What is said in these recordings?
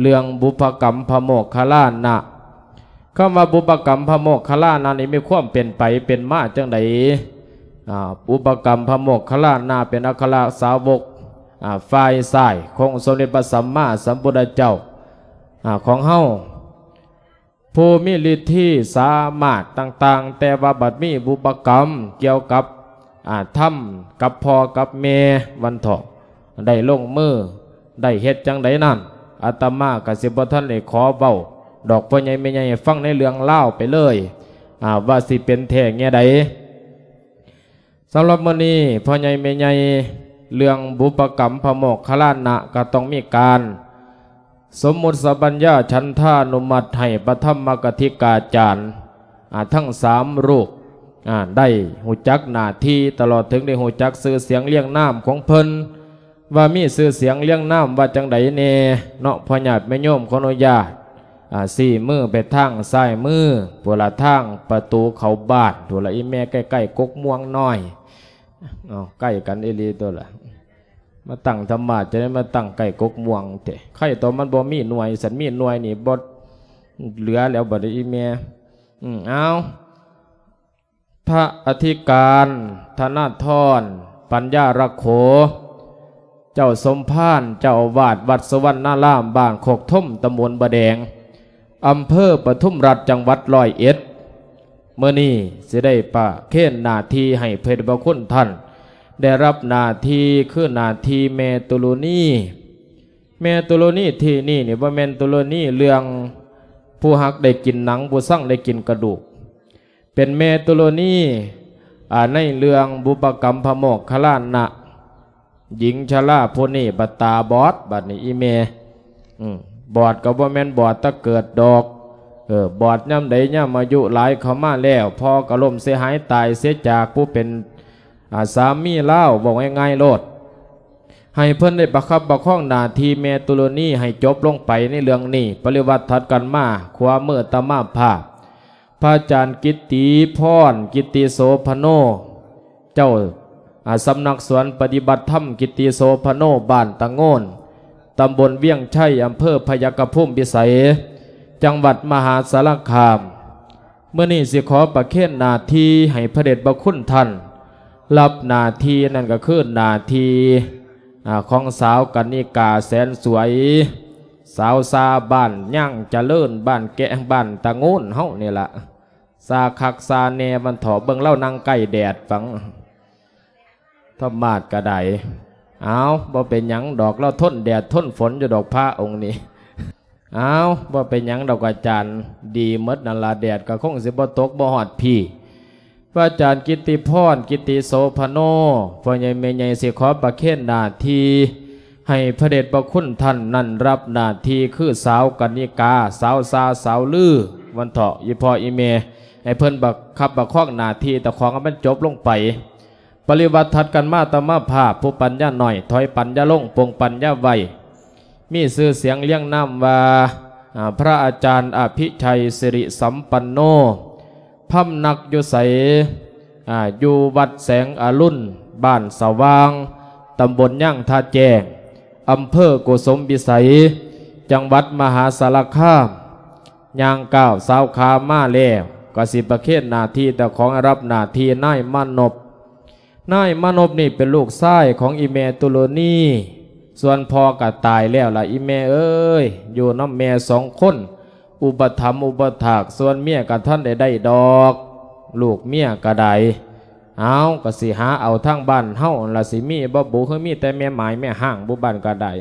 ເລື່ອງບຸບພະກຳພະໂມກຄະລານະ. ຄຳວ່າບຸບພະກຳພະໂມກຄະລານະນີ້ມີຄວາມເປັນໄປເປັນມາຈັ່ງໃດ? ອາ ບຸບພະກຳພະໂມກຄະລານະເປັນອັກຄະລະສາວົກ ອາ ຝ່າຍຊ້າຍຂອງອົງສົມເດັດພະສຳມາສຳພຸດທະເຈົ້າ ອາ ຂອງເຮົາ ຜູ້ມີລິດທິສາມາດຕ່າງໆ ແຕ່ວ່າບັດມີບຸບພະກຳກ່ຽວກັບ ອາ ທຳກັບພໍ່ກັບແມ່ວັນເທາະ ໄດ້ລົງມື ໄດ້ເຮັດຈັ່ງໃດນັ້ນ ອາດຕະມາກໍຊິບໍ່ທັນໄດ້ຂໍເວົ້າດອກ ພໍ່ໃຫຍ່ແມ່ໃຫຍ່ໃຫ້ຟັງໃນເລື່ອງລາວໄປເລີຍ ອາ ວ່າຊິເປັນແທ້ແນວໃດ. ສຳລັບມື້ນີ້ ພໍ່ໃຫຍ່ແມ່ໃຫຍ່ ເລື່ອງບຸບພະກຳພະໂມກຄະລານະ ກໍຕ້ອງມີການສົມມຸດສະບັນຍາ ສັນທານຸມັດ ໃຫ້ພະທຳມະກະທິກາຈານ ອາ ທັງສາມຮູບ ອາ ໄດ້ຮູ້ຈັກໜ້າທີ່ ຕະຫຼອດເຖິງໄດ້ຮູ້ຈັກຊື່ສຽງລຽງນາມຂອງເພິ່ນ ວ່າມີຊື່ສຽງລຽງນາມວ່າຈັ່ງໃດແດ່ເນາະ. ພໍ່ຍາດແມ່ໂຍມຂໍອະນຸຍາດ ອາ ຊີ້ມືໄປທາງຊ້າຍມື ພຸ້ນລະ ທາງປະຕູເຂົ້າບ້ານ ພຸ້ນລະ ອີ່ແມ່ໃກ້ໆກົກມ່ວງນ້ອຍ. ເອົາ ໃກ້ກັນອີ່ຫຼີຕົວລະ ມາຕັ້ງທຳມາດ ຈະໄດ້ມາຕັ້ງໃກ້ກົກມ່ວງແທ້. ໃຄຕົວມັນບໍ່ມີໜ່ວຍ ຄັນມີໜ່ວຍນີ້ບໍ່ເຫຼືອແລ້ວບັດນີ້ອີ່ແມ່. ອືມ ເອົາ ພະອະທິການ ທະນາທອນ ປັນຍາລັກໂຂ ເຈົ້າສົມພານ ເຈົ້າອາວາດວັດສຸວັນນາລາມ ບ້ານໂຄກຖົມ ຕຳບົນບາແດງ ອຳເພີປະທຸມລັດ ຈັງຫວັດຮ້ອຍເອັດ ມື້ນີ້ຊິໄດ້ປະເຄນໜ້າທີ່ໃຫ້ພະເດດພະຄຸນທ່ານ ໄດ້ຮັບໜ້າທີ່ ຄືໜ້າທີ່ແມ່ຕຸລຸນີ. ແມ່ຕຸລຸນີທີ່ນີ້ນີ້ ບໍ່ແມ່ນຕຸລຸນີເລື່ອງຜູ້ຮັກໄດ້ກິນໜັງ ຜູ້ຊັງໄດ້ກິນກະດູກ. ເປັນແມ່ຕຸລຸນີ ອາ ໃນເລື່ອງບຸບພະກຳພະໂມກຄະລານະ. ຍິງຊະລາຜູ້ນີ້ບັດຕາບອດ ບັດນີ້ອີ່ແມ່ ອືມ ບອດກໍບໍ່ແມ່ນບອດແຕ່ເກີດດອກ ເອີ ບອດຍາມໃດ? ຍາມອາຍຸຫຼາຍເຂົ້າມາແລ້ວ ພໍ່ກໍລົ້ມເສຍຫາຍຕາຍເສຍຈາກຜູ້ເປັນ ອາ ສາມີລາວ ເວົ້າງ່າຍໆໂລດ. ໃຫ້ເພິ່ນໄດ້ປະຄັບປະຄອງໜ້າທີ່ແມ່ຕຸລຸນີໃຫ້ຈົບລົງໄປໃນເລື່ອງນີ້. ປະລິວາດຖັດກັນມາ ຂວາມືອາດຕະມາພາບ ພະອາຈານກິດຕິພອນ ກິດຕິໂສພະໂນ ເຈົ້າ ອາ ສຳນັກສວນປະຕິບັດທຳກິດຕິໂສພະໂນ ບ້ານຕະໂງນ ຕຳບົນວຽງໄຊ ອຳເພີພະຍັກຂະພູມພິໄສ ຈັງຫວັດມະຫາສາລະຄາມ. ມື້ນີ້ຊິຂໍປະເຄນໜ້າທີ່ໃຫ້ພະເດດພະຄຸນທ່ານ ຮັບໜ້າທີ່ ນັ້ນກໍຄືໜ້າທີ່ ອາ ຂອງສາວກັນນິກາແສນສວຍ ສາວຊາບ້ານຍາງຈະເລີນ ບ້ານແກະ ບ້ານຕະໂງນເຮົານີ້ລະ. ຊາຄັກຊາແນ່ ມັນເຖາະ ເບິ່ງລາວນັ່ງໃກ້ແດດຟັງ ທຳມາດກະໄດ້. ເອົາ ບໍ່ເປັນຫຍັງດອກ ລາວທົນແດດທົນຝົນຢູ່ດອກ ພະອົງນີ້. ເອົາ ບໍ່ເປັນຫຍັງດອກອາຈານ ດີໝົດນັ້ນລະ ແດດກໍຄົງຊິບໍ່ຕົກບໍ່ຮອດພີ້. ພະອາຈານກິດຕິພອນ ກິດຕິໂສພະໂນ ພໍ່ໃຫຍ່ແມ່ໃຫຍ່ ຊິຂໍປະເຄນໜ້າທີ່ ໃຫ້ພະເດດພະຄຸນທ່ານນັ້ນ ຮັບໜ້າທີ່ຄືສາວກັນນິກາ ສາວຊາ ສາວລື ວັນເຖາະ ອີ່ພໍ່ອີ່ແມ່ ໃຫ້ເພິ່ນປະຄັບປະຄອງໜ້າທີ່ເຈົ້າຂອງໃຫ້ມັນຈົບລົງໄປ. ປະລິວາດຖັດກັນມາ ອາດຕະມາພາບ ຜູ້ປັນຍາໜ້ອຍ ຖອຍປັນຍາລົງ ປົງປັນຍາໄວ ມີຊື່ສຽງລຽງນາມວ່າ ອາ ພະອາຈານອະພິໄຊ ສິລິສຳປັນໂນ ພຳນັກຢູ່ໃສ? ອາ ຢູ່ວັດແສງອະລຸນ ບ້ານສະຫວ່າງ ຕຳບົນຍາງທ່າແຈ້ງ ອຳເພີໂກສົມພິໄສ ຈັງຫວັດມະຫາສາລະຄາມ. ຍ່າງກ້າວສາວຂາມາແລ້ວ ກໍຊິປະເຄນໜ້າທີ່ເຈົ້າຂອງ ຮັບໜ້າທີ່ນາຍມານົບ. ນາຍມານົບນີ້ເປັນລູກຊາຍຂອງອີ່ແມ່ຕຸລຸນີ ສ່ວນພໍ່ກໍຕາຍແລ້ວລະ ອີ່ແມ່ເອີຍ ຢູ່ນຳແມ່ສອງຄົນ ອຸປະຖຳອຸປະຖາກ ສ່ວນເມຍກໍທັນໄດ້ໄດ້ດອກ ລູກເມຍກໍໄດ້. ເອົາ ກໍຊິຫາເອົາທາງບ້ານເຮົາຫັ້ນລະ ຊິມີບໍ່ບຸ ຄືມີແຕ່ແມ່ໝາຍແມ່ຮ້າງ ບຸບ້ານກໍໄດ້.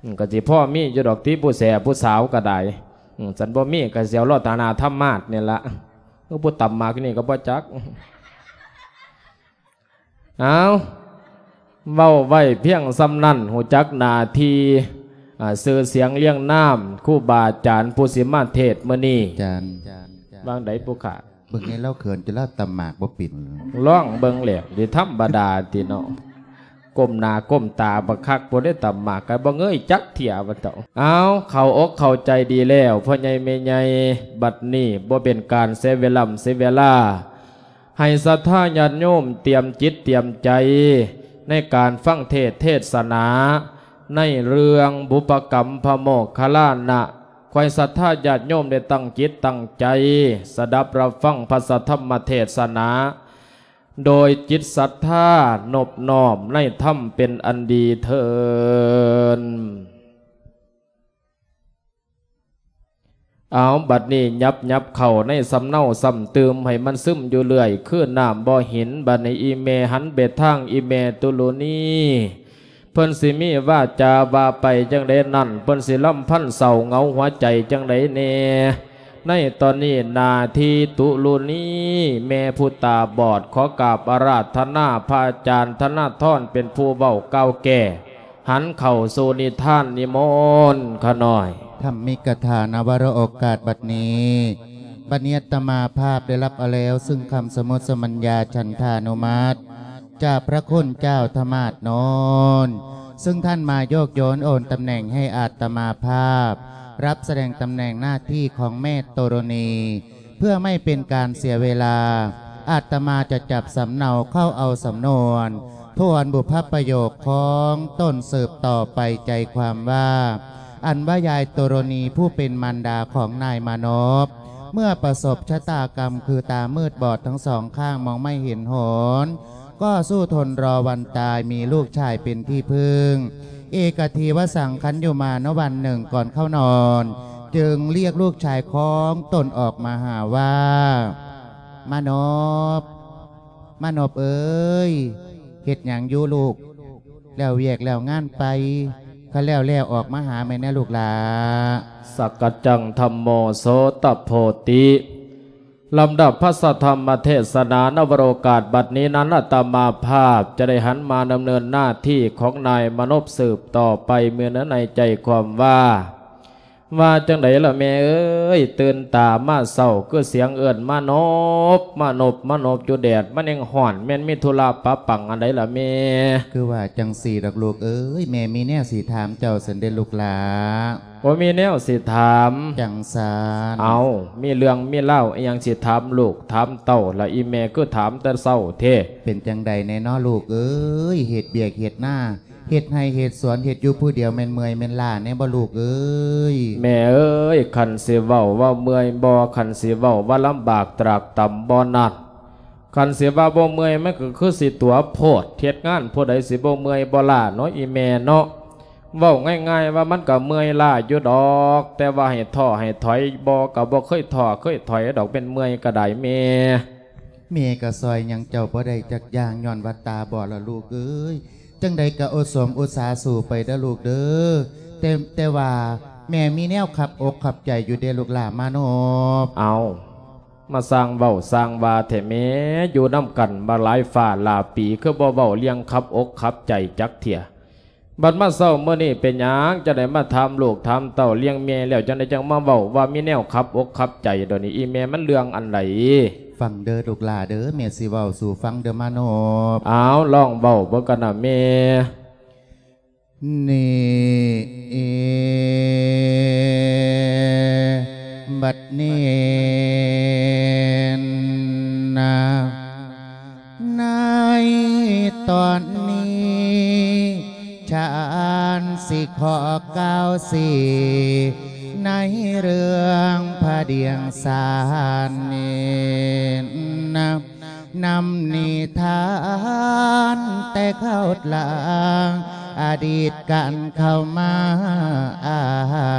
ອືມ ກໍຊິພໍມີຢູ່ດອກຕິ ຜູ້ແສຜູ້ສາວກໍໄດ້. ອືມ ຄັນບໍ່ມີກໍຊິເອົາລອດຕາໜ້າທຳມາດນີ້ລະ ຄືຜູ້ຕຳໝາກນີ້ກໍບໍ່ຈັກ. ເອົາ ເວົ້າໄວ້ພຽງສ່ຳນັ້ນ ຮູ້ຈັກໜ້າທີ່ ອາ ຊື່ສຽງລຽງນາມ ຄູບາອາຈານຜູ້ຊິມາເທດມື້ນີ້. ອາຈານ ວ່າງໃດຜູ້ຂ້າ? ເບິ່ງໃຫ້ລາວເຂີນ ຈົນລາວຕຳໝາກບໍ່ເປັນ. ລອງເບິ່ງແຫຼະ ຊິທຳມະດາຕິເນາະ. ກົ້ມໜ້າກົ້ມຕາບັກຄັກ ຜູ້ໃດຕຳໝາກກໍບໍ່ເງີຍຈັກເທື່ອວ່າເຈົ້າ. ເອົາ ເຂົ້າອົກເຂົ້າໃຈດີແລ້ວ ພໍ່ໃຫຍ່ແມ່ໃຫຍ່ ບັດນີ້ບໍ່ເປັນການເສຍເວລາເສຍເວລາ ໃຫ້ສັດທາຍາດໂຍມຕຽມຈິດຕຽມໃຈ ໃນການຟັງເທດເທດສະໜາ ໃນເລື່ອງບຸບພະກຳພະໂມກຄະລານະ ຂໍໃຫ້ສັດທາຍາດໂຍມໄດ້ຕັ້ງຈິດຕັ້ງໃຈ ສະດັບຮັບຟັງພະສະທຳມະເທດສະໜາ ໂດຍຈິດສັດທານົບນ້ອມໃນທຳເປັນອັນດີເທີ້ນ. ເອົາ ບັດນີ້ຫຍັບໆເຂົ້າໃນສຳເນົາຊ້ຳຕື່ມ ໃຫ້ມັນຊຶມຢູ່ເລື້ອຍ ຄືນ້ຳບໍ່ເຫັນ. ບັດນີ້ອີ່ແມ່ຫັນໄປທາງອີ່ແມ່ຕຸລຸນີ ເພິ່ນຊິມີວາຈາວ່າໄປຈັ່ງໃດນັ້ນ ເພິ່ນຊິລຳພັນເສົ້າເຫງົາຫົວໃຈຈັ່ງໃດແດ່. ໃນຕອນນີ້ໜ້າທີ່ຕຸລຸນີ ແມ່ຜູ້ຕາບອດ ຂໍກາບອາລາທະນາພະອາຈານທະນາທອນເປັນຜູ້ເວົ້າກ່າວແກ້ ຫັນເຂົ້າສູ່ນິທານນິມົນຂະນ້ອຍ. ທຳມິກະຖານະວະໂຣໂອກາດບັດນີ້ ບັດນີ້ອາດຕະມາພາບໄດ້ຮັບເອົາແລ້ວ ຊຶ່ງຄຳສະໝຸດສະບັນຍາສັນທານຸມັດ ຈາກພະຄຸນເຈົ້າທະມາດໂນນ ຊຶ່ງທ່ານມາໂຍກໂຍນໂອນຕຳແໜ່ງໃຫ້ອາດຕະມາພາບ ຮັບສະແດງຕຳແໜ່ງໜ້າທີ່ຂອງແມ່ໂຕໂຣນີ. ເພື່ອໄມ່ເປັນການເສຍເວລາ ອາດຕະມາຈະຈັບສຳເນົາເຂົ້າເອົາສຳນວນ ທວນບຸບພະປະໂຫຍກຂອງຕົນສືບຕໍ່ໄປ ໃຈຄວາມວ່າ ອັນວ່າຍາຍໂຕໂຣນີຜູ້ເປັນມານດາຂອງນາຍມານົບ ເມື່ອປະສົບຊະຕາກຳຄືຕາມືດບອດທັງສອງຂ້າງ ມອງໄມ່ເຫັນຫົນ ກໍສູ້ທົນລໍວັນຕາຍ ມີລູກຊາຍເປັນທີ່ເພິ່ງ. ເອກະທີວະສັງ ຄັນຢູ່ມານະວັນໜຶ່ງກ່ອນເຂົ້ານອນ ຈຶ່ງລຽກລູກຊາຍຂອງຕົນອອກມາຫາວ່າ ມານົບ, ມານົບເອີຍ, ເຮັດຫຍັງຢູ່ລູກ? ແລ້ວວຽກແລ້ວງານໄປ? ຄັນແລ້ວແລ້ວອອກມາຫາແມ່ແດ່ລູກຫຼ້າ. ສັກກະຈັງທຳໂມໂສຕະໂພຕິ. ລຳດັບພະສະທຳມະເທດສະໜານະວະໂລກາດບັດນີ້ນັ້ນ ອາດຕະມາພາບຈະໄດ້ຫັນມາດຳເນີນໜ້າທີ່ຂອງນາຍມານົບສືບຕໍ່ໄປ ມີເນື້ອໃນໃຈຄວາມວ່າ ວ່າຈັ່ງໃດລະແມ່ເອີຍ? ຕື່ນຕາມາເຊົ້າຄືສຽງເອີ້ນ ມານົບ, ມານົບ, ມານົບ ຢູ່ແດດມັນຍັງຮ້ອນ ແມ່ນມີທຸລະປະປັງອັນໃດລະແມ່? ຄືວ່າຈັ່ງຊີ້ດອກລູກເອີຍ, ແມ່ມີແນວຊິຖາມເຈົ້າຊັ້ນເດລູກຫຼ້າ. ບໍ່ມີແນວຊິຖາມ. ຈັ່ງຊັ້ນ. ເອົ້າ, ມີເລື່ອງມີລາວອີ່ຫຍັງຊິຖາມລູກຖາມເຕົ້າລະ ອີ່ແມ່ຄືຖາມແຕ່ເຊົ້າແທ້? ເປັນຈັ່ງໃດແດ່ນໍລູກເອີຍ? ເຮັດວຽກເຮັດນາ, ເຮັດໄຮ່ເຮັດສວນ, ເຮັດຢູ່ຜູ້ດຽວ ແມ່ນເມື່ອຍແມ່ນລ້າແດ່ບໍ່ລູກເອີຍ? ແມ່ເອີຍ, ຄັນຊິເວົ້າວ່າເມື່ອຍບໍ່, ຄັນຊິເວົ້າວ່າລຳບາກຕຣາກຕຳບໍ່ນັ້ນ, ຄັນຊິວ່າບໍ່ເມື່ອຍ ມັນກໍຄືຊິຕົວໂພດ, ເຮັດງານຜູ້ໃດຊິບໍ່ເມື່ອຍບໍ່ລ້າເນາະ ອີ່ແມ່ເນາະ. ເວົ້າງ່າຍໆວ່າມັນກໍເມື່ອຍລ້າຢູ່ດອກ, ແຕ່ວ່າໃຫ້ທໍ້ໃຫ້ຖອຍບໍ່, ກໍບໍ່ເຄີຍທໍ້ເຄີຍຖອຍດອກ, ແມ່ນເມື່ອຍກໍໄດ້ແມ່. ແມ່ກໍຊ່ອຍຫຍັງເຈົ້າບໍ່ໄດ້ຈັກຢ່າງ, ຍ້ອນວ່າຕາບອດລະລູກເອີຍ. ຈັ່ງໃດກໍອົດສົມອຸດສາສູ້ໄປເດີລູກເດີ. ແຕ່, ແຕ່ວ່າແມ່ມີແນວຂັບອົກຂັບໃຈຢູ່ເດລູກຫຼ້າມານົບ. ເອົ້າ, ມາສ້າງເວົ້າສ້າງວ່າແທ້ແມ່, ຢູ່ນຳກັນມາຫຼາຍຟ້າຫຼາຍປີ ຄືບໍ່ເວົ້າເລື່ອງຂັບອົກຂັບໃຈຈັກເທື່ອ. ບັດມາເຊົ້າມື້ນີ້ເປັນຫຍັງ ຈັ່ງໄດ້ມາຖາມລູກຖາມເຕົ້າລ້ຽງແມ່ແລ້ວ ຈັ່ງໃດຈັ່ງມາເວົ້າວ່າມີແນວຂັບອົກຂັບໃຈດອກນີ້ ອີ່ແມ່ ມັນເລື່ອງອັນໃດ? ຟັງເດີລູກຫຼ້າເດີ, ແມ່ຊິເວົ້າສູ່ຟັງເດີມານົບ. ອ້າວ, ລອງເວົ້າເບິ່ງກັນນະແມ່. ນີ້ ບັດນີ້ນະ ໃນຕອນນີ້ ຊານຊິຂໍກ່າວຊີ້ ໃນເລື່ອງພະດຽງສານນີ້ນະ ນຳນິທານແຕ່ເກົ່າຫຼັງ ອະດີດການເຂົ້າມາອ້າ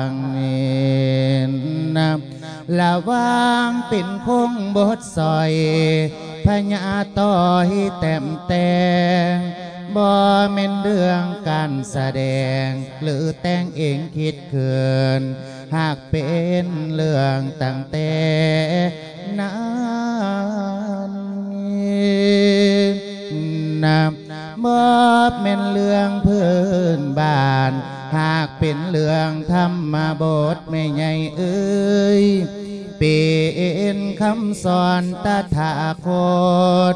ງນີ້ນະ ລະຫວ່າງເປັນຄົງບົດສອຍ ພະຍາຕ້ອຍແຕ້ມແຕ່ງ ບໍ່ແມ່ນເລື່ອງການສະແດງ ຫຼືແຕ່ງເອງຄິດຂຶ້ນ ຫາກເປັນເລື່ອງຕັ້ງແຕ່ນານ ນັບ ບໍ່ແມ່ນເລື່ອງພື້ນບ້ານ ຫາກເປັນເລື່ອງທຳມະບົດ ແມ່ໃຫຍ່ເອີຍ ເປັນຄຳສອນຕະຖາຄົດ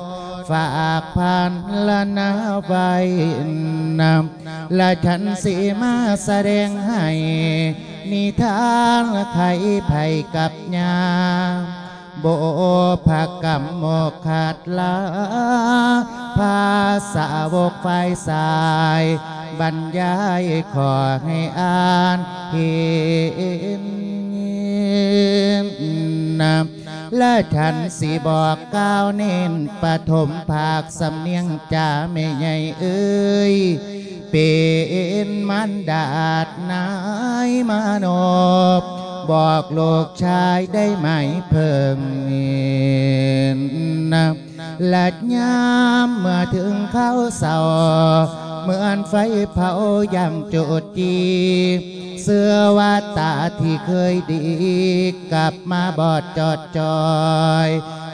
ຝາກພັນລະນາໄວ້ນຳ ລະສັນຊິມາສະແດງໃຫ້ ນິທານໄຂໄພກັບຍາ ບຸບພະກຳໂມກຂັດລາ ພາສາວົກຝ່າຍຊາຍ ບັນຍາຍຂໍໃຫ້ອ່ານເຫັນນະ ລະທ່ານຊິບອກກ່າວເນັ້ນປະຖົມພາກສຳນຽງຈາແມ່ໃຫຍ່ເອີຍ ເປັນມານດາດນາຍມານົບ ບອກລູກຊາຍໄດ້ໝາຍເພິ່ງນະ ລະຍາມເມື່ອເຖິງຄາວເສົ້າ ເໝືອນໄຟເຜົາຢ່າງຈູດຈີ ເຊື່ອວ່າຕາທີ່ເຄີຍດີ ກັບມາບອດຈອດຈ່ອຍ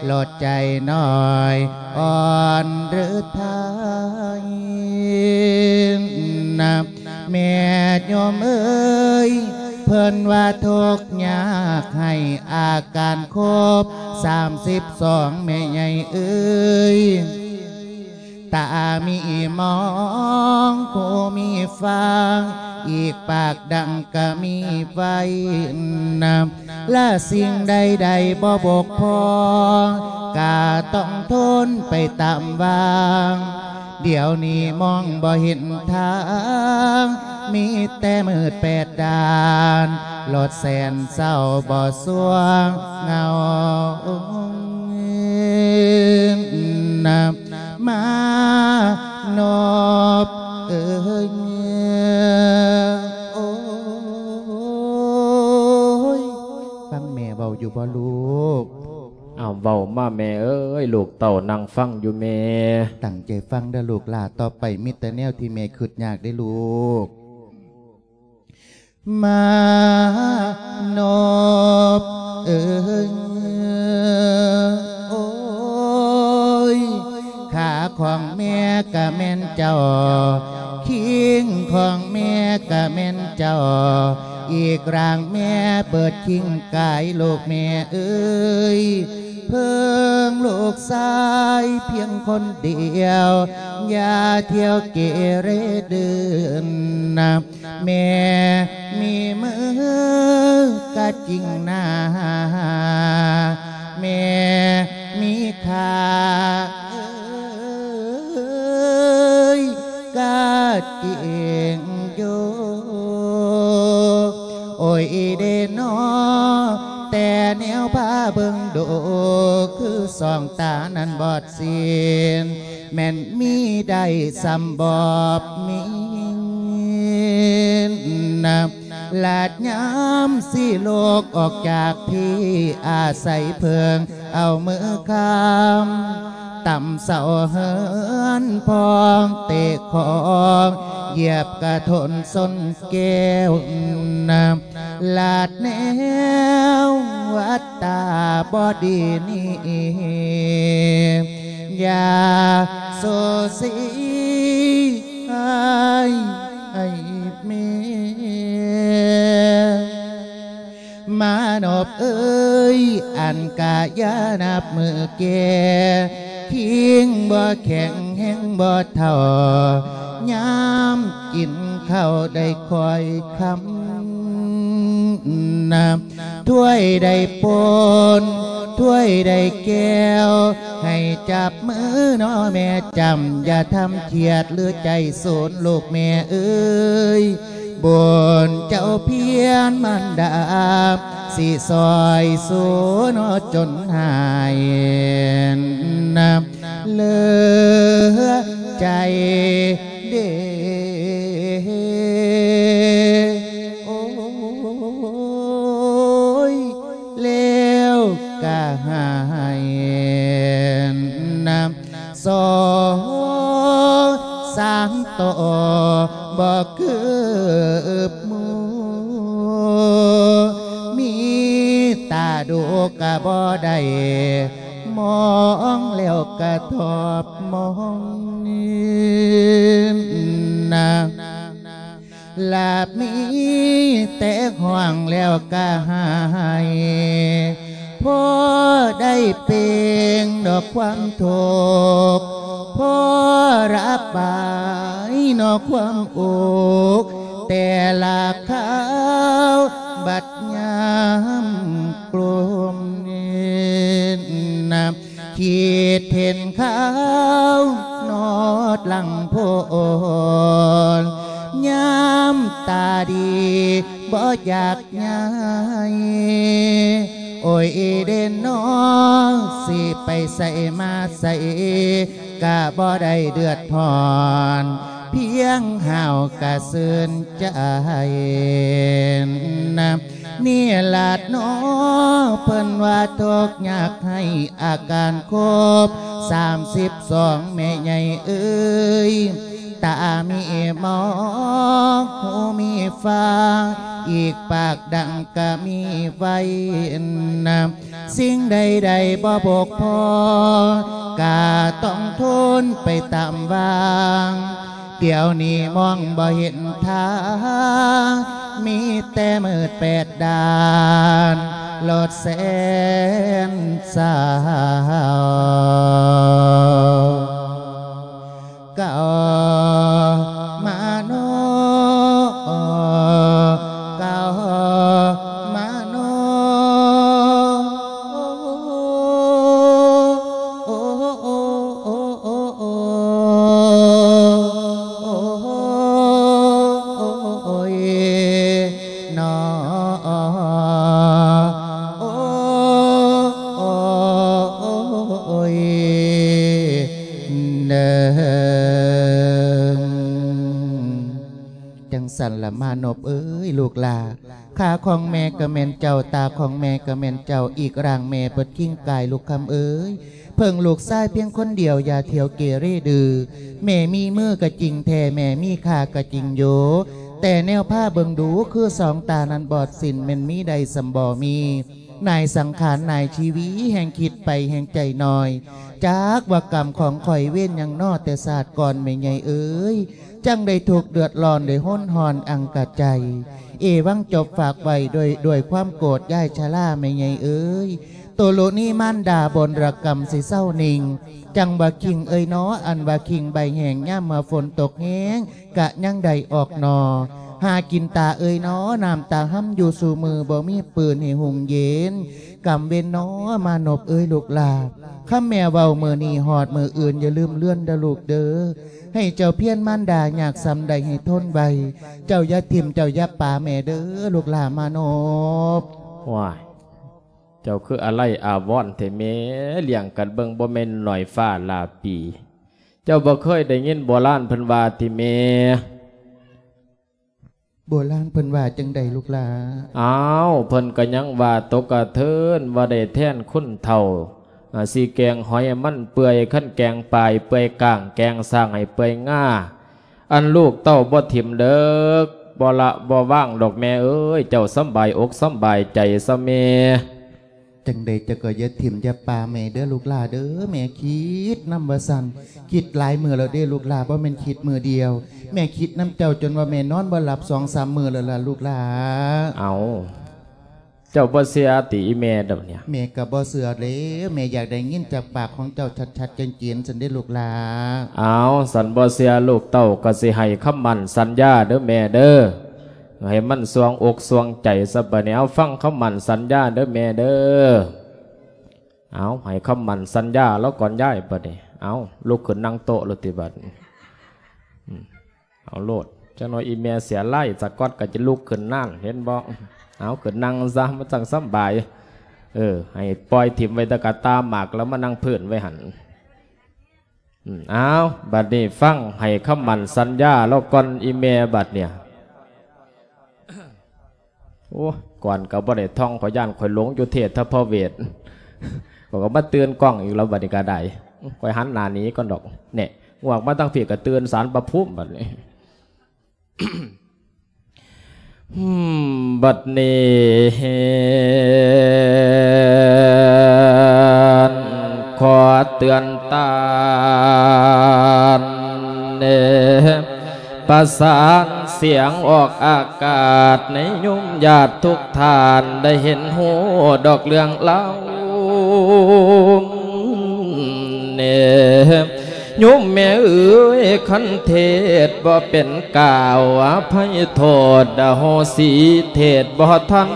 ລົດໃຈນ້ອຍອ່ອນເຫຼືອໄທນະ ແມ່ໂຍມເອີຍ ເພິ່ນວ່າທຸກຍາກໃຫ້ອາການຄົບສາມສິບສອງ ແມ່ໃຫຍ່ເອີຍ ຕາມີມອງ ຫູມີຟັງ ອີກປາກດັງກະມີໄວ້ນຳ ລະສິ່ງໃດໆບໍ່ບົກຜ່ອງ ກະຕ້ອງທົນໄປຕາມວາງ ດຽວນີ້ມອງບໍ່ເຫັນທາງ ມີແຕ່ມືດແປດດ້ານ ລົດແສນເສົ້າບໍ່ສວ່າງເງົານຳ ມານົບເອີຍ ໂອ້ຍ ຟັງແມ່ເວົ້າຢູ່ບໍ່ລູກ? ອ້າວ ເວົ້າມາແມ່ເອີຍ ລູກເຕົ້ານັ່ງຟັງຢູ່ແມ່. ຕັ້ງໃຈຟັງເດີ້ລູກຫຼ້າ ຕໍ່ໄປມີແຕ່ແນວທີ່ແມ່ຄຶດຍາກເດ້ລູກ. ມານົບເອີຍ ໂອ້ຍ ຂາຂອງແມ່ກະແມ່ນເຈົ້າ ຄີງຂອງແມ່ກະແມ່ນເຈົ້າ ອີກຮ່າງແມ່ເບີດຄີງກາຍ ລູກແມ່ເອີຍ ເພິ່ງລູກຊາຍພຽງຄົນດຽວ ຢ່າທ່ຽວເກເຣດື້ນນະ ແມ່ມີມືກະຈິງໜາ ແມ່ມີຂາເອີຍກະຈິງຢູ່ ໂອ້ຍເດນໍ ແຕ່ແນວພາເບິ່ງດູ ຄືສອງຕານັ້ນບອດສິ້ນ ແມ່ນມີໄດ້ສ່ຳບອບມິນນະ ລາດຍາມຊິລຸກອອກຈາກພີ້ ອາໄສເພິ່ງເອົາມືຄ້ຳ ຕຳເສົາເຮືອນພອງ ເຕະຂອງຢຽບກະທົນຊົນແກ້ວນະ ລາດແນວວັດຕາບໍ່ດີນີ້ ຢ່າໂສສີ ອ້າຍ ອ້າຍແມ່ ມານົບເອີຍ ອັນກະຢ່ານັບມື້ແກ່ ຄີງບໍ່ແຂງແຮງບໍ່ເຖົ້າ ຍາມກິນເຂົ້າໄດ້ຄ່ອຍຄຳນະ ຖ້ວຍໄດ້ປົນ ຖ້ວຍໄດ້ແກ້ວ ໃຫ້ຈັບມືນໍແມ່ຈຳ ຢ່າທຳຄຽດຫຼືໃຈສູນ ລູກແມ່ເອີຍ ບຸນເຈົ້າພຽນມານດາ ຊິຊ່ອຍສູນຈົນຫາຍນະ ເຫຼືອໃຈເດ ໂອ້ຍ ແລ້ວກະຫາຍນຳ ສອງສາມຕໍ່ບໍ່ຄືບໝູ່ ມີຕາດູກະບໍ່ໄດ້ ມອງແລ້ວກະທອບມອງນະ ລາບມີແຕ່ຮ້ອງແລ້ວກະໄຫ້ ພໍໄດ້ເປ່ງດອກຄວາມທຸກ ພໍລະບາຍເນາະຄວາມອຸກ ແຕ່ລະຄາວບັດຍາມກລວມ ຄິດເຫັນຄາວນອດຫຼັງໂພນ ໂອ້ຍເດເນາະ ຊິໄປໃສມາໃສກະບໍ່ໄດ້ເດືອດຮ້ອນ ພຽງຫ້າວກະຊື່ນໃຈນະ ນີ້ລະເນາະ ເພິ່ນວ່າທຸກຍາກໄຮ້ ອາການຄົບສາມສິບສອງ ແມ່ໃຫຍ່ເອີຍ ຕາມີໝອກ ຫູມີຟາງ ອີກປາກດັງກະມີໄວ້ນະ ສິ່ງໃດໆບໍ່ບົກຜ່ອງ ກະຕ້ອງທົນໄປຕາມວາງ ດຽວນີ້ມອງບໍ່ເຫັນທາງ ມີແຕ່ມືດແປດດ້ານ ໂລດແສນສາວ ເກົ່າມາໂນ ເກົ່າມາໂນ ໂອ້ ໂອ້ ໂອ້ ໂອ້ ໂອ້ ໂອ້ຍ ນອ ໂອ້ ໂອ້ ໂອ້ຍ ເດີ ຈັ່ງຊັ້ນລະມານົບເອີຍ ລູກຫຼ້າ ຂາຂອງແມ່ກະແມ່ນເຈົ້າ ຕາຂອງແມ່ກະແມ່ນເຈົ້າ ອີກຮ່າງແມ່ເພິ່ນຄິງກາຍ ລູກຄຳເອີຍ ເພິ່ງລູກຊາຍພຽງຄົນດຽວ ຢ່າທ່ຽວເກເຣດື້ ແມ່ມີມືກະຈິງແທ້ ແມ່ມີຂາກະຈິງຢູ່ ແຕ່ແນວພາເບິ່ງດູ ຄືສອງຕານັ້ນບອດສິ້ນ ແມ່ນມີໄດ້ສ່ຳບໍ່ມີ ນາຍສັງຂານນາຍຊີວິ ແຮ່ງຄິດໄປແຮ່ງໃຈນ້ອຍ ຈັກວ່າກຳຂອງຂ້ອຍເວນຫຍັງນໍ ແຕ່ຊາດກ່ອນແມ່ໃຫຍ່ເອີຍ ຈັ່ງໄດ້ທຸກເດືອດຮ້ອນ ໄດ້ຮົນຮ້ອນອັງກະໃຈ ເອວັງຈົບຝາກໄວ້ດ້ວຍ ດ້ວຍຄວາມໂກດ ຍາຍຊະລາແມ່ໃຫຍ່ເອີຍ ໂຕໂລນີມານດາບົນລະກຳຊິເຊົານິ່ງ ຈັ່ງວ່າຄີງເອີຍນໍ ອັນວ່າຄີງໃບແຫ້ງ ຍາມເມື່ອຝົນຕົກແຮງ ກະຍັງໄດ້ອອກໜໍ່ ຫາກິນຕາເອີຍນໍ ນ້ຳຕາຮຳຢູ່ສູ່ມື້ ບໍ່ມີປືນໃຫ້ຫຸ່ງເຢັນ ກຳເວັນນໍ ມານົບເອີຍລູກຫຼ້າ ຄຳແມ່ເວົ້າມື້ນີ້ຮອດມື້ອື່ນ ຢ່າລືມເລືອນເດີລູກເດີ ໃຫ້ເຈົ້າພຽນມານດາຍາກສ່ຳໃດໃຫ້ທົນໄວ້ ເຈົ້າຢ່າຖິ້ມເຈົ້າຢ່າປາແມ່ເດີ ລູກຫຼ້າມານົບ. ວ້າຍ ເຈົ້າຄືອາໄລອາວອນແທ້ແມ່ ລ້ຽງກັນເບິ່ງບໍ່ແມ່ນໜ້ອຍຟ້າຫຼ້າປີ ເຈົ້າບໍ່ເຄີຍໄດ້ຍິນໂບລານເພິ່ນວ່າຕິແມ່? ໂບລານເພິ່ນວ່າຈັ່ງໃດລູກຫຼ້າ? ອ້າວ ເພິ່ນກະຍັງວ່າຕົກກະເທີນ ວ່າໄດ້ແທນຄົນເຖົ້າ ອາ ຊິແກງຫອຍໃຫ້ມັນເປື່ອຍ ຄັນແກງປາໃຫ້ເປື່ອຍກ້າງ ແກງຊ້າງໃຫ້ເປື່ອຍງາ ອັນລູກເຕົ້າບໍ່ຖິ້ມເດີ ບໍ່ລະບໍ່ວາງດອກແມ່ເອີຍ ເຈົ້າສຳບາຍອົກສຳບາຍໃຈຊະແມ່. ຈັ່ງໃດເຈົ້າກໍຢ່າຖິ້ມຢ່າປະແມ່ເດີລູກຫຼ້າເດີ ແມ່ຄິດນຳວ່າຊັ້ນ ຄິດຫຼາຍມື້ແລ້ວເດ້ລູກຫຼ້າ ບໍ່ແມ່ນຄິດມື້ດຽວ ແມ່ຄິດນຳເຈົ້າຈົນວ່າແມ່ນອນບໍ່ຫຼັບສອງສາມມື້ແລ້ວລະລູກຫຼ້າ. ເອົ້າ ເຈົ້າບໍ່ເຊື່ອຕິອີແມ່ດອກເນຍ? ແມ່ກໍບໍ່ເຊື່ອແລ້ວ ແມ່ຢາກໄດ້ຍິນຈາກປາກຂອງເຈົ້າຊັດໆເຈນໆຊັ້ນເດ້ລູກຫຼ້າ. ເອົ້າ ສັນບໍ່ເຊື່ອລູກເຕົ້າກໍຊິໃຫ້ຄຳໝັ້ນສັນຍາເດີແມ່ເດີ ໃຫ້ມັນສ່ວງອົກສ່ວງໃຈຊະບາດນີ້ ເອົາ ຟັງຄຳໝັ້ນສັນຍາເດີແມ່ເດີ. ເອົາ ໃຫ້ຄຳໝັ້ນສັນຍາລາວກ່ອນຍາຍບາດນີ້ ເອົາ ລຸກຂຶ້ນນັ່ງໂຕະໂລດຕິບາດນີ້ ອືມ ເອົາໂລດ ຈັກໜ່ອຍອີແມ່ເສຍລາຍສະກອດກໍຈະລຸກຂຶ້ນນານ ເຫັນບໍ່ ເອົາ ຂຶ້ນນັ່ງຊະ ມັນຈັ່ງສຳບາຍ ເອີ ໃຫ້ປ່ອຍຖິ້ມໄວ້ແຕ່ກະຕ່າໝາກ ແລ້ວມານັ່ງພື້ນໄວ້ຫັ້ນ. ອືມ ອ້າວ ບັດນີ້ຟັງໃຫ້ຄຳໝັ້ນສັນຍາລາວກ່ອນ ອີແມ່ບັດເນຍ. ໂອ້ ກ່ອນກໍບໍ່ໄດ້ທ່ອງ ຂ້ອຍຢ້ານຂ້ອຍຫຼົງຢູ່ເທດທະພະເວດ ຂ້ອຍກໍມາຕື່ນກ້ອງອີກແລ້ວ ບັດນີ້ກໍໄດ້ ຂ້ອຍຫັນໜ້າໜີກ່ອນດອກ ແນ່ ງວກມາທາງພີ້ກໍຕື່ນສານພະພູມບັດນີ້. ບັດນີ້ ຂໍເຕືອນຕານ ປະສານສຽງອອກອາກາດ ໃນໂຍມຍາດທຸກທ່ານໄດ້ເຫັນຮູ້ດອກເລື່ອງລາວ ໂຍມແມ່ເອີຍ ຄັນເທດບໍ່ເປັນກ້າວ ອະໄພໂທດ ອະໂຫສິ ເທດບໍ່ທັນ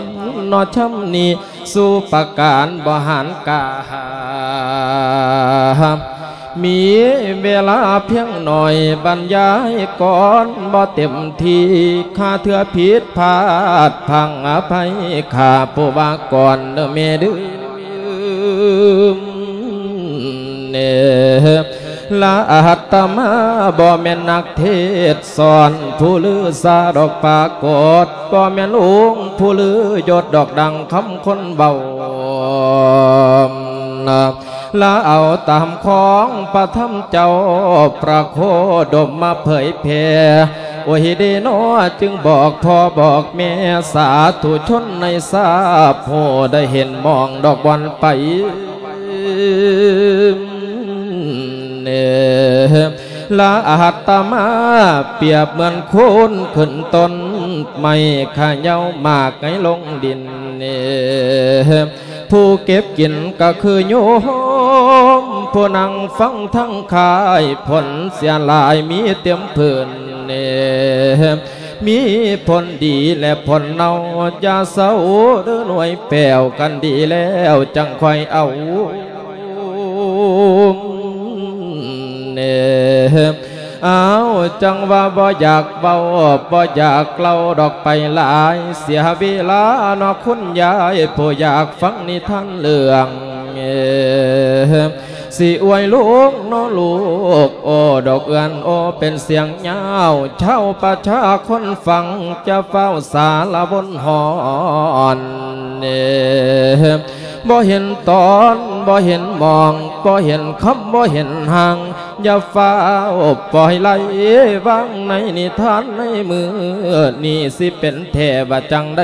ເນາະ ຊ່ຳນີ້ສູ່ປະການ ບໍ່ຫານກາ ມີເວລາພຽງໜ້ອຍ ບັນຍາຍກ່ອນບໍ່ເຕັມທີ່ ຂ້າເທື່ອຜິດພາດພັງອະໄພ ຂ້າຜູ້ວ່າກ່ອນເດີແມ່ເດີ ລະອາດຕະມາບໍ່ແມ່ນນັກເທດສອນ ຜູ້ລືຊາດອກປາກົດ ບໍ່ແມ່ນອົງຜູ້ລືຍົດດອກ ດັ່ງຄຳຄົນເວົ້າ ລະເອົາຕາມຂອງພະທຳເຈົ້າພະໂຄດົມມາເຜີຍແຜ່ ໂອຍເດນໍ ຈຶ່ງບອກພໍ່ບອກແມ່ ສາທຸຊົນໃນຊາບຜູ້ໄດ້ເຫັນມອງດອກບ່ອນໄປ ລະອາດຕະມາປຽບເໝືອນໂຄນຂຶ້ນຕົ້ນໄມ້ ຂະເຍົາໝາກໃຫ້ລົງດິນ ຜູ້ເກັບກິນກໍຄືໂຍມ ຜູ້ນັ່ງຟັງທັງຂາຍ ຜົນເສຍຫຼາຍມີເຕັມພື້ນ ມີຜົນດີແລະຜົນເນົ່າ ຢ່າເສົ້າເດີໜ່ວຍແປ້ວ ຄັນດີແລ້ວຈັ່ງຄ່ອຍເອົາ ເອົາ ຈັ່ງວ່າບໍ່ຢາກເວົ້າ ບໍ່ຢາກເລົ່າດອກໄປຫຼາຍ ເສຍເວລາເນາະຄຸນຍາຍ ຜູ້ຢາກຟັງນິທານເລື່ອງ ຊິອວຍລູກເນາະລູກ ໂອ້ ດອກເອື້ອນໂອ້ ເປັນສຽງຍາວ ເຈົ້າປະຊາຄົນຟັງ ຈະຟ້າວສາລະວົນຮ້ອນ ບໍ່ເຫັນຕອນ ບໍ່ເຫັນໝ່ອງ ບໍ່ເຫັນຄ່ຳ ບໍ່ເຫັນຫ່າງ ຢ່າຟ້າວປ່ອຍໄຫຼວາງໃນນິທານໃນມື້ນີ້ ຊິເປັນແທ້ວ່າຈັ່ງໃດ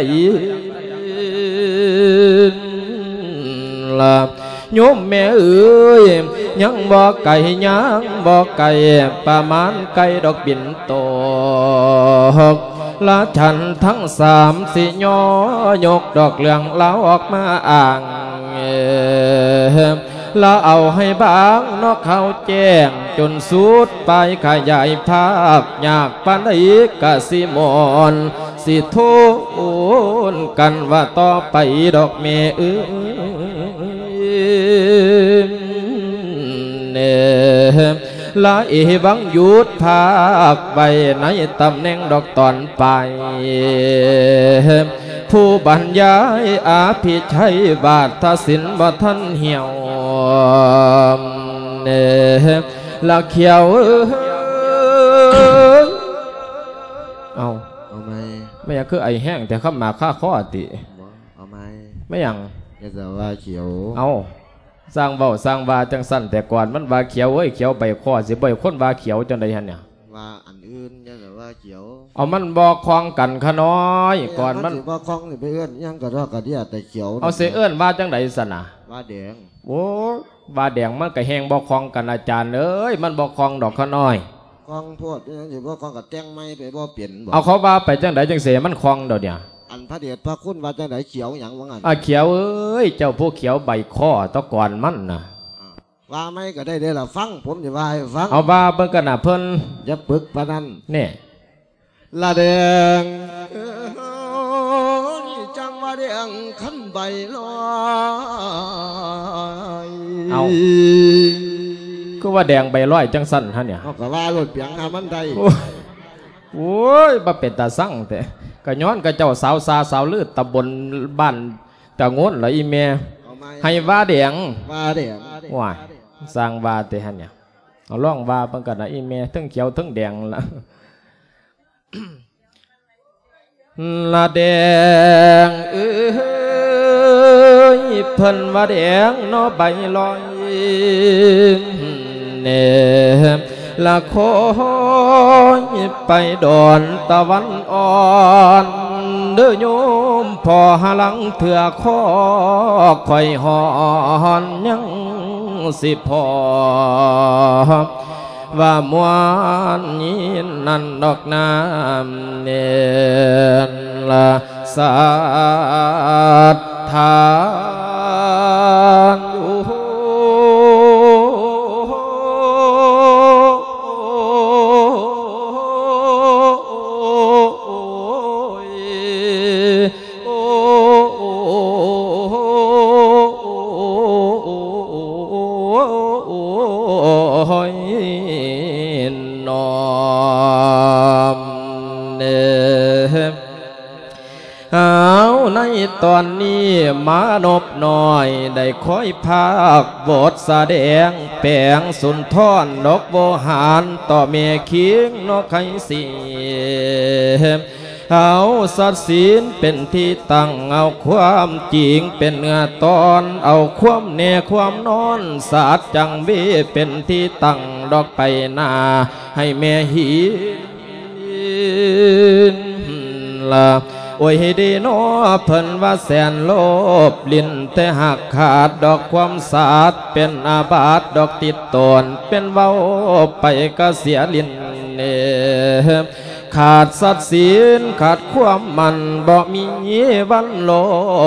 ລະ ໂຍມແມ່ເອີຍ ຍັງບໍ່ໄກ ຍັງບໍ່ໄກ ປະມານໃກ້ດອກປິ່ນຕົກ ລະທ່ານທັງສາມຊິຍໍຍົກດອກເລື່ອງລາວອອກມາອ້າງ ລະເອົາໃຫ້ບາງເນາະ ເຂົ້າແຈ້ງຈົນສຸດປາຍ ຂະຫຍາຍພາບຍາກປານໃດກະຊິມ່ວນ ຊິໂທນກັນວ່າຕໍ່ໄປດອກແມ່ເອີຍ ລະເອວັງຢຸດພາກໄວ້ໃນຕຳແໜ່ງດອກຕອນປາຍ ຜູ້ບັນຍາຍອະພິໄຊວາດທະສິນບໍ່ທັນຫ່ຽວ ລະຂຽວເອີຍ ເອົ້າ ເອົາໃໝ່ ແມ່ນຫຍັງຄືໄອແຮງແທ້ ຄຳໝາກຄາຄໍຕິ ບໍ່ ເອົາໃໝ່ ແມ່ນຫຍັງ ຢ່າສະວ່າຂຽວ ເອົ້າ ຊ່າງເວົ້າຊ່າງວ່າຈັ່ງຊັ້ນ ແຕ່ກ່ອນມັນວ່າຂຽວເອີຍ ຂຽວໃບຄໍ ຊິບໍ່ໃຫ້ຄົນວ່າຂຽວຈັ່ງໃດຫັ້ນນະ ວ່າອັນອື່ນ ຢ່າສະວ່າຂຽວ ເອົາ ມັນບໍ່ຄ່ອງກັນຂະນ້ອຍ ແມ່ນ ກ່ອນມັນ ມັນຊິບໍ່ຄ່ອງ ຊິໄປເອີ້ນຫຍັງກະດອກກະເດຍ ແຕ່ຂຽວ ເອົາ ຊິເອີ້ນວ່າຈັ່ງໃດຊັ້ນນະ ວ່າແດງ ໂອ້ຍ ວ່າແດງມັນກະແຮງບໍ່ຄ່ອງກັນ ອາຈານເອີຍ ມັນບໍ່ຄ່ອງດອກຂະນ້ອຍ ຄ່ອງໂພດ ເປັນຫຍັງຊິບໍ່ຄ່ອງ ກະແຕ່ງໃໝ່ໄປບໍ່ເປັນບໍ ເອົາ ເຂົາວ່າໄປຈັ່ງໃດຈັ່ງຊິໃຫ້ມັນຄ່ອງດອກເດຍ ອັນພະເດດພະຄຸນວ່າຈັ່ງໃດ ຂຽວຫຍັງວ່າຊັ້ນ ອາ ຂຽວເອີຍ ເຈົ້າຜູ້ຂຽວໃບຄໍ ແຕ່ກ່ອນມັນນະ ອ່າ ວ່າໃໝ່ກະໄດ້ເດລະ ຟັງ ຜົມຊິວ່າໃຫ້ຟັງ ເອົາ ວ່າເບິ່ງກັນນະເພິ່ນ ຢ່າປຶກປານນັ້ນ ແນ່ ລະແດງເອີຍ ຈັ່ງວ່າແດງຄັນໃບລອຍ ເອົ້າ ຄືວ່າແດງໃບລອຍຈັ່ງຊັ້ນຫັ້ນເນຍ ເຮົາກະວ່າໂລດ ປຽງຫາມັນໄດ້ ໂອ້ຍ ໂອ້ຍ ບໍ່ເປັນຕາຊັງແທ້ ກະຍ້ອນຂະເຈົ້າສາວຊາສາວລື ຕຳບົນບ້ານຕາໂງນລະອີ່ແມ່ ເອົາໃໝ່ ໃຫ້ວ່າແດງ ວ່າແດງ ໂອ້ຍ ຊ່າງວ່າແຕ່ຫັ້ນເນຍ ເອົາລອງວ່າເບິ່ງກັນນະອີ່ແມ່ ເທິງຂຽວເທິງແດງລະ ລະແດງເອີຍ ເພິ່ນວ່າແດງເນາະໃບລອຍ ແນ່ ລະຄອຍໄປດອນຕາວັນອ່ອນ ເດີໂຍມພໍ່ ຫາລາງເທື່ອຄໍຂ້ອຍຮ້ອນ ຍັງຊິພໍວ່າມ່ວນຍິນນັ້ນດອກນາ ແມ່ນລະສັດທານຢູ່ ຕອນນີ້ມານົບນ້ອຍໄດ້ຄອຍພາກບົດສະແດງ ແປງສຸນທອນດອກໂວຫານ ຕໍ່ແມ່ຄີງນອກໄຄສີ ເອົາສັດສິນເປັນທີ່ຕັ້ງ ເອົາຄວາມຈິງເປັນເນື້ອຕອນ ເອົາຄວາມແນ່ຄວາມນອນ ສາດຈັງເວເປັນທີ່ຕັ້ງ ດອກໄປໜ້າໃຫ້ແມ່ຫີນລະ ໂອ້ຍເດນໍ ເພິ່ນວ່າແສນໂລບຫຼິ້ນ ແຕ່ຫາກຂາດດອກຄວາມສາດ ເປັນອາບັດດອກຕິດຕົນ ເປັນເວົ້າໄປກະເສຍຫຼິ້ນເນ ຂາດສັດສິນຂາດຄວາມໝັ້ນ ບໍ່ມີວັນໂລ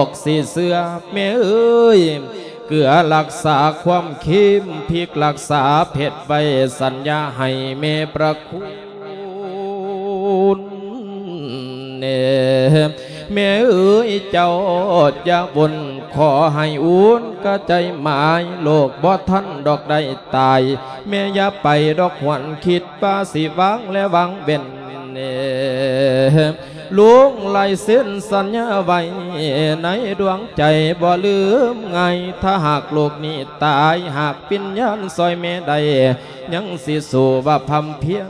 ກຊິເຊື່ອ ແມ່ເອີຍ ເກືອຮັກສາຄວາມເຄັມ ພິກຮັກສາເພັດໄວ້ ສັນຍາໃຫ້ແມ່ພະຄຸນ ເນ ແມ່ເອີຍ ເຈົ້າຢ່າວົນ ຂໍໃຫ້ອຸ່ນກະໃຈໝາຍ ໂລກບໍ່ທັນດອກໄດ້ຕາຍ ແມ່ຢ່າໄປດອກຫວນ ຄິດວ່າຊິວາງແລະວາງເວັ້ນ ເນ ລຸງລາຍເຊັນສັນຍາໄວ້ໃນດວງໃຈ ບໍ່ລືມງ່າຍ ຖ້າຫາກລູກນີ້ຕາຍ ຫາກວິນຍານຊ່ອຍແມ່ໄດ້ ຍັງຊິສູ້ວ່າພຳພຽນ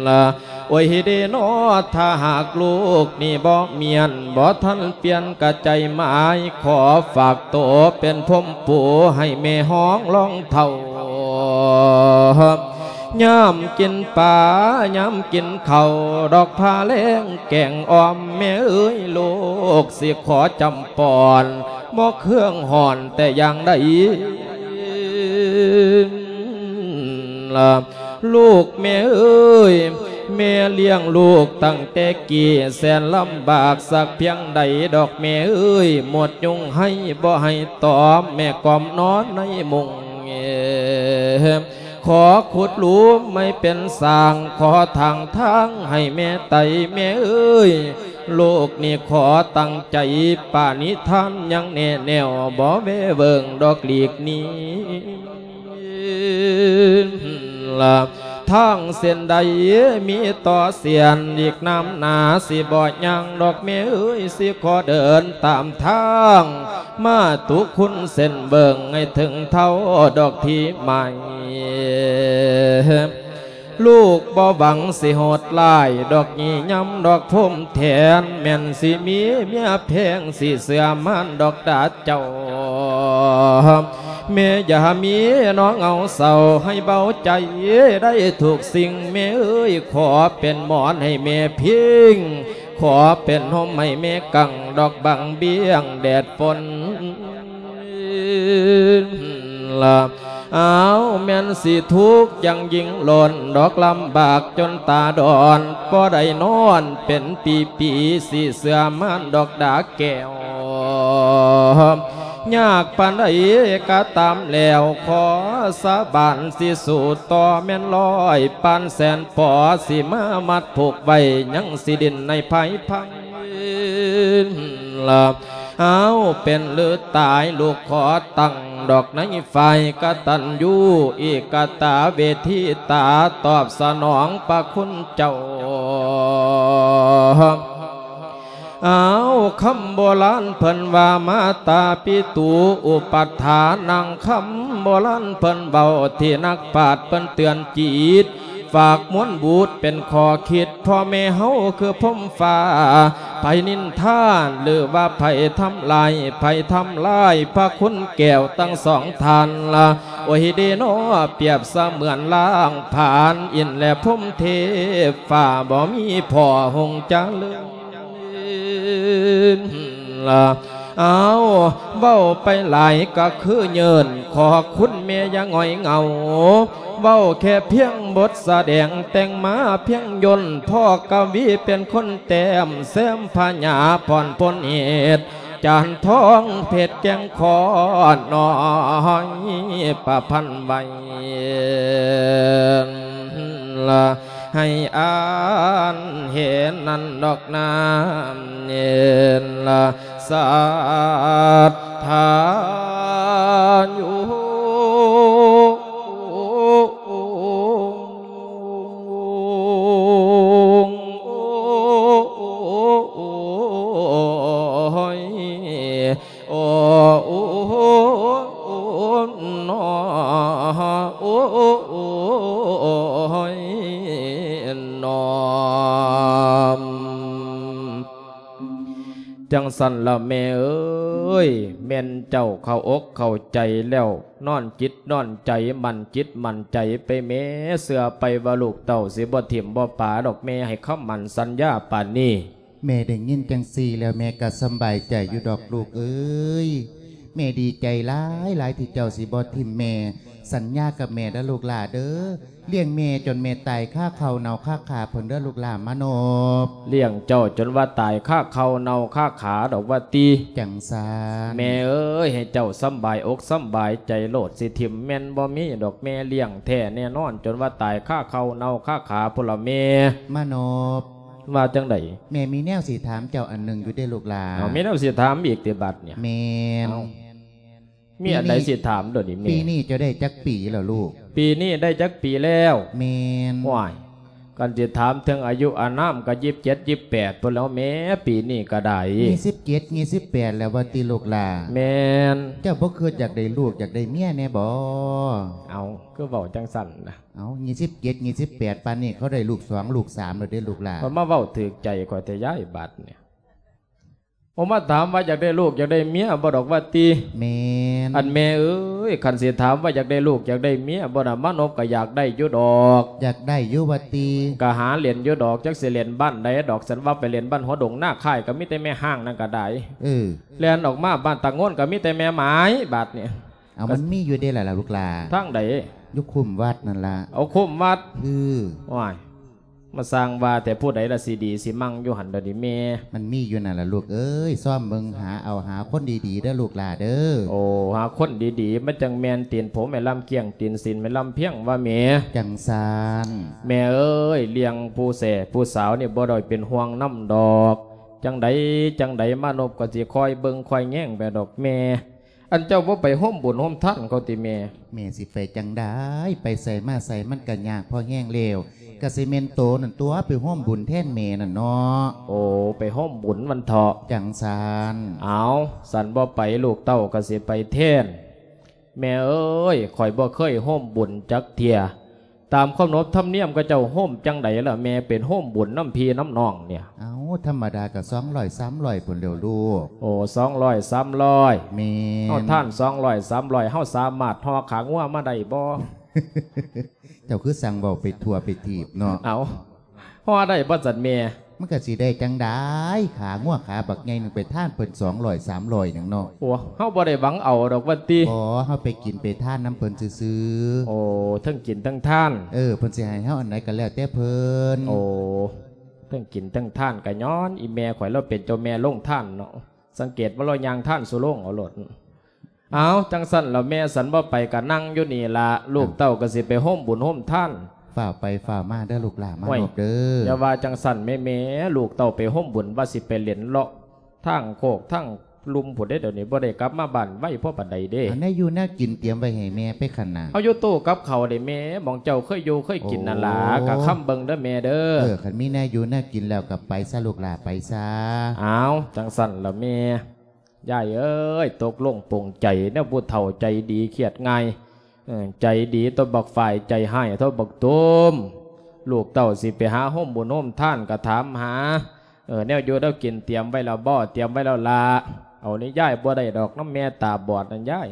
ລະ ໂອ້ຍເດນໍ ຖ້າຫາກລູກນີ້ບໍ່ມຽນ ບໍ່ທັນປ່ຽນກະໃຈໝາຍ ຂໍຝາກໂຕເປັນພົມປູໃຫ້ແມ່ຮອງລອງເຖົ້າ ຍາມກິນປາ ຍາມກິນເຂົ້າ ດອກພາແລງແກງອ່ອມ ແມ່ເອີຍ ລູກຊິຂໍຈຳປອນ ບໍ່ເຄື່ອງຮ້ອນແຕ່ຢ່າງໃດ ລະ ລູກແມ່ເອີຍ ແມ່ລ້ຽງລູກຕັ້ງແຕ່ກີ້ ແສນລຳບາກສັກພຽງໃດ ດອກແມ່ເອີຍ ໝົດຍຸງໄຫ້ບໍ່ໃຫ້ຕອມ ແມ່ກອມນອນໃນມຸງ ຂໍຂຸດຫຼຸມໃຫ້ເປັນສ້າງ ຂໍທາງທາງໃຫ້ແມ່ໄຕ ແມ່ເອີຍ ລູກນີ້ຂໍຕັ້ງໃຈປະນິທານ ຍັງແນ່ແນວ ບໍ່ແວເວີງດອກຫຼີກໜີ ລະ ທາງເສັ້ນໃດມີຕໍ່ສຽນ ອີກນານນາຊິບໍ່ຍ່າງ ດອກແມ່ເອີຍ ຊິຂໍເດີນຕາມທາງ ມາຕຸຄຸນເສັ້ນເບິ່ງ ໃຫ້ເຖິງເທົ່າດອກທີ່ໝາຍ ລູກບໍ່ຫວັງຊິໂຫດຮ້າຍ ດອກຍີ່ຍຳດອກພົມແທນ ແມ່ນຊິມີເມຍແພງ ຊິເຊື່ອໝັ້ນດອກດາເຈົ້າ ແມ່ຢ່າມີນ້ອງເອົາເສົ້າ ໃຫ້ເບົາໃຈໄດ້ທຸກສິ່ງ ແມ່ເອີຍ ຂໍເປັນໝອນໃຫ້ແມ່ພິງ ຂໍເປັນຮົ່ມໃຫ້ແມ່ກັງ ດອກບັງບຽງແດດຝົນ ລະ ອ້າວ ແມ່ນຊິທຸກຢ່າງຍິ່ງລົ້ນ ດອກລຳບາກຈົນຕາດອນ ບໍ່ໄດ້ນອນເປັນປີໆ ຊິເຊື່ອໝັ້ນດອກດາແກ້ວ ຍາກປານໃດກະຕາມແລ້ວ ຂໍສາບານຊິສູ້ຕໍ່ ແມ່ນຮ້ອຍປານແສນປໍ ຊິມາມັດຜູກໄວ້ ຍັງຊິດິ້ນໃນພາຍພັງ ລະ ອ້າວ ເປັນຫຼືຕາຍ ລູກຂໍຕັ້ງດອກໃນຝ່າຍກະຕັນຍູ ເອກະຕາເວທີຕາ ຕອບສະໜອງພະຄຸນເຈົ້າ. ອ້າວ ຄຳໂບລານເພິ່ນວ່າ ມາຕາປິຕູອຸປັດຖານັງ ຄຳໂບລານເພິ່ນເວົ້າ ທີ່ນັກປາດເພິ່ນເຕືອນຈິດ ຝາກມວນບຸດເປັນຂໍ້ຄິດ ພໍ່ແມ່ເຮົາຄືພົມຟ້າ ໃຜນິນທາ ຫຼືວ່າໃຜທຳລາຍ ໃຜທຳລາຍພະຄຸນແກ້ວທັງສອງທ່ານລະ ໂອ້ຍເດນໍ ປຽບສະເໝືອນລ້າງຜານ ອິນແລະພົມເທບຟ້າ ບໍ່ມີພໍ່ຫົງຈະເລີນລະ ອ້າວ ເວົ້າໄປຫຼາຍກະຄືເຍີ້ນ ຂໍຄຸນແມ່ຢ່າຫງອຍເຫງົາ ເວົ້າແຄ່ພຽງບົດສະແດງ ແຕ່ງມາພຽງຍົນ ພໍ່ກະວີເປັນຄົນແຕ້ມ ແຊມພະຍາພອນພົນເຫດ ຈານທອງເພັດແກງຂໍນ້ອຍປະພັນໄວ້ ລະ ໃຫ້ອ່ານເຫັນນັ້ນດອກນາເນນລະ ສັດທາຢູ່ ໂອ້ຍ ໂອ້ ໂອ້ ໂອ້ ໂອ້ ໂອ້ຍ ນ້ອມ. ຈັ່ງຊັ້ນລະແມ່ເອີຍ ແມ່ນເຈົ້າເຂົ້າອົກເຂົ້າໃຈແລ້ວ ນອນຈິດນອນໃຈ ໝັ້ນຈິດໝັ້ນໃຈໄປແມ້ ເຊື່ອໄປວ່າລູກເຕົ້າຊິບໍ່ຖິ້ມບໍ່ປາດອກ ແມ່ໃຫ້ຄຳໝັ້ນສັນຍາປານນີ້. ແມ່ໄດ້ຍິນຈັ່ງຊີ້ແລ້ວ ແມ່ກໍສຳບາຍໃຈຢູ່ດອກລູກເອີຍ. ແມ່ດີໃຈຫຼາຍໆ ທີ່ເຈົ້າຊິບໍ່ຖິ້ມແມ່. ສັນຍາກັບແມ່ເດີ້ລູກຫຼ້າເດີ້. ລ້ຽງແມ່ຈົນແມ່ຕາຍຄາເຂົ້າເນົ່າຄາຂາພຸ້ນເດີ້ລູກຫຼ້າມານົບ. ລ້ຽງເຈົ້າຈົນວ່າຕາຍຄາເຂົ້າເນົ່າຄາຂາດອກວ່າຕິ. ຈັ່ງຊັ້ນ. ແມ່ເອີຍ ໃຫ້ເຈົ້າສຳບາຍອົກສຳບາຍໃຈໂລດ ຊິຖິ້ມແມ່ນບໍ່ມີດອກ ແມ່ລ້ຽງແທ້ແນ່ນອນ ຈົນວ່າຕາຍຄາເຂົ້າເນົ່າຄາຂາພຸ້ນລະແມ່. ມານົບ. ວ່າຈັ່ງໃດ? ແມ່ມີແນວຊິຖາມເຈົ້າອັນໜຶ່ງຢູ່ເດ້ລູກຫຼ້າ. ເອົາ ມີແນວຊິຖາມອີກຕິບັດນີ້? ແມ່ນ. ເອົ້າ ມີອັນໃດ ປີນີ້ ຊິຖາມໂດດນີ້ແມ່? ປີນີ້ເຈົ້າໄດ້ຈັກປີແລ້ວລູກ? ປີນີ້ໄດ້ຈັກປີແລ້ວ? ແມ່ນ. ໂອ້ຍ ຄັນຊິຖາມເຖິງອາຍຸອານາມກໍ ຊາວເຈັດ ຊາວແປດ ພຸ້ນແລ້ວແມ່ ປີນີ້ກໍໄດ້ ຊາວເຈັດ ຊາວແປດ ແລ້ວວ່າຕິລູກຫຼ້າ? ແມ່ນ. ເຈົ້າບໍ່ຄິດຢາກໄດ້ລູກຢາກໄດ້ເມຍແນ່ບໍ? ເອົ້າ ຄືເວົ້າຈັ່ງຊັ້ນນະ? ເອົ້າ ຊາວເຈັດ ຊາວແປດ ປານນີ້ເຂົາໄດ້ລູກສອງລູກສາມແລ້ວເດ້ລູກຫຼ້າ. ເພິ່ນມາເວົ້າຖືກໃຈຂ້ອຍແທ້ຍາຍ ບາດນີ້. ໂອ ມາຖາມວ່າຢາກໄດ້ລູກຢາກໄດ້ເມຍບໍ່ດອກວ່າຕິ? ແມ່ນ. ອັນແມ່ເອີຍ ຄັນຊິຖາມວ່າຢາກໄດ້ລູກຢາກໄດ້ເມຍບໍ່ນະ ມານົບກໍຢາກໄດ້ຢູ່ດອກ. ຢາກໄດ້ຢູ່ວ່າຕິ? ກໍຫາເຫຼັ້ນຢູ່ດອກ ຈັກຊິເຫຼັ້ນບ້ານໃດດອກ ສັນວ່າໄປເຫຼັ້ນບ້ານຫົວດົງນາຄ້າຍ ກໍມີແຕ່ແມ່ຮ້າງນັ້ນກໍໄດ້. ເອີ ແລ່ນອອກມາບ້ານຕາໂງນ ກໍມີແຕ່ແມ່ໝາຍ ບາດນີ້. ເອົາ ມັນມີຢູ່ເດ້ລະ ລະລູກຫຼ້າ. ທາງໃດ? ຢູ່ຄຸ້ມວັດນັ້ນລະ. ເອົາ ຄຸ້ມວັດ? ເອີ. ໂອ້ຍ ມາສ້າງວ່າແຕ່ ຜູ້ໃດລະຊິດີຊິມັ່ງຢູ່ຫັ້ນດອກນີ້ແມ່? ມັນມີຢູ່ນັ້ນລະລູກເອີຍ ຊອມເບິ່ງຫາເອົາ ຫາຄົນດີໆເດີ້ລູກຫຼ້າເດີ້. ໂອ້ ຫາຄົນດີໆ ມັນຈັ່ງແມ່ນຕີນຜົມແມ່ລຳກ້ຽງ ຕີນສີນແມ່ລຳພຽງວ່າແມ່. ຈັ່ງຊັ້ນ. ແມ່ເອີຍ ລ້ຽງຜູ້ແສຜູ້ສາວນີ້ບໍ່ໄດ້ເປັນຫ່ວງນຳດອກ. ຈັ່ງໃດຈັ່ງໃດ ມານົບກໍຊິຄອຍເບິ່ງຄອຍແຍງໄປດອກແມ່. ອັນເຈົ້າບໍ່ໄປໂຮມບຸນໂຮມທານເຂົາຕິແມ່? ແມ່ຊິໄປຈັ່ງໃດ ໄປໃສມາໃສມັນກະຍາກພໍແຮງແລ້ວ ກະຊິແມ່ນໂຕນັ້ນຕົວະ ໄປໂຮມບຸນແທນແມ່ນັ້ນເນາະ. ໂອ້ ໄປໂຮມບຸນມັນເຖາະ. ຈັ່ງຊັ້ນ. ເອົາ ສັນບໍ່ໄປ ລູກເຕົ້າກະຊິໄປແທນ. ແມ່ເອີຍ ຂ້ອຍບໍ່ເຄີຍໂຮມບຸນຈັກເທື່ອ. ຕາມຂະໜົບທຳນຽມເຂົາເຈົ້າໂຮມຈັ່ງໃດລະແມ່ ເປັນໂຮມບຸນນຳພີ່ນຳນ້ອງນີ້? ເອົ້າ ທຳມະດາກໍສອງຮ້ອຍ ສາມຮ້ອຍພຸ້ນແລ້ວລູກ. ໂອ້ ສອງຮ້ອຍ ສາມຮ້ອຍ. ແມ່ນ. ເຮົາທານສອງຮ້ອຍ ສາມຮ້ອຍ ເຮົາສາມາດຫໍ່ຂາງົວມາໄດ້ບໍ່? ເຈົ້າຄືຊ່າງເວົ້າໄປທົ່ວໄປທີບເນາະ. ເອົ້າ ພໍໄດ້ບໍ່ຊັ້ນແມ່? ມັນກະຊິໄດ້ຈັ່ງໃດ ຂາງົວຂາບັກໃຫຍ່ໜຶ່ງ ໄປທານເພິ່ນສອງຮ້ອຍ ສາມຮ້ອຍໜຶ່ງເນາະ. ໂອ້ ເຮົາບໍ່ໄດ້ຫວັງເອົາດອກວ່າຕິ? ບໍ່ ເຮົາໄປກິນໄປທານນຳເພິ່ນຊື່ໆ. ໂອ້ ເທິງກິນເທິງທານ. ເອີ ເພິ່ນຊິໃຫ້ເຮົາອັນໃດກໍແລ້ວແຕ່ເພິ່ນ. ໂອ້ ເທິງກິນເທິງທານ ກະຍ້ອນອີແມ່ຂ້ອຍລາວເປັນເຈົ້າແມ່ໂລງທານເນາະ. ສັງເກດວ່າລາວຍ່າງທານສູ່ໂລງເອົາໂລດ. ເອົາ ຈັ່ງຊັ້ນລະແມ່ ສັນບໍ່ໄປກະນັ່ງຢູ່ນີ້ລະ ລູກເຕົ້າກະຊິໄປໂຮມບຸນໂຮມທານ. ຟ້າວໄປຟ້າວມາເດີ້ລູກຫຼ້າ ມາ ໂອ້ຍ ນົບເດີ້. ຢ່າວ່າຈັ່ງຊັ້ນແມ່ ແມ່ ລູກເຕົ້າໄປໂຮມບຸນ ວ່າຊິໄປເຫຼັ້ນເລາະທາງໂຄກທາງລຸ່ມພຸ້ນເດ້ ດຽວນີ້ບໍ່ໄດ້ກັບມາບ້ານໄວພໍປານໃດເດ້. ອັນແນວຢູ່ແນວກິນຕຽມໄວ້ໃຫ້ແມ່ໄປຫັ້ນນະ. ເອົາ ຢູ່ຕູ້ກັບເຂົ້າເດ້ແມ່ ໝ່ອງເຈົ້າເຄີຍຢູ່ເຄີຍກິນນັ້ນລະ. ໂອ້ ກະຄຳເບິ່ງເດີ້ແມ່ເດີ້. ເອີ ຄັນມີແນວຢູ່ແນວກິນແລ້ວກໍໄປຊະລູກຫຼ້າ ໄປຊະ. ເອົາ ຈັ່ງຊັ້ນລະແມ່. ຍາຍເອີຍ ຕົກລົງປົງໃຈ ແນວຜູ້ເຖົ້າໃຈດີຄຽດງ່າຍ ເອີ ໃຈດີຕໍ່ບັກຝ້າຍ ໃຈຮ້າຍຕໍ່ບັກຕູມ. ລູກເຕົ້າຊິໄປຫາໂຮມບຸນໂຮມທານກໍຖາມຫາ ເອີ ແນວຢູ່ແນວກິນຕຽມໄວ້ແລ້ວບໍ່? ຕຽມໄວ້ແລ້ວລະ. ເອົານີ້ຍາຍ ບໍ່ໄດ້ດອກ ນຳແມ່ຕາບອດນັ້ນຍາຍ.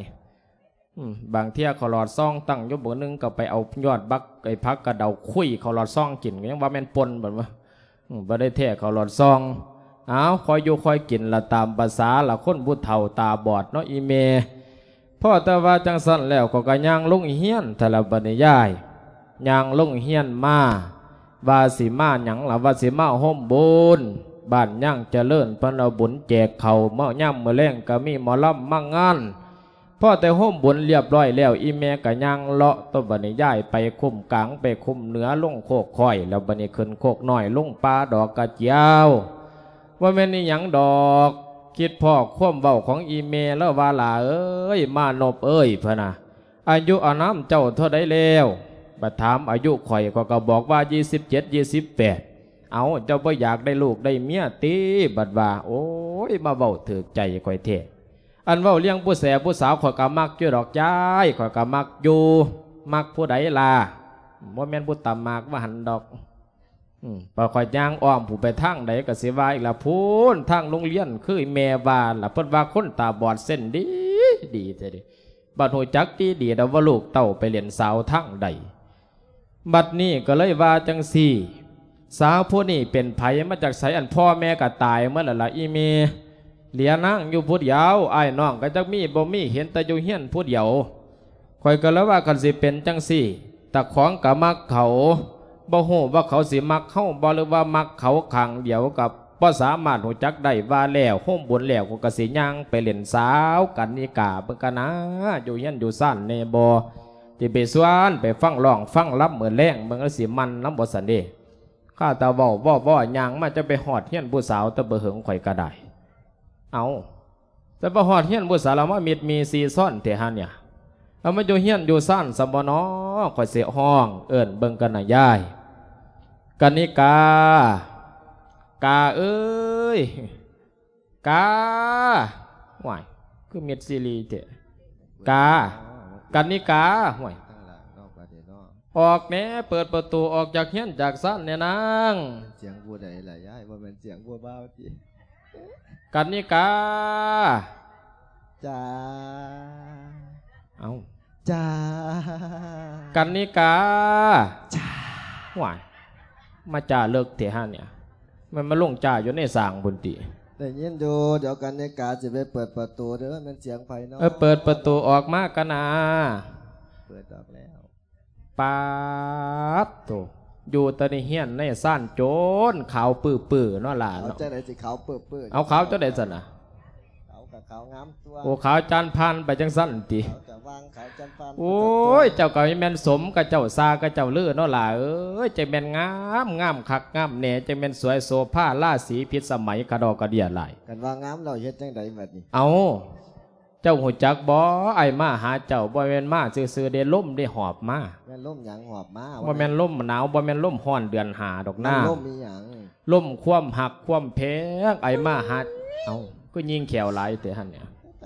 ອືມ ບາງເທື່ອເຂົ້າຫຼອດຊອງຕັ້ງຢູ່ບຶງໜຶ່ງ ກໍໄປເອົາຍອດບັກ ໄອ້ຜັກກະເດົາຄຸຍເຂົ້າຫຼອດຊອງກິນ ກໍຍັງວ່າແມ່ນປົ່ນ ບັດວ່າ ອືມ ບໍ່ໄດ້ແທ້ເຂົ້າຫຼອດຊອງ. ເອົາ ຄ່ອຍຢູ່ຄ່ອຍກິນລະ ຕາມປະສາລະຄົນຜູ້ເຖົ້າຕາບອດເນາະອີ່ແມ່. ພໍແຕ່ວ່າຈັ່ງຊັ້ນແລ້ວ ຂ້ອຍກໍຍ່າງລົງເຮືອນ ແຕ່ລະບັດນີ້ຍາຍ ຍ່າງລົງເຮືອນມາ ວ່າຊິມາຫຍັງລະ ວ່າຊິມາໂຮມບຸນ ບ້ານຍາງຈະເລີນ ເພິ່ນເອົາບຸນແຈກເຂົ້າ ເມື່ອຍາມມື້ແລງກໍມີໝໍລຳມາງານ. ພໍແຕ່ໂຮມບຸນລຽບຮ້ອຍແລ້ວ ອີ່ແມ່ກໍຍ່າງເລາະ ໂຕບັດນີ້ຍາຍ ໄປຄຸ້ມກາງ ໄປຄຸ້ມເໜືອ ລົງໂຄກຄ້ອຍ ແລ້ວບັດນີ້ຂຶ້ນໂຄກນ້ອຍ ລົງປ່າດອກກະຈຽວ. ບໍ່ແມ່ນອີ່ຫຍັງດອກ ຄິດພໍ້ຄວາມເວົ້າຂອງອີ່ແມ່ ລາວວ່າ ຫຼ້າເອີຍ ມານົບເອີຍ ເພິ່ນນະ ອາຍຸອານາມເຈົ້າເທົ່າໃດແລ້ວ? ບັດຖາມອາຍຸຂ້ອຍ ຂ້ອຍກໍບອກວ່າ ຊາວເຈັດ ຊາວແປດ. ເອົາ ເຈົ້າບໍ່ຢາກໄດ້ລູກໄດ້ເມຍຕິ? ບັດວ່າ ໂອ້ຍ ມາເວົ້າຖືກໃຈຂ້ອຍແທ້. ອັນເວົ້າເລື່ອງຜູ້ແສຜູ້ສາວ ຂ້ອຍກໍມັກຢູ່ດອກຍາຍ, ຂ້ອຍກໍມັກຢູ່. ມັກຜູ້ໃດລະ? ບໍ່ແມ່ນຜູ້ຕຳໝາກວ່າຫັ້ນດອກ. ອືມ ພາຂ້ອຍຍ່າງອ້ອມຜູ້ໄປທາງໃດກໍຊິວ່າອີກລະ ພຸ້ນທາງໂຮງຮຽນ ຄືແມ່ວ່າລະ ເພິ່ນວ່າຄົນຕາບອດເສັ້ນດີ ດີແທ້ເດ. ບັດຮູ້ຈັກດີໆ ແລ້ວວ່າລູກເຕົ້າໄປເລ່ນສາວທາງໃດ. ບັດນີ້ກໍເລີຍວ່າຈັ່ງຊີ້ ສາວຜູ້ນີ້ເປັນໃຜ ມາຈາກໃສ? ອັນພໍ່ແມ່ກໍຕາຍໝົດແລ້ວລະອີ່ແມ່, ເຫຼືອນາງຢູ່ຜູ້ດຽວ, ອ້າຍນ້ອງກໍຈັກມີບໍ່ມີ ເຫັນແຕ່ຢູ່ເຮືອນຜູ້ດຽວ. ຂ້ອຍກໍເລີຍວ່າ ຄັນຊິເປັນຈັ່ງຊີ້ ຕາຂອງກໍມັກເຂົາ, ບໍ່ຮູ້ວ່າເຂົາຊິມັກເຮົາບໍ່ ຫຼືວ່າມັກເຂົາຂ້າງດຽວ ກໍບໍ່ສາມາດຮູ້ຈັກໄດ້. ວ່າແລ້ວໂຮມບຸນແລ້ວ ຂ້ອຍກໍຊິຍ່າງໄປເລ່ນສາວກັນນິກາເບິ່ງກັນນາ ຢູ່ເຮືອນຢູ່ຊານແດ່ບໍ່, ຊິໄປຊວນໄປຟັງຮ້ອງຟັງລຳມື້ແລງເບິ່ງ ແລ້ວຊິມັນນຳບໍ່ຊັ້ນເດ. ຂ້າແຕ່ເວົ້າ ເວົ້າ ເວົ້າ ຍ່າງມາ ຈະໄປຮອດເຮືອນຜູ້ສາວແຕ່ບໍ່ເຫິງ ຂ້ອຍກໍໄດ້. ເອົາ ແຕ່ບໍ່ຮອດເຮືອນຜູ້ສາວ ລະມາມິດມີຊີຊອນແທ້ຫັ້ນເນຍ. ລະມາຢູ່ເຮືອນຢູ່ຊານຊະບໍ່ນໍ ຂ້ອຍຊິຮ້ອງເອີ້ນເບິ່ງກັນນະຍາຍ. ກະນິກາ ກາເອີຍ ກາ. ຫ້ວຍ ຄືມິດຊີລີແທ້ ກາ. ກະນິກາ ຫ້ວຍ ອອກແດ່ ເປີດປະຕູອອກຈາກເຮືອນຈາກຊານແດ່ນາງ. ສຽງຜູ້ໃດລະຍາຍ? ບໍ່ແມ່ນສຽງຜູ້ບ່າວຕິ? ກັນນິກາ ຈ້າ. ເອົ້າ ຈ້າ. ກັນນິກາ ຈ້າ. ວ້າຍ ມາຈ້າເລິກແທ້ຫາເນຍ ແມ່ນມາລົງຈ້າຢູ່ໃນສ້າງພຸ້ນຕິ? ໄດ້ຍິນຢູ່ ດຽວກັນນິກາຊິໄປເປີດປະຕູເດີ ແມ່ນສຽງໃຜເນາະ? ເອີ ເປີດປະຕູອອກມາກັນນາ. ເປີດອອກແລ້ວ. ປາດໂທ້ ຢູ່ແຕ່ໃນເຮືອນໃນຊານຈົນຂາວປືໆເນາະຫຼ້າເນາະ. ເອົາຈັ່ງໃດຊິຂາວປືໆ? ເອົາຂາວຈັ່ງໃດຊັ້ນນະ? ຂາວກໍຂາວງາມຕົວະ. ໂອ້ ຂາວຈານຜ່ານໄປຈັ່ງຊັ້ນຕິ? ຂາວຈະວ່າງຂາວຈານຜ່ານ. ໂອ້ຍ ເຈົ້າກໍແມ່ນສົມກັບເຈົ້າຊ່າກັບເຈົ້າລືເນາະຫຼ້າເອີຍ ຈັ່ງແມ່ນງາມ ງາມຄັກງາມແນ່ ຈັ່ງແມ່ນສວຍໂສພາລາສີພິດສະໄໝກະດອກກະເດຍຫຼາຍ. ຄັນວ່າງາມແລ້ວເຮັດຈັ່ງໃດບັດນີ້? ເອົາ ເຈົ້າຮູ້ຈັກບໍ່? ອ້າຍມາຫາເຈົ້າ ບໍ່ແມ່ນມາຊື່ໆເດ້ ລົມເດ້ຫອບມາ. ແມ່ນລົມຫຍັງຫອບມາ? ບໍ່ແມ່ນລົມໜາວ ບໍ່ແມ່ນລົມຮ້ອນເດືອນຫ້າດອກນາ. ແມ່ນລົມອີຫຍັງ? ລົມຄວາມຮັກຄວາມແພງ ອ້າຍມາຫາ. ເອົ້າ ຄືຍິງແຂ້ວຫຼາຍແທ້ຫັ້ນເນຍ? ແ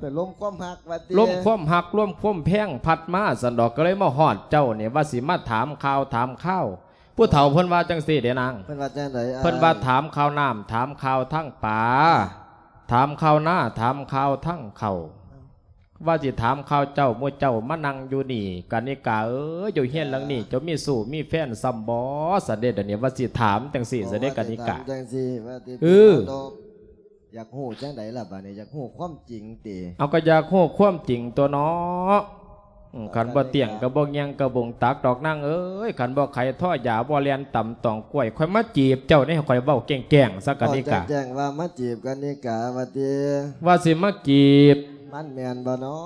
ຕ່ລົມຄວາມຮັກວ່າຕິ? ລົມຄວາມຮັກ ລົມຄວາມແພງພັດມາຊັ້ນດອກ ກໍເລີຍມາຮອດເຈົ້ານີ້ ວ່າຊິມາຖາມຂ່າວຖາມຄາວ. ຜູ້ເຖົ້າເພິ່ນວ່າຈັ່ງຊີ້ເດ້ນາງ. ເພິ່ນວ່າຈັ່ງໃດ? ເພິ່ນວ່າຖາມຂ່າວນ້ຳ ຖາມຂ່າວທາງປາ ຖາມຂ່າວນາ ຖາມຂ່າວທາງເຂົ້າ. ວ່າຊິຖາມຂ່າວເຈົ້າ ໝູ່ເຈົ້າມານັ່ງຢູ່ນີ້ ກະນິກາເອີຍ ຢູ່ເຮືອນຫຼັງນີ້ເຈົ້າມີຊູ້ມີແຟນຊ່ຳບໍ່? ຊັ້ນເດ ດຽວນີ້ວ່າຊິຖາມຈັ່ງຊີ້ ຊັ້ນເດ ກະນິກາ. ເອີ ຢາກຮູ້ຈັ່ງໃດລະບາດນີ້? ຢາກຮູ້ຄວາມຈິງຕິ? ເອົາ ກໍຢາກຮູ້ຄວາມຈິງຕົວະເນາະ. ອືມ ຄັນບໍ່ຕຽງກໍບໍ່ງຽງກະບົງຕັກດອກນາງເອີຍ ຄັນບໍ່ໄຂທໍ່ຢາບໍ່ແລ່ນຕຳຕອງກ້ວຍ ຂ້ອຍມາຈີບເຈົ້ານີ້ ຂ້ອຍເວົ້າແກ້ງໆຊະກະນິກາ. ແຈ້ງໆວ່າມາຈີບກະນິກາວ່າຕິ? ວ່າຊິມາຈີບ. ມັນແມ່ນບໍ່ເນາະ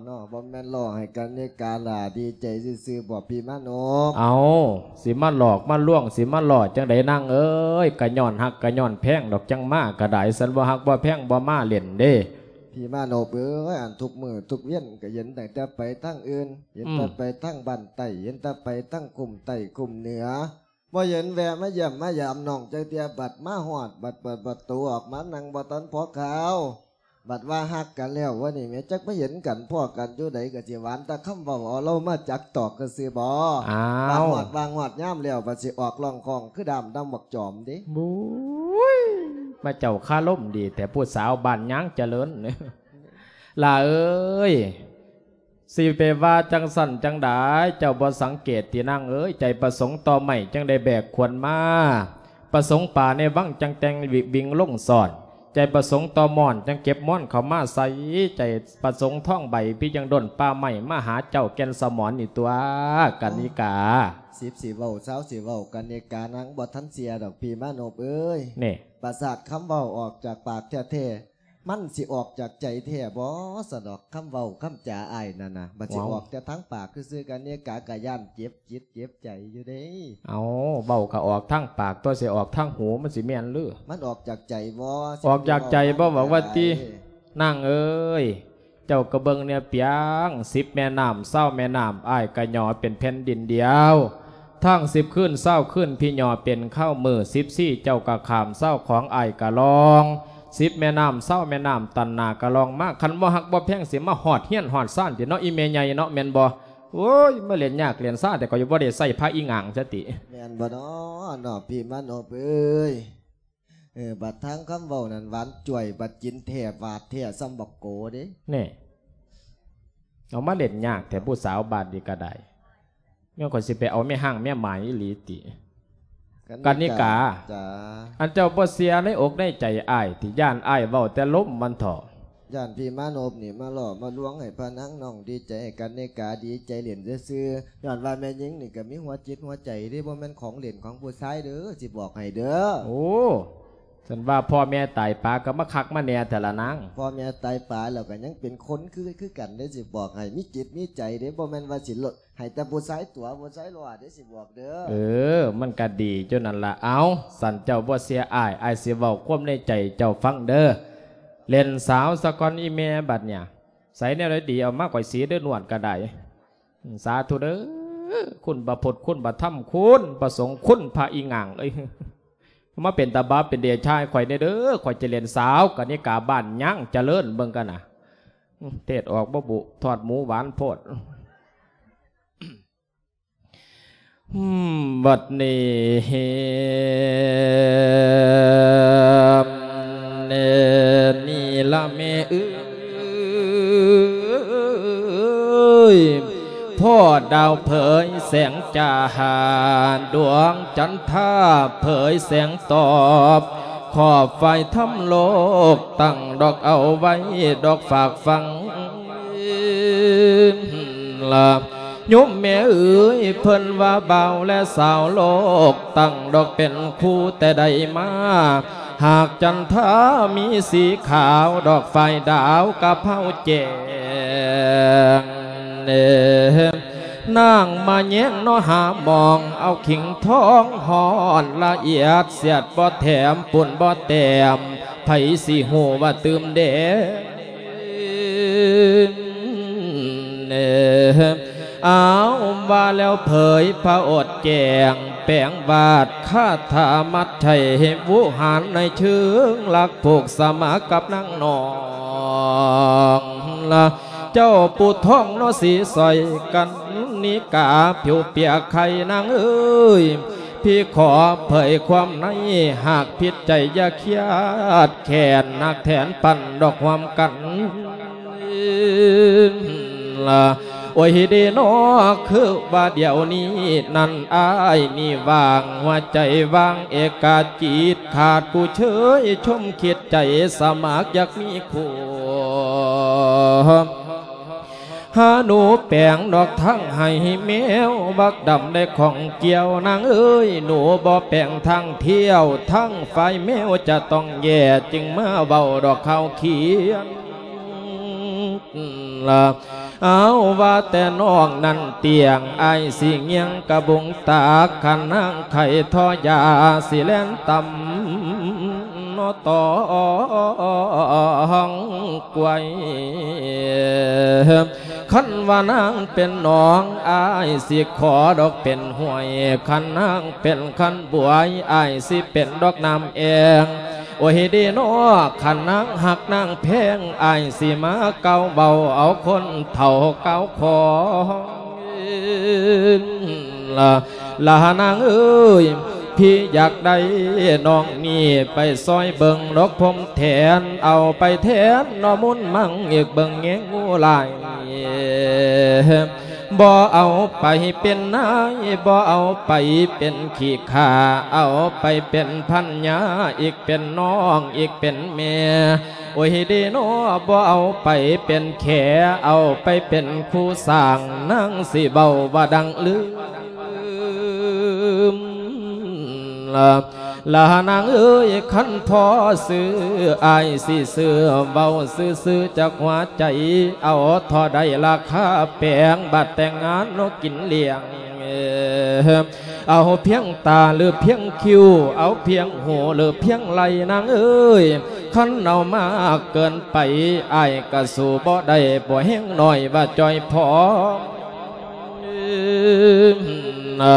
ເນາະ? ບໍ່ແມ່ນຫຼອກໃຫ້ກະນິກາຫຼ້າດີໃຈຊື່ໆບໍ ພີ່ມານົບ? ເອົາ ຊິມາຫຼອກມາລວງ ຊິມາຫຼອກຈັ່ງໃດນາງເອີຍ? ກະຍ້ອນຮັກກະຍ້ອນແພງດອກ ຈັ່ງມາກະໄດ້ ຄັນບໍ່ຮັກບໍ່ແພງບໍ່ມາເລ່ນເດ້. ພີ່ມານົບເອີຍ ອັນທຸກມື້ທຸກວຽນກໍເຫັນຕັ້ງແຕ່ໄປທາງອື່ນ ເຫັນແຕ່ ອືມ ໄປທາງບ້ານໃຕ້ ເຫັນແຕ່ໄປທາງຄຸ້ມໃຕ້ຄຸ້ມເໜືອ ບໍ່ເຫັນແວະມາຢ້ຽມມາຢາມນ້ອງຈັກເທື່ອ ບັດມາຮອດ ບັດເປີດປະຕູອອກມາ ນັ່ງບໍ່ທັນພໍຄາວ ບັດວ່າຮັກກັນແລ້ວ ວະນີ້ແມ່ ຈັກມາເຫັນກັນພໍ້ກັນຢູ່ໃດ ກໍຊິຫວານແຕ່ຄຳເວົ້າ ເອົາເລົາມາຈັກຕອກຊື່ໆບໍ? ອ້າວ ບັດຮອດວ່າງຮອດຍາມແລ້ວ ບັດຊິອອກຮ້ອງຄ້ອງຄືດ້າມດຳບັກຈອມເດ້. ບຸ້ຍ ມາເຈົ້າຄາລົມດີແທ້ ຜູ້ສາວບ້ານຍາງຈະເລີນ. ຫຼ້າເອີຍ ຊິໄປວ່າຈັ່ງຊັ້ນຈັ່ງໃດ ເຈົ້າບໍ່ສັງເກດຕິນາງເອີຍ? ໃຈປະສົງຕໍ່ໄມ້ຈັ່ງໄດ້ແບກຂວນມາ ປະສົງປາໃນວັງຈັ່ງແຕ່ງວິ ວິງລົງຊ້ອນ ໃຈປະສົງຕໍ່ໝອນຈັ່ງເກັບໝອນເຂົ້າມາໃສ່ ໃຈປະສົງທອງໃບພີ່ຈັ່ງດົນປ່າໄມ້ມາຫາເຈົ້າແກ່ນສະໝອນນີ້ຕົວະ ກະນິກາ. ສິບຊິເວົ້າ ຊາວຊິເວົ້າ ກະນິການາງບໍ່ທັນເຊື່ອດອກ ພີ່ມານົບເອີຍ. ນີ້ ປາສາດຄຳເວົ້າອອກຈາກປາກແທ້ໆ ມັນຊິອອກຈາກໃຈແທ້ບໍ? ສະດອກຄຳເວົ້າຄຳຈາອ້າຍນັ້ນນະ ບັດຊິ ເອົ້າ ອອກແຕ່ທາງປາກຊື່ໆ ກະນິກາກະຢ້ານເຈັບຈິດເຈັບໃຈຢູ່ເດ້. ເອົ້າ ເວົ້າກະອອກທາງປາກຕົວະ ຊິອອກທາງຫູມັນຊິແມ່ນຫຼື? ມັນອອກຈາກໃຈບໍ? ອອກຈາກໃຈບໍ ເວົ້າວ່າຕິ ນາງເອີຍ? ເຈົ້າກະເບິ່ງແນ່ປຽງ ສິບແມ່ນ້ຳ ຊາວແມ່ນ້ຳ ອ້າຍກະຫຍໍ້ເປັນແຜ່ນດິນດຽວ. ທາງສິບຄືນຊາວຄືນ ພີ່ຍໍເປັນຄາວມື້ ສິບສີ່ເຈົ້າກະຂ້າມ ຊາວຂອງອ້າຍກະລອງ ສິບແມ່ນ້ຳຊາວແມ່ນ້ຳ ຕັນໜ້າກະລອງມາ ຄັນບໍ່ຮັກບໍ່ແພງ ຊິມາຮອດເຮືອນຮອດຊານຕິເນາະ ອີ່ແມ່ໃຫຍ່ເນາະ ແມ່ນບໍ່? ໂອ້ຍ ມາເລ່ນຍາກເລ່ນຊາ ແຕ່ກໍຢູ່ບໍ່ໄດ້ໃຊ້ພະອີ່ຫງາງຊະຕິ ແມ່ນບໍ່ເນາະ ເນາະ ພີ່ມານົບເອີຍ? ເອີ ບັດທາງຄຳເວົ້ານັ້ນຫວານຈ້ວຍ ບັດຈິນແທ້ຫວາດແທ້ສ່ຳບັກໂກເດ້ ແນ່ ເອົາມາເລ່ນຍາກແທ້ ຜູ້ສາວບ້ານນີ້ກໍໄດ້ ແມ່ນຂ້ອຍຊິໄປເອົາແມ່ຮ້າງແມ່ໝາຍອີ່ຫຼີຕິ? ກັນນິກາ ກະນິກາ ຈ້າ ອັນເຈົ້າບໍ່ເຊື່ອໃນອົກໃນໃຈອ້າຍຕິ? ຢ້ານອ້າຍເວົ້າແຕ່ລົມມັນເຖາະ ຢ້ານພີ່ມານົບນີ້ມາຫຼໍ່ມາລວງໃຫ້ພະນາງນ້ອງດີໃຈ ໃຫ້ກັນນິກາດີໃຈຫຼິ້ນຊື່ໆ ຍ້ອນວ່າແມ່ຍິງນີ້ກໍມີຫົວຈິດຫົວໃຈເດ້ ບໍ່ແມ່ນຂອງຫຼິ້ນຂອງຜູ້ຊາຍເດີ ຊິບອກໃຫ້ເດີ. ໂອ້ ຊັ້ນວ່າພໍ່ແມ່ຕາຍປາກໍມາຄັກມາແນ່ແທ້ລະນາງ. ພໍ່ແມ່ຕາຍປາແລ້ວກໍຍັງເປັນຄົນຄື ຄືກັນເດ້ ຊິບອກໃຫ້ ມີຈິດມີໃຈເດ້ ບໍ່ແມ່ນວ່າຊິ ໃຫ້ແຕ່ຜູ້ຊາຍຕົວະ ຜູ້ຊາຍຫຼໍ່ເດ້ ຊິບອກເດີ. ເອີ ມັນກະດີຢູ່ນັ້ນລະ. ເອົາ ຊັ້ນເຈົ້າບໍ່ເຊື່ອອ້າຍ ອ້າຍຊິເວົ້າຄວາມໃນໃຈເຈົ້າຟັງເດີ. ເລ່ນສາວສາກ່ອນອີ່ແມ່ບັດເນີ້ຍ ໃສແນວໃດດີ ເອົາມາຂ້ອຍສີເດີ ນວດກະໄດ້. ສາທຸເດີ ຄຸນພະພຸດ ຄຸນພະທຳ ຄຸນພະສົງ ຄຸນພະອີ່ຫຍັງເອີຍ ມາເປັນຕາບາບເປັນເດຊາໃຫ້ຂ້ອຍແດ່ເດີ ຂ້ອຍຈະເລ່ນສາວກະນິກາບ້ານຍາງຈະເລີນເບິ່ງກັນນະ. ເທດອອກບໍ່ບຸ ທອດໝູຫວານໂພດ. ອືມ ບັດນີ້ ນີ້ລະແມ່ເອີຍ ພໍດາວເຜີຍແສງຈ້າ ດວງຈັນທາເຜີຍແສງຕອບ ຂອບໄຟທຳໂລກຕັ້ງດອກເອົາໄວ້ ດອກຝາກຝັງລະ ໂຍມແມ່ເອີຍ ເພິ່ນວ່າບ່າວແລະສາວໂລກ ຕັ້ງດອກເປັນຄູ່ແຕ່ໃດມາ ຫາກຈັນທາມີສີຂາວ ດອກຝ້າຍດາວກະເພົາແຈ້ງ ນາງມາແຍງເນາະຫາມອງ ເອົາຂີງທອງຮ້ອນລະອຽດ ສຽດບໍ່ແຖມ ປຸ້ນບໍ່ແຕ້ມ ໃຜຊິຮູ້ວ່າຕື່ມແດ່. ເອີ ອ້າວ ວ່າແລ້ວເຜີຍພະອົດແຈ້ງ ແປງວາດຄາຖາມັດໄຖ ໃຫ້ວູຫານໃນເຊີງລັກຜູກສະໝັກກັບນາງນ້ອງລະ ເຈົ້າປູທອງເນາະສີສອຍກັນນິກາ ຜິວເປຍໄຂ່ນາງເອີຍ ພີ່ຂໍເຜີຍຄວາມໃນ ຫາກຜິດໃຈຢ່າຄຽດແຄ້ນ ໜັກແທນປັນດອກຮ່ວມກັນລະ ໂອ້ຍເດເນາະ ຄືວ່າດຽວນີ້ນັ້ນ ອ້າຍນີ້ວ່າງ ຫົວໃຈວ່າງເອກາຈິດ ຂາດຜູ້ເຊີຍຊົມຄິດໃຈ ສະໝັກຢາກມີຄູ່ ຫາໜູແປງດອກທາງໃຫ້ແມວ ບັກດຳໄດ້ຂອງກ່ຽວ ນາງເອີຍ ໜູບໍ່ແປງທາງທ່ຽວ ທາງຝ່າຍແມວຈະຕ້ອງແຍ່ ຈຶ່ງມາເວົ້າດອກຂ່າວຂຽນລະ ເອົາ ວ່າແຕ່ນ້ອງນັ້ນຕຽງ ອ້າຍຊິງຽງກະບຸງຕາກ ຄັນນາງໄຂ້ທໍ່ຢາ ຊິແລ່ນຕຳ ເນາະຕອງກວຍ ຄັນວ່ານາງເປັນໜອງ ອ້າຍຊິຂໍດອກເປັນຫ້ວຍ ຄັນນາງເປັນຄັນບວຍ ອ້າຍຊິເປັນດອກນ້ຳແອງ ໂອ້ຍເດເນາະ ຄັນນາງຮັກນາງແພງ ອ້າຍຊິມາກ່າວເວົ້າ ເອົາຄົນເຖົ້າກ່າວຂອງ ລະ ລະນາງເອີຍ ພີ່ຢາກໄດ້ນ້ອງນີ້ໄປຊ່ອຍເບິ່ງດອກພົມແທນ ເອົາໄປແທນໜໍ່ມຸນມັງ ອີກເບິ່ງແຍງງູຫຼາຍ ບໍ່ເອົາໄປເປັນນາຍ ບໍ່ເອົາໄປເປັນຂີ້ຂ້າ ເອົາໄປເປັນພັນຍາ ອີກເປັນນ້ອງ ອີກເປັນແມ່ ໂອ້ຍເດເນາະ ບໍ່ເອົາໄປເປັນແຂ ເອົາໄປເປັນຄູ່ສ້າງ ນາງຊິເວົ້າວ່າດັງລືມ ລະ ລະນາງເອີຍ ຄັນພໍຊື້ ອ້າຍຊິຊື້ ເວົ້າຊື່ໆຈາກຫົວໃຈ ເອົາທໍ່ໃດລາຄາແປງ ບັດແຕ່ງງານເນາະກິນລ້ຽງ ເອົາພຽງຕາຫຼືພຽງຄິ້ວ ເອົາພຽງຫູຫຼືພຽງໄລ່ ນາງເອີຍ ຄັນເອົາມາເກີນໄປ ອ້າຍກະສູ້ບໍ່ໄດ້ ບໍ່ແຮງນ້ອຍວ່າຈ່ອຍພໍ ນະ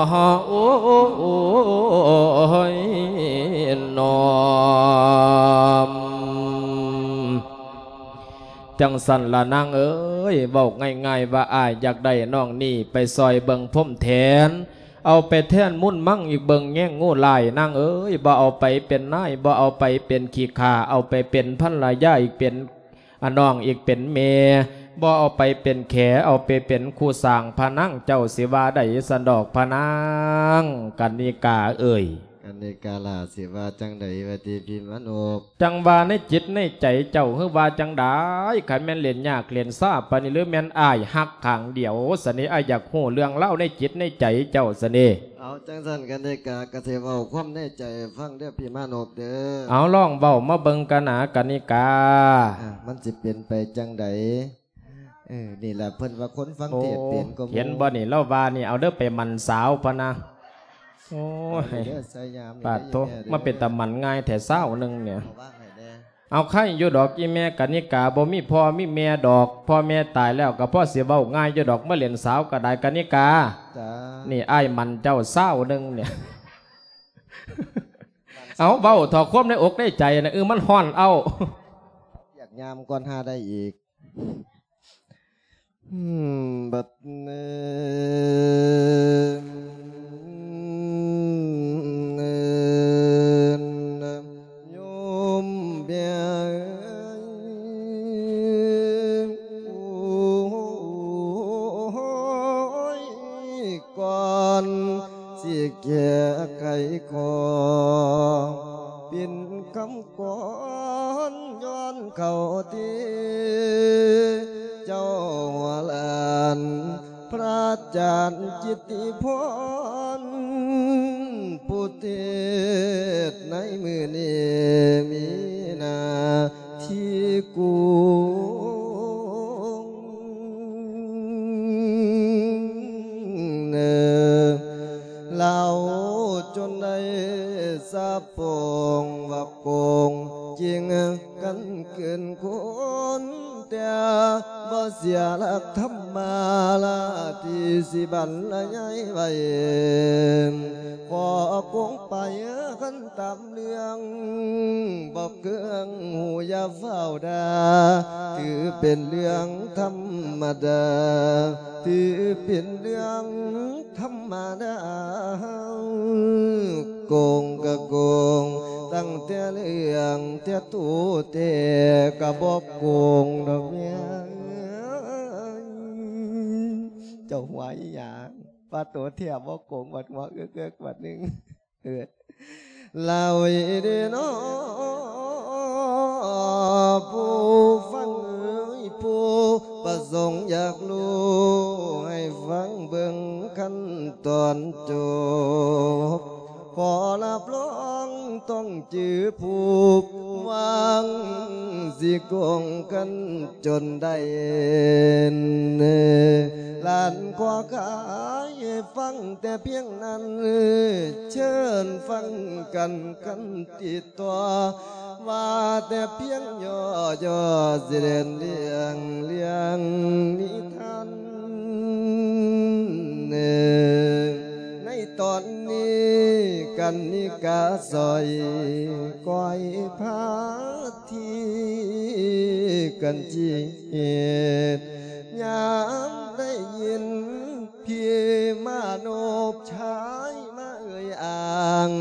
ໂອ້ຍ ນ້ອມ. ຈັ່ງຊັ້ນລະນາງເອີຍ ເວົ້າງ່າຍໆວ່າ ອ້າຍຢາກໄດ້ນ້ອງນີ້ໄປຊ່ອຍເບິ່ງພົມແທນ ເອົາໄປແທນມຸນມັງອີກເບິ່ງແຍງງູຫຼາຍ ນາງເອີຍ ບໍ່ເອົາໄປເປັນນາຍ ບໍ່ເອົາໄປເປັນຂີ້ຂ້າ ເອົາໄປເປັນພັນລະຍາອີກເປັນ ອາ ນ້ອງອີກເປັນແມ່ ບໍ່ເອົາໄປເປັນແຂ ເອົາໄປເປັນຄູ່ສ້າງ ພະນາງເຈົ້າຊິວ່າໃດຊັ້ນດອກ ພະນາງກະນິກາເອີຍ. ກະນິກາຫຼ້າ ຊິວ່າຈັ່ງໃດວະຕິພີ່ມານົບ? ຈັ່ງວ່າໃນຈິດໃນໃຈເຈົ້າ ຫຼືວ່າຈັ່ງໃດ? ຄັນແມ່ນເຫຼັ້ນຍາກເຫຼັ້ນຊາປານນີ້ ຫຼືແມ່ນອ້າຍຮັກຂ້າງດຽວຊັ້ນນີ້ ອ້າຍຢາກຮູ້ເລື່ອງລາວໃນຈິດໃນໃຈເຈົ້າຊັ້ນນີ້. ເອົາ ຈັ່ງຊັ້ນກະນິກາກະຊິເວົ້າຄວາມໃນໃຈໃຫ້ຟັງເດີພີ່ມານົບເດີ. ເອົາ ລອງເວົ້າມາເບິ່ງກະນາກະນິກາ. ອ່າ ມັນຊິເປັນໄປຈັ່ງໃດ? ເອີ ນີ້ລະເພິ່ນວ່າຄົນຟັງເທດເປັນກໍໝູ່. ໂອ້ ເຫັນບໍ່ນີ້ ລາວວ່ານີ້ ເອົາເດີໄປໝັ່ນສາວພະນະ. ໂອ້ຍ ເອົາເດີ ສາຍຍາມນີ້ ປາດໂທ ເດີ ມາເປັນຕາໝັ່ນງ່າຍແທ້ ຊາວໜຶ່ງນີ້. ເອົາວາງໃຫ້ແດ່. ເອົາ ໄຄຢູ່ດອກ ອີ່ແມ່ກະນິກາ ບໍ່ມີພໍ່ມີແມ່ດອກ ພໍ່ແມ່ຕາຍແລ້ວກໍພໍຊິເວົ້າງ່າຍຢູ່ດອກ ມາເຫຼັ້ນສາວກໍໄດ້ກະນິກາ. ຈ້າ ນີ້ອ້າຍໝັ່ນເຈົ້າຊາວໜຶ່ງນີ້. ເອົາ ເວົ້າເຖາະຄວາມໃນອົກໃນໃຈນະ ເອີ ມັນຮ້ອນເອົາ. ຢາກຍາມກ່ອນຫາໄດ້ອີກ. ອືມ ບັດນີ້ ໂຍມແມ່ເອີຍ ໂອ້ຍ ກ່ອນຊິແກ້ໄຂຂໍ ເປັນຄຳ ກ່ອນຍ້ອນເຂົ້າທີ່ເຈົ້າຫຼານ ພະອາຈານກິດຕິພອນ ຜູ້ເທດໃນມື້ນີ້ມີໜ້າທີ່ກຸງ ເອີ ລາວຈົນໄດ້ສາບໂປ່ງວ່າໂກງຈິງກັນເກີນຄົນ ແຕ່ບໍ່ເສຍຫຼັກທຳມາລາທີ່ຊິບັນລະຍາຍໄວ້ ຂໍໂກງໄປຄັນຕາມ ເລື່ອງບໍ່ເກີງ ຫູຢ່າຟ້າວດ່າ ຖືເປັນເລື່ອງທຳມະດາ ຖືເປັນເລື່ອງທຳມະດາ ໂກງກະໂກງ ຕັ້ງແຕ່ເລື່ອງແທ້ໂຕແທ້ກະບໍ່ໂກງດອກແມ່ເອີຍ. ເຈົ້າຫົວອີຫຍັງ? ວ່າໂຕແທ້ບໍ່ໂກງ ບັດຫົວເອິກໆ ບັດໜຶ່ງ. ເອີ ລາວເດເນາະ ຜູ້ຟັງເອີຍ ຜູ້ປະສົງຢາກຮູ້ ໃຫ້ຟັງເບິ່ງຂັ້ນຕອນຈົບ ຂໍຮັບຮອງຕ້ອງຈື່ຜູ້ຟັງ ຊິໂກງກັນຈົນໄດ້ ຫຼານຂໍຂາຍໃຫ້ຟັງແຕ່ພຽງນັ້ນ ເຊີນຟັງກັນ ຄັນຕິດຕໍ່ ວ່າແຕ່ພຽງຫຍໍ້ໆ ຊິເຫຼັ້ນເລື່ອງ ເລື່ອງນິທານ ໃນຕອນນີ້ກັນນິກາຊ່ອຍ ກອຍພາທີ່ກັນຈີດ ຍາມໄດ້ຍິນ ພີ່ມານົບຊາຍມາເອີ່ຍອ້າງ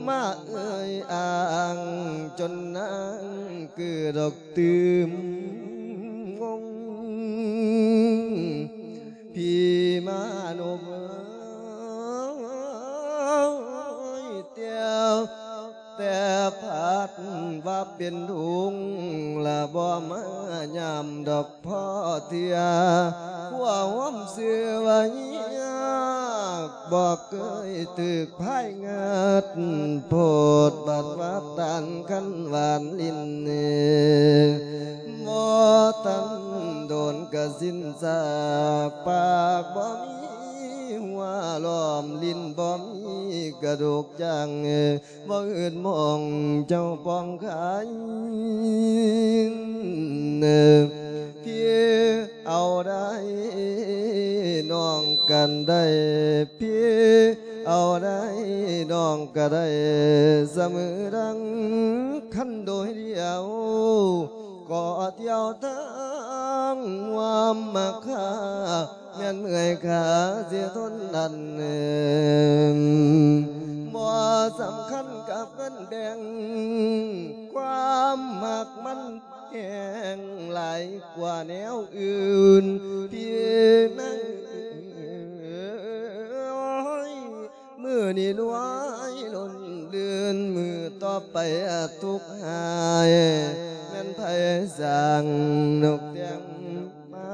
ມາເອີ່ຍອ້າງ ຈົນນາງເກີດດອກຕື່ມງົງ ເປັນທຸງ ລະບໍ່ມາຍາມດອກພໍເທື່ອ ຄົວຫອມຊື່ວ່າຍາກ ບໍ່ເຄີຍຖືກພາຍງາດ ໂພດບັດວ່າຕານຄັນຫວານຫຼິ້ນ ບໍ່ທັນໂດນກະສິ້ນສາກ ປາກບໍ່ມີຫົວລ້ອມ ຫຼິ້ນບໍ່ມີກະດູກຈາງ ບໍ່ອື່ນມອງເຈົ້າປອງຂາຍ ພີ່ເອົາໄດ້ ນ້ອງກັນໄດ້ ພີ່ເອົາໄດ້ ນ້ອງກະໄດ້ ສະເໝີດັ່ງຄັນໂດຍດຽວ ກໍດຽວທາງຫວາມມາຄາ ແມ່ນເມື່ອຍຂາຊິທົນອັນ ບໍ່ສຳຄັນກັບເງິນແບ່ງ ຄວາມຮັກມັນແຮງຫຼາຍກວ່າແນວອື່ນ ພີ່ນາງເອີຍ ມື້ນີ້ລວຍລົ້ນລື່ນ ມື້ຕໍ່ໄປອາດທຸກຫາຍ ແມ່ນໃຜສ້າງນົກແຕ່ງ ມາ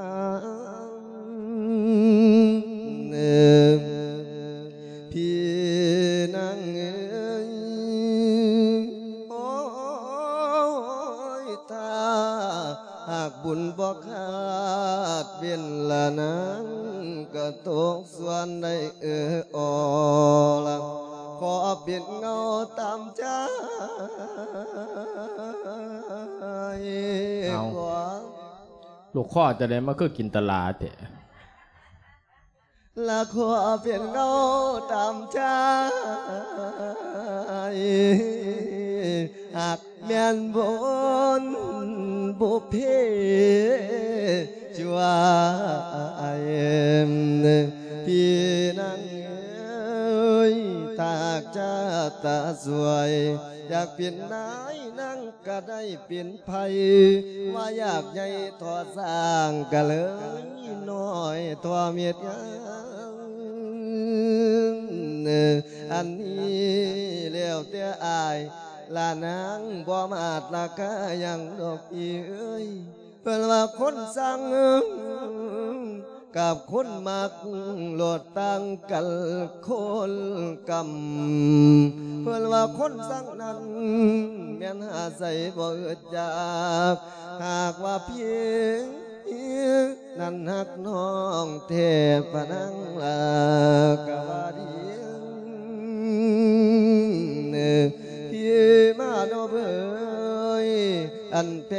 ພີ່ນາງເອີຍ ໂອ້ຍ ຖ້າຫາກບຸນບໍ່ຂາດ ເວລານາງກະຕົກສ່ວນໄດ້ເອີ ອໍ ລະ ຂໍເປັນເງົາຕາມໃຈ ເອົາ ຂອ ລູກຄໍຈະໄດ້ມາຄືກິນຕະຫຼາແທ້ ລະຂໍເປັນເງົາຕາມໃຈ ຫາກແມ່ນບຸນບຸບເພ ຊ່ວຍ ພີ່ນາງເອີຍ ຖ້າຈະຕາຊ່ວຍ ຢາກເປັນນາຍນາງ ກະໄດ້ເປັນໄພ ວ່າຢາກໃຫຍ່ທໍ່ສ້າງ ກະເລີຍນ້ອຍທໍ່ເມັດງານ ອັນນີ້ແລ້ວແຕ່ອ້າຍ ລະນາງບໍ່ມາດລາຄາຫຍັງດອກພີ່ເອີຍ ເພິ່ນວ່າຄົນຊ່າງ ກັບຄົນມັກໂລດຕ່າງກັນຄົນກຳ ເພິ່ນວ່າຄົນຊ່າງນັ້ນ ແມ່ນຫາໃສບໍ່ອຶດຢາກ ຫາກວ່າພີ່ນັ້ນຮັກນ້ອງແທ້ ພະນາງລາກະວ່າດີ ພີ່ມາດອກເອີຍ ອັນແພ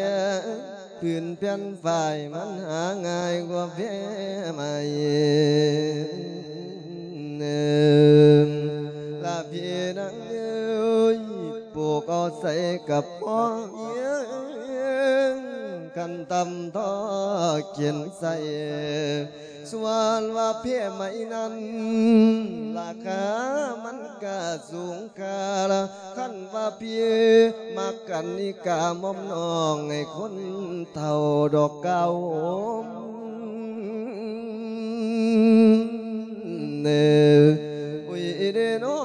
ພື້ນແຜ່ນຝ້າຍມັນຫາງ່າຍກວ່າແພໄມ້ ລະພີ່ນາງເອີຍ ປູກເອົາໃສ່ກະພໍວຽງ ຄັນຕຳທໍ່ຂຽນໃສ່ ສ່ວນວ່າແພໄມ້ນັ້ນ ລາຄາມັນກະສູງຄ່າລະ ຄັນວ່າພີ່ມັກກັນນີ້ກະໝອມນ້ອງໃຫ້ຄົນເຖົ້າດອກກ່າວໂຮມ ເອີ ອຸຍເດນໍ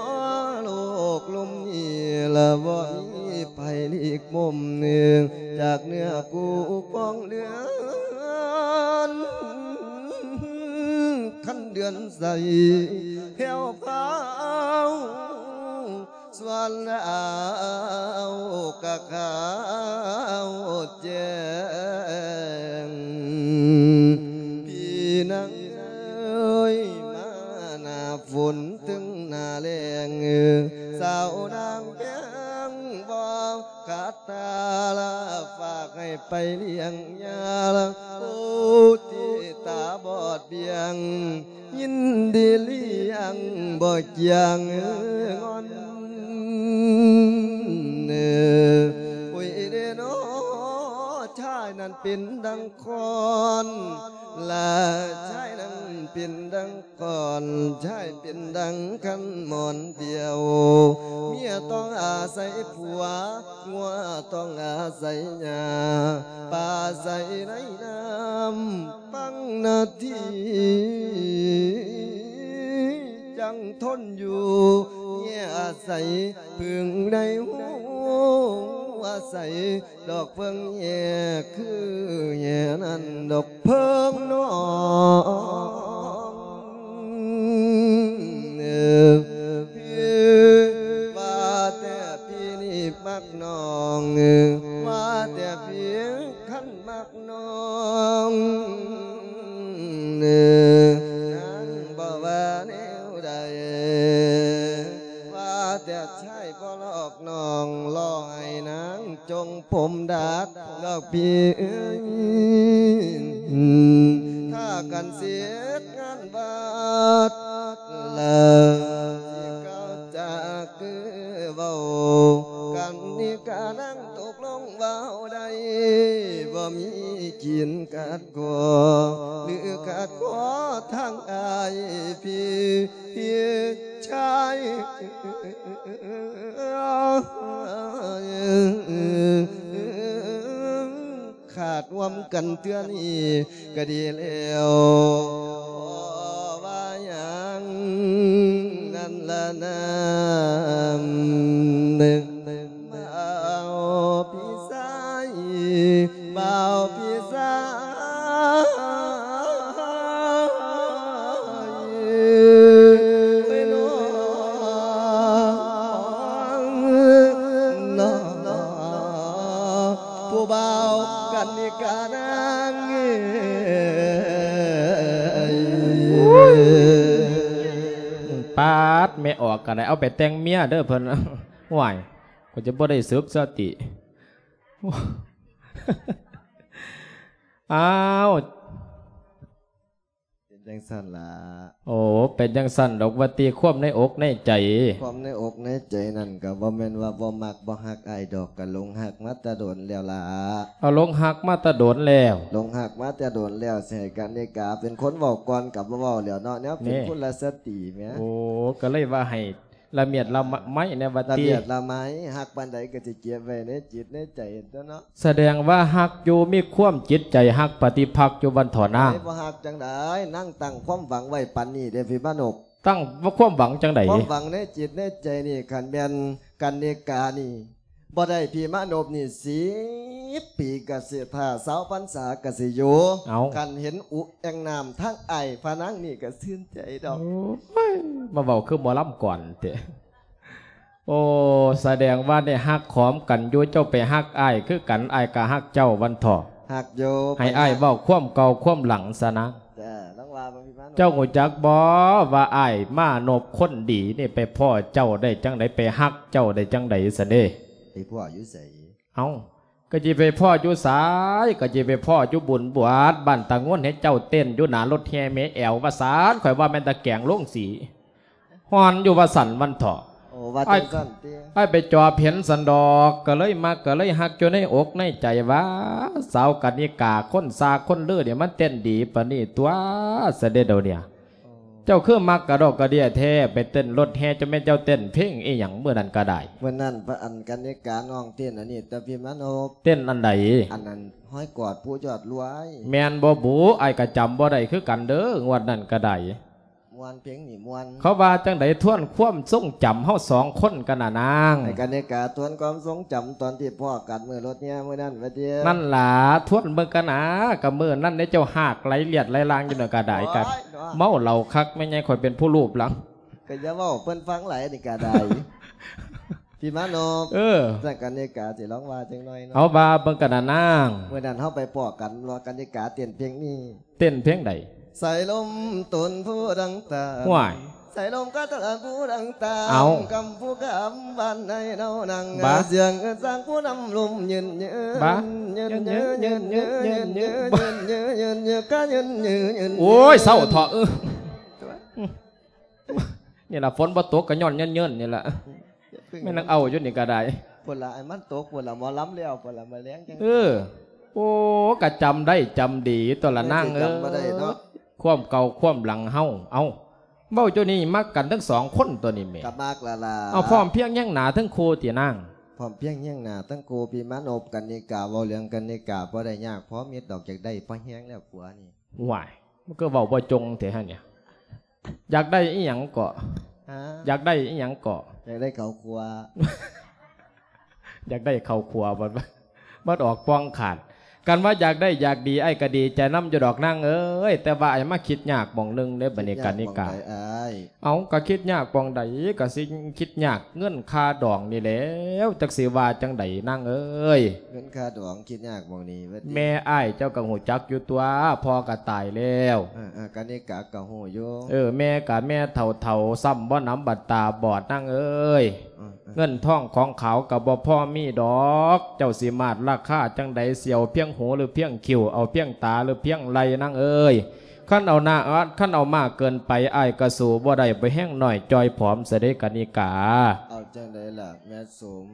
ໂລກລຸ່ມນີ້ລະບໍ່ມີໃຜຫຼີກມຸມ ຈາກເນື້ອຄູ່ປອງເລືອນ ຄັນເດືອນໃສແຜວພາວ ສ່ວນລາວກະຂາວແຈ້ງ ພີ່ນາງເອີຍ ມາໜ້າຝົນເຖິງໜ້າແລ້ງ ສາວນາງແພງບໍ່ຂາດຕາລະ ຝາກໃຫ້ໄປລ້ຽງຍາລະ ໂອ ທີ່ຕາບອດບຽງ ຍິນດີລ້ຽງບໍ່ຈຽງງອນ ໂອ້ຍເດນໍ ຊາຍນັ້ນເປັນດັ່ງຄ້ອນ ລະຊາຍນັ້ນເປັນດັ່ງຄ້ອນ ຊາຍເປັນດັ່ງຄັນໝອນດຽວ ເມຍຕ້ອງອາໄສຜົວ ງົວຕ້ອງອາໄສຫຍ້າ ປາໄສໃນນ້ຳ ປັງນາທີ ຈັ່ງທົນຢູ່ ເມຍອາໄສເພິ່ງໃນຫູ ວ່າໃສດອກເພິ່ງແຍກຄືແຍກນັ້ນດອກເພິ່ງນ້ອງເອີຍ ວ່າແຕ່ພີ່ນີ້ມັກນ້ອງ ວ່າແຕ່ພີ່ຄັນມັກ ນ້ອງເອີຍ ນາງບໍ່ວ່າແນວໃດ ວ່າແຕ່ຊາຍບໍ່ຫຼອກນ້ອງ ລໍໃຫ້ນາງຈົ່ງຜົມດັດດອກພີ່ເອີຍ ຖ້າກັນເສດງານວັດລະ ຊິກ່າວຈາຄືເວົ້າກັນນີ້ກະນາງຕົກລົງ ເວົ້າໄດ້ບໍ່ມີກິນ ຂາດຂໍ ຫຼືຂາດຂໍທາງອ້າຍພີ່ ພີ່ຊາຍ ຂາດຮ່ວມກັນເທື່ອນີ້ກະດີແລ້ວ ບໍ່ວ່າຫຍັງນັ້ນລະນາ ບ່າວພີ່ຊາຍ ບ່າວພີ່ຊາຍ ໂອ້ຍ ນ້ອງ ຜູ້ບ່າວກັນນິການາງເອີຍ. ປາດ ແມ່ອອກກະໄດ້ເອົາໄປແຕ່ງເມຍເດີເພິ່ນ. ໂອ້ຍ ຂ້ອຍຈະບໍ່ໄດ້ສຶກສະຕິ. ອ້າວ ເປັນຈັ່ງຊັ້ນລະ. ໂອ້ ເປັນຈັ່ງຊັ້ນດອກວ່າຕິ ຄວາມໃນອົກໃນໃຈ. ຄວາມໃນອົກໃນໃຈນັ້ນກະບໍ່ແມ່ນວ່າບໍ່ມັກບໍ່ຮັກອ້າຍດອກ ກະຫຼົງຮັກມາແຕ່ດົນແລ້ວລະ. ເອົາ ຫຼົງຮັກມາແຕ່ດົນແລ້ວ. ຫຼົງຮັກມາແຕ່ດົນແລ້ວ ຊິໃຫ້ກັນນິກາເປັນຄົນເວົ້າກ່ອນກະບໍ່ເວົ້າແລ້ວເນາະ ແນວເປັນ ນີ້ ກຸລະສະຕີແໝ. ໂອ້ ກະເລີຍວ່າໃຫ້ ລະມຽດລະໄມແນ່ວ່າຕິ ລະມຽດລະໄມ ຮັກປານໃດກະຊິເກັບໄວ້ໃນຈິດໃນໃຈຕົວະເນາະ. ສະແດງວ່າຮັກຢູ່ ມີຄວາມຈິດໃຈຮັກປະຕິພັກຢູ່ວັນທໍ່ນາງ. ບໍ່ຮັກຈັ່ງໃດ ນາງຕັ້ງຄວາມຫວັງໄວ້ປານນີ້ເດ້ພີ່ມານົບ. ຕັ້ງຄວາມຫວັງຈັ່ງໃດ? ຄວາມຫວັງໃນຈິດໃນໃຈນີ້ ຄັນແມ່ນກັນນິການີ້ບໍ່ໄດ້ພີ່ມານົບນີ້ ສິບປີກະຊິຖ້າ ຊາວພັນສາກະຊິຢູ່. ເອົ້າ ຄັນເຫັນອຸແອ່ງນ້ຳທາງອ້າຍພະນາງນີ້ກະຊື່ນໃຈດອກ. ໂອ້ຍ ມາເວົ້າຄືໝໍລຳກ່ອນເຕະ. ໂອ້ ສະແດງວ່າໄດ້ຮັກຫອມກັນຢູ່ ເຈົ້າໄປຮັກອ້າຍຄືກັນ ອ້າຍກະຮັກເຈົ້າວັນເທາະ. ຮັກຢູ່ ໃຫ້ອ້າຍເວົ້າຄວາມເກົ່າຄວາມຫຼັງຊະນາງ. ເຈົ້າຮູ້ຈັກບໍ່ວ່າອ້າຍມານົບຄົນດີນີ້ໄປພໍ້ເຈົ້າໄດ້ຈັ່ງໃດ ໄປຮັກເຈົ້າໄດ້ຈັ່ງໃດຊັ້ນເດ? ໄປພໍ້ຢູ່ໃສ? ເອົ້າ ກະຊິໄປພໍ້ຢູ່ໃສ? ກະຊິໄປພໍ້ຢູ່ບຸນບວດບ້ານຕາງວນ ເຫັນເຈົ້າເຕັ້ນຢູ່ໜ້າລົດແຫ່ແມ່ແອວວ່າຊັ້ນ ຂ້ອຍວ່າແມ່ນຕາແກງໂລງສີ ຮ້ອນຢູ່ວ່າຊັ້ນວັນເທາະ. ໂອ້ ວ່າຈັ່ງຊັ້ນຕິ ອ້າຍໄປຈອບເຫັນຊັ້ນດອກ ກະເລີຍມັກກະເລີຍຮັກຢູ່ໃນອົກໃນໃຈວ່າ ສາວກະນິກາຄົນຊາຄົນລືນີ້ມັນເຕັ້ນດີປານນີ້ຕົວະ ຊະເດດຽວນີ້. ເຈົ້າຄືມັກກະດອກກະເດຍແທ້ ໄປເຕັ້ນລົດແຫ່ ຈັ່ງແມ່ນເຈົ້າເຕັ້ນເພງອີ່ຫຍັງມື້ນັ້ນກະໄດ້? ມື້ນັ້ນ ອັນ ກະນິການ້ອງເຕັ້ນອັນນີ້ ແຕ່ພີ່ມານົບ ເຕັ້ນອັນໃດ? ອັນນັ້ນ ຮອຍກອດຜູ້ຍອດລວຍ. ແມ່ນບໍ່ບຸ? ອ້າຍກະຈຳບໍ່ໄດ້ຄືກັນເດີ ງວດນັ້ນກະໄດ້. ມ່ວນ ເພງນີ້ມ່ວນ. ເຂົາວ່າຈັ່ງໃດ? ທວນຄວາມຊົງຈຳເຮົາສອງຄົນກັນນະນາງ. ໃຫ້ກະນິກາທວນຄວາມຊົງຈຳຕອນທີ່ພໍ້ກັນມື້ລົດແຫ່ມື້ນັ້ນວ່າຕິ. ນັ້ນລະ ທວນເບິ່ງກັນນາ ກະມື້ນັ້ນເດ້ ເຈົ້າຮາກໄຫຼລຽດໄຫຼລາງຢູ່ນັ້ນກະໄດ້. ໂອ້ຍ ກະເມົາເຫຼົ້າຄັກ ແມ່ໃຫຍ່ຂ້ອຍເປັນຜູ້ລູບຫຼັງ. ກະຢ່າເວົ້າເພິ່ນຟັງຫຼາຍນີ້ກະໄດ້ ພີ່ມານົບ. ເອີ ຊັ້ນກະນິກາຊິລອງວ່າຈັກໜ້ອຍເນາະ. ເຮົາວ່າເບິ່ງກັນນະນາງ. ມື້ນັ້ນເຮົາໄປພໍ້ກັນ ວ່າກະນິກາເຕັ້ນເພງນີ້. ເຕັ້ນເພງໃດ? ສາຍລົມຕົນຜູ້ດັງຕາ ຫ້ວຍ ສາຍລົມກະຕະລະຜູ້ດັງຕາ ເອົ້າ ກຳຜູ້ກຳບ້ານໃນເນາະນາງ ບາ ສຽງເອີ້ນສາງຜູ້ນຳລົມຍືນຍືນ ບາ ຍືນຍືນຍືນຍືນຍືນຍືນຍືນຍືນກະຍືນຍືນຍືນ. ໂອ້ຍ ເຊົາເຖາະ ເອີ ນີ້ລະ ຝົນບໍ່ຕົກກະຍ້ອນເຍີນໆນີ້ລະ. ແມ່ນນາງເອົາຢູ່ນີ້ກະໄດ້. ພຸ້ນລະ ໃຫ້ມັນຕົກພຸ້ນລະ ໝໍລຳແລ້ວພຸ້ນລະ ມາແລງຈັ່ງ. ເອີ ໂອ້ ກະຈຳໄດ້ຈຳດີຕົວລະນາງເອີຍ. ຄວາມເກົ່າຄວາມຫຼັງເຮົາ. ເອົ້າ ເວົ້າຢູ່ນີ້ມັກກັນທັງສອງຄົນຕົວນີ້ແໝ. ກະມັກລະລະ. ເອົາ ພ້ອມພຽງຮຽງໜ້າທັງຄູ່ຕິນາງ. ພ້ອມພຽງຮຽງໜ້າທັງຄູ່ ພີ່ມານົບ. ກະນິກາ ເວົ້າເລື່ອງກະນິກາບໍ່ໄດ້ຍາກພໍມິດດອກ ຢາກໄດ້ພໍແຮງແລ້ວຜົວນີ້. ຫວາຍ ມັນກະເວົ້າບໍ່ຈົງແທ້ຫັ້ນນີ້. ຢາກໄດ້ອີ່ຫຍັງເກາະ? ຮະ? ຢາກໄດ້ອີ່ຫຍັງເກາະ? ຢາກໄດ້ເຂົ້າຄົວ. ຢາກໄດ້ເຂົ້າຄົວ ບັດ ບັດອອກປ່ອງຂາດ. ຄັນວ່າຢາກໄດ້ຢາກດີ ອ້າຍກໍດີໃຈນຳຢູ່ດອກນາງເອີຍ, ແຕ່ວ່າອ້າຍມາຄິດຍາກໝ່ອງໜຶ່ງເດ້ ບັດນີ້ ກະນິກາ. ເອົ້າ ກະຄິດຍາກໝ່ອງໃດ ກະຊິຄິດຍາກເງິນຄ່າດອງນີ້ແຫຼວ ຈັກຊິວ່າຈັ່ງໃດນາງເອີຍ. ເງິນຄ່າດອງຄິດຍາກໝ່ອງນີ້ວ່າຕິ? ແມ່ອ້າຍເຈົ້າກໍຮູ້ຈັກຢູ່ຕົວະ ພໍ່ກໍຕາຍແລ້ວ. ເອີໆ ກະນິກາກໍຮູ້ຢູ່. ເອີ ແມ່ກໍແມ່ເຖົ້າໆ ຊ້ຳບໍ່ໜຳບັດຕາບອດນາງເອີຍ. ເອີໆ ເງິນທອງຂອງຂາວກໍບໍ່ພໍມີດອກ. ເຈົ້າຊິມາດລາຄາຈັ່ງໃດ? ຊິເອົາພຽງຫູ ຫຼືພຽງຄິ້ວ? ເອົາພຽງຕາ ຫຼືພຽງໄຫຼ່ນາງເອີຍ? ຄັນເອົາໜ້າ ຄັນເອົາມາກເກີນໄປ ອ້າຍກໍສູ້ບໍ່ໄດ້ ບໍ່ແຮງນ້ອຍຈ່ອຍຜອມຊະເດ້ກະນິກາ. ເອົາຈັ່ງໃດລະແມ່ສົມ?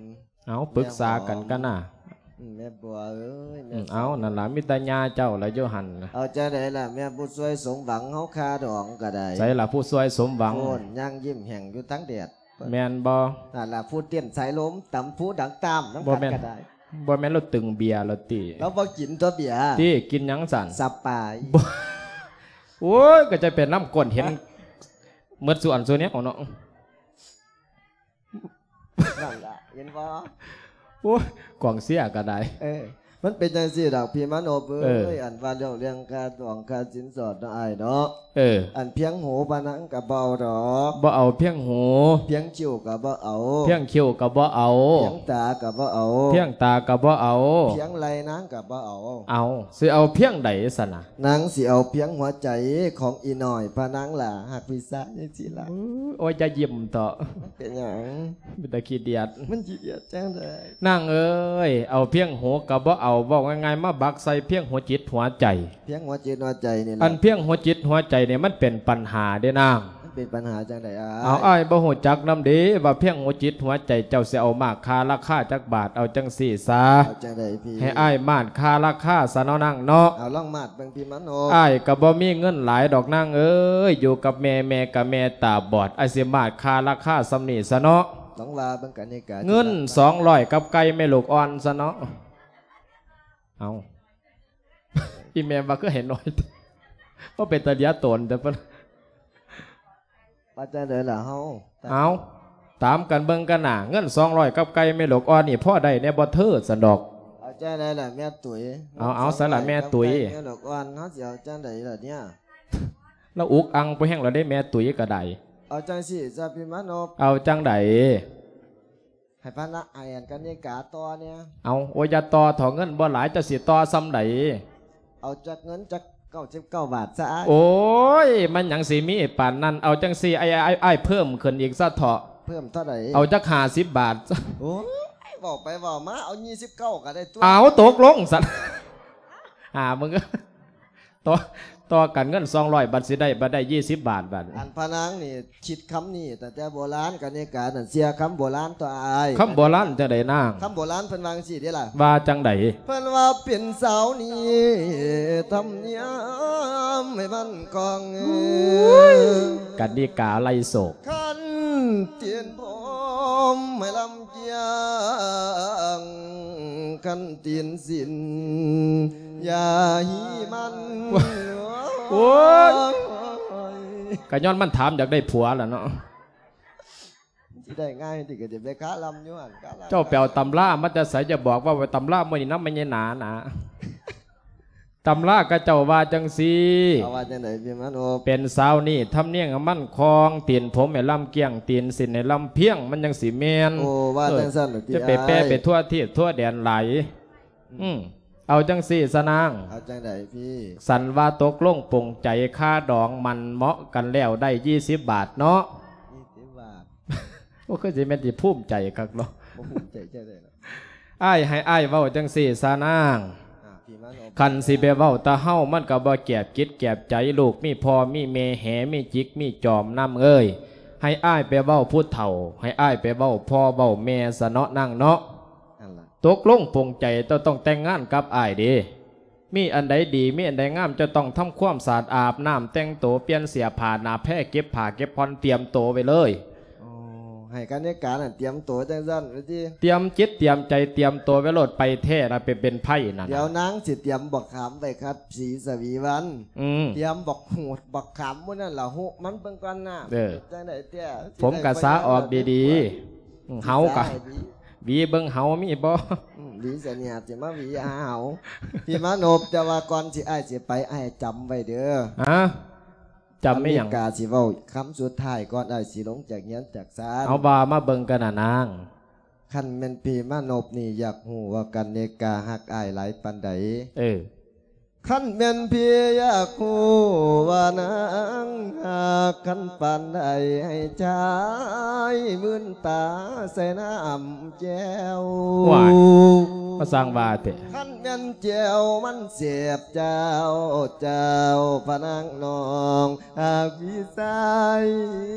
ເອົາ ປຶກສາກັນກັນນະ. ອືມ ແມ່ບົວເອີຍ ອືມ ແມ່ ເອົາ ນັ້ນລະ ມີແຕ່ຍ່າເຈົ້າລະຢູ່ຫັ້ນ. ເອົາຈັ່ງໃດລະແມ່ຜູ້ຊ່ວຍສົມຫວັງເຮົາ ຄ່າດອງກໍໄດ້. ໃສລະຜູ້ຊ່ວຍສົມຫວັງ? ໂອ້ນ ຍ່າງຍິ້ມແຫ້ງຢູ່ທາງແດດ. ແມ່ນບໍ່? ນັ້ນລະ ຜູ້ເຕັ້ນສາຍລົມ ຕຳຜູ້ດັງຕາມນຳກັນກໍໄດ້. ບໍ່ແມ່ນລາວຕຶງເບຍລະຕິ? ລາວບໍ່ກິນຕົວະເບຍ. ຕິ ກິນຫຍັງຊັ້ນ? ສະປາຍ. ບໍ່ ໂອ້ຍ ກໍຈະເປັນນ້ຳກົ້ນ ເຫັນໝົດສູ່ອັນສູ່ແນວເນາະ. ນັ້ນລະ ເຫັນບໍ່? ໂອ້ຍ ກອງເຊຍກໍໄດ້. ເອີ ມັນເປັນຈັ່ງຊີ້ດອກ ພີ່ມາໂນບເອີຍ. ເອີ ອັນວ່າເລື່ອງ ເລື່ອງຄ່າດອງຄ່າສິນສອດເນາະ ອ້າຍເນາະ. ເອີ ອັນພຽງຫູພະນັງກໍບໍ່ເອົາດອກ. ບໍ່ເອົາພຽງຫູ. ພຽງຄິ້ວກໍບໍ່ເອົາ. ພຽງຄິ້ວກໍບໍ່ເອົາ. ພຽງຕາກໍບໍ່ເອົາ. ພຽງຕາກໍບໍ່ເອົາ. ພຽງໄຫຼ່ນາງກໍບໍ່ເອົາ. ເອົາ ຊິເອົາພຽງໃດຊັ້ນນະ? ນາງຊິເອົາພຽງຫົວໃຈຂອງອີນ້ອຍພະນັງຫຼ້າ ຮັກພີ່ຊາຍຈັ່ງຊີ້ລະ. ໂອ້ຍ ຢ່າຍິ້ມເຖາະ. ເປັນຫຍັງ? ເປັນຕາຂີ້ດຽດ. ມັນຂີ້ດຽດຈັ່ງໃດ? ນາງເອີຍ ເອົາພຽງຫູກໍບໍ່ເອົາ, ເວົ້າງ່າຍໆ ມາບັກໃສ່ພຽງຫົວຈິດຫົວໃຈ. ພຽງຫົວຈິດຫົວໃຈນີ້ລະ. ອັນພຽງຫົວຈິດຫົວໃຈນີ້ ມັນເປັນປັນຫາເດ້ນາງ. ມັນເປັນປັນຫາຈັ່ງໃດອ້າຍ? ເອົາ ອ້າຍບໍ່ຮູ້ຈັກນຳເດ້ ວ່າພຽງຫົວຈິດຫົວໃຈເຈົ້າຊິເອົາມາຄ່າລາຄາຈັກບາດ? ເອົາຈັ່ງຊີ້ຊະ. ເອົາຈັ່ງໃດພີ່? ໃຫ້ອ້າຍມາດຄ່າລາຄາຊະເນາະນາງເນາະ. ເອົາ ລອງມາດເບິ່ງພີ່ມາໂນ. ອ້າຍກໍບໍ່ມີເງິນຫຼາຍດອກນາງເອີຍ, ຢູ່ກັບແມ່ ແມ່ກໍແມ່ຕາບອດ, ອ້າຍຊິມາດຄ່າລາຄາສ່ຳນີ້ຊະເນາະ. ຕ້ອງວ່າເບິ່ງກັນນີ້ກະ ເງິນສອງຮ້ອຍກັບໄກ່ແມ່ລູກອ່ອນຊະເນາະ. ເອົາ ອີແມ່ວ່າຄືໃຫ້ໜ້ອຍ ບໍ່ເປັນຕາເຫຼືອຕົນແຕ່ ວ່າຈັ່ງໃດລະເຮົາ? ເອົາ ຕາມກັນເບິ່ງກັນນະ, ເງິນສອງຮ້ອຍກັບໄກ່ແມ່ລູກອ່ອນນີ້ ພໍໄດ້ແດ່ບໍ່ເທີ ຊັ້ນດອກ. ເອົາຈັ່ງໃດລະແມ່ຕຸ້ຍ? ເອົາ ເອົາ ຊັ້ນລະແມ່ຕຸ້ຍ ແມ່ລູກອ່ອນ ເຮົາຊິເອົາຈັ່ງໃດລະເນຍ? ລາວອຸກອັ່ງໄປແຮງແລ້ວເດ້ ແມ່ຕຸ້ຍກໍໄດ້. ເອົາຈັ່ງຊີ້ຊະພີ່ມານົບ. ເອົາຈັ່ງໃດ? ໃຫ້ພະນະ ໃຫ້ອັນກະນິກາຕໍ່ແດ່. ເອົາ ໂອ້ຍ ຢ່າຕໍ່ເຖາະ ເງິນບໍ່ຫຼາຍ ເຈົ້າຊິຕໍ່ສ່ຳໃດ? ເອົາຈັກເງິນຈັກເກົ້າສິບເກົ້າບາດຊະອ້າຍ. ໂອ້ຍ ມັນຫຍັງຊິມີປານນັ້ນ. ເອົາຈັ່ງຊີ້ ອ້າຍ ອ້າຍ ອ້າຍເພີ່ມຂຶ້ນອີກຊະເຖາະ. ເພີ່ມເທົ່າໃດ? ເອົາຈັກຫ້າສິບບາດ. ໂອ້ຍ ເວົ້າໄປເວົ້າມາ ເອົາຊາວເກົ້າກໍໄດ້ຕົວະ. ເອົາ ຕົກລົງຊັ້ນ. ອ່າ ມຶງ ຕໍ່ ຕໍ່ກັນເງິນສອງຮ້ອຍ ບັດຊິໄດ້ ບັດໄດ້ຊາວບາດ ບັດ. ອັນພະນາງນີ້ຄິດຄຳນີ້ຕັ້ງແຕ່ໂບລານການເນການັ້ນ ເຊື່ອຄຳໂບລານຕົວະອ້າຍ. ຄຳໂບລານຈັ່ງໃດນາງ? ຄຳໂບລານເພິ່ນວ່າຈັ່ງຊີ້ເດ້ລະ. ວ່າຈັ່ງໃດ? ເພິ່ນວ່າເປັນສາວນີ້ທຳນຽມໃຫ້ໝັ້ນຄົງ. ໂອ້ຍ ການເນກາໄລ່ໂສກ. ຄັນຕີນຜົມໃຫ້ລຳ ກຽງ ຄັນຕີນສິນຢ່າຫີມັນ. ໂອ້ຍ ກະຍ້ອນມັນຖາມຢາກໄດ້ຜົວລະເນາະ. ຊິໄດ້ງ່າຍຕິ ກະຊິໄປຄາລຳຢູ່ຫັ້ນ. ເຈົ້າໄປເອົາຕຳລາມາແຕ່ໃສ? ຢ່າບອກວ່າໄປຕຳລາມື້ນີ້ນຳແມ່ໃຫຍ່ໜານະ. ຕຳລາເຂົາເຈົ້າວ່າຈັ່ງຊີ້. ເຂົາວ່າຈັ່ງໃດພີ່ມານົບ? ເປັນສາວນີ້ທຳນຽມໃຫ້ໝັ້ນຄົງ, ຕີນຜົມໃຫ້ລຳກ້ຽງ, ຕີນສິນໃຫ້ລຳພຽງ, ມັນຈັ່ງຊິແມ່ນ. ໂອ້ ວ່າຈັ່ງຊັ້ນຕິ. ເອີ ຈະໄປແປໄປທົ່ວທີບທົ່ວແດນຫຼາຍ. ອືມ ເອົາຈັ່ງຊີ້ຊະນາງ. ເອົາຈັ່ງໃດພີ່? ສັນວ່າຕົກລົງປົງໃຈ ຄາດອງໝັ້ນເໝາະກັນແລ້ວ ໄດ້ຊາວບາດເນາະ. ຊາວບາດ. ໂອ້ ຄືຊິແມ່ນຊິພູມໃຈຄັກເນາະ. ບໍ່ພູມໃຈຈັ່ງໃດລະ. ອ້າຍ ໃຫ້ອ້າຍເວົ້າຈັ່ງຊີ້ຊະນາງ. ອ່າ ພີ່ມານົບ. ຄັນຊິໄປເວົ້າແຕ່ເຮົາ ມັນກໍບໍ່ແກບຈິດແກບໃຈ. ລູກມີພໍ່ມີແມ່ແຫ ມີຈິກມີຈອມນາງເອີຍ. ໃຫ້ອ້າຍໄປເວົ້າຜູ້ເຖົ້າ ໃຫ້ອ້າຍໄປເວົ້າພໍ່ເວົ້າແມ່ຊະເນາະນາງເນາະ. ນັ້ນລະ. ຕົກລົງປົງໃຈ ເຈົ້າຕ້ອງແຕ່ງງານກັບອ້າຍເດ້. ມີອັນໃດດີ ມີອັນໃດງາມ ເຈົ້າຕ້ອງທຳຄວາມສະອາດ ອາບນ້ຳ ແຕ່ງໂຕ ປ່ຽນເສື້ອຜ້າໜ້າແພ ເກັບຜ້າເກັບຜ່ອນ ຕຽມໂຕໄວ້ເລີຍ. ໂອ້ ໃຫ້ການເນການັ້ນຕຽມໂຕຈັ່ງຊັ້ນວ່າຕິ. ຕຽມຈິດຕຽມໃຈ ຕຽມໂຕໄວ້ໂລດ. ໄປແທ້ລະ ໄປເປັນໄພນັ້ນ. ດຽວນາງຊິຕຽມບັກຂາມໄວ້ຄັດສີສະຫວີວັນ. ອືມ ຕຽມບັກຫູດບັກຂາມໝູ່ນັ້ນລະ ຫຸມັນເບິ່ງກ່ອນນະ. ເອີ ຈັ່ງໃດແທ້? ຜົມກະສະອອກດີໆ. ເຮົາກະ ຫວີເບິ່ງເຫົາມີບໍ່? ອືມ ຫວີສະເໜຍຊິມາຫວີຫາເຫົາ. ພີ່ມານົບ ແຕ່ວ່າກ່ອນຊິ ອ້າຍຊິໄປ ອ້າຍຈຳໄວ້ເດີ. ຮະ? ຈຳອີ່ຫຍັງ? ອາເມລິກາຊິເວົ້າຄຳສຸດທ້າຍກ່ອນອ້າຍຊິລົງຈາກເຮືອນຈາກຊານ. ເອົາ ວ່າມາເບິ່ງກັນນະນາງ. ຄັນແມ່ນພີ່ມານົບນີ້ຢາກຮູ້ວ່າກັນນິກາຮັກອ້າຍຫຼາຍປານໃດ? ເອີ. ຄັນແມ່ນພີ່ຢາກຮູ້ວ່ານາງຮັກກັນປານໃດ ໃຫ້ຊາຍມື່ນຕາໃສ່ນ້ຳແຈ່ວ. ວ້າຍ ມາສ້າງວ່າແທ້. ຄັນແມ່ນແຈ່ວມັນແຊບເຈົ້າ ເຈົ້າພະນາງນ້ອງຮັກພີ່ຊາຍ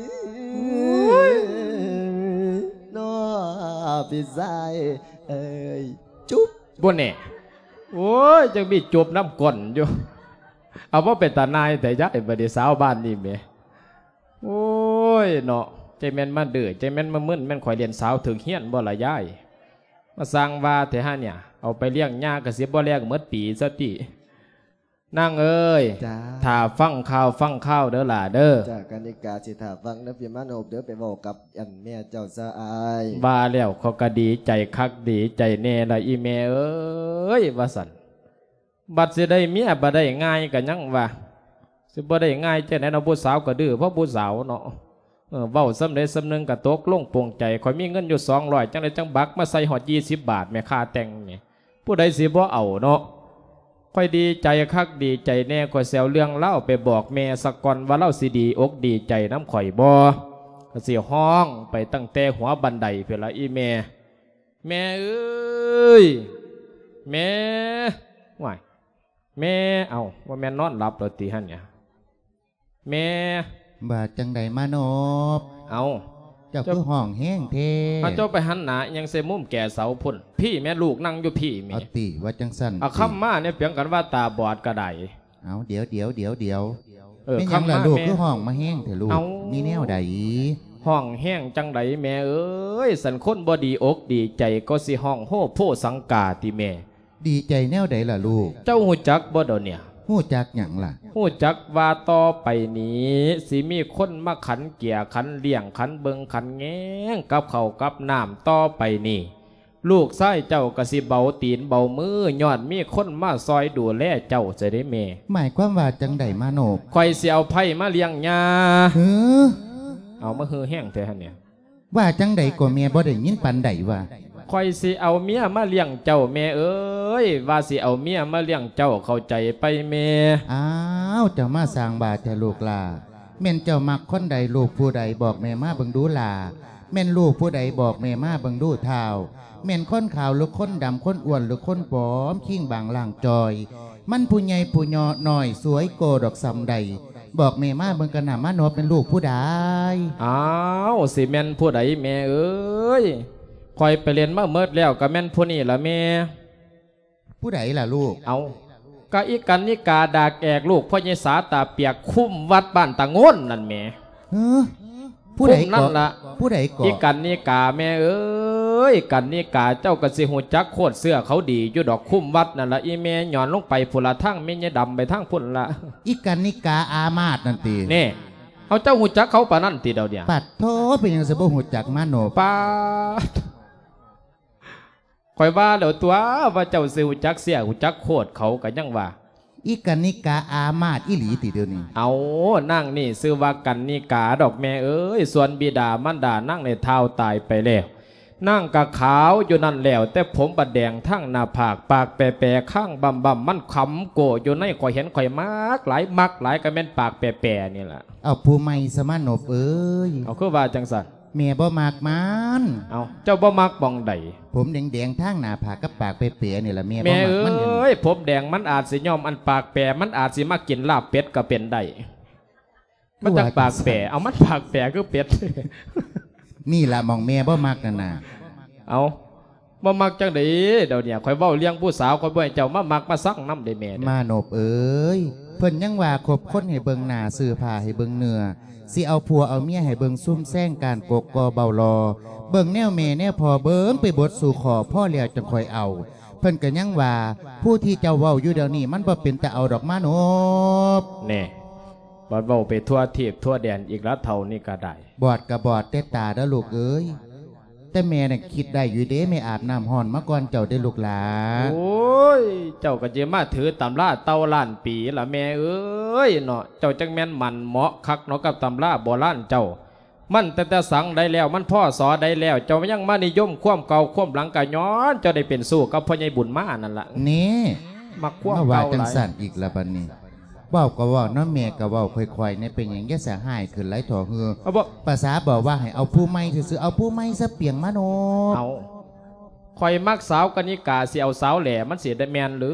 ໂອ້ຍ ເນາະ ພີ່ຊາຍເອີຍ ຈຸບ. ບໍ່ແນ່. ໂອ້ຍ ຈັ່ງມີຈົບນຳກ້ອນຢູ່. ເອົາ ບໍ່ເປັນຕາໜ່າຍແທ້ຍາຍ ບັດນີ້ສາວບ້ານນີ້ແໝ. ໂອ້ຍເນາະ ຈັກແມ່ນມາດື້ ຈັກແມ່ນມາມຶນ ແມ່ນຂ້ອຍຫຼິ້ນສາວຖືກຮຽນບໍ່ລະຍາຍ? ມາສ້າງວ່າແທ້ຫາເນຍ ເອົາໄປລ້ຽງຍາກໍຊິບໍ່ແລ້ງໝົດປີຊະຕິ. ນາງເອີຍ ຈ້າ ຖ້າຟັງຂ່າວຟັງຄາວເດີຫຼ້າເດີ. ຈ້າ ກະນິກາຊິຖ້າຟັງເດີ ພີ່ມານົບເດີ ໄປເວົ້າກັບອັນແມ່ເຈົ້າຊະອ້າຍ. ວ່າແລ້ວ ຂ້ອຍກໍດີໃຈຄັກດີໃຈແນ່ລະອີ່ແມ່ເອີຍ ວ່າຊັ້ນ. ບັດຊິໄດ້ເມຍບໍ່ໄດ້ງ່າຍກໍຍັງວ່າ ຊິບໍ່ໄດ້ງ່າຍຈັ່ງໃດເນາະ ຜູ້ສາວກໍດື້ເພາະຜູ້ສາວເນາະ. ເອີ ເວົ້າສ່ຳໃດສ່ຳໜຶ່ງກໍຕົກລົງປົງໃຈ ຂ້ອຍມີເງິນຢູ່ສອງຮ້ອຍ ຈັ່ງໃດຈັ່ງບັກມາໃສ່ຮອດຊາວບາດແໝ ຄ່າແຕ່ງແໝ. ຜູ້ໃດຊິບໍ່ເອົາເນາະ. ຂ້ອຍດີໃຈຄັກດີໃຈແນ່ ຂ້ອຍຊິເອົາເລື່ອງລາວໄປບອກແມ່ສາກ່ອນວ່າລາວຊິດີອົກດີໃຈນຳຂ້ອຍບໍ່. ກໍຊິຮ້ອງໄປຕັ້ງແຕ່ຫົວບັນໄດພຸ້ນລະອີ່ແມ່. ແມ່ເອີຍ ແມ່ ວ້າຍ ແມ່ ເອົ້າ ບໍ່ແມ່ນນອນຫຼັບແລ້ວຕິຫັ້ນນະ? ແມ່ ວ່າຈັ່ງໃດມານົບ? ເອົ້າ ເຈົ້າຄືຮ້ອງແຮງແທ້? ເອົາ ເຈົ້າໄປຫັນໜ້າອີ່ຫຍັງໃສ່ມຸມແກເສົາພຸ້ນ? ພີ້ແມ່ ລູກນັ່ງຢູ່ພີ້ແມ່. ເອົາຕິ ວ່າຈັ່ງຊັ້ນຕິ. ເອົາ ຄຳມາແນວປຽງກັນວ່າຕາບອດກໍໄດ້. ເອົາ ດຽວໆ ດຽວໆ ເອີ ເປັນຫຍັງລະລູກ ຄືຮ້ອງມາແຮງແທ້ລູກ? ເອົ້າ ມີແນວໃດ? ຮ້ອງແຮງຈັ່ງໃດແມ່ເອີຍ? ສັນຄົນບໍ່ດີອົກດີໃຈກໍຊິຮ້ອງໂຮໂພສັງກາຕິແມ່. ດີໃຈແນວໃດລະລູກ? ເຈົ້າຮູ້ຈັກບໍ່ດຽວນີ້? ຮູ້ຈັກຫຍັງລະ? ຮູ້ຈັກວ່າຕໍ່ໄປນີ້ ຊິມີຄົນມາຂັນເກຍ ຂັນລ້ຽງ ຂັນເບິ່ງ ຂັນແຍງກັບເຂົ້າກັບນ້ຳຕໍ່ໄປນີ້ ລູກຊາຍເຈົ້າກໍຊິເບົາຕີນເບົາມື ຍ້ອນມີຄົນມາຊ່ອຍດູແລເຈົ້າຊະເດ້ແມ່. ໝາຍຄວາມວ່າຈັ່ງໃດມານົບ? ຂ້ອຍຊິເອົາໄພ້ມາລ້ຽງຍ່າ. ຫື? ເອົາ ມາຫືແຮງແທ້ຫັ້ນເນຍ. ວ່າຈັ່ງໃດກໍແມ່ ບໍ່ໄດ້ຍິນປານໃດວ່າ. ຂ້ອຍຊິເອົາເມຍມາລ້ຽງເຈົ້າແມ່ເອີຍ ວ່າຊິເອົາເມຍມາລ້ຽງເຈົ້າ ເຂົ້າໃຈໄປແມ່? ອ້າວ ເຈົ້າມາສ້າງວ່າແທ້ລູກຫຼ້າ. ແມ່ນເຈົ້າມັກຄົນໃດ ລູກຜູ້ໃດ ບອກແມ່ມາເບິ່ງດູຫຼ້າ. ແມ່ນລູກຜູ້ໃດ ບອກແມ່ມາເບິ່ງດູທ້າວ. ແມ່ນຄົນຂາວ ຫຼື ຄົນດຳ ຄົນອ້ວນ ຫຼື ຄົນຜອມ ຄີງບາງລ່າງຈ່ອຍ ມັນຜູ້ໃຫຍ່ຜູ້ນ້ອຍ ສວຍໂກດອກສ່ຳໃດ ບອກແມ່ມາເບິ່ງກະນະ ມານົບແມ່ນລູກຜູ້ໃດ? ອ້າວ ຊິແມ່ນຜູ້ໃດແມ່ເອີຍ? ຂ້ອຍໄປຫຼິ້ນມາໝົດແລ້ວ ກະແມ່ນຜູ້ນີ້ລະແມ່. ຜູ້ໃດລະລູກ? ເອົ້າ ກະອີ່ກັນນິກາດາກແອກ ລູກພໍ່ໃຫຍ່ສາຕາປຽກ ຄຸ້ມວັດບ້ານຕາໂງນນັ້ນແໝ. ຫື? ຜູ້ໃດເກາະ? ຜູ້ນັ້ນລະ ຜູ້ໃດເກາະ? ອີ່ກັນນິກາແມ່ເອີຍ ກັນນິກາ ເຈົ້າກໍຊິຮູ້ຈັກໂຄດເຊື້ອເຂົາດີຢູ່ດອກ ຄຸ້ມວັດນັ້ນລະອີ່ແມ່. ຍ້ອນລົງໄປພຸ້ນລະ ທາງແມ່ຍາຍດຳໄປທາງພຸ້ນລະ. ອີ່ກັນນິກາອາມາດນັ້ນຕິ? ແນ່ ເອົາ ເຈົ້າຮູ້ຈັກເຂົາປານນັ້ນຕິດຽວນີ້? ປາດໂທ ເປັນຫຍັງຊິບໍ່ຮູ້ຈັກມາໂນ? ປາດ ຂ້ອຍວ່າແລ້ວຕົວະ ວ່າເຈົ້າຊິຮູ້ຈັກເຊື້ອ ຮູ້ຈັກໂຄດເຂົາ ກໍຍັງວ່າ ອີ່ກັນນິກາອາມາດອີ່ຫຼີຕິດຽວນີ້? ເອົາ ນາງນີ້ຊື່ວ່າກັນນິກາດອກແມ່ເອີຍ. ສ່ວນບິດາມານດານາງນີ້ທ້າວຕາຍໄປແລ້ວ. ນາງກະຂາວຢູ່ນັ້ນແລ້ວ ແຕ່ຜົມບັດແດງທັງໜ້າຜາກ ປາກແປໆ ຄາງບຳໆ ມັນຂຳໂກ້ຢູ່ໃນ. ຂ້ອຍເຫັນຂ້ອຍມັກຫຼາຍ ມັກຫຼາຍກໍແມ່ນປາກແປໆນີ້ລະ. ເອົາ ຜູ້ໃໝ່ສະມານົບເອີຍ. ເອົາ ຄືວ່າຈັ່ງຊັ້ນ? ແມ່ບໍ່ມັກມັນ. ເອົາ ເຈົ້າບໍ່ມັກໝ່ອງໃດ? ຜົມແດງໆ ທາງໜ້າຜາກກັບປາກແປໆນີ້ລະ ແມ່ບໍ່ມັກມັນ. ແມ່ເອີຍ ຜົມແດງມັນອາດຊິຍ້ອມອັນປາກແປ ມັນອາດຊິມາກິນລາບເປັດກໍເປັນໄດ້. ມັນຈັກປາກແປ? ເອົາ ມັນປາກແປຄືເປັດ. ນີ້ລະໝ່ອງແມ່ບໍ່ມັກນັ້ນນະ. ເອົາ ບໍ່ມັກຈັ່ງໃດດຽວນີ້? ຂ້ອຍເວົ້າເລື່ອງຜູ້ສາວ ຂ້ອຍບໍ່ໃຫ້ເຈົ້າມາມັກມາຊັງນຳເດ້ແມ່ເດ້. ມານົບເອີຍ ເພິ່ນຍັງວ່າຄົບຄົນໃຫ້ເບິ່ງໜ້າ ຊື້ຜ້າໃຫ້ເບິ່ງເນື້ອ ຊິເອົາຜົວເອົາເມຍໃຫ້ເບິ່ງຊຸມແຊງ ການກົກກໍເບົາລໍ ເບິ່ງແນວແມ່ແນວພໍ່ ເບິ່ງໄປເບິດສູ່ຂໍ້ ພໍແລ້ວຈັ່ງຄ່ອຍເອົາ. ເພິ່ນກໍຍັງວ່າ ຜູ້ທີ່ເຈົ້າເວົ້າຢູ່ດຽວນີ້ ມັນບໍ່ເປັນຕາເອົາດອກມານົບ. ແນ່ ບັດເວົ້າໄປທົ່ວທີບທົ່ວແດນອີກລະ ເຖົ້ານີ້ກໍໄດ້. ບອດກໍບອດແຕ່ຕາເດີ້ລູກເອີຍ. ແຕ່ແມ່ນະຄິດໄດ້ຢູ່ເດ້ ແມ່ອາບນ້ຳຮ້ອນມາກ່ອນເຈົ້າເດ້ລູກຫຼາ. ໂອ້ຍ ເຈົ້າກໍຊິມາຖືຕຳລາເຕົ່າລ້ານປີລະແມ່ເອີຍເນາະ. ເຈົ້າຈັກແມ່ນໝັ້ນເໝາະຄັກເນາະກັບຕຳລາໂບລານເຈົ້າ. ມັນຕັ້ງແຕ່ສັງໃດແລ້ວ ມັນ ພ.ສ. ໃດແລ້ວ ເຈົ້າຍັງມານິຍົມຄວາມເກົ່າຄວາມຫຼັງ ກໍຍ້ອນເຈົ້າໄດ້ເປັນຊູ້ກັບພໍ່ໃຫຍ່ບຸນມານັ້ນລະ. ນີ້ ມັກຄວາມ ມາວ່າ ເກົ່າ ຈັ່ງ ຫຼາຍ ຊັ້ນອີກລະບັດນີ້. ເວົ້າກໍເວົ້າເນາະ ແມ່ກໍເວົ້າຄ່ອຍໆແດ່ ເປັນຫຍັງຢ່າສະຮ້າຍຂຶ້ນຫຼາຍເຖາະເຮີ. ເອົາບໍ່ ປະສາບອກວ່າໃຫ້ເອົາຜູ້ໃໝ່ຊື່ໆ ເອົາຜູ້ໃໝ່ຊະປຽງມາໂນບ. ເອົາ ຂ້ອຍມັກສາວກະນິກາ ຊິເອົາສາວແຫຼ ມັນຊິໄດ້ແມ່ນຫຼື?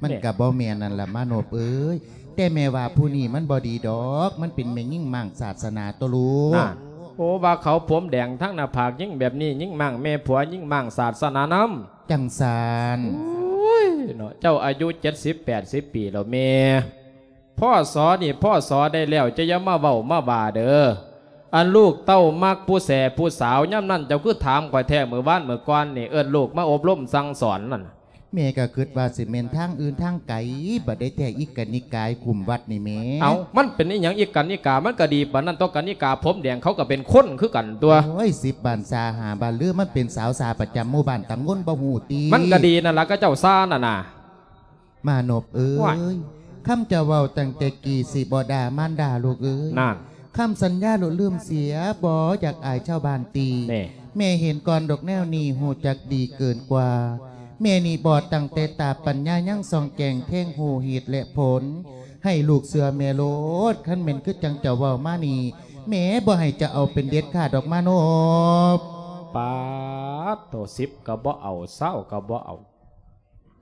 ມັນ ແມ່ ກະບໍ່ແມ່ນນັ້ນລະມາໂນບເອີຍ. ແຕ່ແມ່ວ່າຜູ້ນີ້ມັນບໍ່ດີດອກ ມັນເປັນແມ່ຍິງມ້າງສາດສະໜາຕົວລູກ. ນັ້ນ ໂອ້ ວ່າເຂົາຜົມແດງທັງໜ້າຜາກ ຍິງແບບນີ້ ຍິງມ້າງແມ່ຜົວ ຍິງມ້າງສາດສະໜານຳ. ຈັ່ງຊັ້ນ. ໂອ້ຍເນາະ ເຈົ້າອາຍຸເຈັດສິບແປດສິບປີແລ້ວແມ່. ພ.ສ. ນີ້ ພ.ສ. ໃດແລ້ວ ເຈົ້າຢ່າມາເວົ້າມາວ່າເດີ. ອັນລູກເຕົ້າມັກຜູ້ແສຜູ້ສາວ ຍາມນັ້ນເຈົ້າຄືຖາມຂ້ອຍແທ້ ມື້ວານມື້ກ່ອນນີ້ ເອີ້ນລູກມາອົບຮົມສັ່ງສອນນັ້ນ. ແມ່ກໍຄິດວ່າຊິແມ່ນທາງອື່ນທາງໄກ ບັດໃດແທ້ອີກະນິກາຍຄຸ້ມວັດນີ້ແມ່. ເອົ້າ ມັນເປັນອີຫຍັງອີກະນິກາ ມັນກໍດີປານນັ້ນຕົວະ ກະນິກາຜົມແດງ ເຂົາກໍເປັນຄົນຄືກັນຕົວະ. ໂອ້ຍ ສິບບ້ານຊາຫ້າບ້ານລື ມັນເປັນສາວຊາປະຈຳໝູ່ບ້ານຕຳບົນບໍ່ຮູ້ຕິ. ມັນກໍດີນັ້ນລະ ຂະເຈົ້າຊານັ້ນນະ. ມາໂນບເອີຍ ວ້າຍ ຄຳເຈົ້າເວົ້າຕັ້ງແຕ່ກີ້ ຊິບໍ່ດ່າມານດາລູກເອີຍ. ນັ້ນ ຄຳສັນຍາລູກລືມເສຍ ບໍ່ຢາກອາຍຊາວບ້ານຕິ. ແນ່ ແມ່ເຫັນກ່ອນດອກແນວນີ້ ຮູ້ຈັກດີເກີນກວ່າ. ແມ່ນີ້ບອດຕັ້ງແຕ່ຕາ ປັນຍາຍັງສ່ອງແຈ້ງແທງຮູ້ເຫດແລະຜົນ. ໃຫ້ລູກເຊື່ອແມ່ໂລດ ຄັນແມ່ນຄືຈັ່ງເຈົ້າເວົ້າມານີ້ ແມ່ບໍ່ໃຫ້ເຈົ້າເອົາເປັນເດັດຂາດດອກມາໂນບ. ປາດໂທ້ ສິບກໍບໍ່ເອົາ ຊາວກໍບໍ່ເອົາ.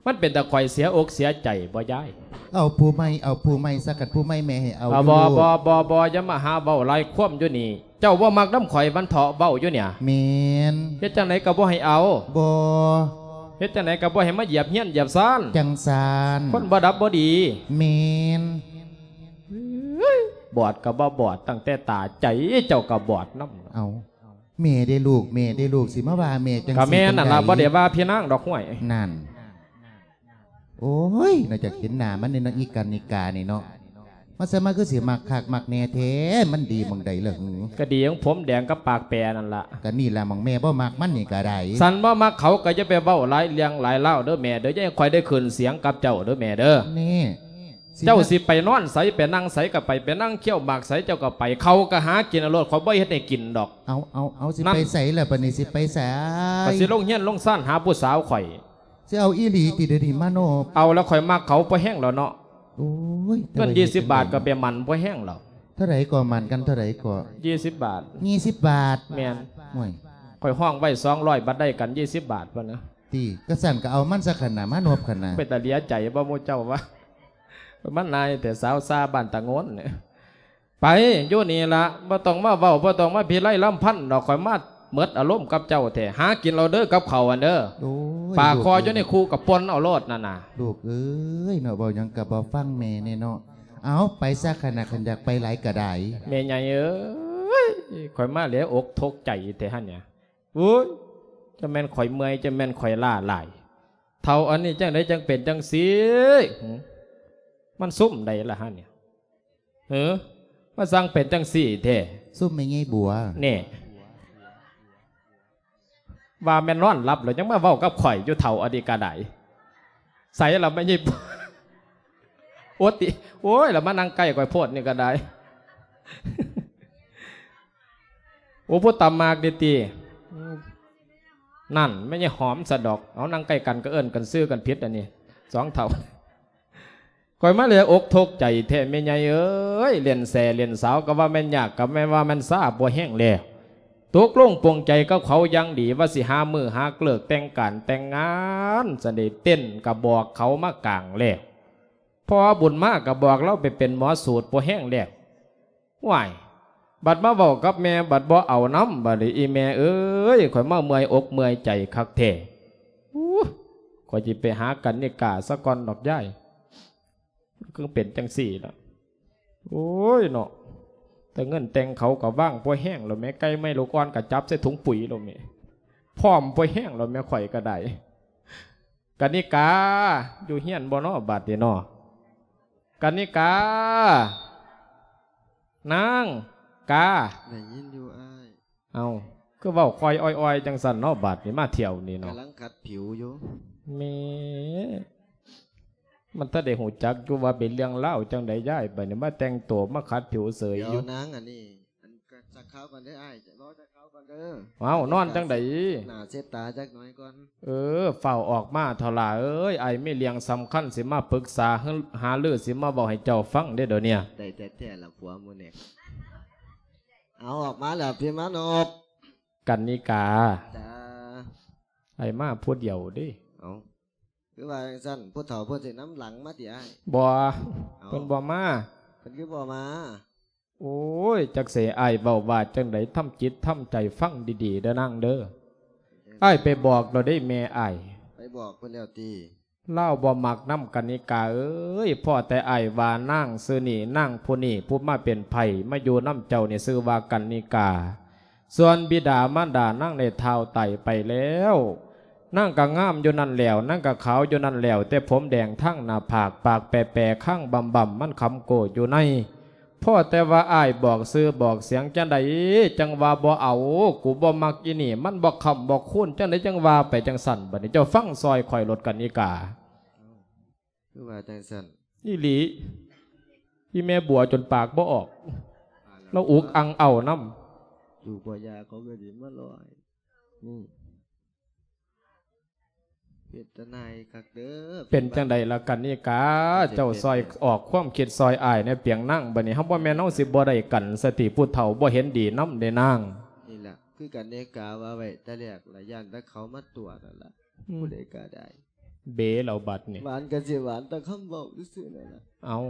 ມັນເປັນຕາຂ້ອຍເສຍອົກເສຍໃຈບໍ່ຍາຍ? ເອົາຜູ້ໃໝ່ ເອົາຜູ້ໃໝ່ຊະ ຄັນຜູ້ໃໝ່ແມ່ໃຫ້ເອົາ. ເອົາ ຢູ່ ບໍ່ ບໍ່ ບໍ່ ບໍ່ ຢ່າມາຫາເວົ້າຫຼາຍຄວາມຢູ່ນີ້. ເຈົ້າບໍ່ມັກນຳຂ້ອຍມັນເຖາະເວົ້າຢູ່ນີ້. ແມ່ນ. ເຮັດຈັ່ງໃດກໍບໍ່ໃຫ້ເອົາ. ບໍ່. ເຮັດຈັ່ງໃດກໍບໍ່ໃຫ້ມາຢຽບເຮືອນຢຽບຊານ. ຈັ່ງຊັ້ນ. ຄົນບໍ່ດັບບໍ່ດີ. ແມ່ນ. ບອດກໍບໍ່ບອດ ຕັ້ງແຕ່ຕາ ໃຈເຈົ້າກໍບອດນຳ. ເອົາ. ແມ່ເດ້ລູກ ແມ່ເດ້ລູກ ຊິມາວ່າແມ່ຈັ່ງຊີ້ ກໍແມ່ນນັ້ນລະ ຈັ່ງໃດ? ບໍ່ໄດ້ວ່າພີ່ນາງດອກ ຫ້ວຍ. ນັ້ນ ໂອ້ຍ ນອກຈາກເຫັນໜ້າມັນນີ້ເນາະ ອີການິການີ້ເນາະ ມາຊະມາຄືຊິມັກຄັກມັກແນ່ແທ້ ມັນດີໝ່ອງໃດລະຫື? ກໍດີຂອງຜົມແດງກັບປາກແປນັ້ນລະ. ກໍນີ້ລະໝ່ອງແມ່ບໍ່ມັກມັນນີ້ກໍໄດ້. ຄັນບໍ່ມັກເຂົາກໍຢ່າໄປເວົ້າຫຼາຍເລື່ອງຫຼາຍລາວເດີແມ່ເດີ ຢ່າໃຫ້ຂ້ອຍໄດ້ຂຶ້ນສຽງກັບເຈົ້າເດີແມ່ເດີ. ນີ້ ເຈົ້າຊິໄປນອນໃສ ໄປນັ່ງໃສກໍໄປ ໄປນັ່ງຄ້ຽວໝາກໃສເຈົ້າກໍໄປ ເຂົ້າກໍຫາກິນເອົາໂລດ ຂ້ອຍບໍ່ເຮັດໃຫ້ກິນດອກ. ເອົາ ເອົາ ເອົາ ຊິໄປໃສລະບັດນີ້ ຊິໄປໃສ? ກໍຊິລົງເຮືອນລົງຊານຫາຜູ້ສາວຂ້ອຍ. ຊິເອົາອີ່ຫຼີຕິດຽວນີ້ມາໂນບ? ເອົາແລ້ວ ຂ້ອຍມັກເຂົາພໍແຮງແລ້ວເນາະ. ໂອ້ຍ ເງິນ ແຕ່ວ່າ ຍີ່ສິບບາດກໍໄປໝັ້ນພໍແຮງແລ້ວ. ເທົ່າໃດກໍໝັ້ນກັນເທົ່າໃດກໍ? ຍີ່ສິບບາດ. ຍີ່ສິບບາດ? ແມ່ນ. ໂອ້ຍ ຂ້ອຍຮ້ອງໄວ້ສອງຮ້ອຍ ບັດໄດ້ກັນຍີ່ສິບບາດພຸ້ນນະ. ຕິ ກະຊັ້ນກໍເອົາມັນຊະຄັນນະ ມາໂນບຄັນນະ. ເປັນຕາເຫຼືອໃຈບໍ່ໝູ່ເຈົ້າວະ? ມັນນາຍແຕ່ສາວຊາບ້ານຕາໂງນ. ໄປຢູ່ນີ້ລະ ບໍ່ຕ້ອງມາເວົ້າ ບໍ່ຕ້ອງມາພິໄລລຳພັນດອກ ຂ້ອຍມາໝົດອາລົມກັບເຈົ້າແທ້. ຫາກິນເອົາເດີກັບເຂົາຫັ້ນເດີ. ໂອ້ຍ ປາຄໍຢູ່ໃນຄູກະປົ່ນເອົາໂລດນັ້ນນະ. ລູກເອີຍເນາະ ເວົ້າຫຍັງກະບໍ່ຟັງແມ່ແນ່ເນາະ. ເອົາ ໄປຊະຄັນນະ ຄັນຢາກໄປຫຼາຍກະໄດ້. ແມ່ໃຫຍ່ເອີຍ ຂ້ອຍມາແຫຼອົກທົກໃຈແທ້ຫັ້ນເນຍ. ໂອ້ຍ ຈະແມ່ນຂ້ອຍເມື່ອຍ ຈະແມ່ນຂ້ອຍລ້າຫຼາຍ. ເຖົ້າອັນນີ້ຈັ່ງໃດຈັ່ງເປັນຈັ່ງຊີ້? ຫື ມັນຊຸມໃດລະຫັ້ນເນຍ? ຫື ມາສັ່ງເປັນຈັ່ງຊີ້ແທ້? ຊຸມແມ່ໃຫຍ່ບົວ. ແນ່ ວ່າແມ່ນນອນຫຼັບແລ້ວ ຍັງມາເວົ້າກັບຂ້ອຍຢູ່ ເຖົ້າອັນນີ້ກະໄດ້. ໃສລະແມ່ໃຫຍ່ບົວ? ໂອຕິ ໂອ້ຍ ລະມານັ່ງໃກ້ຂ້ອຍໂພດນີ້ກະໄດ້. ໂອ້ ຜູ້ຕຳໝາກນີ້ຕິ? ນັ້ນ ແມ່ໃຫຍ່ຫອມສະດອກ. ເອົາ ນັ່ງໃກ້ກັນກໍເອີ້ນກັນຊື່ກັນຜິດອັນນີ້ ສອງເຖົ້າ. ຂ້ອຍມາແຫຼອົກທົກໃຈແທ້ແມ່ໃຫຍ່ເອີຍ ຫຼິ້ນແຊຫຼິ້ນສາວກໍວ່າແມ່ນຍາກ ກໍແມ່ນວ່າແມ່ນຊາບໍ່ແຮງແລ້ວ. ຕົກລົງປົງໃຈກັບເຂົາຢ່າງດີ ວ່າຊິຫາມື້ຫາເລີກແຕ່ງການແຕ່ງງານ ຊັ້ນເດ ເຕັ້ນກໍບອກເຂົາມາກາງແລ້ວ. ພໍ່ບຸນມາກໍບອກລາວໄປເປັນໝໍສູດພໍແຮງແລ້ວ. ວ້າຍ ບັດມາເວົ້າກັບແມ່ ບັດບໍ່ເອົານຳ ບັດນີ້ ອີ່ແມ່ເອີຍ ຂ້ອຍມາເມື່ອຍອົກເມື່ອຍໃຈຄັກແທ້. ໂອ້ ຂ້ອຍຊິໄປຫາກັນນິກາສາກ່ອນດອກຍາຍ. ຄືເປັນຈັ່ງຊີ້ລະ. ໂອ້ຍເນາະ ແຕ່ເງິນແຕ່ງເຂົາກໍວາງພໍແຮງແລ້ວແມ່ ໄກ່ໄມ້ລູກອ່ອນກໍຈັບໃສ່ຖົງປຸຍແລ້ວແມ່. ພ້ອມພໍແຮງແລ້ວແມ່ ຂ້ອຍກໍໄດ້. ກະນິກາ ຢູ່ເຮືອນບໍ່ນໍ ບາດນີ້ນໍ? ກະນິກາ ນາງກາ. ໄດ້ຍິນຢູ່ອ້າຍ. ເອົ້າ ຄືເວົ້າຄ່ອຍອ້ອຍໆ ຈັ່ງຊັ້ນເນາະ ບາດນີ້ມາທ່ຽວນີ້ເນາະ. ກຳລັງຂັດຜິວຢູ່. ແມ່ ມັນຕາໄດ້ຮູ້ຈັກຢູ່ວ່າເປັນເລື່ອງລາວຈັ່ງໃດຍາຍ, ບາດນີ້ມາແຕ່ງໂຕມາຂັດຜິວເສີຍຢູ່. ດຽວນາງອັນນີ້ ອັນ ກະຈັກຄາວກ່ອນເດີອ້າຍ, ລໍຈັກຄາວກ່ອນເດີ. ເອົ້າ ນອນຈັ່ງໃດ? ໜ້າເຊັດຕາຈັກໜ້ອຍກ່ອນ. ເອີ ຟ້າວອອກມາເຖົາຫຼ້າເອີຍ, ອ້າຍມີເລື່ອງສຳຄັນຊິມາປຶກສາ ຫາລື ຊິມາເວົ້າໃຫ້ເຈົ້າຟັງເດ້ດຽວເນີ້ຍ. ໄດ້ແທ້ໆລະຜົວໝູ່ແນກ. ເອົາ ອອກມາແລ້ວ ພີ່ມານົບ. ກັນນິກາ. ຈ້າ. ອ້າຍມາຜູ້ດຽວເດ້. ເອົາ ຄືວ່າຈັ່ງຊັ້ນ ຜູ້ເຖົ້າເພິ່ນຊິນຳຫຼັງມາຕິອ້າຍ? ບໍ່ ເອົ້າ ເພິ່ນບໍ່ມາ. ເພິ່ນຄືບໍ່ມາ? ໂອ້ຍ ຈັກຊິໃຫ້ອ້າຍເວົ້າວ່າຈັ່ງໃດ, ທຳຈິດທຳໃຈຟັງດີໆເດີນາງເດີ. ເອີ ອ້າຍໄປບອກແລ້ວເດ້ແມ່ອ້າຍ. ໄປບອກເພິ່ນແລ້ວຕິ? ລາວບໍ່ມັກນຳກັນນິກາເອີຍ, ພໍແຕ່ອ້າຍວ່ານາງຊື່ນີ້ ນາງຜູ້ນີ້ ຜູ້ມາເປັນໃຜ ມາຢູ່ນຳເຈົ້ານີ້ຊື່ວ່າກັນນິກາ. ສ່ວນບິດາມານດານາງໄດ້ທ້າວຕາຍໄປແລ້ວ, ນາງກໍງາມຢູ່ນັ້ນແລ້ວ, ນາງກໍຂາວຢູ່ນັ້ນແລ້ວ, ແຕ່ຜົມແດງທັງໜ້າຜາກ, ປາກແປໆ, ຄາງບຳໆ, ມັນຄຳໂກ້ຢູ່ໃນ. ພໍແຕ່ວ່າອ້າຍບອກຊື່ບອກສຽງຈັ່ງໃດ ຈັ່ງວ່າບໍ່ເອົາ, ກູບໍ່ມັກອີນີ້, ມັນບໍ່ຄ້ຳບໍ່ຄູນ, ຈັ່ງໃດຈັ່ງວ່າໄປຈັ່ງຊັ້ນ. ບັດນີ້ເຈົ້າຟັງຊ່ອຍຂ້ອຍໂລດກັນນິກາ. ຄືວ່າຈັ່ງຊັ້ນ? ອີ່ຫຼີ, ອີ່ແມ່ບົວຈົນປາກບໍ່ອອກ, ລາວອຸກອັ່ງເອົານຳ. ຢູ່ບໍ່ຢາກເຂົາກໍຊິມາລອຍ. ອືມ ເປັນຕາໜ່າຍຄັກເດີ. ເປັນຈັ່ງໃດລະກັນນິກາ? ເຈົ້າຊ່ອຍອອກຄວາມຄິດຊ່ອຍອ້າຍແດ່ປຽງນາງ. ບັດນີ້ເຮົາບໍ່ແມ່ນເຮົາຊິບໍ່ໄດ້ກັນສະຕິ, ຜູ້ເຖົ້າບໍ່ເຫັນດີນຳເດ້ນາງ. ນີ້ລະ ຄືກັນນິກາວ່າໄວ້ແຕ່ແລກລະ, ຢ້ານແຕ່ເຂົາມາຕົວະນັ້ນລະ. ອືມ ຜູ້ໃດກໍໄດ້ ເບແລ້ວບັດນີ້. ຫວານກໍຊິຫວານແຕ່ຄຳເວົ້າຊື່ໆນັ້ນລະ. ເອົາ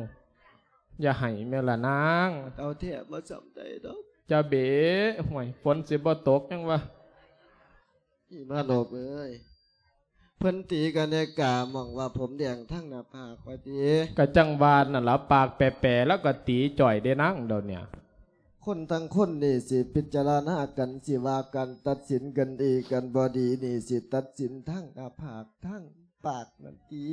ຢ່າໄຫ້ແມ່ລະນາງ. ເອົາແທ້ບໍ່ສ່ຳໃດດອກ. ຢ່າເບ. ຫ້ວຍ ຝົນຊິບໍ່ຕົກຫຍັງວະ? ອີ່ມາໂນບເອີຍ, ເພິ່ນຕີກັນແນ່ກາໝ່ອງວ່າຜົມແດງທັງໜ້າຜາກວ່າຕິ? ກະຈັ່ງວ່ານັ້ນລະ, ປາກແປໆ ແລ້ວກໍຕີຈ່ອຍເດ້ນາງດຽວເນີ້ຍ. ຄົນທັງຄົນນີ້ຊິພິຈາລະນາກັນ, ຊິວ່າກັນ, ຕັດສິນກັນດີກັນບໍ່ດີນີ້, ຊິຕັດສິນທັງໜ້າຜາກທັງປາກນັ້ນຕິ.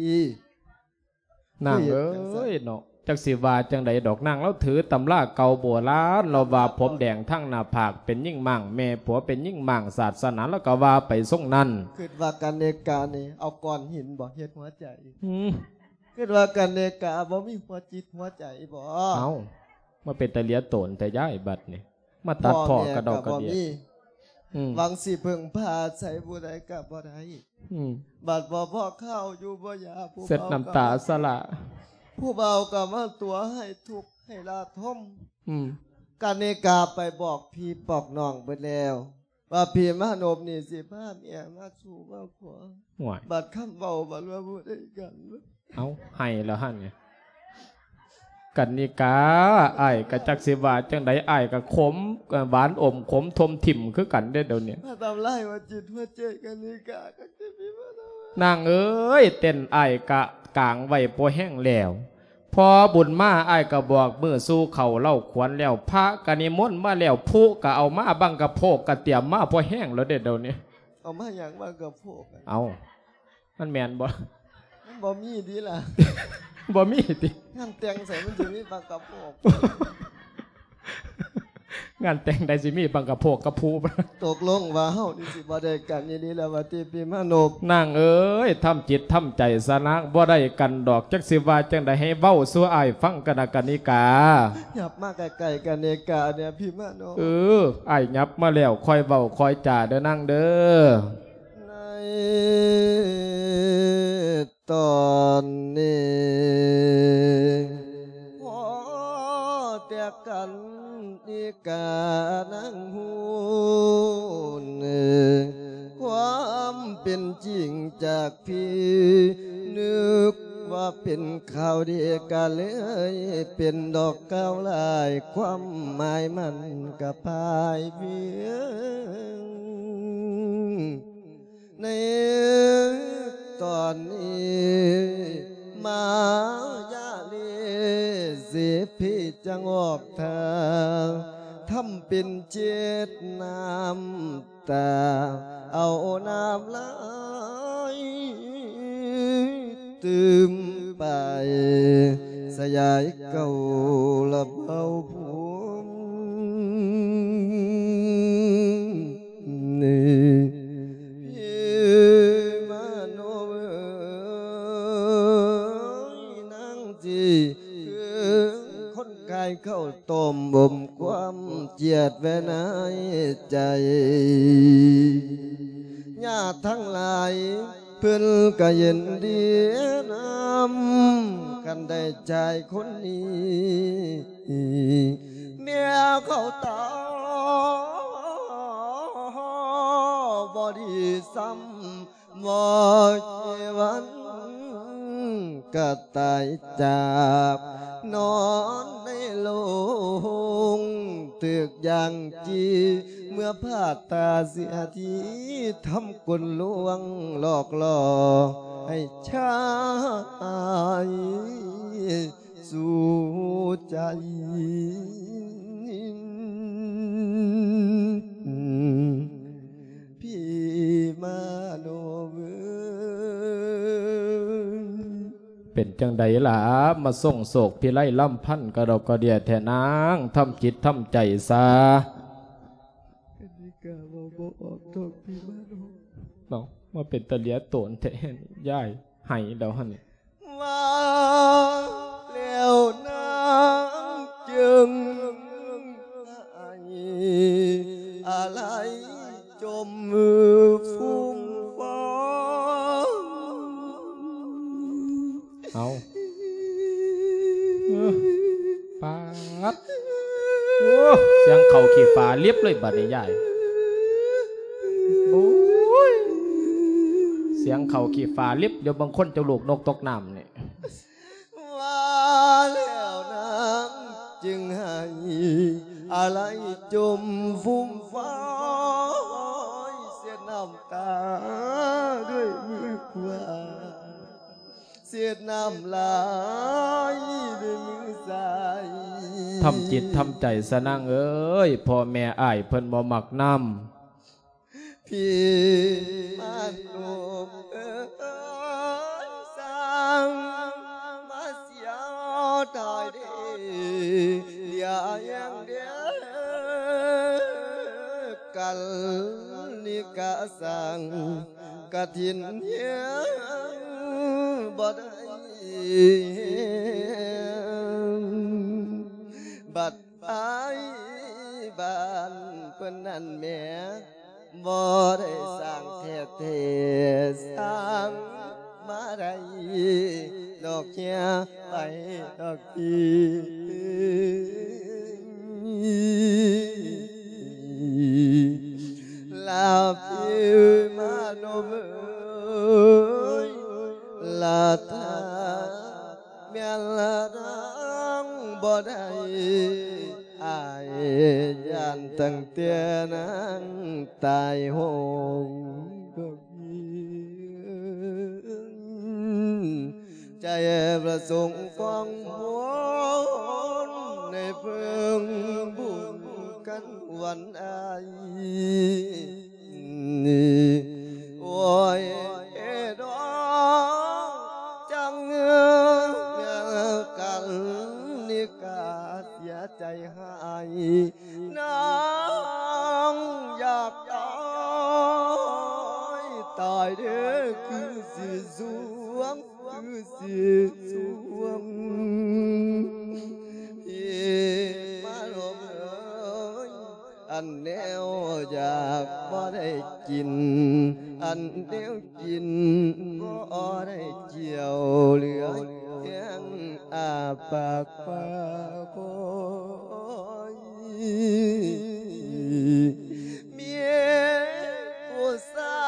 ນາງເອີຍເນາະ, ຈັກຊິວ່າຈັ່ງໃດດອກ. ນາງລາວຖືຕຳລາເກົ່າໂບລານ, ລາວວ່າຜົມແດງທັງໜ້າຜາກເປັນຍິງມ້າງ, ແມ່ຜົວເປັນຍິງມ້າງ, ສາດສະໜາລາວກໍວ່າໄປຊົງນັ້ນ. ຄິດວ່າກັນເນການີ້ເອົາກ້ອນຫີນບໍ່ເຮັດຫົວໃຈ? ອືມ ຄິດວ່າກັນເນກາບໍ່ມີຫົວຈິດຫົວໃຈບໍ່? ເອົ້າ ມາເປັນຕາເຫຼຍໂຕນແທ້ຍາຍບັດນີ້. ມາຕັດພໍ້ກະດອກກະເດຍ. ອືມ ຫວັງຊິເພິ່ງພາອາໄສຜູ້ໃດກະບໍ່ໄດ້. ອືມ ບັດບໍ່ພໍຂ້າວຢູ່ບໍ່ຢາ ຜູ້ເຊົດນ້ຳຕາສະຫຼະ. ຜູ້ບ່າວກະມາຕົວະໃຫ້ທຸກໃຫ້ລາທົມ. ອືມ ກະເນກາໄປບອກພີ່ບອກນ້ອງເບິດແລ້ວ ວ່າພີ່ມານົບນີ້ຊິພາເມຍມາສູ່ມາຜົວ. ໂອ້ຍ ບັດຄຳເວົ້າບັດວ່າບໍ່ໄດ້ກັນ. ເອົ້າ ໃຫ້ແລ້ວຫັ້ນ. ກັນນິກາ ອ້າຍກະຈັກຊິວ່າຈັ່ງໃດ, ອ້າຍກະຂົມ ຫວານອົມຂົມຖົມຖິ້ມຄືກັນເດ້ດຽວນີ້. ມາທຳລາຍຫົວຈິດຫົວໃຈກັນນິກາ. ນາງເອີຍ ເຕັ້ນອ້າຍກະກາງໄວ້ພໍແຮງແລ້ວ. ພໍບຸນມາ ອ້າຍກະບອກມື້ສູ່ເຂົ້າເລົ່າຂວັນແລ້ວ, ພະກະນິມົນມາແລ້ວ, ຜູກະເອົາມາ, ບັງກະໂພກກະຕຽມມາພໍແຮງແລ້ວເດ້ດຽວນີ້. ເອົາມາຫຍັງບັງກະໂພກ? ເອົ້າ ມັນແມ່ນບໍ່? ມັນບໍ່ມີຕິລະ. ບໍ່ມີຕິ? ງານແຕ່ງໃສມັນຊິມີບັງກະໂພກ? ງານແຕ່ງໃດຊິມີບັງກະໂພກກັບພູ? ຕົກລົງວ່າເຮົານີ້ຊິບໍ່ໄດ້ກັນອີ່ຫຼີແລ້ວວ່າຕິ ພີ່ມານົບ? ນາງເອີຍ ທຳຈິດທຳໃຈຊະນາງ, ບໍ່ໄດ້ກັນດອກ. ຈັກຊິວ່າຈັ່ງໃດ ໃຫ້ເວົ້າສູ່ອ້າຍຟັງກະນະ ກະນິກາ. ຫຍັບມາໃກ້ໆ ກະນິກາແດ່ ພີ່ມານົບ. ເອີ ອ້າຍຫຍັບມາແລ້ວ, ຄ່ອຍເວົ້າຄ່ອຍຈາເດີນາງເດີ. ໃນຕອນນີ້ ພໍແຕ່ກັນນິການາງຮູ້ເນີ ຄວາມເປັນຈິງຈາກພີ່ ນຶກວ່າເປັນຂ່າວດີ ກະເລີຍເປັນດອກກ່າວຫຼາຍ, ຄວາມໝາຍມັນກະພາຍເພຍງ. ໃນຕອນນີ້ ມາຢາເລເສພີຈັ່ງອອກທ່າ ທຳເປັນເຈັດນ້ຳຕາ ເອົານ້ຳລາຍຕື່ມໄປ ສະຍາຍເກົ່າລະເບົາພູມ. ໄວ້ໃນໃຈ. ຍາດທັງຫຼາຍເພິ່ນກໍຍິນດີນຳ ຄັນໄດ້ຊາຍຄົນນີ້ ເມຍເຂົາຕາບໍ່ດີຊ້ຳ ບໍ່ເກວັນກໍຕາຍຈາກ ນອນໃນໂລງຖືກຢ່າງຈີ ເມື່ອພາດຕາເສຍທີ ທຳກົນລວງຫຼອກຫຼໍໃຫ້ຊາຍສູ່ໃຈ. ພີ່ມາໂນເອີຍ ເປັນຈັ່ງໃດລະ ມາສົ່ງໂສກພິໄລລຳພັນກະດອກກະເດຍແທ້ນາງ ທຳຈິດທຳໃຈຊະ. ອັນນີ້ກະເວົ້າບໍ່ອອກດອກພີ່ມາໂນ ເນາະ ມາເປັນຕາເຫຼຍໂຕນແທ້ ຍາຍໄຫ້ແລ້ວຫັ້ນນີ້. ວ່າແລ້ວນາງຈຶ່ງໄຫ້ອາໄລຈົມຟຸມຟອງ. ເອົາ ເອີ ປາດ ໂອ້ ສຽງເຂົ້າຂີ້ຟ້າລິບເລີຍບາດນີ້ຍາຍ ໂອ້ຍ ສຽງເຂົ້າຂີ້ຟ້າລິບ ດຽວບາງຄົນເຈົ້າລູກນົກຕົກນ້ຳນີ້. ວ່າແລ້ວນາງຈຶ່ງໄຫ້ອາໄລຈົມຟຸມຟອຍ ເຊັດນ້ຳຕາດ້ວຍມືຂວາ ເຊັດນ້ຳລາຍດ້ວຍມືຊ້າຍ. ທຳຈິດທຳໃຈຊະນາງເອີຍ ພໍ່ແມ່ອ້າຍເພິ່ນບໍ່ມັກນຳ. ພີ່ມາໂນເອີຍ ຊ່າງມາເສຍດາຍເດ ເດຍແຮງເດ ກັນນິກະ ສ້າງກະຖິນແຮງບໍ່ໄດ້ ບັດ ອ້າຍບ້ານເພິ່ນນັ້ນແໝ່ ບໍ່ໄດ້ສ້າງແທ້ໆ ສ້າງມາໄດ້ດອກເຮຍໄປດອກທີ ລາພີ່ມາໂນເອີຍ ລາຖ້າ ແມ່ນລະນາງບໍ່ໄດ້ ອ້າຍຢ້ານຕັ້ງແຕ່ນາງຕາຍໂຫງ ໃຈປະສົງຟອງມົນ ໃຫ້ເພິ່ງບຸນກັນວັນອາຍ. ໂອ້ຍເອດອງ ຈັງເມືອກັນນິກາເສຍໃຈຫາຍ ນາງຢາກຕາຍ ຕາຍເດີ ຄືຊິສວງ ຄືຊິສວງ ເອີ ມາໂລມເອີຍ ອັນແນວຢາກບໍ່ໄດ້ກິນ ອັນແນວກິນບໍ່ໄດ້ກ່ຽວ ເຫຼືອແຮງອ້າປາກປາກຄອຍ ເມຍຜູ້ຊາ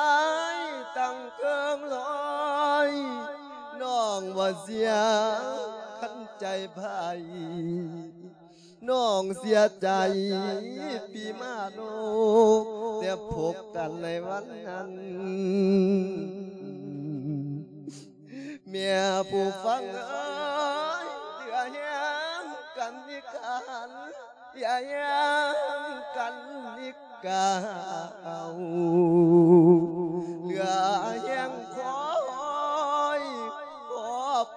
ຍຕັ້ງເຄິ່ງລອຍ ນ້ອງບໍ່ເສຍຄັນໃຈໃຜ ນ້ອງເສຍໃຈປີມາໂນ ແຕ່ພົບກັນໃນວັນນັ້ນ ແມ່ຜູ້ຟັງເອີຍ ເຫຼືອແຮງກັນນິການ ເຫຼືອແຮງກັນນິກາ ເຫຼືອແຮງຄອຍ ພໍ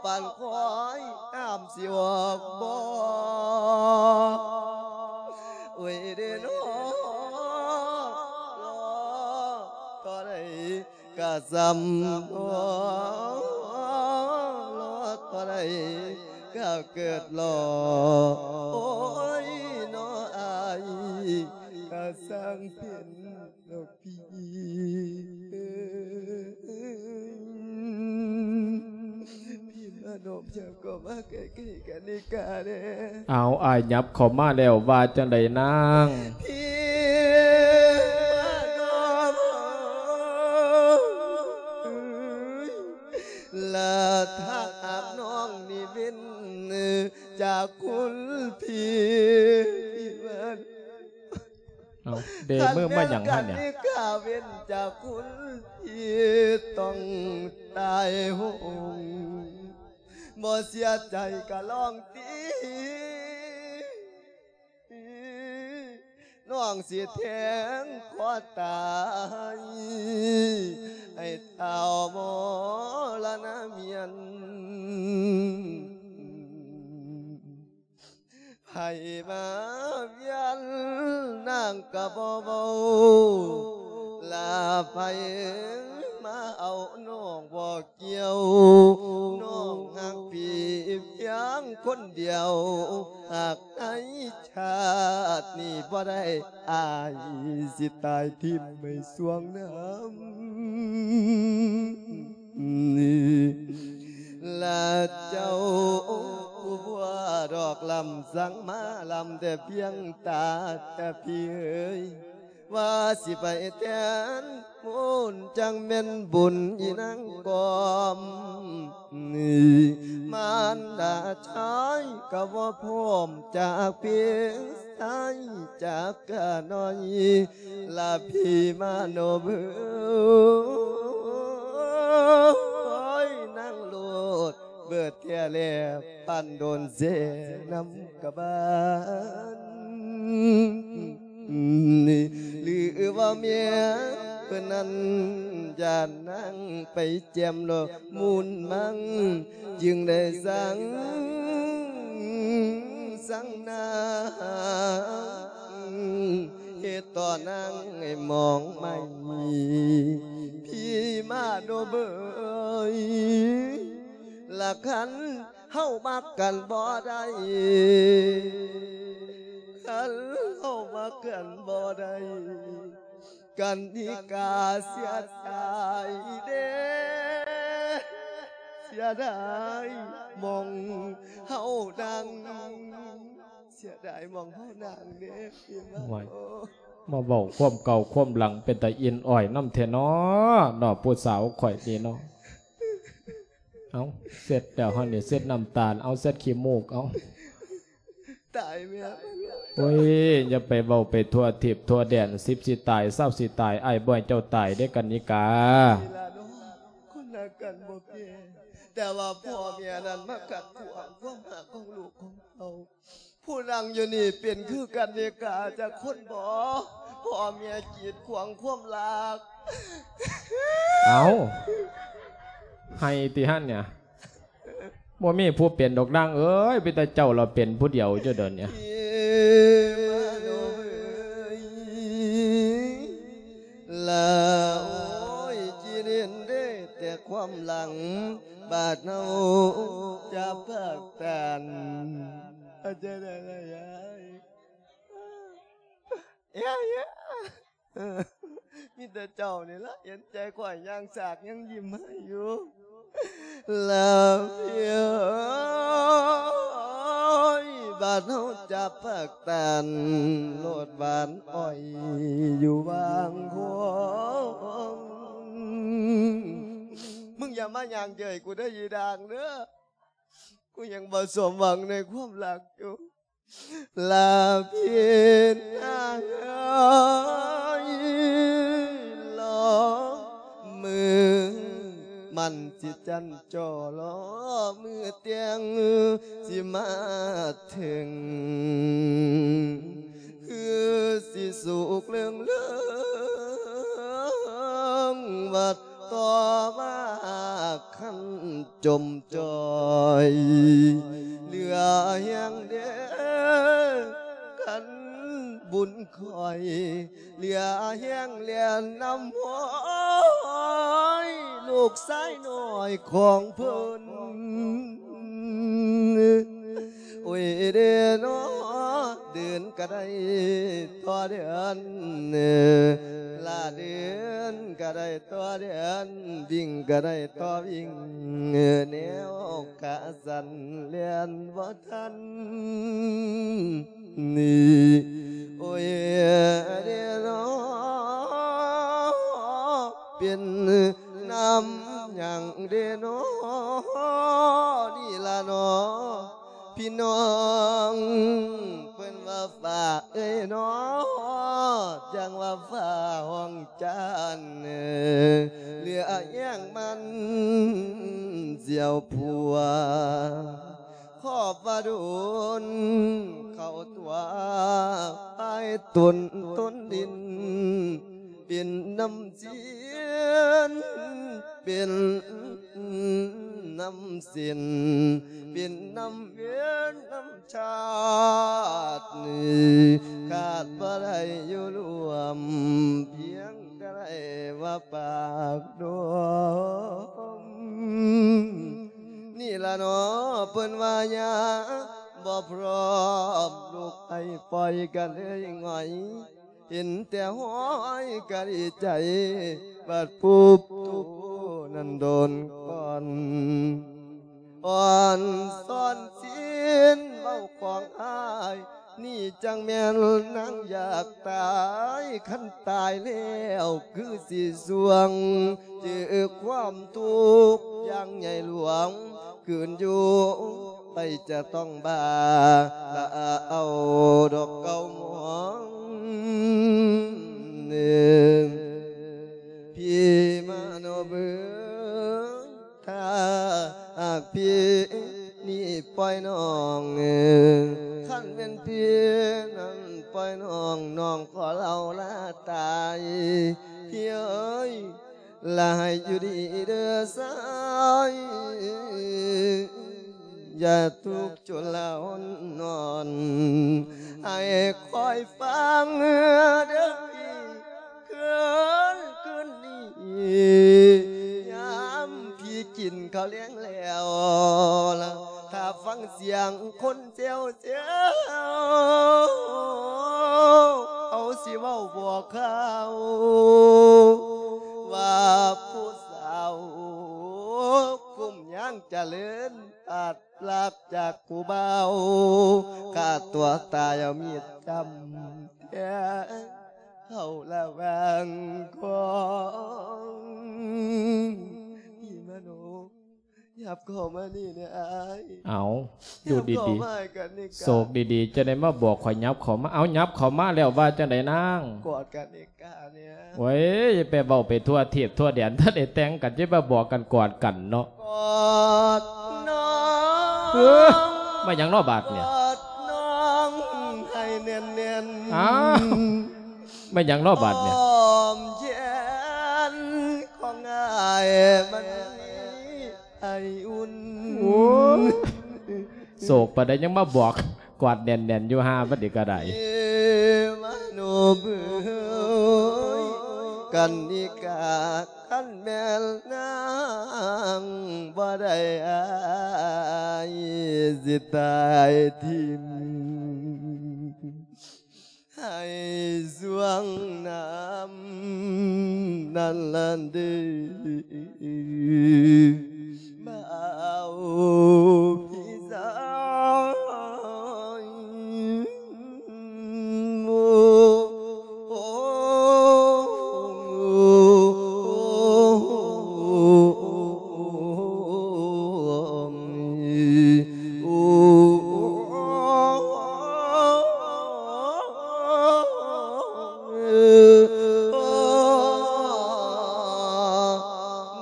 ປານຄອຍ ນ້ຳຊິອອກບໍ່ ໂອ້ຍເດນໍ ລໍເທົ່າໃດ ກະຊ່ຳ ລໍເທົ່າໃດກະເກີດລໍ ໂອ້ຍນໍອ້າຍ ສ້າງເປັນດອກພີ່ ພີ່ມານອບເຈົ້າກໍມາໃກ້ໆກັນນີ້ກາແດ່. ເອົາ ອ້າຍຫຍັບເຂົ້າມາແລ້ວ ວ່າຈັ່ງໃດນາງ? ພີ່ມານອບເອີຍ ລະຖ້າຫາກນ້ອງນີ້ເປັນຈາກຄຸນພີ່ ພີ່ມາ ເອົາ ເດມືມາຫຍັງຫັ້ນເນຍ? ຄັນແມ່ນການນີ້ຂ້າເວັ້ນຈາກຄຸນທີ່ຕ້ອງຕາຍໂຫງ ບໍ່ເສຍໃຈກະລອງຕິ ນ້ອງຊິແທງຄໍຕາຍ ໃຫ້ທ້າວມໍລະນະມຽນ. ໃຜມາວຽນນາງກະບໍ່ເວົ້າ ລະໃຜມາເອົານ້ອງບໍ່ກ່ຽວ ນ້ອງຮັກພີ່ພຽງຄົນດຽວ ຫາກໃນຊາດນີ້ບໍ່ໄດ້ ອ້າຍຊິຕາຍຖິ້ມໃຫ້ສວງນ້ຳ ລະເຈົ້າຜູ້ບົວດອກລຳສັງມາລຳແຕ່ພຽງຕາ ແຕ່ພີ່ເອີຍ ວ່າຊິໄປແທນບຸນ ຈັ່ງແມ່ນບຸນອີນາງກອມ ມານດາຊາຍກໍບໍ່ພ້ອມ ຈາກພີ່ຊາຍຈາກກະນ້ອຍ ລະພີ່ມາໂນເບີ ໂອ້ຍ ນາງໂລດເບີແທ້ແລ ປານໂດນແຊ່ນຳກະບານ ຫຼືວ່າແມ່ເພິ່ນນັ້ນ ຢ້ານນາງໄປແຈ່ມດອກມູນມັງ ຈຶ່ງໄດ້ສັ່ງສັ່ງນາ ເຮັດຕໍ່ນາງໃຫ້ມອງໃໝ່ ພີ່ມາໂນເບີ ລະຄັນເຮົາມັກກັນບໍ່ໄດ້ ຄັນເຮົາມັກກັນບໍ່ໄດ້ ກັນນິກາເສຍດາຍເດ້ ເສຍດາຍໝ່ອງເຮົານັ່ງ ເສຍດາຍໝ່ອງເຮົານັ່ງເດ້ ໂອ້ຍ ມາເວົ້າຄວາມເກົ່າຄວາມຫຼັງ ເປັນຕາອິນອ້ອຍນຳແທ້ເນາະ ເນາະ ຜູ້ສາວຂ້ອຍນີ້ເນາະ. ເອົາ ເຊັດແລ້ວຫັ້ນນີ້ ເຊັດນ້ຳຕານ ເອົາ ເຊັດຂີ້ມູກ ເອົາ ຕາຍແມ່ ໂອ້ຍ ຢ່າໄປເວົ້າໄປທົ່ວທິບທົ່ວແດນ ສິບຊິຕາຍ ຊາວຊິຕາຍ ອ້າຍບໍ່ໃຫ້ເຈົ້າຕາຍເດ້ ກັນນິກາ ນີ້ລະເນາະ ຄົນຮັກກັນບໍ່ແກ່ ແຕ່ວ່າພໍ່ແມ່ນັ້ນມາຂັດຂວາງຄວາມຮັກຂອງລູກຂອງເຕົ້າ. ຜູ້ນັ່ງຢູ່ນີ້ເປັນຄືກັນນິກາຈັກຄົນບໍ່? ພໍ່ແມ່ກີດຂວາງຄວາມຮັກ. ເອົ້າ ໄຫ້ຕິຫັ້ນເນຍ ບໍ່ມີຜູ້ເປັນດອກນາງເອີຍ ມີແຕ່ເຈົ້າລະເປັນຜູ້ດຽວຢູ່ດຽວນີ້. ລະໂອ້ຍ ຈິເຫັນເດ້ແຕ່ຄວາມຫຼັງ ບາດເຮົາຈະພາກຕານ ເອົາໃຈໄດ້ລະຍາຍ ເອີ ມີແຕ່ເຈົ້ານີ້ລະເຫັນໃຈຂ້ອຍ ຍ່າງສາກຍັງຍິ້ມໃຫ້ຢູ່ ລະພີ່ເອີຍ ບາດເຮົາຈະພາກຕານ ໂລດຫວານອ້ອຍຢູ່ວາງຄວາມ ມຶງຢ່າມາຍ່າງເຈີຍກູເດີ ອີ່ດາງເດີ ກູຍັງບໍ່ສົມຫວັງໃນຄວາມຮັກຢູ່ ລະພີ່ນາງເອີຍ ລໍມື້ໝັ້ນຊິຈັນຈໍ່ ລໍມື້ແຕ່ງຊິມາເຖິງ ຄືຊິສຸກເລື່ອງເລີງ ບັດຕໍ່ມາຄັນ ຈົມຈ່ອຍ ເຫຼືອແຮງເດ້ ຄັນບຸນຂ້ອຍ ເຫຼືອແຮງແລ່ນນຳຫ້ອຍ ລູກຊາຍນ້ອຍຂອງເພິ່ນ ໂອ້ຍເດ້ເນາະ ເດີນກໍໄດ້ຕໍ່ເດີນ ລາເດີນກໍໄດ້ຕໍ່ເດີນ ວິ່ງກໍໄດ້ຕໍ່ວິ່ງ ແນວຂາສັ້ນແລ່ນບໍ່ທັນ ນີ້ ໂອ້ຍ ເດເນາະ ເປັນນຳຫຍັງເດເນາະ ນີ້ລະເນາະ ພີ່ນ້ອງ ເພິ່ນວ່າຟ້າເອີຍເນາະ ຈັ່ງວ່າຟ້າຮ້ອງຈ້ານ ເຫຼືອແຮງມັນສຽວຜົວ ຂອບວ່າດົນເຂົ້າຕົວ ອ້າຍຕົນ ຕົນດິນ ເປັນນ້ຳຊີ້ນ ເປັນນ້ຳເສັ້ນ ເປັນນ້ຳເວນນ້ຳຊາດ ຂາດບໍ່ໄດ້ຢູ່ລວມ ພຽງແຕ່ໄດ້ວ່າປາກດົມ ນີ້ລະເນາະ ເພິ່ນວ່າຍາບໍ່ພ້ອມ ລູກໄຫ້ປ່ອຍກະເລີຍຫງອຍ ເຫັນແຕ່ຫອຍກະດີໃຈ ບາດປຸບໂຕນັ້ນໂດນກ່ອນ ອ່ອນຊອນຊີ້ນເວົ້າຂອງອ້າຍ ນີ້ຈັ່ງແມ່ນນາງຢາກຕາຍ ຄັນຕາຍແລ້ວຄືຊິສ່ວງ ເຈີຄວາມທຸກຢ່າງໃຫຍ່ຫຼວງ ຄືນຢູ່ໄປຈະຕ້ອງບາ ລະເອົາດອກເກົ້າໝອງ ພີ່ມາໂນເບີຍ ຖ້າຫາກພີ່ນີ້ປ່ອຍນ້ອງ ຄັນແມ່ນພີ່ນັ້ນປ່ອຍນ້ອງ ນ້ອງຂໍເລົ່າລາຕາຍ ພີ່ເອີຍ ລະໃຫ້ຢູ່ດີເດີຊາຍ ຢ່າທຸກຈົນລາຫົນນອນ ໃຫ້ຄອຍຟັງເດີພີ່ ຄືນ ຄືນນີ້ ຍາມພີ່ກິນເຂົ້າແລງແລ້ວ ຖ້າຟັງສຽງຄົນແຊວໆ ເຮົາຊິເວົ້າບອກຂ່າວ ວ່າຜູ້ສາວຄຸ້ມຍາງຈະເລີນ ພາດພລັກຈາກຜູ້ບ່າວ ຂ້າຕົວຕາຍເອົາມີດຈ້ຳແທງເຂົ້າລະຫວ່າງທ້ອງ ພີ່ມະໂນ ຫຍັບເຂົ້າມານີ້ແນ່ອ້າຍ ເອົາ ຢູ່ດີໆ ໂຊກດີໆ ຈະໄດ້ມາບອກຂ້ອຍຫຍັບເຂົ້າມາ ເອົາ ຫຍັບເຂົ້າມາແລ້ວວ່າຈັ່ງໃດນາງ ກອດກັນເອກາແນ່ ໂອ້ຍ ຢ່າໄປເວົ້າໄປທົ່ວເທບທົ່ວແດນ ທັນໄດ້ແຕ່ງກັນ ຈະມາບອກກັນກອດກັນເນາະ ກອດນ້ອງ ເອີ ມາຫຍັງເນາະບາດນີ້ ກອດນ້ອງໃຫ້ແໜ້ນໆ ອ້າວ ມາຫຍັງເນາະບາດນີ້ ອ້ອມແຂນຂອງອ້າຍມັນມີ ໄອອຸ່ນ ໂອ້ຍ ໂສກປານໃດຍັງມາບອກ ກອດແໜ້ນໆຢູ່ຫາບັດນີ້ກະໄດ້ ມະໂນເບີຍ ກັນນິກາ ຄັນແມ່ນນາງບໍ່ໄດ້ ອ້າຍຊິຕາຍຖິ້ມ ໃຫ້ຊ່ວງນ້ຳນັ້ນລະເດີ ບ່າວພີ່ຊາຍ ໂອ້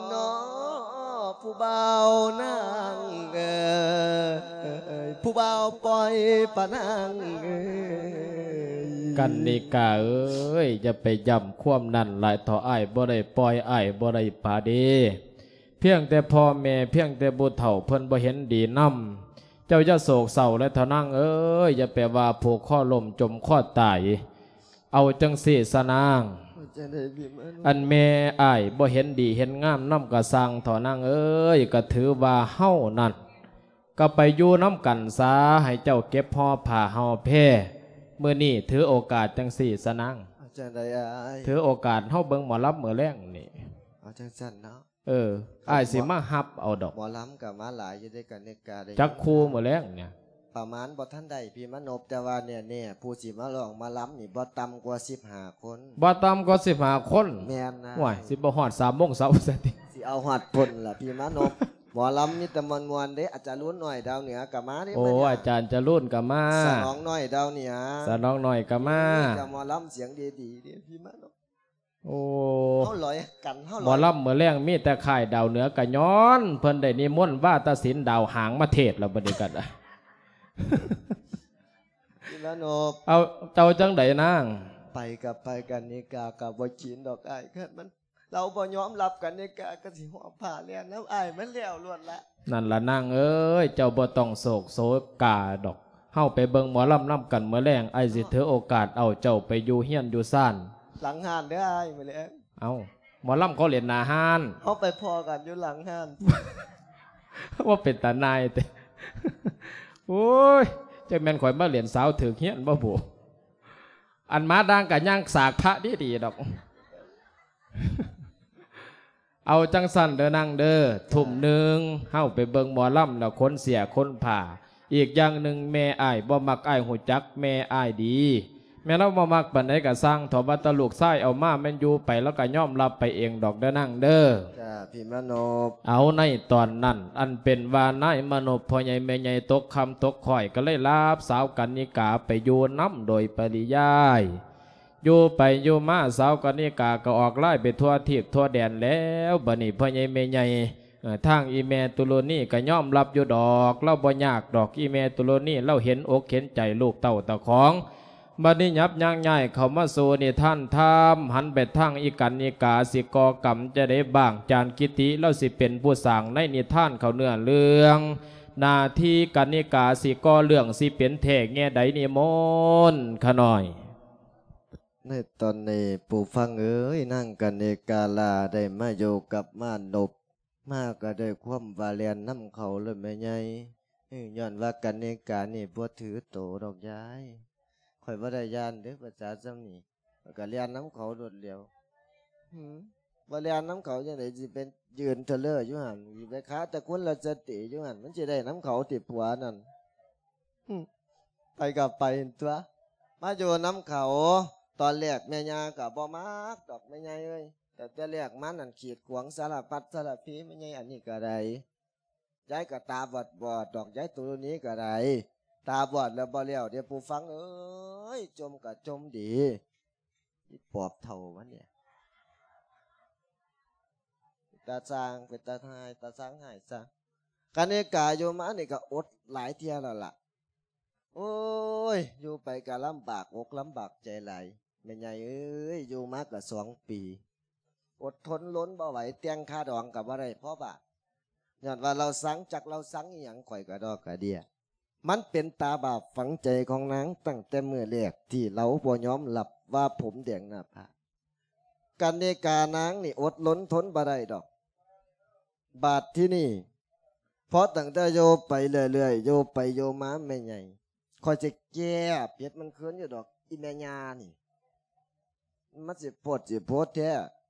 ເນາະ ຜູ້ບ່າວນາງເອີຍ ຜູ້ບ່າວປ່ອຍປະນາງເອີຍ ກັນນິກາເອີຍ ຢ່າໄປຢ້ຳຄວາມນັ້ນຫຼາຍເຖາະ ອ້າຍບໍ່ໄດ້ປ່ອຍ ອ້າຍບໍ່ໄດ້ປະເດ ພຽງແຕ່ພໍ່ແມ່ ພຽງແຕ່ຜູ້ເຖົ້າເພິ່ນບໍ່ເຫັນດີນຳ ເຈົ້າຢ່າໂສກເສົ້າເລີຍເຖາະນາງເອີຍ ຢ່າໄປວ່າຜູກຄໍລົ້ມຈົມຄໍຕາຍ ເອົາຈັ່ງຊີ້ຊະນາງ ອັນແມ່ອ້າຍບໍ່ເຫັນດີເຫັນງາມນຳກະຊ່າງເຖາະນາງເອີຍ ກະຖືວ່າເຮົານັ້ນ ກະໄປຢູ່ນຳກັນຊະ ໃຫ້ເຈົ້າເກັບຫໍ່ຜ້າຫໍ່ແພ ມື້ນີ້ຖືໂອກາດຈັ່ງຊີ້ຊະນາງ. ເອົາຈັ່ງໃດອ້າຍ? ຖືໂອກາດເຮົາເບິ່ງໝໍລຳມື້ແລງນີ້. ເອົາຈັ່ງຊັ້ນເນາະ. ເອີ ອ້າຍຊິມາຮັບເອົາດອກ. ໝໍລຳກໍມາຫຼາຍຢູ່ເດ້ ກະນິກາເດ້. ຈັກຄູ່ມື້ແລງນີ້? ປະມານບໍ່ທັນໄດ້ພີ່ມານົບ, ແຕ່ວ່າແນ່ໆ ຜູ້ຊິມາຮ້ອງມາລຳນີ້ບໍ່ຕ່ຳກວ່າສິບຫ້າຄົນ. ບໍ່ຕ່ຳກວ່າສິບຫ້າຄົນ? ແມ່ນນະ. ໂອ້ຍ ຊິບໍ່ຮອດສາມໂມງເຊົ້າຊະຕິ? ຊິເອົາຮອດພຸ້ນລະພີ່ມານົບ. ໝໍລຳມີແຕ່ມ່ວນໆເດ້. ອາຈານລຸນນ້ອຍດາວເໜືອກໍມາເດ້. ໂອ້ ມື້ນີ້ອາຈານຈະລຸນກໍມາ. ສະໜອງນ້ອຍດາວເໜືອ. ສະໜອງນ້ອຍກໍມາ. ມີແຕ່ໝໍລຳສຽງດີໆເດ້ພີ່ມານົບ. ໂອ້ ເຮົາລອຍກັນ ເຮົາລອຍ. ໝໍລຳມື້ແລງມີແຕ່ຄ້າຍດາວເໜືອ ກະຍ້ອນເພິ່ນໄດ້ນິມົນວາຕະສິນດາວຫາງມາເທດແລ້ວບັດນີ້ກໍໄດ້. ພີ່ມານົບ ເອົາ ເຈົ້າຈັ່ງໃດນາງ? ໄປກໍໄປ ກະນິກາກໍບໍ່ກິນດອກອ້າຍ. ຄັນມັນ ລາວບໍ່ຍອມຮັບ ກະນິກາກໍຊິຫອບຜ້າແລ່ນນຳອ້າຍມັນແລ້ວໂລດລະ. ນັ້ນລະນາງເອີຍ ເຈົ້າບໍ່ຕ້ອງໂສກໂສກາດອກ. ເຮົາໄປເບິ່ງໝໍລຳນຳກັນມື້ແລງ. ອ້າຍຊິຖືໂອກາດເອົາເຈົ້າໄປຢູ່ເຮືອນຢູ່ຊານ. ຫຼັງຮ້ານເດີອ້າຍ ມື້ແລງ. ເອົ້າ ໝໍລຳເຂົາຫຼິ້ນໜ້າຮ້ານ. ເຮົາໄປພໍ້ກັນຢູ່ຫຼັງຮ້ານ. ວ່າເປັນຕາໜ່າຍແທ້. ໂອ້ຍ ຈັກແມ່ນຂ້ອຍມາຫຼິ້ນສາວຖືກເຮືອນບໍ່ບຸ. ອັນມາດາງກະຍ່າງສາກພະດີໆດອກ. ເອົາຈັ່ງຊັ້ນເດີນາງເດີ ທຸ່ມໜຶ່ງເຮົາໄປເບິ່ງໝໍລຳແລ້ວຂົນເສື້ອຂົນຜ້າ. ອີກຢ່າງໜຶ່ງແມ່ອ້າຍບໍ່ມັກ ອ້າຍຮູ້ຈັກແມ່ອ້າຍດີ. ແມ່ນລາວບໍ່ມັກປານໃດກະຊ່າງເຖາະ ວ່າແຕ່ລູກຊາຍເອົາມາແມ່ນຢູ່ໄປລາວກະຍອມຮັບໄປເອງດອກເດີນາງເດີ. ຈ້າ ພີ່ມານົບ. ເອົາ ໃນຕອນນັ້ນ ອັນເປັນວ່ານາຍມານົບ ພໍ່ໃຫຍ່ແມ່ໃຫຍ່ຕົກຄ່ຳຕົກຄ້ອຍ ກໍເລີຍຮັບສາວກະນິກາໄປຢູ່ນຳໂດຍປະລິຍາຍ. ຢູ່ໄປຢູ່ມາ ສາວກະນິກາກໍອອກລາຍໄປທົ່ວທີບທົ່ວແດນແລ້ວ. ບັດນີ້ພໍ່ໃຫຍ່ແມ່ໃຫຍ່ ເອີ ທາງອີ່ແມ່ຕຸລຸນີກໍຍອມຮັບຢູ່ດອກ ລາວບໍ່ຍາກດອກ. ອີ່ແມ່ຕຸລຸນີລາວເຫັນອົກເຫັນໃຈລູກເຕົ້າຕາຂອງ. ບັດນີ້ຫຍັບຍ່າງຍ້າຍເຂົ້າມາສູ່ນິທານທຳ ຫັນໄປທາງອີ່ກັນນິກາ ຊິກໍ່ກຳຈັ່ງໃດບ້າງ. ຈານກິຕິລາວຊິເປັນຜູ້ສ້າງໃນນິທານເຂົ້າເນື້ອເລື່ອງ. ໜ້າທີ່ກັນນິກາຊິກໍ່ເລື່ອງ ຊິເປັນແທ້ແງ່ໃດ ນິມົນຂະນ້ອຍ. ໃນຕອນນີ້ ຜູ້ຟັງເອີຍ, ນາງກັນນິກາລາໄດ້ມາຢູ່ກັບມານົບ ມາກໍດ້ວຍຄວາມວ່າແລ່ນນຳເຂົາໂລດແມ່ໃຫຍ່. ເອີ ຍ້ອນວ່າກັນນິການີ້ບໍ່ຖືໂຕດອກຍາຍ. ຂ້ອຍບໍ່ໄດ້ຢ້ານເດ້ ພາສາຊ່ຳນີ້ ຂ້ອຍກໍແລ່ນນຳເຂົາໂລດແລ້ວ. ຫື ບໍ່ແລ່ນນຳເຂົາຈັ່ງໃດ ຊິໄປຢືນທະເລີຢູ່ຫັ້ນ ຊິໄປຄາແຕ່ຄຸນລະສະຕີຢູ່ຫັ້ນ ມັນຊິໄດ້ນຳເຂົາຕິ ຜົວນັ້ນ? ຫຶ ໄປກໍໄປຕົວະ ມາຢູ່ນຳເຂົາ. ຕອນແລກແມ່ຍ່າກໍບໍ່ມັກດອກແມ່ໃຫຍ່ເອີຍ, ແຕ່ແຕ່ແລກມານັ້ນ ກີດຂວາງສາລະພັດສາລະພີແມ່ໃຫຍ່. ອັນນີ້ກໍໄດ້ ຍາຍກໍຕາບອດໆດອກ ຍາຍຕຸລຸນີກໍໄດ້ ຕາບອດແລ້ວບໍ່ແລ້ວເດ້ ຜູ້ຟັງເອີຍ. ຈົ່ມກໍຈົ່ມດີ ອີປອບເຖົ້າມັນນີ້ ຕາຊ່າງ ເປັນຕາຮ້າຍ ຕາຊ່າງຮ້າຍຊະ. ກັນນິກາຢູ່ມານີ້ກໍອົດຫຼາຍເທື່ອແລ້ວລະ. ໂອ້ຍ ຢູ່ໄປກໍລຳບາກອົກລຳບາກໃຈຫຼາຍ ແມ່ໃຫຍ່ເອີຍ. ຢູ່ມາກໍສອງປີ ອົດທົນລົນບໍ່ໄຫວ, ແຕ່ງຄ່າດອງກໍບໍ່ໄດ້ພໍບາດ ຍ້ອນວ່າລາວຊັງ ຈັກລາວຊັງອີ່ຫຍັງ ຂ້ອຍກະດອກກະເດຍ. ມັນເປັນຕາບາບຝັງໃຈຂອງນາງຕັ້ງແຕ່ມື້ແລກທີ່ລາວບໍ່ຍອມຮັບວ່າຜົມແດງໜ້າຜາກ. ກັນນິການາງນີ້ອົດລົນທົນບໍ່ໄດ້ດອກ. ບາດທີນີ້ ພໍຕັ້ງແຕ່ຢູ່ໄປເລື້ອຍໆ ຢູ່ໄປຢູ່ມາ ແມ່ໃຫຍ່ ຂ້ອຍຊິແກ້ເຜັດມັນຄືນຢູ່ດອກ ອີ່ແມ່ຍ່ານີ້. ມັນຊິໂພດຊິໂພດແທ້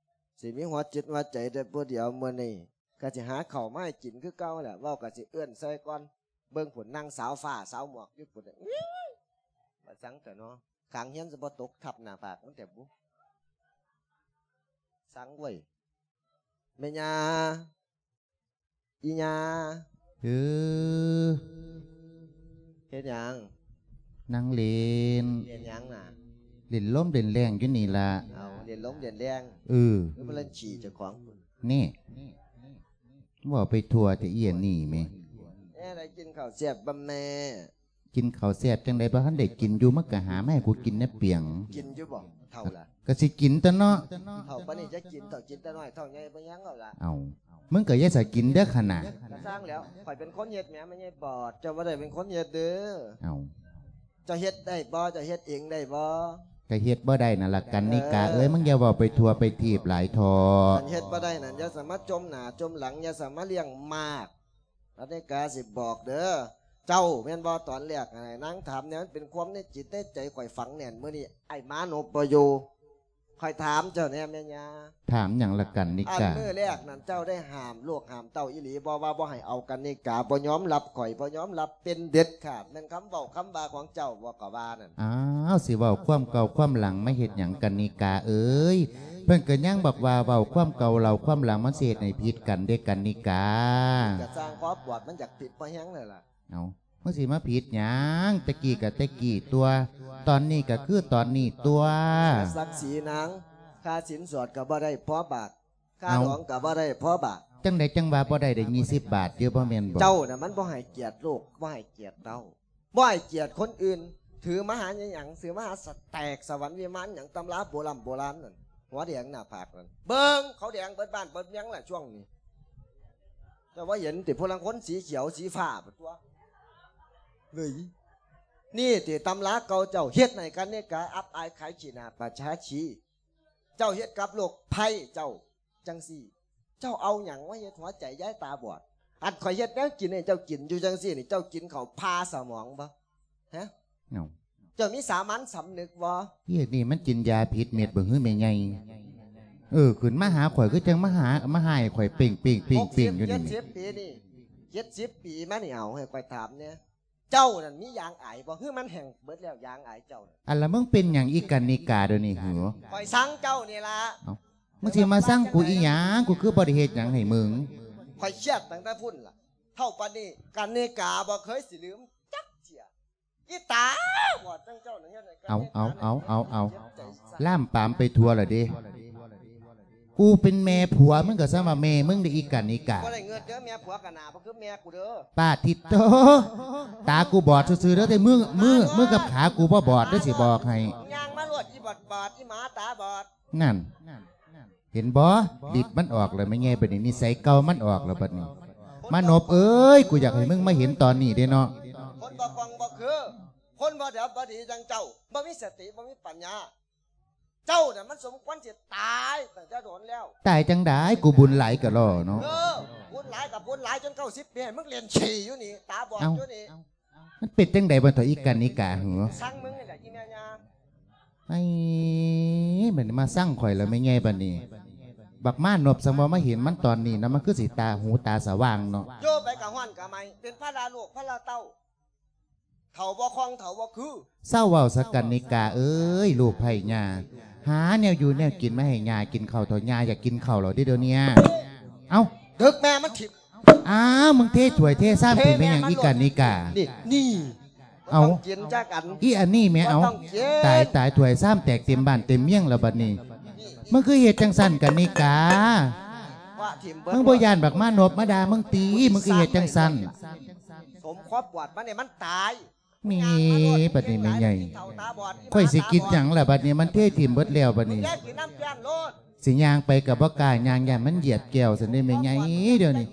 ຊິມີຫົວຈິດຫົວໃຈແຕ່ຜູ້ດຽວ. ມື້ນີ້ກໍຊິຫາເຂົ້າມາໃຫ້ກິນຄືເກົ່າແຫຼະ. ເວົ້າກໍຊິເອີ້ນໃສ່ກ່ອນ ເບິ່ງພຸ້ນ ນາງສາວຟ້າສາວໝອກຢູ່ພຸ້ນ ວ່າສັງຕະເນາະ. ຂ້າງຮຽນຊິບໍ່ຕົກທັບໜ້າຜາກມັນແທ້ບຸ ສັງເວີຍ. ແມ່ຍ່າ ອີ່ຍ່າ. ເອີ ເຮັດຫຍັງ? ນັ່ງຫຼິ້ນ. ຫຼິ້ນຫຍັງນະ? ຫຼິ້ນລົມຫຼິ້ນແລ້ງຢູ່ນີ້ລະ. ເອົາ ຫຼິ້ນລົມຫຼິ້ນແລ້ງ. ເອີ ຄືມາຫຼິ້ນຂີ້ເຈົ້າຂອງພຸ້ນ. ນີ້ ເວົ້າໄປທົ່ວແຕ່ ອີ່ອັນນີ້ແມ. ແມ່ໄດ້ກິນເຂົ້າແຊບບໍ່ແມ່? ກິນເຂົ້າແຊບຈັ່ງໃດ ບໍ່ທັນໄດ້ກິນຢູ່ ມັນກໍຫາມາໃຫ້ກູກິນແດ່ປຽງ. ກິນຢູ່ບໍ່ ເຖົ້າລະ? ກໍຊິກິນຕົວະເນາະ. ເຖົ້າປານນີ້ຈະກິນ ເຖົ້າກິນແຕ່ນ້ອຍ ເຖົ້າໃຫຍ່ບໍ່ຍັງເອົາລະ. ເອົ້າ ມຶງກໍຢ່າສະກິນເດີຂະໜາດ. ກະຊ່າງແລ້ວ ຂ້ອຍເປັນຄົນເຮັດແໝ ແມ່ໃຫຍ່ບອດ ເຈົ້າບໍ່ໄດ້ເປັນຄົນເຮັດເດີ. ເອົ້າ ເຈົ້າເຮັດໄດ້ບໍ່? ເຈົ້າເຮັດເອງໄດ້ບໍ່? ກໍເຮັດບໍ່ໄດ້ນັ້ນລະ ກັນນິກາເອີຍ. ເອີ ມຶງຢ່າເວົ້າໄປທົ່ວໄປທີບຫຼາຍເຖາະ. ຄັນເຮັດບໍ່ໄດ້ນັ້ນ ຢ່າສາມາຈົມໜ້າຈົມຫຼັງ ຢ່າສາມາລ້ຽງໝາກ. ກັນນິກາຊິບອກເດີ ເຈົ້າແມ່ນບໍ່? ຕອນແລກຫັ້ນນາງຖາມແນວ ມັນເປັນຄວາມໃນຈິດໃນໃຈຂ້ອຍຝັງແໜ້ນ. ມື້ນີ້ອ້າຍມານົບບໍ່ຢູ່ ຂ້ອຍຖາມເຈົ້າແດ່ແມ່ຍ່າ. ຖາມຫຍັງລະກັນນິກາ? ອັນມື້ແລກນັ້ນເຈົ້າໄດ້ຫ້າມລູກຫ້າມເຕົ້າອີ່ຫຼີບໍ່ ວ່າບໍ່ໃຫ້ເອົາກັນນິກາ? ບໍ່ຍອມຮັບ ຂ້ອຍບໍ່ຍອມຮັບເປັນເດັດຂາດ. ແມ່ນຄຳເວົ້າຄຳວ່າຂອງເຈົ້າບໍ່? ກໍວ່ານັ້ນ. ອ້າວ ຊິເວົ້າຄວາມເກົ່າຄວາມຫຼັງມາເຮັດຫຍັງກັນນິກາເອີຍ? ເພິ່ນກໍຍັງບອກວ່າເວົ້າຄວາມເກົ່າເລົ່າຄວາມຫຼັງ ມັນຊິເຮັດໃຫ້ຜິດກັນເດ້ກັນນິກາ. ກະຊ່າງ ຂໍບວດມັນຢາກຜິດພໍແຮງແລ້ວລະ. ເອົ້າ ມັນຊິມາຜິດຫຍັງ? ແຕ່ກີ້ກໍແຕ່ກີ້ຕົ໋ວ ຕອນນີ້ກໍຄືຕອນນີ້ຕົ໋ວ. ສັກສີນາງ ຄ່າສິນສອດກໍບໍ່ໄດ້ພໍບາດ ຄ່າ ເອົ້າ ດອງກໍບໍ່ໄດ້ພໍບາດ. ຈັ່ງໃດຈັ່ງວ່າບໍ່ໄດ້ ໄດ້ຍີ່ສິບບາດຢູ່ ບໍ່ແມ່ນບໍ່? ເຈົ້ານະມັນບໍ່ໃຫ້ກຽດລູກ ບໍ່ໃຫ້ກຽດເຕົ້າ ບໍ່ໃຫ້ກຽດຄົນອື່ນ. ຖືມະຫາຫຍັງ? ຖືມະຫາສະແຕກສະຫວັນວິມານຫຍັງ ຕຳລາໂບລຳໂບລານນັ້ນ ຫົວແດງໜ້າຜາກນັ້ນ. ເບິ່ງ ເຂົາແດງເບິດບ້ານເບິດເມືອງລະຊ່ວງນີ້. ເຈົ້າບໍ່ເຫັນຕິ? ຜູ້ລາງຄົນສີຂຽວສີຟ້າພຸ້ນຕົ໋ວ. ເອີຍ ນີ້ຕິຕຳລາເກົ່າເຈົ້າ ເຮັດໃຫ້ກັນນິກາອັບອາຍຂາຍຂີ້ໜ້າປະຊາຊີ. ເຈົ້າເຮັດກັບລູກໃພ້ເຈົ້າຈັ່ງຊີ້ ເຈົ້າເອົາຫຍັງມາເຮັດຫົວໃຈຍາຍຕາບອດ? ອັນຂ້ອຍເຮັດແນວກິນໃຫ້ເຈົ້າກິນຢູ່ຈັ່ງຊີ້ນີ້ ເຈົ້າກິນເຂົ້າຜ່າສະໝອງບໍ່? ຮະ? ເອົ້າ ເຈົ້າມີສາມັນສຳນຶກບໍ່? ເຮັດນີ້ມັນກິນຢາຜິດເມັດບໍ່ຮືແມ່ໃຫຍ່? ເອີ ຂຶ້ນມາຫາຂ້ອຍຄືຈັ່ງມາຫາ ມາຮ້າຍຂ້ອຍເປັ້ງໆໆໆຢູ່ນີ້. ຫົກສິບ ເຈັດສິບປີນີ້ ເຈັດສິບປີມານີ້ ເອົາ ໃຫ້ຂ້ອຍຖາມແດ່ ເຈົ້ານັ້ນມີຢາງອາຍບໍ່? ຄືມັນແຫ້ງເບິດແລ້ວຢາງອາຍເຈົ້ານັ້ນ? ອັນລະ ມຶງເປັນຫຍັງອີກກັນນິກາດຽວນີ້ຫື? ຂ້ອຍຊັງເຈົ້ານີ້ລະ. ເອົ້າ ມຶງຊິມາຊັງກູອີຫຍັງ? ກູຄືບໍ່ໄດ້ເຮັດຫຍັງໃຫ້ມຶງ? ຂ້ອຍຄຽດຕັ້ງແຕ່ພຸ້ນລະ ເທົ່າປານນີ້ ກັນນິກາບໍ່ເຄີຍຊິລືມຈັກເທື່ອ. ອີຕາບອດຈັ່ງເຈົ້ານັ້ນເຮັດໃຫ້ກັນ ເອົາ ເຮັດ ເອົາ ເຮັດ ເອົາ ເອົາ ເຈັບໃຈ. ລາມປາມໄປທົ່ວລະເດ້. ກູເປັນແມ່ຜົວມຶງກໍສ່ຳວ່າແມ່ມຶງໄດ້ອີກກັນນິກາ. ບໍ່ໄດ້ເງິນເດີ ແມ່ຜົວກະໜ້າບໍ່ຄືແມ່ກູເດີ. ປາດທິດໂຕ ຕາກູບອດຊື່ໆເດີ ແຕ່ມື ມື ມືກັບຂາກູບໍ່ບອດເດີ ຊິບອກໃຫ້. ຍ່າງມາໂລດ ອີບອດບອດ ອີໝາຕາບອດ. ນັ້ນ ເຫັນບໍ່? ລິດມັນອອກແລ້ວແມ່ໃຫຍ່ ບັດນີ້ນິໄສເກົ່າມັນອອກແລ້ວບັດນີ້. ມານົບເອີຍ ກູຢາກໃຫ້ມຶງມາເຫັນຕອນນີ້ເດ້ເນາະ. ຄົນບໍ່ຄ່ອງບໍ່ຄື ຄົນບໍ່ດຽບບໍ່ດີຈັ່ງເຈົ້າ ບໍ່ມີສະຕິ ບໍ່ມີປັນຍາ. ເຈົ້ານະມັນສົມຄວນຊິຕາຍຕັ້ງແຕ່ດົນແລ້ວ. ຕາຍຈັ່ງໃດ? ກູບຸນຫຼາຍກະລໍເນາະ. ເອີ ບຸນຫຼາຍກະບຸນຫຼາຍ ຈົນເກົ້າສິບປີໃຫ້ມຶງຫຼິ້ນຂີ້ຢູ່ນີ້ ຕາບອດຢູ່ນີ້. ມັນເປັນຈັ່ງໃດບໍ່ເຖົ້າອີກກັນນິກາຫື? ຊັງມຶງນີ້ແຫຼະອີແມ່ຍ່າ. ໄອ້ ບັດນີ້ມາຊັງຂ້ອຍແລ້ວແມ່ໃຫຍ່ບັດນີ້. ບັກມານົບ ສັງບໍ່ມາເຫັນມັນຕອນນີ້ນະ ມັນຄືຊິຕາຫູຕາສະຫວ່າງເນາະ. ຢູ່ໄປກະຮ້ອນກະໄໝ້ ເປັນພາລະລູກພາລະເຕົ້າ. ເຖົ້າບໍ່ຄ່ອງ ເຖົ້າບໍ່ຄື. ເຊົາເວົ້າຊະກັນນິກາເອີຍ ລູກໃພ້ຍ່າ ຫາແນວຢູ່ແນວກິນມາໃຫ້ຍ່າກິນເຂົ້າເຖົ້າ. ຍ່າຢາກກິນເຂົ້າແລ້ວເດ້ດຽວນີ້. ເອົ້າ ດຶກແມ່ມັນຖິ້ມ. ອ້າວ ມຶງເທຖ້ວຍເທຊາມຖິ້ມແມ່ນຫຍັງອີກກັນນິກາ? ນີ້ ນີ້ ເອົ້າ ບໍ່ຕ້ອງກິນຈັກອັນ. ອີອັນນີ້ແມ່ ເອົາ ບໍ່ຕ້ອງກິນ. ຕາຍ ຕາຍ ຖ້ວຍຊາມແຕກເຕັມບ້ານເຕັມເມືອງແລ້ວບັດນີ້. ມຶງຄືເຮັດຈັ່ງຊັ້ນກັນນິກາ? ວ່າຖິ້ມເບິດ. ມຶງບໍ່ຢ້ານບັກມານົບມາດ່າມຶງຕິ? ມຶງຄືເຮັດຈັ່ງຊັ້ນ? ສົມຄວາມບອດມັນນີ້ມັນຕາຍ. ມີ ບັດນີ້ແມ່ໃຫຍ່ ຂ້ອຍຊິກິນຫຍັງລະບັດນີ້? ມັນເທຖິ້ມເບິດແລ້ວບັດນີ້. ຊິຍ່າງໄປກໍບໍ່ກ້າຍ່າງ ຢ້ານມັນຢຽບແກ້ວຊັ້ນເດ້ແມ່ໃຫຍ່. ດຽວນີ້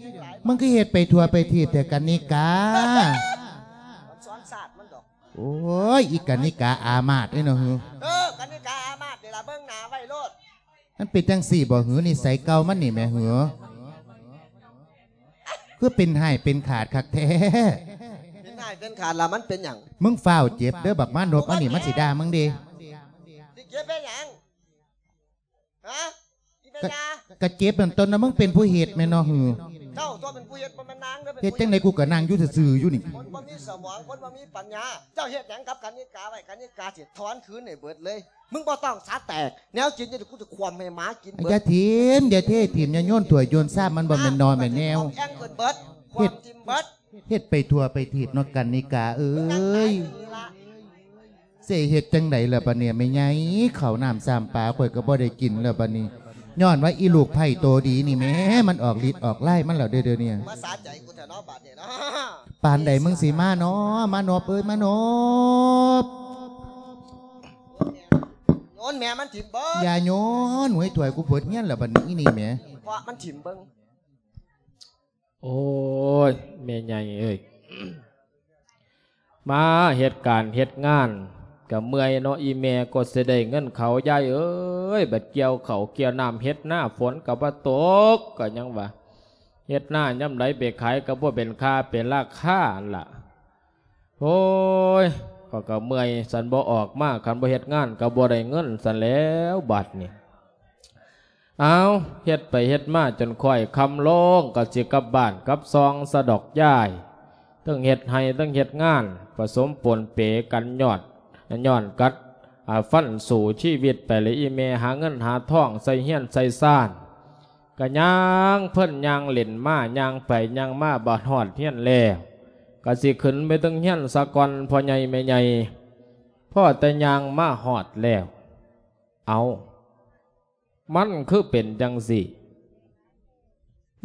ມຶງຄືເຮັດໄປທົ່ວໄປທີບແທ້ກັນນິກາ? ໂອ້ຍ ອີກກັນນິກາອາມາດເດ້ເນາະຫື. ເອີ ກັນນິກາອາມາດນີ້ລະ ເບິ່ງໜ້າໄວ້ໂລດ. ມັນເປັນຈັ່ງຊີ້ບໍ່ຫື? ນິໄສເກົ່າມັນນີ້ແໝ່ຫື? ຄືເປັນຮ້າຍເປັນຂາດຄັກແທ້. ເປັນຮ້າຍເປັນຂາດລະມັນເປັນຫຍັງ? ມຶງຟ້າວເຈັບເດີ ບັກມານົບອັນນີ້ມັນຊິດ່າມຶງເດ້. ຊິເຈັບເຮັດຫຍັງ? ຮະ? ອີແມ່ຍາ ກະເຈັບນັ້ນຕົນນະ ມຶງເປັນຜູ້ເຮັດແມ່ນເນາະຫື? ເຈົ້າຕົວເປັນຜູ້ເຮັດ ບໍ່ແມ່ນນາງເດີ. ເຮັດຈັ່ງໃດ ກູກະນັ່ງຢູ່ຊື່ໆຢູ່ນີ້. ຄົນບໍ່ມີສະໝອງ ຄົນບໍ່ມີປັນຍາ. ເຈົ້າເຮັດຫຍັງກັບກັນນິກາໄວ້? ກັນນິກາຊິທອນຄືນໃຫ້ເບິດເລີຍ. ມຶງບໍ່ຕ້ອງສາແຕກ ແນວກິນຢູ່ນີ້ ກູຈະຂວ້ຳໃຫ້ໝາກິນເບິດ. ຢ່າຖິ້ມ ຢ່າເທຖິ້ມ ຢ່າໂຍນຖ້ວຍໂຍນຊາມ ມັນບໍ່ແມ່ນໜໍ່ແມ່ນແນວ. ແອງເກີນເບິດ ເຮັດ ຂວ້ຳຖິ້ມເບິດ. ເຮັດໄປທົ່ວໄປທີບເນາະກັນນິກາເອີຍ. ຊິເຮັດຈັ່ງໃດລະບັດນີ້ແມ່ໃຫຍ່? ເຂົ້ານ້ຳຊຳປາຂ້ອຍກໍບໍ່ໄດ້ກິນລະບັດນີ້ ຍ້ອນວ່າອີລູກໃພ້ໂຕດີນີ້ແໝ່ ມັນອອກລິດອອກລາຍມັນແລ້ວເດ້ດຽວນີ້. ມາສາໃຈກູແທ້ເນາະບາດນີ້ເນາະ. ປານໃດມຶງຊິມາເນາະ ມານົບເອີຍ ມານົບ. ໂຍນແມ່ມັນຖິ້ມເບິດ. ຢ່າໂຍນ ຫວຍຖ້ວຍກູເບິດຮຽນລະບັດນີ້ ອີນີ້ແໝ່. ເພາະມັນຖິ້ມເບິ່ງ. ໂອ້ຍ ແມ່ໃຫຍ່ເອີຍ ມາເຮັດການເຮັດງານກະເມື່ອຍເນາະ ອີແມ່ກວ່າຊິໄດ້ເງິນເຂົ້າ ຍາຍເອີຍ. ບັດກ່ຽວເຂົ້າກ່ຽວນ້ຳເຮັດນາ ຝົນກະບໍ່ຕົກ ກະຍັງວ່າເຮັດນາຍາມໃດໄປຂາຍກະບໍ່ເປັນຄ່າເປັນລາຄາຫັ້ນລະ. ໂອ້ຍ ຂ້ອຍກໍເມື່ອຍ ຊັ້ນບໍ່ອອກມາ ຄັນບໍ່ເຮັດງານກໍບໍ່ໄດ້ເງິນຊັ້ນແຫຼ້ວບາດນີ້. ເອົາ ເຮັດໄປເຮັດມາຈົນຄ້ອຍຄ່ຳລົງ ກໍຊິກັບບ້ານກັບຊ່ອງສະດອກຍາຍ. ເຖິງເຮັດໄຮ່ເຖິງເຮັດງານ ປະສົມປົນເປກັນ ຍ້ອນ ຍ້ອນກັດ ອາ ຟັນສູ້ຊີວິດໄປແລ້ວ ອີ່ແມ່ຫາເງິນຫາທອງໃສ່ເຮືອນໃສ່ຊານ. ກະຍ່າງເພິ່ນຍ່າງເລ່ນມາ ຍ່າງໄປຍ່າງມາ ບາດຮອດເຮືອນແລ້ວ ກະຊິຂຶ້ນໄປເຖິງເຮືອນສາກ່ອນ ພໍ່ໃຫຍ່ແມ່ໃຫຍ່. ພໍແຕ່ຍ່າງມາຮອດແລ້ວ ເອົ້າ ມັນຄືເປັນຈັ່ງຊີ້?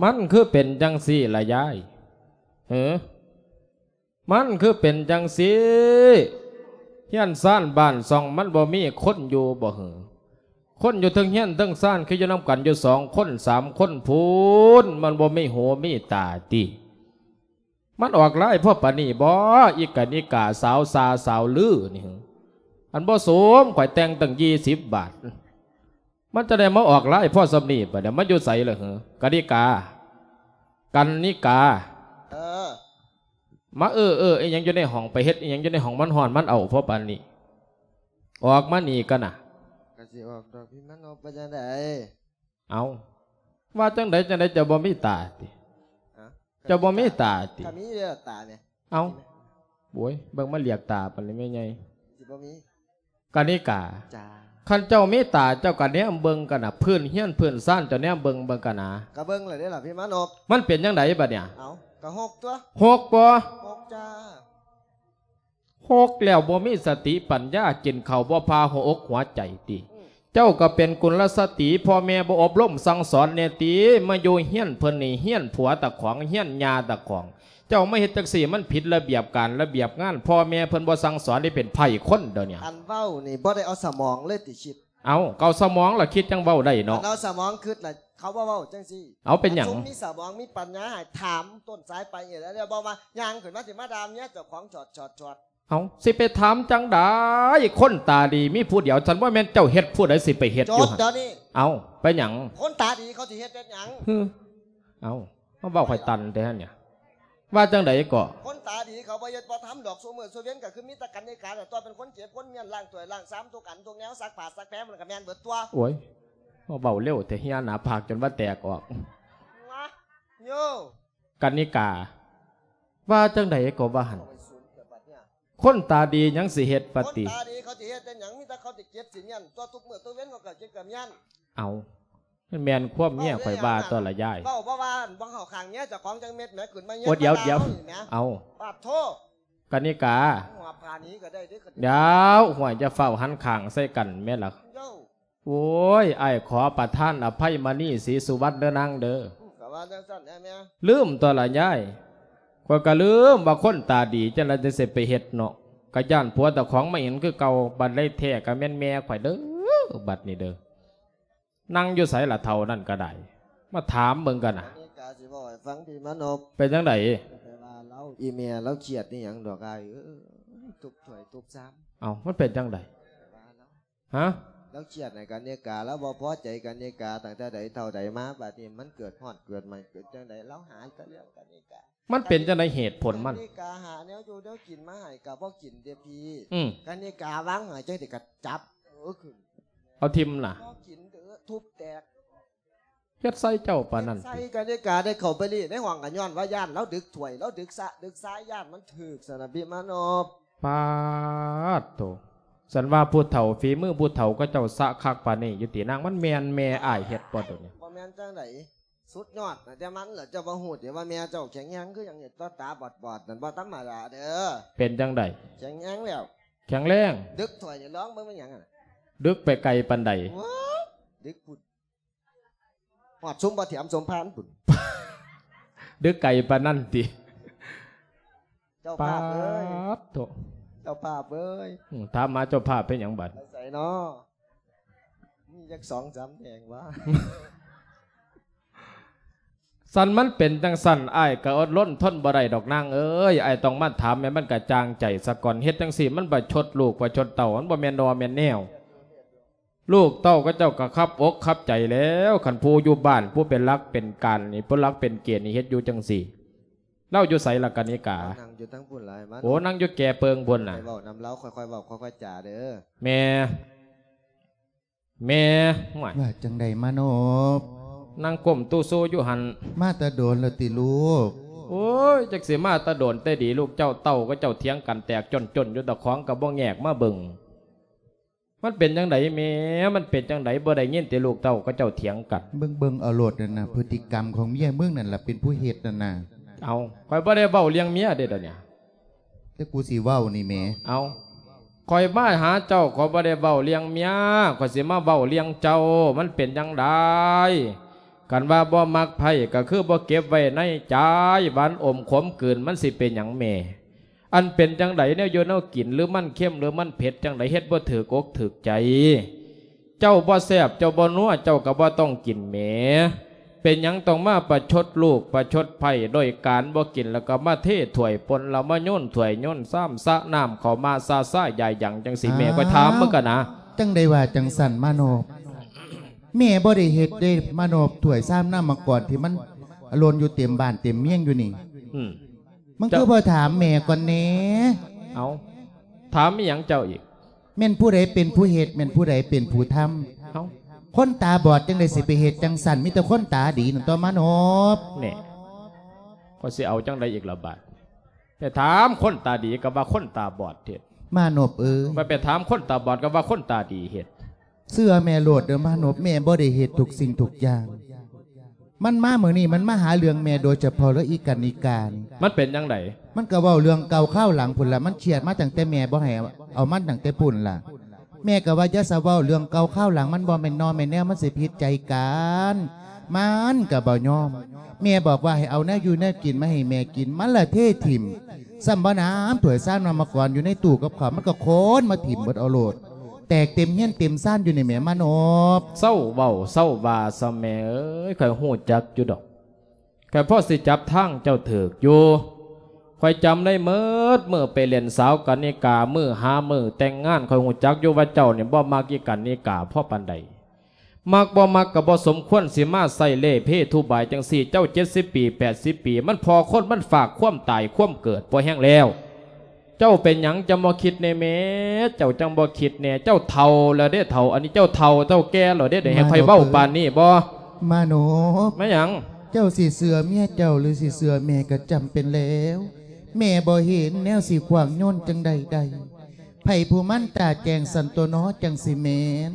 ມັນຄືເປັນຈັ່ງຊີ້ລະຍາຍ? ເຫີ? ມັນຄືເປັນຈັ່ງຊີ້? ເຮືອນຊານບ້ານຊ່ອງມັນບໍ່ມີຄົນຢູ່ບໍ່ເຫີ? ຄົນຢູ່ເທິງເຮືອນເທິງຊານຄືຢູ່ນຳກັນຢູ່ສອງຄົນສາມຄົນພຸ້ນ ມັນບໍ່ມີຫູມີຕາຕິ? ມັນອອກລາຍພໍປານນີ້ບໍ່ ອີກະນິກາສາວຊາສາວລືນີ້? ອັນບໍ່ສົມຂ້ອຍແຕ່ງຕັ້ງຊາວບາດ ມັນຈະໄດ້ມາອອກລາຍພໍສ່ຳນີ້ບາດນີ້ ມັນຢູ່ໃສລະເຫີ? ກະນິກາ ກັນນິກາ ເອີ ມາເອີໆ ອີ່ຫຍັງຢູ່ໃນຫ້ອງ ໄປເຮັດອີ່ຫຍັງຢູ່ໃນຫ້ອງ ມັນຮ້ອນມັນເອົ້າພໍປານນີ້ ອອກມານີ້ກັນນະ. ກະຊິອອກດອກ ພີ່ມານົບ ວ່າຈັ່ງໃດ? ເອົ້າ ວ່າຈັ່ງໃດຈັ່ງໃດ ເຈົ້າບໍ່ມີຕາຕິ? ຮະ? ເຈົ້າບໍ່ມີຕາຕິ? ກະມີເດ້ຕາແໝ. ເອົ້າ ໂອ້ຍ ເບິ່ງມາລຽກຕາປານນີ້ແມ່ໃຫຍ່ ຊິບໍ່ມີ. ກະນິກາ ຈ້າ ຄັນເຈົ້າມີຕາ ເຈົ້າກະແນມເບິ່ງກັນນະ ພື້ນເຮືອນພື້ນຊານ ເຈົ້າແນມເບິ່ງເບິ່ງກັນນະ. ກະເບິ່ງແລ້ວເດ້ລະ ພີ່ມານົບ. ມັນເປັນຈັ່ງໃດບາດນີ້? ເອົ້າ ກະຮົກຕົວະ. ຮົກບໍ່? ຮົກຈ້າ. ຮົກແລ້ວບໍ່ມີສະຕິປັນຍາ ກິນເຂົ້າບໍ່ຜ່າຫົວອົກຫົວໃຈຕິ? ເຈົ້າກໍເປັນກຸນລະສະຕີ ພໍ່ແມ່ບໍ່ອົບຮົມສັ່ງສອນແດ່ຕິ? ມາຢູ່ເຮືອນເພິ່ນນີ້ ເຮືອນຜົວຕາຂອງ ເຮືອນຍ່າຕາຂອງ ເຈົ້າມາເຮັດຈັ່ງຊີ້ ມັນຜິດລະບຽບການລະບຽບງານ ພໍ່ແມ່ເພິ່ນບໍ່ສັ່ງສອນ ໄດ້ເປັນໄພຄົນດຽວນີ້. ອັນເວົ້ານີ້ບໍ່ໄດ້ເອົາສະໝອງເລີຍຕິຄິດ? ເອົ້າ ກໍເອົາສະໝອງລະຄິດຈັ່ງເວົ້າໄດ້ເນາະ. ຄັນເອົາສະໝອງຄິດລະ ເຂົາບໍ່ເວົ້າຈັ່ງຊີ້. ເອົາ ເປັນຫຍັງ? ຄັນຊຸມມີສະໝອງມີປັນຍາໃຫ້ຖາມຕົ້ນສາຍປາຍເຫດ ແລ້ວບໍ່ມາຍ່າງຂຶ້ນມາຊິມາດ່າເມຍເຈົ້າຂອງຈອດໆໆ. ເອົ້າ ຊິໄປຖາມຈັ່ງໃດ? ຄົນຕາດີມີຜູ້ດຽວ ຊັ້ນບໍ່ແມ່ນເຈົ້າເຮັດ ຜູ້ໃດຊິໄປເຮັດຢູ່ຫັ້ນ? ດຽວນີ້ ເອົ້າ ໄປຫຍັງ? ຄົນຕາດີເຂົາຊິເຮັດເຮັດຫຍັງ? ເອົ້າ ມາເວົ້າຂ້ອຍຕັນແທ້ຫັ້ນນະ. ວ່າຈັ່ງໃດກໍ? ຄົນຕາດີເຂົາບໍ່ເຮັດບໍ່ທຳດອກ ຊຸມື້ຊຸເວັນກໍຄືມີແຕ່ກັນນິກາແຫຼະຕົວະ ເປັນຄົນເກັບຄົນມ້ຽນ ລ້າງຖ້ວຍລ້າງຊາມທຸກອັນທຸກແນວ ຊັກຜ້າຊັກແພ ມັນກໍແມ່ນເບິດຕົວະ. ໂອ້ຍ ເວົ້າເລັວແທ້ ເຫື່ອໜ້າຜາກຈົນວ່າແຕກອອກ. ໂຍ ກັນນິກາ ວ່າຈັ່ງໃດກໍວ່າຫັ້ນ. ຄົນຕາດີຫຍັງຊິເຮັດປະຕິ? ຄົນຕາດີເຂົາຊິເຮັດແຕ່ຫຍັງ? ມີແຕ່ເຂົາຊິເກັບຊິມ້ຽນຕົວະ ທຸກມື້ທຸກເວັນເຂົາກໍເກັບກໍມ້ຽນ. ເອົ້າ ມັນແມ່ນຄວາມເມຍຂ້ອຍວ່າຕົວະລະຍາຍ. ເວົ້າບໍ່ວ່າບໍ່ເຂົ້າຂ້າງເມຍເຈົ້າຂອງຈັກເມັດແໝ ຂຶ້ນມາແຍ່ງ ໂອ້ ດຽວ ມາ ດຽວ ດາເຮົານີ້ແໝ. ເອົ້າ ປາດໂທ ກັນນິກາ ຫົວພາໜີກໍໄດ້ເດ້. ດຽວ ຫ້ວຍ ຢ່າຟ້າວຫັນຂ້າງໃສ່ກັນແມ່ລະ. ໂອ້ຍ ອ້າຍຂໍປະທານອະໄພມະນີ ສີສຸວັນ ເດີນາງເດີ. ອືມ ກໍວ່າຈັ່ງຊັ້ນແຫຼະແມ່. ລືມຕົວະລະຍາຍ ຂ້ອຍກໍລືມວ່າຄົນຕາດີຈັ່ງໃດຈັ່ງຊິໄປເຮັດເນາະ ກໍຢ້ານຜົວເຈົ້າຂອງມາເຫັນຄືເກົ່າ. ບັດໃດແທ້ກໍແມ່ນແມ່ຂ້ອຍເດີ ບັດນີ້ເດີ. ນັ່ງຢູ່ໃສລະເຖົ້ານັ້ນກໍໄດ້ ມາຖາມເບິ່ງກັນນະ. ອັນນີ້ກະຊິເວົ້າໃຫ້ຟັງ ພີ່ມານົບ. ເປັນຈັ່ງໃດ? ແຕ່ວ່າລາວ ອີ່ແມ່ລາວຄຽດອີ່ຫຍັງດອກອ້າຍເອີຍ ທຸບຖ້ວຍທຸບຊາມ. ເອົ້າ ມັນເປັນຈັ່ງໃດ? ແຕ່ວ່າລາວ ຮະ? ລາວຄຽດໃຫ້ກັນນິກາ ລາວບໍ່ພໍໃຈກັນນິກາ ຕັ້ງແຕ່ໃດເທົ່າໃດມາ ບາດນີ້ມັນເກີດຮອດເກີດໃໝ່ ເກີດຈັ່ງໃດ ລາວຫາແຕ່ເລື່ອງກັນນິກາ. ມັນເປັນຈັ່ງໃດເຫດຜົນມັນ? ກັນນິກາຫາແນວຢູ່ແນວກິນມາໃຫ້ກໍບໍ່ກິນເດ້ພີ່. ອືມ ກັນນິກາວາງໃຫ້ຈັ່ງໃດກໍຈັບ ເອີ ຂຶ້ນ ເອົາຖິ້ມນະ ບໍ່ກິນເດີ ທຸບແຕກ. ເຮັດໃສ່ເຈົ້າປານນັ້ນຕິ? ໃສ່ກັນນິກາໄດ້ເຂົ້າໄປລີ້ໃນຫ້ອງກໍຍ້ອນວ່າຢ້ານລາວດຶກຖ້ວຍ ລາວດຶກສະ ດຶກຊາຍ ຢ້ານມັນຖືກສະນະ ພີ່ມານົບ. ປາດໂທ ສັນວ່າຜູ້ເຖົ້າ ຝີມືຜູ້ເຖົ້າເຂົາເຈົ້າສະຄັກປານນີ້ຢູ່ຕິນາງ? ມັນແມ່ນແມ່ອ້າຍເຮັດບໍ່ໂຕນີ້? ບໍ່ແມ່ນຈັ່ງໃດ ສຸດຍອດນະແຕ່ມັນລະ. ເຈົ້າບໍ່ຮູ້ຕິວ່າແມ່ເຈົ້າແຂງແຮງຄືຫຍັງນີ້ ຕາບອດໆນັ້ນ ບໍ່ທຳມະດາເດີ. ເປັນຈັ່ງໃດ? ແຂງແຮງແລ້ວ ແຂງແຮງ. ດຶກຖ້ວຍນີ້ລອງເບິ່ງແມ່ນຫຍັງຫັ້ນນະ? ດຶກໄປໄກປານໃດ? ໂອ້ຍ ດຶກພຸ້ນ ຮອດຊຸມພໍ່ແຖມສົມພານພຸ້ນ. ດຶກໄກປານນັ້ນຕິ? ເຈົ້າພາບເອີຍ ປາດໂທ ເຈົ້າພາບເອີຍ. ອືມ ຖາມຫາເຈົ້າພາບເປັນຫຍັງບັດ? ໄປໃສນໍ? ມີຈັກສອງສາມແຫ່ງຫວາ? ຊັ້ນມັນເປັນຈັ່ງຊັ້ນ ອ້າຍກໍອົດລົນທົນບໍ່ໄດ້ດອກນາງເອີຍ. ອ້າຍຕ້ອງມາຖາມໃຫ້ມັນກະຈ່າງໃຈສາກ່ອນ. ເຮັດຈັ່ງຊີ້ມັນປະຊົດລູກປະຊົດເຕົ້າ ມັນບໍ່ແມ່ນໜໍ່ແມ່ນແນວ. ລູກເຕົ້າເຂົາເຈົ້າກໍຄັບອົກຄັບໃຈແລ້ວ ຄັນຜູ້ຢູ່ບ້ານ ຜູ້ເປັນຫຼັກເປັນການນີ້ ຜູ້ຫຼັກເປັນເກນນີ້ ເຮັດຢູ່ຈັ່ງຊີ້. ລາວຢູ່ໃສລະກະນິກາ? ນັ່ງຢູ່ທາງພຸ້ນຫຼາຍ ມາ ໂອ້ ນັ່ງຢູ່ແກ່ເປິງພຸ້ນນະ ຄ່ອຍເວົ້ານຳລາວ ຄ່ອຍໆເວົ້າ ຄ່ອຍໆຈາເດີ້ ແມ່ ແມ່ ຫ້ວຍ ວ່າຈັ່ງໃດມາໂນບ? ນັ່ງກົ້ມຕູ້ຊູຢູ່ຫັ້ນ ມາແຕ່ດົນແລ້ວຕິລູກ? ໂອ້ຍ ຈັກຊິມາແຕ່ດົນແຕ່ດີ ລູກເຈົ້າເຕົ້າກໍເຈົ້າຖຽງກັນແຕກຈົນໆຢູ່ ຕາຂອງກໍບໍ່ແງກມາເບິ່ງ ມັນເປັນຈັ່ງໃດແມ່? ມັນເປັນຈັ່ງໃດ? ບໍ່ໄດ້ຍິນຕິລູກເຕົ້າເຂົາເຈົ້າຖຽງກັນ? ເບິ່ງໆເອົາໂລດນັ້ນນະ ພຶດຕິກຳຂອງເມຍມຶງນັ້ນລະເປັນຜູ້ເຮັດນັ້ນນະ. ເອົາ ຂ້ອຍບໍ່ໄດ້ເວົ້າເລື່ອງເມຍເດ້ດຽວນີ້ ແຕ່ກູຊິເວົ້ານີ້ແໝ. ເອົາ ຂ້ອຍມາຫາເຈົ້າ ຂ້ອຍບໍ່ໄດ້ເວົ້າເລື່ອງເມຍ ຂ້ອຍຊິມາເວົ້າເລື່ອງເຈົ້າ ມັນເປັນຈັ່ງໃດ? ຄັນວ່າບໍ່ມັກໃຜກໍຄືບໍ່ເກັບໄວ້ໃນໃຈ ຫວານອົມຂົມກືນ ມັນຊິເປັນຫຍັງແມ່? ອັນເປັນຈັ່ງໃດ ແນວຢູ່ແນວກິນ ຫຼືມັນເຄັມ ຫຼືມັນເຜັດຈັ່ງໃດ ເຮັດບໍ່ຖືກອົກຖືກໃຈ ເຈົ້າບໍ່ແຊບ ເຈົ້າບໍ່ນົວ ເຈົ້າກໍບໍ່ຕ້ອງກິນແໝ. ເປັນຫຍັງຕ້ອງມາປະຊົດລູກປະຊົດໃພ້ ໂດຍການບໍ່ກິນ ແລ້ວກໍມາເທຖ້ວຍປົນ ແລ້ວມາໂຍນຖ້ວຍໂຍນຊາມ ສະນ້ຳເຂົ້າມາຊາຊາຢາຍຢາງຈັ່ງຊີ້ແມ່? ຂ້ອຍຖາມເບິ່ງກະນະ. ຈັ່ງໃດວ່າຈັ່ງຊັ້ນມາໂນບ? ແມ່ບໍ່ໄດ້ເຮັດເດ້ມາໂນບ ຖ້ວຍຊາມນ້ຳມະກອນທີ່ມັນຫຼົ່ນຢູ່ເຕັມບ້ານເຕັມເມືອງຢູ່ນີ້. ອືມ ມຶງຄືບໍ່ຖາມແມ່ກ່ອນແດ່? ເອົາ ຖາມອີ່ຫຍັງເຈົ້າອີກ? ແມ່ນຜູ້ໃດເປັນຜູ້ເຮັດ ແມ່ນຜູ້ໃດເປັນຜູ້ທຳ? ເອົ້າ ຄົນຕາບອດຈັ່ງໃດຊິໄປເຮັດຈັ່ງຊັ້ນ ມີແຕ່ຄົນຕາດີນັ້ນຕົວະມາໂນບ. ແນ່ ຂ້ອຍຊິເອົາຈັ່ງໃດອີກລະບາດ? ໄປຖາມຄົນຕາດີກໍວ່າຄົນຕາບອດເຮັດ ມາໂນບເອີຍ. ໄປ ໄປຖາມຄົນຕາບອດກໍວ່າຄົນຕາດີເຮັດ. ເຊື່ອແມ່ໂລດເດີມາໂນບ ແມ່ບໍ່ໄດ້ເຮັດທຸກສິ່ງທຸກຢ່າງ. ມັນມາມື້ນີ້ ມັນມາຫາເລື່ອງແມ່ໂດຍສະເພາະເລີຍ ອີການອີການ. ມັນເປັນຈັ່ງໃດ? ມັນກໍເວົ້າເລື່ອງເກົ່າຄາວຫຼັງພຸ້ນລະ ມັນຄຽດມາຕັ້ງແຕ່ແມ່ບໍ່ໃຫ້ເອົາມັນຕັ້ງແຕ່ພຸ້ນລະ. ແມ່ກໍວ່າຢ່າສະເວົ້າເລື່ອງເກົ່າຄາວຫຼັງ ມັນບໍ່ແມ່ນໜໍ່ແມ່ນແນວ ມັນຊິຜິດໃຈກັນ. ມັນກໍບໍ່ຍອມ. ແມ່ບອກວ່າໃຫ້ເອົາແນວຢູ່ແນວກິນມາໃຫ້ແມ່ກິນ ມັນລະເທຖິ້ມ. ຊ້ຳບໍ່ໜາມ ຖ້ວຍຊາມນ້ຳມະກອນຢູ່ໃນຕູ້ກັບເຂົ້າ ມັນກໍໂຄນມາຖິ້ມເບິດເອົາໂລດ. ແຕກເຕັມເຮືອນເຕັມຊານຢູ່ນີ້ແໝ ມາໂນບ. ເຊົາເວົ້າເຊົາວ່າຊະແມ່ເອີຍ ຂ້ອຍຮູ້ຈັກຢູ່ດອກ ຂ້ອຍພໍຊິຈັບທາງເຈົ້າຖືກຢູ່. ຂ້ອຍຈຳໄດ້ໝົດ ມື້ໄປຫຼິ້ນສາວກະນິກາ ມື້ຫາມື້ແຕ່ງງານ ຂ້ອຍຮູ້ຈັກຢູ່ວ່າເຈົ້ານີ້ບໍ່ມັກອີກະນິກາພໍປານໃດ. ມັກບໍ່ມັກກໍບໍ່ສົມຄວນຊິມາໃຊ້ເລ່ເພທຸບາຍຈັ່ງຊີ້. ເຈົ້າເຈັດສິບປີ ແປດສິບປີ ມັນພໍຄົນ ມັນຝາກຄວາມຕາຍຄວາມເກີດພໍແຮງແລ້ວ. ເຈົ້າເປັນຫຍັງຈັ່ງບໍ່ຄິດແດ່ແມ່? ເຈົ້າຈັ່ງບໍ່ຄິດແດ່? ເຈົ້າເຖົ້າແລ້ວເດ້ເຖົ້າ ອັນນີ້ເຈົ້າເຖົ້າເຈົ້າແກ່ແລ້ວເດ້ ໄດ້ໃຫ້ຂ້ອຍເວົ້າປານນີ້ບໍ່? ມາໂນບ ແມ່ນຫຍັງ? ເຈົ້າຊິເຊື່ອເມຍເຈົ້າ ຫຼືຊິເຊື່ອແມ່ກໍຈຳເປັນແລ້ວ. ແມ່ບໍ່ເຫັນແນວຊິຂວາງໂຍນຈັ່ງໃດໄດ້. ໃຜຜູ້ມັນຕາແຈ້ງຊັ້ນຕົວະເນາະ ຈັ່ງຊິແມ່ນ.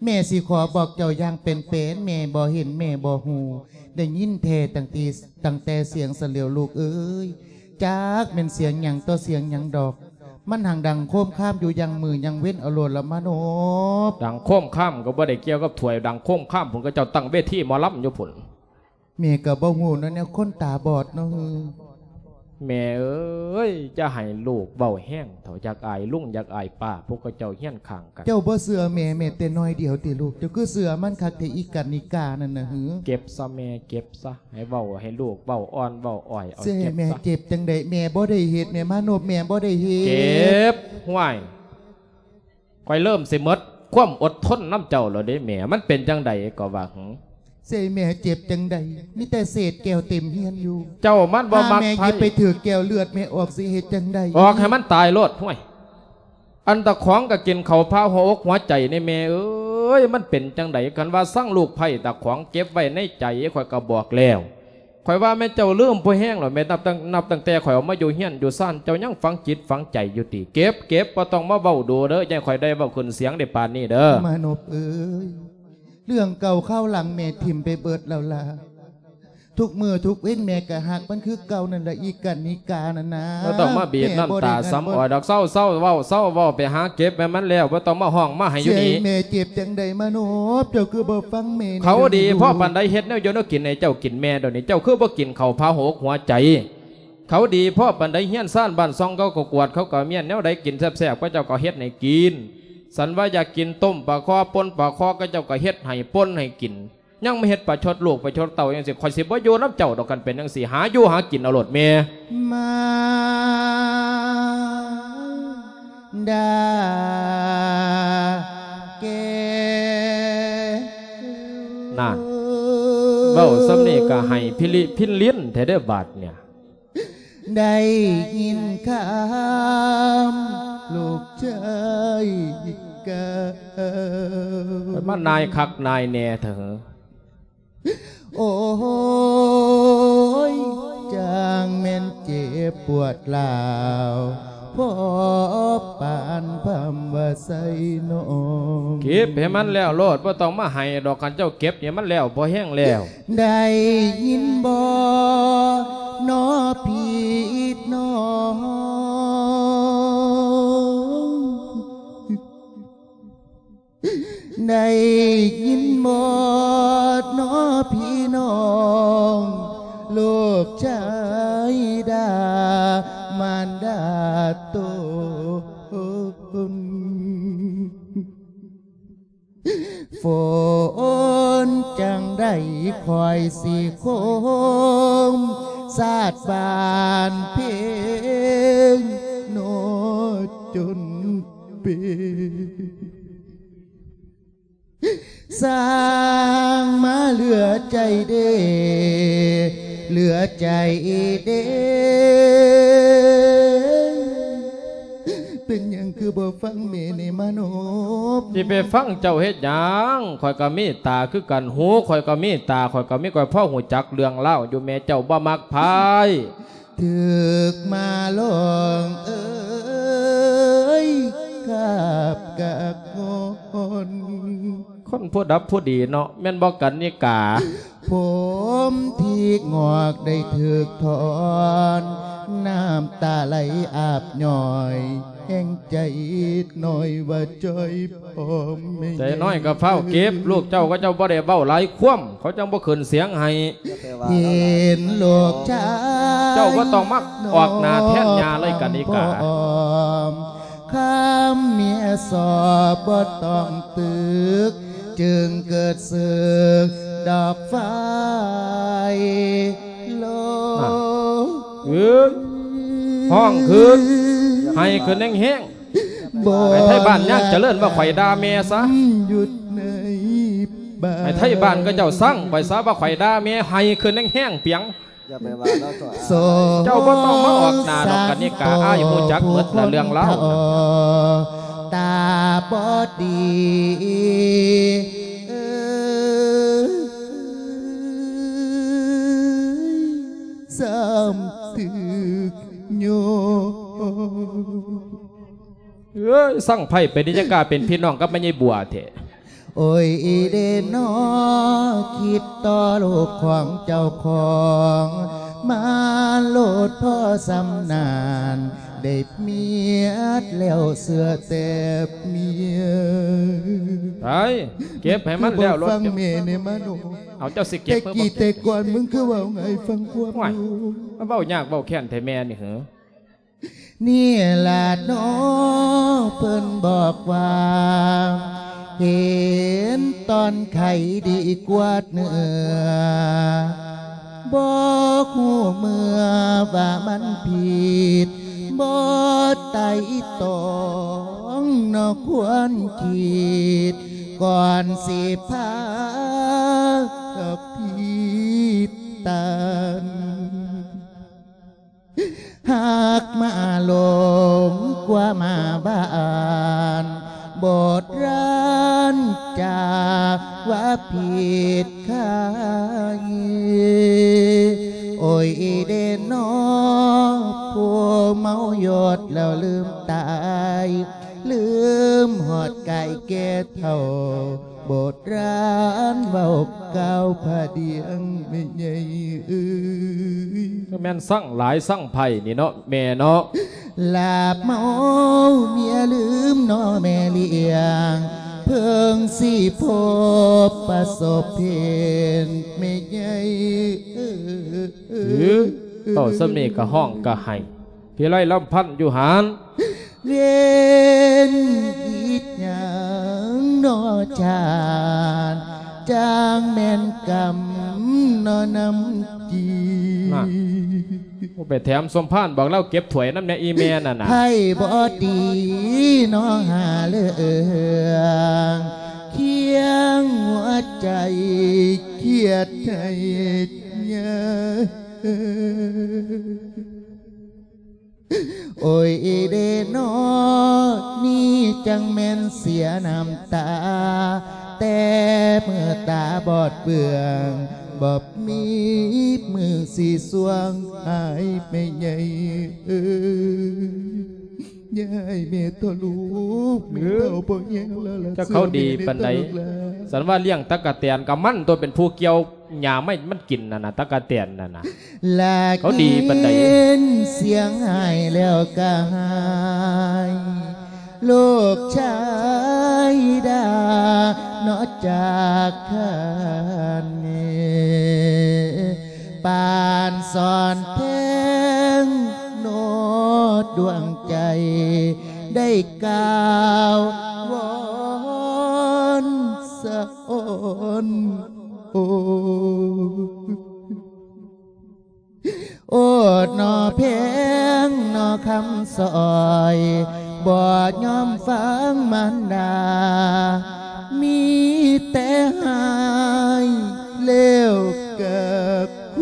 ແມ່ຊິຂໍບອກເຈົ້າຢ່າງເປັນໆ ແມ່ບໍ່ເຫັນແມ່ບໍ່ຮູ້ ໄດ້ຍິນແທ້ຕັ້ງແຕ່ ຕັ້ງແຕ່ສຽງຊັ້ນແລ້ວລູກເອີຍ. ຈັກແມ່ນສຽງຫຍັງຕໍ່ສຽງຫຍັງດອກ ມັນຫັ້ນດັງໂຄມຄາມຢູ່ຢ່າງມື້ຢ່າງເວັນເອົາໂລດລະມາໂນບ. ດັງໂຄມຄາມກໍບໍ່ໄດ້ກ່ຽວກັບຖ້ວຍ ດັງໂຄມຄາມພຸ້ນ ເຂົາເຈົ້າຕັ້ງເວທີໝໍລຳຢູ່ພຸ້ນ. ແມ່ກໍບໍ່ຮູ້ເນາະ ແນວຄົນຕາບອດເນາະ. ແມ່ເອີຍ ຢ່າໃຫ້ລູກເວົ້າແຮງເຖົ້າ ຢາກອາຍລຸງ ຢາກອາຍປ້າ ພວກເຂົາເຈົ້າຮຽນຂ້າງກັນ. ເຈົ້າບໍ່ເຊື່ອແມ່ແມ້ແຕ່ໜ້ອຍດຽວຕິລູກ? ເຈົ້າຄືເຊື່ອມັນຄັກແທ້ ອີການິການັ້ນນະ. ເກັບຊະແມ່ ເກັບຊະ. ໃຫ້ເວົ້າ ໃຫ້ລູກເວົ້າອ່ອນເວົ້າອ້ອຍເອົາ. ເຈົ້າ ແມ່ເຈັບຈັ່ງໃດ? ແມ່ບໍ່ໄດ້ເຮັດ ແມ່ມາໂນບ ແມ່ບໍ່ໄດ້ເຮັດ. ເກັບ ຫ້ວຍ ຂ້ອຍເລີ່ມຊິໝົດຄວາມອົດທົນນຳເຈົ້າແລ້ວເດ້ແມ່. ມັນເປັນຈັ່ງໃດກໍວ່າ ຫື? ເສຍແມ່ເຈັບຈັ່ງໃດ? ມີແຕ່ເສດແກ້ວເຕັມເຮືອນຢູ່. ເຈົ້າມັນບໍ່ມັກໃຜ. ຖ້າແມ່ຫຍິບໄປຖືກແກ້ວເລືອດແມ່ອອກ ຊິເຮັດຈັ່ງໃດ? ອອກໃຫ້ມັນຕາຍໂລດ. ຫ້ວຍ ອັນຕາຂອງກໍກິນເຂົ້າພາຫົວອົກຫົວໃຈນີ້ແມ່ເອີຍ. ມັນເປັນຈັ່ງໃດ? ຄັນວ່າຊັງລູກໃພ້ຕາຂອງເກັບໄວ້ໃນໃຈ ຂ້ອຍກໍບອກແລ້ວ. ຂ້ອຍວ່າແມ່ນເຈົ້າລືມພໍແຮງແລ້ວແມ່. ນັບຕັ້ງ ນັບຕັ້ງແຕ່ຂ້ອຍເອົາມາຢູ່ເຮືອນຢູ່ຊານ ເຈົ້າຍັງຝັງຈິດຝັງໃຈຢູ່ຕິ? ເກັບ ເກັບ ບໍ່ຕ້ອງມາເວົ້າດູເດີ້. ຢ່າໃຫ້ຂ້ອຍໄດ້ເວົ້າຂຶ້ນສຽງໄດ້ປານນີ້ເດີ້. ມານົບເອີຍ ເລື່ອງເກົ່າຄາວຫຼັງແມ່ຖິ້ມໄປເບິດແລ້ວລະ. ທຸກມື້ທຸກເວັນແມ່ກໍຮັກມັນຄືເກົ່ານັ້ນລະ ອີການິການັ້ນນະ. ບໍ່ຕ້ອງມາບີບນ້ຳຕາສຳອອຍດອກ. ເຊົາ ເຊົາເວົ້າ ເຊົາເວົ້າ. ໄປຫາເກັບໃຫ້ມັນແລ້ວ. ບໍ່ຕ້ອງມາຮ້ອງມາໄຫ້ຢູ່ນີ້. ແມ່ເຈັບຈັ່ງໃດມານົບ? ເຈົ້າຄືບໍ່ຟັງແມ່? ເຂົາດີພໍປານໃດ ເຮັດແນວຢູ່ແນວກິນໃຫ້ເຈົ້າກິນແມ່ດຽວນີ້. ເຈົ້າຄືບໍ່ກິນເຂົ້າພາຫົວອົກຫົວໃຈ? ເຂົາດີພໍປານໃດ ເຮືອນຊານບ້ານຊ່ອງເຂົາກໍກວດ ເຂົາກໍມ້ຽນ ແນວໃດກິນແຊບໆ ເຂົາເຈົ້າກໍເຮັດໃຫ້ກິນ. ສັນວ່າຢາກກິນຕົ້ມປາຄໍ່ ປົ່ນປາຄໍ່ ເຂົາເຈົ້າກໍເຮັດໃຫ້ ປົ່ນໃຫ້ກິນ. ຍັງມາເຮັດປະຊົດລູກປະຊົດເຕົ້າຈັ່ງຊີ້ ຂ້ອຍຊິບໍ່ຢູ່ນຳເຈົ້າດອກ. ຄັນເປັນຈັ່ງຊີ້ ຫາຢູ່ຫາກິນເອົາໂລດແມ່. ມານດາແກ້ວ ນັ້ນ ເວົ້າສ່ຳນີ້ກໍໄຫ້ພິລິພິນລິນແທ້ເດີ້ບາດເນີ້ຍ. ໄດ້ຍິນຄຳລູກຊາຍກ່າວ ຂ້ອຍມານາຍຄັກນາຍແນ່ເຖາະ. ໂອ້ຍ ຈັ່ງແມ່ນເຈັບປວດຮ້າວ ພໍປານພຳວ່າໄຊນ້ອງ ເກັບໃຫ້ມັນແລ້ວໂລດ ບໍ່ຕ້ອງມາໄຫ້ດອກ ຄັນເຈົ້າເກັບໃຫ້ມັນແລ້ວ ພໍແຮງແລ້ວ. ໄດ້ຍິນບໍ່ນໍພີ່ນ້ອງ? ໄດ້ຍິນບໍ່ນໍພີ່ນ້ອງ? ລູກຊາຍດ່າມານດາຕົນ ຝົນຈັ່ງໄດ້ຄ່ອຍຊິຄົມ ສາດບານເພັງ ໂນຈົນເປັນ ສ້າງມາເຫຼືອໃຈເດ ເຫຼືອໃຈເດ. ເປັນຫຍັງຄືບໍ່ຟັງແມ່ແນ່ມານົບ? ຊິໄປຟັງເຈົ້າເຮັດຫຍັງ? ຂ້ອຍກໍມີຕາຄືກັນ ຫູຂ້ອຍກໍມີ ຕາຂ້ອຍກໍມີ ຂ້ອຍພໍຮູ້ຈັກເລື່ອງລາວຢູ່ ແມ່ເຈົ້າບໍ່ມັກໃຜ. ຖືກມາລອງເອີຍ ຄາບກາກງອນ ຄົນຜູ້ດັບຜູ້ດີເນາະ ແມ່ນບໍ່ກັນນິກາ? ຜົມທີ່ງອກໄດ້ຖືກຖອນ ນ້ຳຕາໄຫຼອາບຍ້ອຍ ແຮງໃຈນ້ອຍວ່າຈ່ອຍ ພໍ່ແມ່ ໃຈນ້ອຍກໍຟ້າວເກັບ ລູກເຈົ້າ ເຂົາເຈົ້າບໍ່ໄດ້ເວົ້າຫຼາຍຄວາມ ເຂົາຈັ່ງບໍ່ຂຶ້ນສຽງໃຫ້. ເຫັນລູກຊາຍ ເຈົ້າບໍ່ຕ້ອງມາອອກໜ້າແທນຍ່າເລີຍກັນອີກກະ ຄຳເມຍສອບບໍ່ຕ້ອງຕຶກ ຈຶ່ງເກີດສຶກດອກໄຟລົງ ເອີຍ ຮ້ອງຂຶ້ນ ໄຫ້ຂຶ້ນແຮງໆ. ໄປໄທບ້ານຍາງຈະເລີນວ່າຂ້ອຍດ່າແມ່ຊະ ໄປໄທບ້ານເຂົາເຈົ້າຊັງຂ້ອຍຊະວ່າຂ້ອຍດ່າແມ່ ໄຫ້ຂຶ້ນແຮງໆ ປຽງ. ຢ່າໄປວ່າລາວເຖາະ ເຈົ້າບໍ່ຕ້ອງມາອອກໜ້າດອກ ກະນິກາ ອ້າຍຮູ້ຈັກໝົດລະເລື່ອງລາວ ຕາບໍ່ດີ ເອີ ຊ້ຳຖືກໂຍ ເອີຍ ສັງໄພເປັນຫຍັງກະເປັນພີ່ນ້ອງກັບແມ່ໃຫຍ່ບົວແທ້. ໂອ້ຍເດນໍ ຄິດຕໍ່ລູກຂອງເຈົ້າຂອງ ມາໂລດພໍສ່ຳນັ້ນ ໄດ້ເມຍແລ້ວເຊື່ອແຕ່ເມຍ ໄປເກັບໃຫ້ມັນແລ້ວໂລດ ແມ່ແນ່ມາໂນ ເອົາ ເຈົ້າຊິເກັບ ແຕ່ກີ້ແຕ່ກ່ອນ ມຶງຄືເວົ້າງ່າຍຟັງຄວາມ ໂອ້ຍ ມາເວົ້າຍາກເວົ້າແຄ້ນແທ້ແມ່ນີ້ເຫີ. ນີ້ລະເນາະ ເພິ່ນບອກວ່າ ເຫັນຕອນໄຂ້ດີກວ່າເນື້ອ ບໍ່ຮູ້ເມື່ອວ່າມັນຜິດ ບໍ່ໄຕ່ຕອງເນາະ ຄວນຄິດ ກ່ອນຊິພາດອກຜິດຕັນ. ຫາກມາຫຼົງກວ່າມາບ້ານ ບົດລານຈາກວ່າຜິດຄາຍ ໂອ້ຍເດນໍ ຜູ້ເມົາຢົດແລ້ວລືມຕາຍ ລືມຮອດກາຍແກ່ເຖົ້າ ບົດລານເວົ້າກ່າວພະດຽງແມ່ໃຫຍ່ເອີຍ ຄືແມ່ນສັງຫຼາຍສັງໄພນີ້ເນາະແມ່ເນາະ ລາບເມົາເມຍລືມເນາະແມ່ລ້ຽງ ເພິ່ງຊິພົບປະສົບເພນແມ່ໃຫຍ່ເອີຍ ເອີ ເວົ້າສ່ຳນີ້ກະຮ້ອງກະໄຫ້ ພິໄລລຳພັນຢູ່ຫັ້ນ ເວນອີ່ຫຍັງເນາະຊາດ ຈັ່ງແມ່ນກຳເນາະນຳຈີ ນັ້ນ ບໍ່ໄປແຖມສົມພານ ບອກລາວເກັບຖ້ວຍນຳແດ່ອີ່ແມ່ນັ້ນນະ ໃຜບໍ່ດີເນາະຫາເລື່ອງ ຄຽງຫົວໃຈຄຽດໃຫ້ຍາ ໂອ້ຍເດນໍ ນີ້ຈັ່ງແມ່ນເສຍນ້ຳຕາ ແຕ່ເມື່ອຕາບອດເບືອງ ບໍ່ມີມືຊິຊ່ວງ ອ້າຍແມ່ໃຫຍ່ເອີຍ ຢ່າໃຫ້ແມ່ທໍລູກ ແມ່ເຖົ້າບໍ່ແຮງແລ້ວລະ ເຈົ້າເຂົາດີປານໃດ? ສັນວ່າລ້ຽງຕັກກະແຕນກະມັນຕົວເປັນຜູ້ກ່ຽວ ຫຍ້າໄມ້ມັນກິນນັ້ນນະ ຕັກກະແຕນນັ້ນນະ ລາກ ເຂົາດີປານໃດ? ຍິນສຽງໄຫ້ແລ້ວກະຫາຍ ລູກຊາຍດ່າເນາະ ຈາກຄັນ ປານສອນແພງເນາະ ດວງໃຈ ໄດ້ກ່າວວອນສະອອນ ໂອ້ ໂອ້ ໜໍ່ແພງ ໜໍ່ຄຳສອຍ ບໍ່ຍອມຟັງມານດາ ມີແຕ່ຮ້າຍແລ້ວກະຄູ.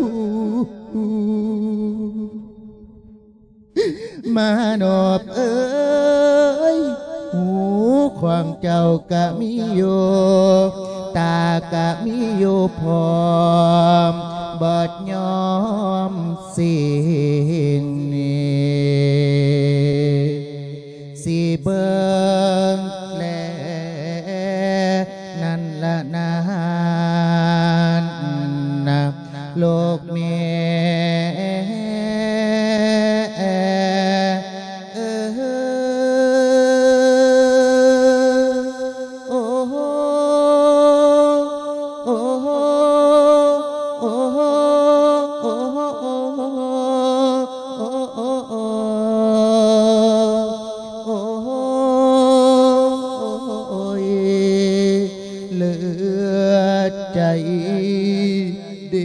ມານອບເອີຍ ຫູຂອງເຈົ້າກະມີຢູ່ ຕາກະມີຢູ່ພ້ອມ ບໍ່ຍອມສິ້ງໜີ ຊິເບິ່ງແລນັ້ນລະນັ້ນນະ ລູກແມ່ເອີຍ ໂອ້ໂຫ ໂອ້ໂຫ ໂອ້ໂຫ ໂອ້ໂຫ ໂອ້ໂຫ ໂອ້ໂຫ ເຫຼືອໃຈເດ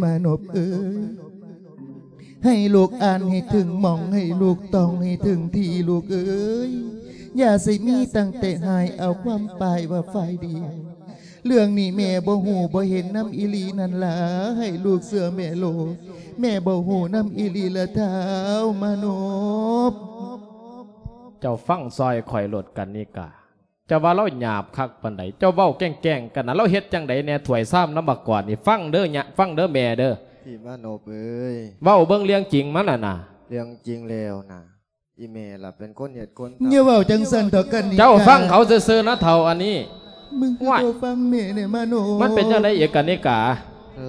ມານົບເອີຍ ໃຫ້ລູກອ່ານໃຫ້ເຖິງໝ່ອງ ໃຫ້ລູກຕ້ອງໃຫ້ເຖິງທີ່ ລູກເອີຍ ຢ່າຊິມີຕັ້ງແຕ່ຮ້າຍເອົາຄວາມປາຍວ່າຝ່າຍດຽວ. ເລື່ອງນີ້ແມ່ບໍ່ຮູ້ບໍ່ເຫັນນຳອີ່ຫຼີນັ້ນລະ ໃຫ້ລູກເຊື່ອແມ່ໂລດ ແມ່ບໍ່ຮູ້ນຳອີ່ຫຼີລະທ້າວມານົບ. ເຈົ້າຟັງຊ່ອຍຂ້ອຍໂລດ ກັນນິກາ ເຈົ້າວ່າລາວຫຍາບຄັກປານໃດ ເຈົ້າເວົ້າແກ້ງໆກັນນະ ລາວເຮັດຈັ່ງໃດແດ່ ຖ້ວຍຊາມນຳບັກກອນນີ້ ຟັງເດີຍະ ຟັງເດີແມ່ເດີ ພີ່ມານົບເອີຍ ເວົ້າເບິ່ງເລື່ອງຈິງມັນຫັ້ນນະ ເລື່ອງຈິງແລ້ວນະ ອີ່ແມ່ລະເປັນຄົນເຮັດຄົນທຳ ຢ່າເວົ້າຈັ່ງຊັ້ນເຖາະກັນນິກາ ເຈົ້າຟັງເຂົາຊື່ໆນະເຖົ້າອັນນີ້ ມຶງຄືບໍ່ຟັງແມ່ແດ່ມານົບ ມັນເປັນຈັ່ງໃດອີກກັນນິກາ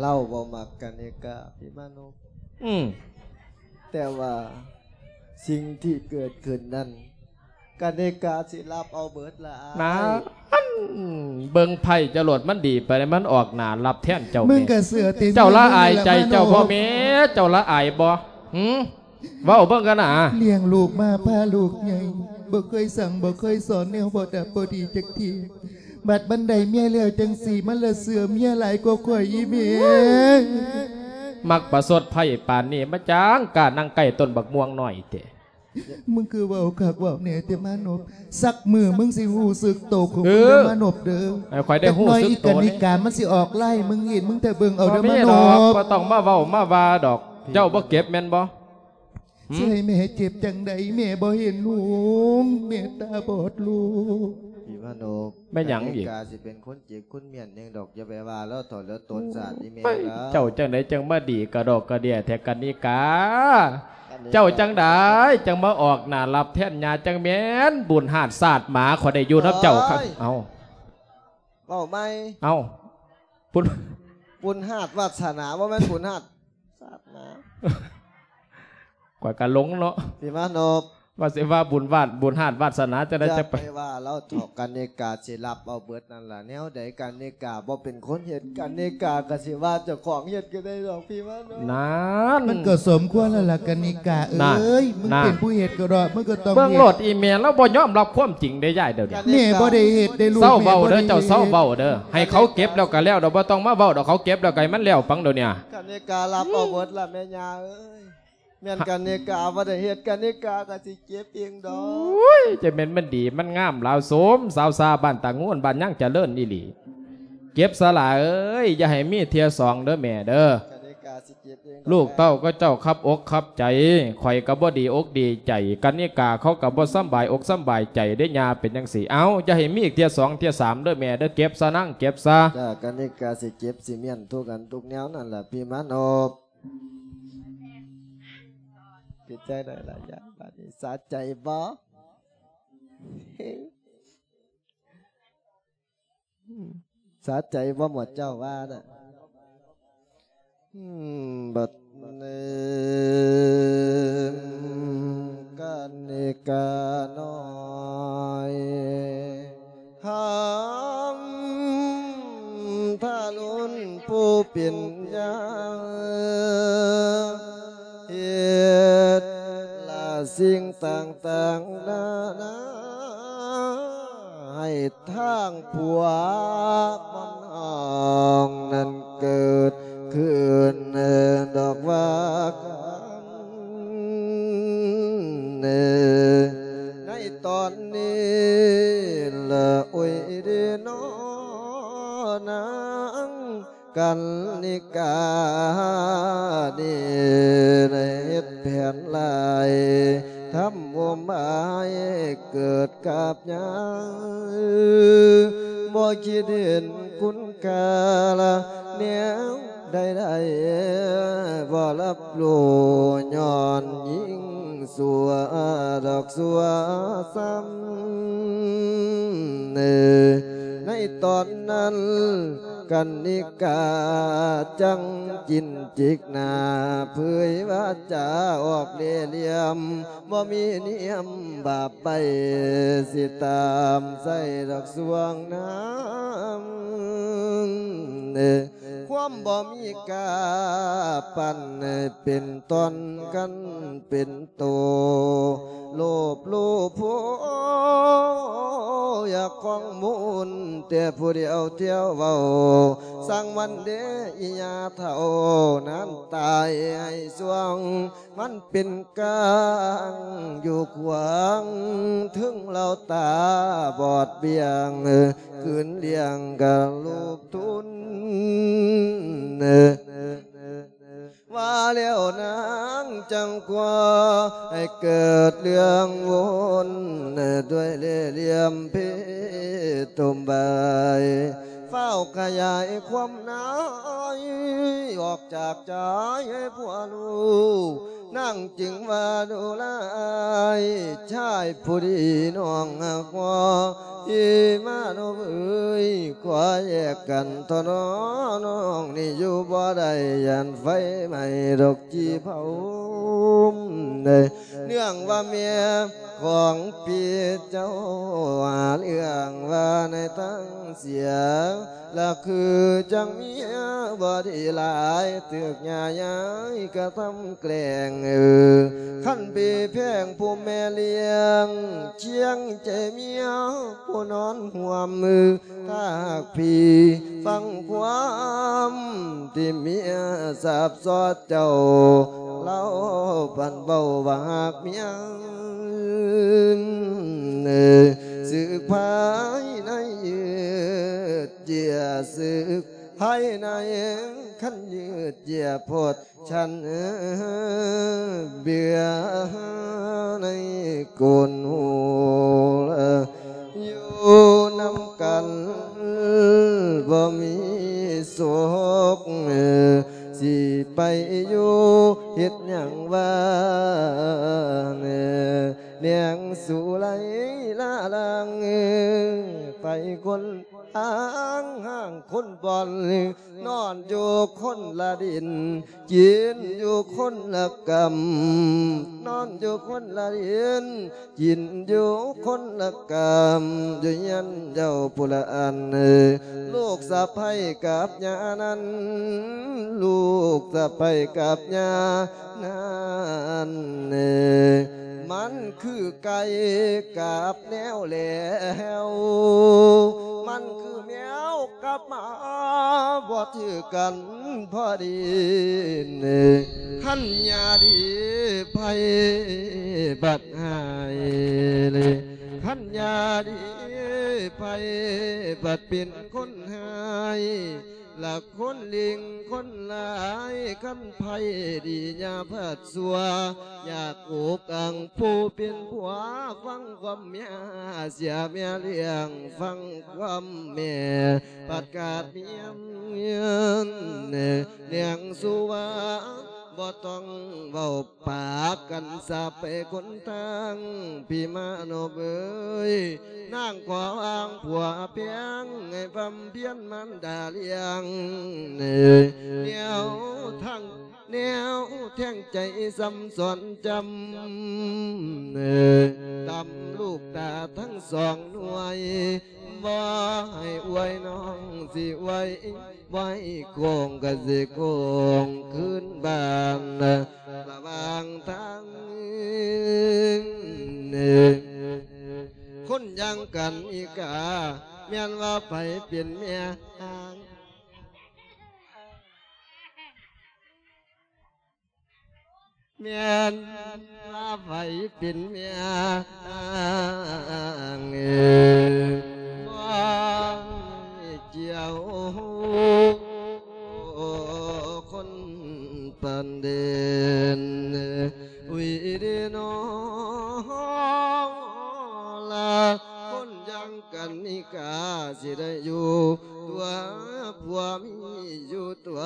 ລາວບໍ່ມັກກັນນິກາ ພີ່ມານົບ ອືມ ແຕ່ວ່າສິ່ງທີ່ເກີດຂຶ້ນນັ້ນ ກະນິກາຊິຮັບເອົາເບິດລະອ້າຍ ນັ້ນ ເບິ່ງໄພ້ຈະໂລດ ມັນດີປານໃດ ມັນອອກໜ້າຮັບແທນເຈົ້າ ມຶງກະເຊື່ອຕິ ເຈົ້າລະອາຍໃຈເຈົ້າບໍ່ແມ່ ເຈົ້າລະອາຍບໍ່ ຫື ເວົ້າເບິ່ງກັນນະ ລ້ຽງລູກມາພາລູກໃຫຍ່ ບໍ່ເຄີຍສັ່ງບໍ່ເຄີຍສອນແນວບໍ່ດັບບໍ່ດີຈັກເທື່ອ ບັດມັນໄດ້ເມຍແລ້ວຈັ່ງຊີ້ ມັນລະເຊື່ອເມຍຫຼາຍກວ່າຂ້ອຍອີ່ແມ່ ມັກປະຊົດໄພ້ປານນີ້ ມາຈັ່ງກ້ານັ່ງໃກ້ຕົ້ນບັກມ່ວງນ້ອຍແທ້. ມຶງຄືເວົ້າຄັກເວົ້າແນ່ແຕ່ມານົບ ສັກມື້ມຶງຊິຮູ້ສຶກໂຕຂອງມຶງເດີມານົບເດີ ໃຫ້ຂ້ອຍໄດ້ຮູ້ສຶກໂຕແນ່ ຈັກໜ້ອຍອີກກະນິກາມັນຊິອອກລາຍໃຫ້ມຶງເຫັນ ມຶງຖ້າເບິ່ງເອົາເດີມານົບ ບໍ່ຕ້ອງມາເວົ້າມາວ່າດອກ ເຈົ້າບໍ່ເຈັບແມ່ນບໍ່ ຊິໃຫ້ແມ່ເຈັບຈັ່ງໃດ ແມ່ບໍ່ເຫັນຫຸງ ແມ່ຕາບອດລູກ ພີ່ມານົບ ແມ່ນຫຍັງອີກ ກະນິກາຊິເປັນຄົນ ເຈັບຄົນມ້ຽນຫຍັງດອກ ຢ່າໄປວ່າລາວເຖົ້າລາວຕົນສາດອີ່ແມ່ລາວ ເຈົ້າຈັ່ງໃດຈັ່ງມາດີກະດອກກະເດຍແທ້ກະນິກາ ກະນິກາ ເຈົ້າຈັ່ງໃດຈັ່ງມາອອກໜ້າຮັບແທນຍ່າ ຈັ່ງແມ່ນບຸນຮາດຊາດໝາ ຂ້ອຍໄດ້ຢູ່ນຳເຈົ້າ ໂອ້ຍ ເອົ້າ ເວົ້າໃໝ່ ເອົ້າ ບຸນ ບຸນຮາດວາດສະໜາ ບໍ່ແມ່ນບຸນຮາດຊາດໝາ ຂ້ອຍກະຫຼົງເນາະ ພີ່ມານົບ ວ່າຊິວ່າບຸນວາດ ບຸນຮາດວາດສະໜາຈັ່ງໃດ ຢ່າ ຈະໄປ ໄປວ່າລາວເຖາະ ກະນິກາຊິຮັບເອົາເບິດນັ້ນລະ ແນວໃດກະນິກາບໍ່ເປັນຄົນເຮັດ ກະນິກາກະຊິວ່າເຈົ້າຂອງເຮັດກະໄດ້ດອກ ພີ່ມານົບ ນັ້ນ ມັນກໍສົມຄວນແລ້ວລະກະນິກາເອີຍ ມຶງເປັນຜູ້ເຮັດກໍດອກ ມຶງກໍຕ້ອງເບິ່ງໂລດ ອີ່ແມ່ລາວບໍ່ຍອມຮັບຄວາມຈິງເດ້ຍາຍ ດຽວນີ້ ກະນິກາ ແມ່ບໍ່ໄດ້ເຮັດເດ້ລູກ ເຊົາເວົ້າເດີ ແມ່ບໍ່ໄດ້ເຮັດ ເຈົ້າເຊົາເວົ້າເດີ ໃຫ້ເຂົາເກັບແລ້ວກະແລ້ວດອກ ບໍ່ຕ້ອງມາເວົ້າດອກ ເຂົາເກັບແລ້ວກະໃຫ້ມັນແລ້ວໄປໂດນນີ້ ກະນິກາຮັບເອົາເບິດລະແມ່ຍ່າເອີຍ ແມ່ນກະນິກາບໍ່ໄດ້ເຮັດ ກະນິກາກະຊິເຈັບເອງດອກ ໂອ້ຍ ຈະແມ່ນມັນດີມັນງາມລາວໂສມ ສາວຊາບ້ານຕາງູນ ບ້ານຍາງຈະເລີນອີ່ຫຼີ ເຈັບສະຫຼາເອີຍ ຢ່າໃຫ້ມີເທື່ອສອງເດີແມ່ເດີ ກະນິກາຊິ ລູກເຕົ້າຂະເຈົ້າຄັບອົກຄັບໃຈ, ຂ້ອຍກໍບໍ່ດີອົກດີໃຈ, ກັນນິກາເຂົາກໍບໍ່ສຳບາຍອົກສຳບາຍໃຈເດ້ ຍ່າເປັນຈັ່ງຊີ້. ເອົ້າ ຢ່າໃຫ້ມີອີກເທື່ອສອງເທື່ອສາມເດີແມ່ເດີ, ເກັບຊະນາງ ເກັບຊະ. ຈ້າ ກັນນິກາຊິເກັບຊິມ້ຽນທຸກອັນທຸກແນວນັ້ນລະ ພີ່ມານອບ. ເປັນຈັ່ງໃດລະຍາຍ ບາດນີ້ສະໃຈບໍ່? ສະໃຈບໍ່ ໝວດເຈົ້າວ່ານະ? ອືມ ບັດນີ້ກັນນິການ້ອຍ ຫາມທາລຸນຜູ້ເປັນຍາ ເຮັດລະສິ່ງຕ່າງໆນານາ ໃຫ້ທາງພວກມັນອອງນັ້ນເກີດຂຶ້ນດອກວ່າກັນ ໃນຕອນນີ້ລະ ໂອ້ຍເດນໍ ນາງ ກັນນິການີ້ໄດ້ເຮັດແຜນລາຍ ທຳໂອມອາຍເກີດກັບຍາ ບໍ່ຄິດເຫັນຄຸນຄ່າລະແນວໃດໆ ບໍ່ຮັບຮູ້ຍ້ອນຍິງຊົ່ວດອກຊົ່ວຊ້ຳ ໃນຕອນນັ້ນ ກັນນິກາຈັ່ງຈິນຈິກໜ້າ ເຜີຍວາຈາອອກເລ່ຫຼ່ຽມ ບໍ່ມີນຽມບາບໃບ ຊິຕາມໃສ່ດອກຊ່ວງນາມ ຄວາມບໍ່ມີກາປັນເປັນຕອນກັນເປັນໂຕ ໂລບໂລໂພ ຢາກຄອງມູນແຕ່ຜູ້ດຽວທ່ຽວເວົ້າ ຊ່າງມັນເດອີຫຍາເຖົ້າ ນານຕາຍໃຫ້ຊ່ວງ ມັນເປັນກາງຢູ່ຂວາງ ເຖິງລາວຕາບອດບຽງ ຄືນລ້ຽງກະລູບທຸນ ວ່າແລ້ວນາງຈັ່ງກວ່າ ໃຫ້ເກີດເລື່ອງວົນ ດ້ວຍເລ່ຫຼ່ຽມເພຕຸມບາຍ ຟ້າວຂະຫຍາຍຄວາມນາຍ ອອກຈາກໃຈໃຫ້ຜົວຮູ້ ນາງຈຶ່ງວ່າດູລາຍ ຊາຍຜູ້ດີນ້ອງຮັກພໍ ທີ່ມາໂນເອີຍ ຂໍແຍກກັນເຖາະນ້ອ ນ້ອງນີ້ຢູ່ບໍ່ໄດ້ ຢ້ານໄຟໄໝ້ດອກຈີ່ເຜົາ ເນື່ອງວ່າແມ່ຂອງພີ່ເຈົ້າ ຫາເລື່ອງວ່າໃນທາງເສຍ ລະຄືຈັ່ງເມຍບໍ່ດີຫຼາຍ ຖືກຍ່າຍາຍກະທຳແກລ້ງ ເອີ ຄັນພີ່ແພງຜູ້ແມ່ລ້ຽງ ຄຽງໃຈເມຍຜູ້ນອນຮ່ວມ ຖ້າຫາກພີ່ຟັງຄວາມທີ່ເມຍສາບສອດເຈົ້າ ລາວພັນເວົ້າວ່າຫາກເມຍ ເອີ ສຶກພາຍໃນຍືດເຢຍ ສຶກພາຍໃນຄັນຍືດເຢຍໂພດ ສັນເບື່ອໃນກົນຫູ ຢູ່ນຳກັນບໍ່ມີສຸກ ຊິໄປຢູ່ເຮັດຫຍັງວ່າແນ່ ແນງສຸໄລລາລາງ ໄປຄົນ ອ້າງຫ້າງຄົນບ່ອນ ນອນຢູ່ຄົນລະດິນ ກິນຢູ່ຄົນລະກຳ ນອນຢູ່ຄົນລະດິນ ກິນຢູ່ຄົນລະກຳ ຢູ່ເຮືອນເຈົ້າຜູ້ລະອັນ ລູກສະໃພ້ກັບຍ່ານັ້ນ ລູກສະໃພ້ກັບຍ່ານັ້ນ ມັນຄືໄກ່ກັບ ແນວແລ້ວ ມັນຄືແມວກັບໝາ ບໍ່ຖືກກັນພໍດີ ຄັນຍາດີໃຜບັດຮ້າຍ ຄັນຍາດີໃຜບັດເປັນຄົນຮ້າຍ ລະຄົນເລັ່ງຄົນຫຼາຍ ຄັນໃຜດີຢ່າພັດຊົ່ວ ຢ່າກຸກກັງຜູ້ເປັນຜົວ ຟັງຄວາມເມຍ ເສຍເມຍລ້ຽງ ຟັງຄວາມແມ່ ພັດກາດມຽນ ເນ ນຽງສູ່ວ່າ ບໍ່ຕ້ອງເວົ້າປາກກັນສາບໄປຄົນທາງ ພີ່ມາໂນບເອີຍ ນາງຂໍອ້າງຜົວແພງ ໃຫ້ບຳເພັນມານດາລ້ຽງ ແນວທາງ ແນວແທງໃຈຊ້ຳສອນຈຳ ຕຳລູກຕາທັງສອງໜ່ວຍ ບໍ່ໃຫ້ອວຍນ້ອງຊິອວຍ ບໍ່ໃຫ້ໂກງກໍຊິໂກງຄືນບ້ານ ລະຫວ່າງທາງ ຄົນຢ່າງກັນອີກາ ແມ່ນວ່າໃຜເປັນເມຍ ແມ່ນວ່າໃຜເປັນເມຍ ບໍ່ກ່ຽວຄົນປານເດນ ອຸຍເດນອລາ ຄົນຢ່າງກັນນີ້ກະຊິໄດ້ຢູ່ຕົວ ຜົວມີຢູ່ຕົວ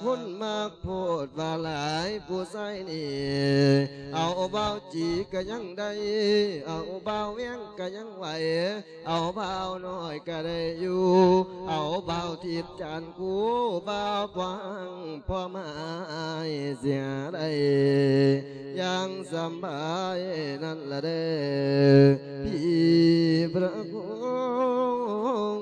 ຄົນມັກໂພດວ່າຫຼາຍ ຜູ້ຊາຍນີ້ ເອົາບ່າວຈີກະຍັງໄດ້ ເອົາບ່າວແວງກະຍັງໄຫວ ເອົາບ່າວນ້ອຍກະໄດ້ຢູ່ ເອົາບ່າວທິດຈານຄູ່ ບ່າວພອງພໍ່ມາຍ ຊິຫາໄດ້ຢ່າງສະບາຍນັ້ນລະເດີ ພີ່ພະຄຸນ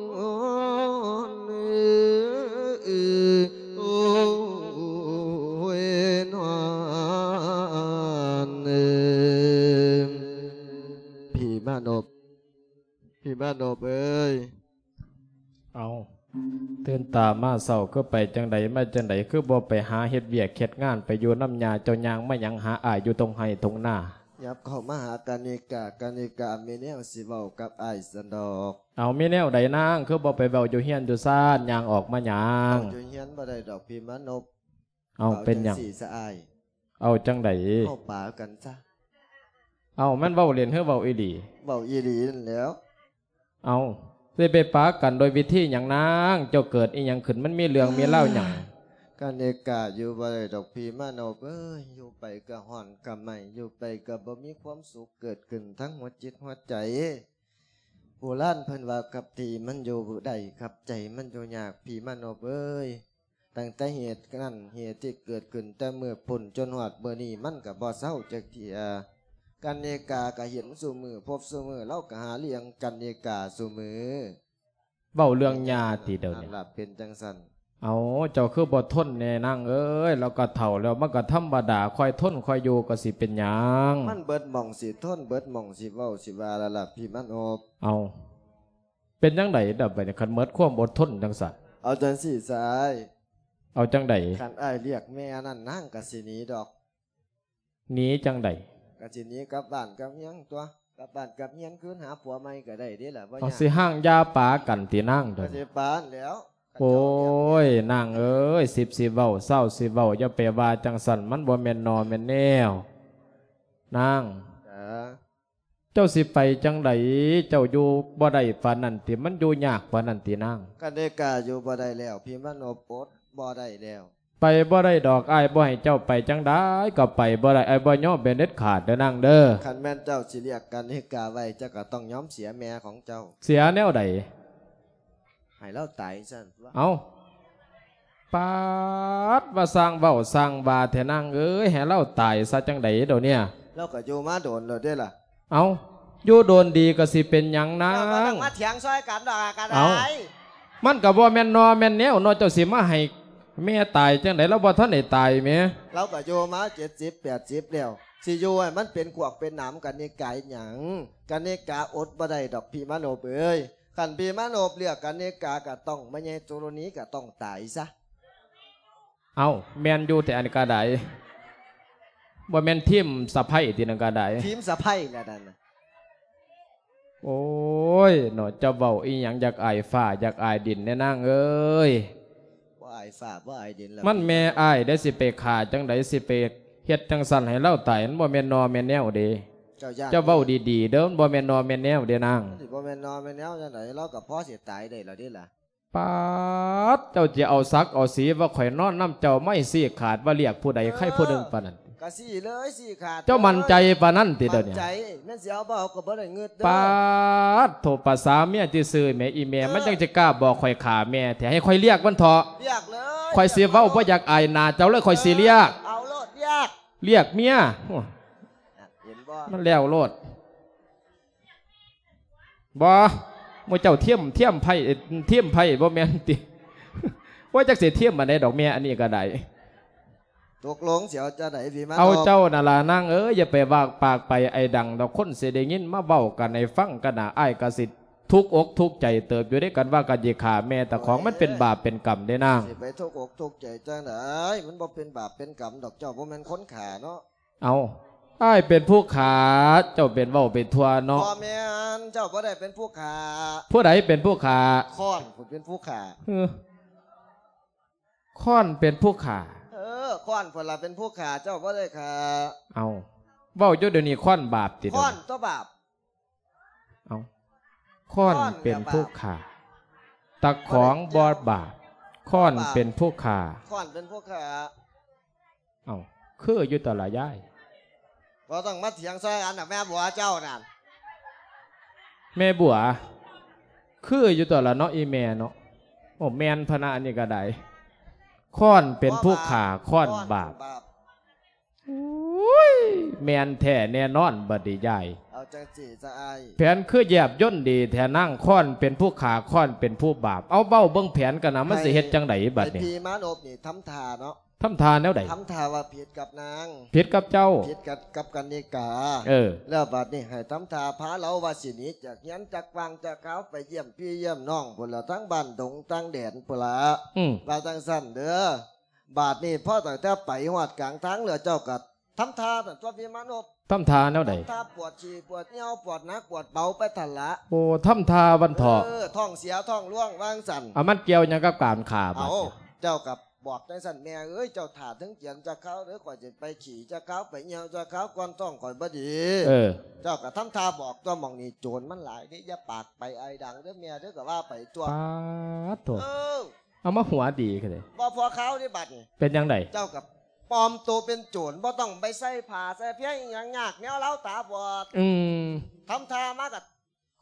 ໂອ້ຍນອນເອີຍ ພີ່ມານົບ ພີ່ມານົບເອີຍ. ເອົາ ຕື່ນຕາມາເຊົ້າຄືໄປຈັ່ງໃດມາຈັ່ງໃດ ຄືບໍ່ໄປຫາເຮັດວຽກເຮັດງານ ໄປຢູ່ນຳຍ່າເຈົ້າ ຍ່າງມາຫຍັງຫາອ້າຍຢູ່ທົ່ງໄຮ່ທົ່ງນາ? ຫຍັບເຂົ້າມາຫາກະນິກາ ກະນິກາມີແນວຊິເວົ້າກັບອ້າຍຊັ້ນດອກ. ເອົາ ມີແນວໃດນາງ ຄືບໍ່ໄປເວົ້າຢູ່ເຮືອນຢູ່ຊານ ຍ່າງອອກມາຫຍັງ? ເວົ້າຢູ່ເຮືອນບໍ່ໄດ້ດອກພີ່ມານົບ. ເອົາ ເວົ້າ ເປັນຫຍັງ? ຈັ່ງຊີ້ຊະອ້າຍ. ເອົາ ຈັ່ງໃດ? ເຮົາປາກັນຊະ. ເອົາ ແມ່ນເວົ້າຫຼິ້ນ ຫຼື ເວົ້າອີ່ຫຼີ? ເວົ້າອີ່ຫຼີນັ້ນແຫຼ້ວ. ເອົາ ຊິໄປປາກັນໂດຍວິທີຫຍັງນາງ? ເຈົ້າເກີດອີ່ຫຍັງຂຶ້ນ? ມັນມີເລື່ອງມີລາວຫຍັງ? ກະນິກາຢູ່ບໍ່ໄດ້ດອກພີ່ມານົບເອີຍ ຢູ່ໄປກະຮ້ອນກະໄໝ້ ຢູ່ໄປກະບໍ່ມີຄວາມສຸກເກີດຂຶ້ນທາງຫົວຈິດຫົວໃຈ. ໂບລານເພິ່ນວ່າ ກັບທີ່ມັນຢູ່ບໍ່ໄດ້ ກັບໃຈມັນຢູ່ຍາກ ພີ່ມານົບເອີຍ. ຕັ້ງແຕ່ເຫດນັ້ນເຫດທີ່ເກີດຂຶ້ນແຕ່ມື້ພຸ້ນຈົນຮອດມື້ນີ້ ມັນກະບໍ່ເຊົາຈັກເທື່ອ. ກັນນິກາກະເຫັນຊຸມື້ພົບຊຸມື້ ລາວກະຫາລ້ຽງກັນນິກາຊຸມື້. ເວົ້າເລື່ອງຍ່າຕິດຽວນີ້? ເປັນຈັ່ງຊັ້ນ. ເອົາ ເຈົ້າຄືບໍ່ທົນແດ່ນາງເອີຍ ລາວກະເຖົ້າແລ້ວ ມັນກະທຳມະດາ ຄ່ອຍທົນຄ່ອຍຢູ່ ກະຊິເປັນຫຍັງ? ມັນເບິດໝ່ອງຊິທົນ ເບິດໝ່ອງຊິເວົ້າຊິວ່າແລ້ວລະ ພີ່ມານົບ. ເອົາ ເປັນຈັ່ງໃດດະບາດນີ້ ຄັນເໝິດຄວາມອົດທົນຈັ່ງຊັ້ນ? ເອົາຈັ່ງຊີ້ຊະອ້າຍ. ເອົາຈັ່ງໃດ? ຄັນອ້າຍລຽກແມ່ນັ້ນ ນາງກະຊິໜີດອກ. ໜີຈັ່ງໃດ? ກະຊິໜີກັບບ້ານກັບເຮືອນຕົວະ ກັບບ້ານກັບເຮືອນຄືນຫາຜົວໃໝ່ກະໄດ້ເດ້ລະ ບໍ່ຍາກ. ເອົາ ຊິຮ້າງຢ່າປາກັນຕິນາງ? ກະຊິປາຫັ້ນແຫຼ້ວ. ໂອ້ຍ ນາງເອີຍ ສິບຊິເວົ້າ ຊາວຊິເວົ້າ ຢ່າໄປວ່າຈັ່ງຊັ້ນ ມັນບໍ່ແມ່ນໜໍ່ແມ່ນແນວ ນາງ. ເຈົ້າຊິໄປຈັ່ງໃດ? ເຈົ້າຢູ່ບໍ່ໄດ້ປານນັ້ນຕິ? ມັນຢູ່ຍາກປານນັ້ນຕິນາງ? ກະນິກາຢູ່ບໍ່ໄດ້ແລ້ວ ພີ່ມານົບ ອົດບໍ່ໄດ້ແລ້ວ. ໄປບໍ່ໄດ້ດອກ ອ້າຍບໍ່ໃຫ້ເຈົ້າໄປ ຈັ່ງໃດກະໄປບໍ່ໄດ້ ອ້າຍບໍ່ຍອມເປັນເດັດຂາດເດີນາງເດີ. ຄັນແມ່ນເຈົ້າຊິລຽກກະນິກາໄວ້ ເຈົ້າກະຕ້ອງຍອມເສຍແມ່ຂອງເຈົ້າ. ເສຍແນວໃດ? ໃຫ້ລາວຕາຍຊັ້ນ. ເອົ້າ ປາດ ວ່າຊ່າງເວົ້າຊ່າງວ່າແທ້ນາງເອີຍ ໃຫ້ລາວຕາຍຊະຈັ່ງໃດດຽວນີ້? ລາວກະຢູ່ມາດົນແລ້ວເດ້ລະ. ເອົ້າ ຢູ່ດົນດີກະຊິເປັນຫຍັງນາງ? ເຈົ້າບໍ່ຕ້ອງມາຖຽງຊ່ອຍກັນດອກກະໄດ້. ເອົ້າ ມັນກະບໍ່ແມ່ນໜໍ່ແມ່ນແນວເນາະ ເຈົ້າຊິມາໃຫ້ແມ່ຕາຍຈັ່ງໃດ? ລາວບໍ່ທັນໄດ້ຕາຍແໝ. ລາວກະຢູ່ມາເຈັດສິບແປດສິບແລ້ວ ຊິຢູ່ໃຫ້ມັນເປັນຂວາກເປັນໜາມກັນນີ້ກາຍຫຍັງ? ກະນິກາອົດບໍ່ໄດ້ດອກ ພີ່ມານົບເອີຍ. ຄັນພີ່ມານົບເລືອກກະນິກາກະຕ້ອງ ແມ່ໃຫຍ່ຈຸລະນີກະຕ້ອງຕາຍຊະ. ເອົ້າ ແມ່ນຢູ່ແທ້ອັນກະໄດ້ ບໍ່ແມ່ນທີມສະໃພ້ຕິນັ້ນກະໄດ້ ທີມສະໃພ້ແຫຼະນັ້ນ. ໂອ້ຍເນາະ ເຈົ້າເວົ້າອີ່ຫຍັງ ຢາກອາຍຟ້າຢາກອາຍດິນແດ່ນາງເອີຍ. ອາຍຟ້າບໍ່ອາຍດິນລະ ມັນແມ່ອ້າຍເດ້ ຊິໄປຂ້າຈັ່ງໃດ ຊິໄປເຮັດຈັ່ງຊັ້ນໃຫ້ລາວຕາຍ ມັນບໍ່ແມ່ນໜໍ່ແມ່ນແນວເດ້. ເຈົ້າຢ້ານ ເຈົ້າເວົ້າດີໆເດີ ມັນບໍ່ແມ່ນໜໍ່ແມ່ນແນວເດ້ນາງ. ມັນຊິບໍ່ແມ່ນໜໍ່ແມ່ນແນວຈັ່ງໃດ ລາວກໍພໍຊິຕາຍໄດ້ແລ້ວເດ້ລະ. ປາດ ເຈົ້າຊິເອົາສັກເອົາສີວ່າຂ້ອຍນອນນຳເຈົ້າ ໄມ້ຊີ້ຂາດວ່າລຽກຜູ້ໃດ ໃຜຜູ້ໜຶ່ງປານນັ້ນ. ກໍຊີ້ເລີຍ ຊີ້ຂາດ ເຈົ້າໝັ້ນໃຈປານນັ້ນຕິດຽວນີ້? ໝັ້ນໃຈ ແມ່ນຊິເອົາບໍ່ເອົາກໍບໍ່ໄດ້ງຶດເດີ. ປາດໂທ ພາສາເມຍຊື່ໆແໝ ອີແມ່ ເອີ ມັນຈັ່ງຊິກ້າບອກຂ້ອຍຂ້າແມ່ແທ້ ໃຫ້ຂ້ອຍລຽກມັນເຖາະ. ລຽກເລີຍ ຂ້ອຍຊິເວົ້າບໍ່ຢາກອາຍໜ້າເຈົ້າເລີຍ ຂ້ອຍຊິລຽກ. ເອີ ເອົາໂລດ ລຽກ ລຽກເມຍ. ໂອ້ ເຫັນບໍ່ ມັນແລ້ວໂລດ. ບໍ່ ໝູ່ເຈົ້າທຽມ ທຽມໄພ້ ທຽມໄພ້ບໍ່ແມ່ນຕິ. ໂອ້ຍ ຈັກຊິທຽມອັນໃດດອກແມ່ ອັນນີ້ກໍໄດ້. ຕົກລົງຊິເອົາຈັ່ງໃດ ພີ່ມານ ເອົາເຈົ້ານັ້ນລະນາງເອີຍ ຢ່າໄປວາກປາກໄປໄອດັງດອກ ຄົນຊິໄດ້ຍິນມາເວົ້າກັນໃຫ້ຟັງກັນນະ ອ້າຍກໍຊິທຸກອົກທຸກໃຈເຕີບຢູ່ເດ້ ກັນວ່າກັນຊິຂ້າແມ່ຕາຂອງ ໂອ້ຍ ມັນເປັນບາບເປັນກຳເດ້ນາງ. ຊິໄປທຸກອົກທຸກໃຈຈັ່ງໃດ ມັນບໍ່ເປັນບາບເປັນກຳດອກ ເຈົ້າບໍ່ແມ່ນຄົນຂ້າເນາະ. ເອົາ ອ້າຍເປັນຜູ້ຂ້າ ເຈົ້າເປັນເວົ້າໄປທົ່ວເນາະ. ບໍ່ແມ່ນ ເຈົ້າບໍ່ໄດ້ເປັນຜູ້ຂ້າ. ຜູ້ໃດເປັນຜູ້ຂ້າ? ຄ້ອນພຸ້ນເປັນຜູ້ຂ້າ. ເອີ ຄ້ອນເປັນຜູ້ຂ້າ. ເອີ ຄ້ອນພຸ້ນລະເປັນຜູ້ຂ້າ ເຈົ້າບໍ່ໄດ້ຂ້າ. ເອົາ ເວົ້າຢູ່ດຽວນີ້ຄ້ອນບາບຕິ? ຄ້ອນຕົວະບາບ. ເອົາ ຄ້ອນເປັນຜູ້ຂ້າ ຕາຂອງບໍ່ບາບ ຄ້ອນເປັນຜູ້ຂ້າ. ຄ້ອນເປັນຜູ້ຂ້າ. ເອົ້າ ຄືຢູ່ຕົວະລະຍາຍ. ບໍ່ຕ້ອງມາຖຽງໃສ່ກັນດອກ ແມ່ບົວເຈົ້ານັ້ນ. ແມ່ບົວ ຄືຢູ່ຕົວະລະເນາະ ອີ່ແມ່ເນາະ. ໂອ້ ແມ່ນພະນະ ອັນນີ້ກໍໄດ້. ຄ້ອນເປັນຜູ້ຂ້າ ຄ້ອນບາບ. ໂອ້ຍ ແມ່ນແທ້ແນ່ນອນບັດນີ້ຍາຍ. ເອົາຈັ່ງຊີ້ຊະອ້າຍ. ແຜນຄືແຍບຍົນດີແທ້ນາງ. ຄ້ອນເປັນຜູ້ຂ້າ ຄ້ອນເປັນຜູ້ບາບ. ເອົາ ເວົ້າເບິ່ງແຜນກັນນະ ມັນຊິເຮັດຈັ່ງໃດບັດນີ້? ໃຫ້ພີ່ມານົບນີ້ທຳທ່າເນາະ. ທຳທ່າແນວໃດ? ທຳທ່າວ່າຜິດກັບນາງ. ຜິດກັບເຈົ້າ. ຜິດກັບ ກັບກັນນິກາ. ເອີ ແລ້ວບັດນີ້ໃຫ້ທຳທ່າພາລາວວ່າຊິໜີຈາກເຮືອນຈາກວັງຈາກຄາວ ໄປຢ້ຽມພີ່ຢ້ຽມນ້ອງພຸ້ນລະ ທາງບ້ານດົງຕ່າງແດນພຸ້ນລະ. ອືມ ວ່າຈັ່ງຊັ້ນເດີ. ບາດນີ້ພໍຕັ້ງແຕ່ໄປຮອດກາງທາງແລ້ວ ເຈົ້າກໍທຳທ່ານັ້ນຕົວະ ພີ່ມານົບ. ທຳທ່າແນວໃດ? ທຳທ່າປວດຂີ້ປວດຍ່ຽວ ປວດໜັກປວດເບົາໄປຫັ້ນລະ. ໂອ້ ທຳທ່າວັນເຖາະ. ເອີ ທ້ອງເສຍທ້ອງຫຼວງວ່າຈັ່ງຊັ້ນ. ເອົາ ມັນກ່ຽວຫຍັງກັບການຂ້າບັດນີ້? ເຈົ້າກໍບອກຈັ່ງຊັ້ນ ແມ່ເອີຍ ເຈົ້າຖ້າເທິງກຽນຈັກຄາວເດີ ຂ້ອຍຊິໄປຂີ້ຈັກຄາວ ໄປຍ່ຽວຈັກຄາວກ່ອນ ທ້ອງຂ້ອຍບໍ່ດີ. ເອີ ເຈົ້າກໍທຳທ່າບອກຕົວະ ໝ່ອງນີ້ໂຈນມັນຫຼາຍເດ້ ຢ່າປາກໄປໄອດັງເດີແມ່ເດີ ກໍວ່າໄປຕົວະ. ປາດໂທ ເອີ ເອົາມາຫົວດີຄືເດ. ບໍ່ພໍຄາວເດ້ບັດນີ້. ເປັນຈັ່ງໃດ? ເຈົ້າກໍປອມໂຕເປັນໂຈນ ບໍ່ຕ້ອງໄປໃສ່ຜ້າໃສ່ເພຍອີ່ຫຍັງຍາກແນວລາວຕາບອດ. ອືມ ທຳທ່າມາກໍ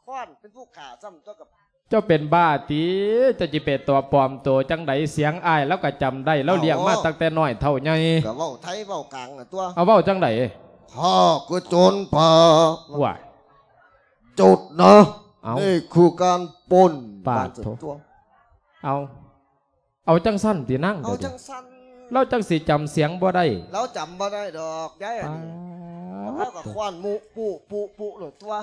ຄ້ອນເປັນຜູ້ຂ້າຊ້ຳຕົວະ. ເຈົ້າເປັນບ້າຕິ? ເຈົ້າຊິໄປຕົວະປອມໂຕຈັ່ງໃດ? ສຽງອ້າຍລາວກໍຈຳໄດ້ ລາວລ້ຽງມາຕັ້ງແຕ່ນ້ອຍເທົ່າໃຫຍ່. ກໍເວົ້າໄທເວົ້າກາງນັ້ນຕົວະ. ເອົາ ເວົ້າຈັ່ງໃດ? ຂ້າຄືໂຈນປ່າ. ວ້າຍ ຈຸດນະ. ເອົ້າ ນີ້ຄືການປົນ. ປາດໂທ ເອົາ ເອົາຈັ່ງຊັ້ນຕິນາງ? ເອົາຈັ່ງຊັ້ນ ລາວຈັ່ງຊິຈຳສຽງບໍ່ໄດ້. ລາວຈຳບໍ່ໄດ້ດອກຍາຍ ອັນນີ້. ປາດ ລາວກໍຄ້ອນມຸປຸປຸປຸໂລດຕົວະ.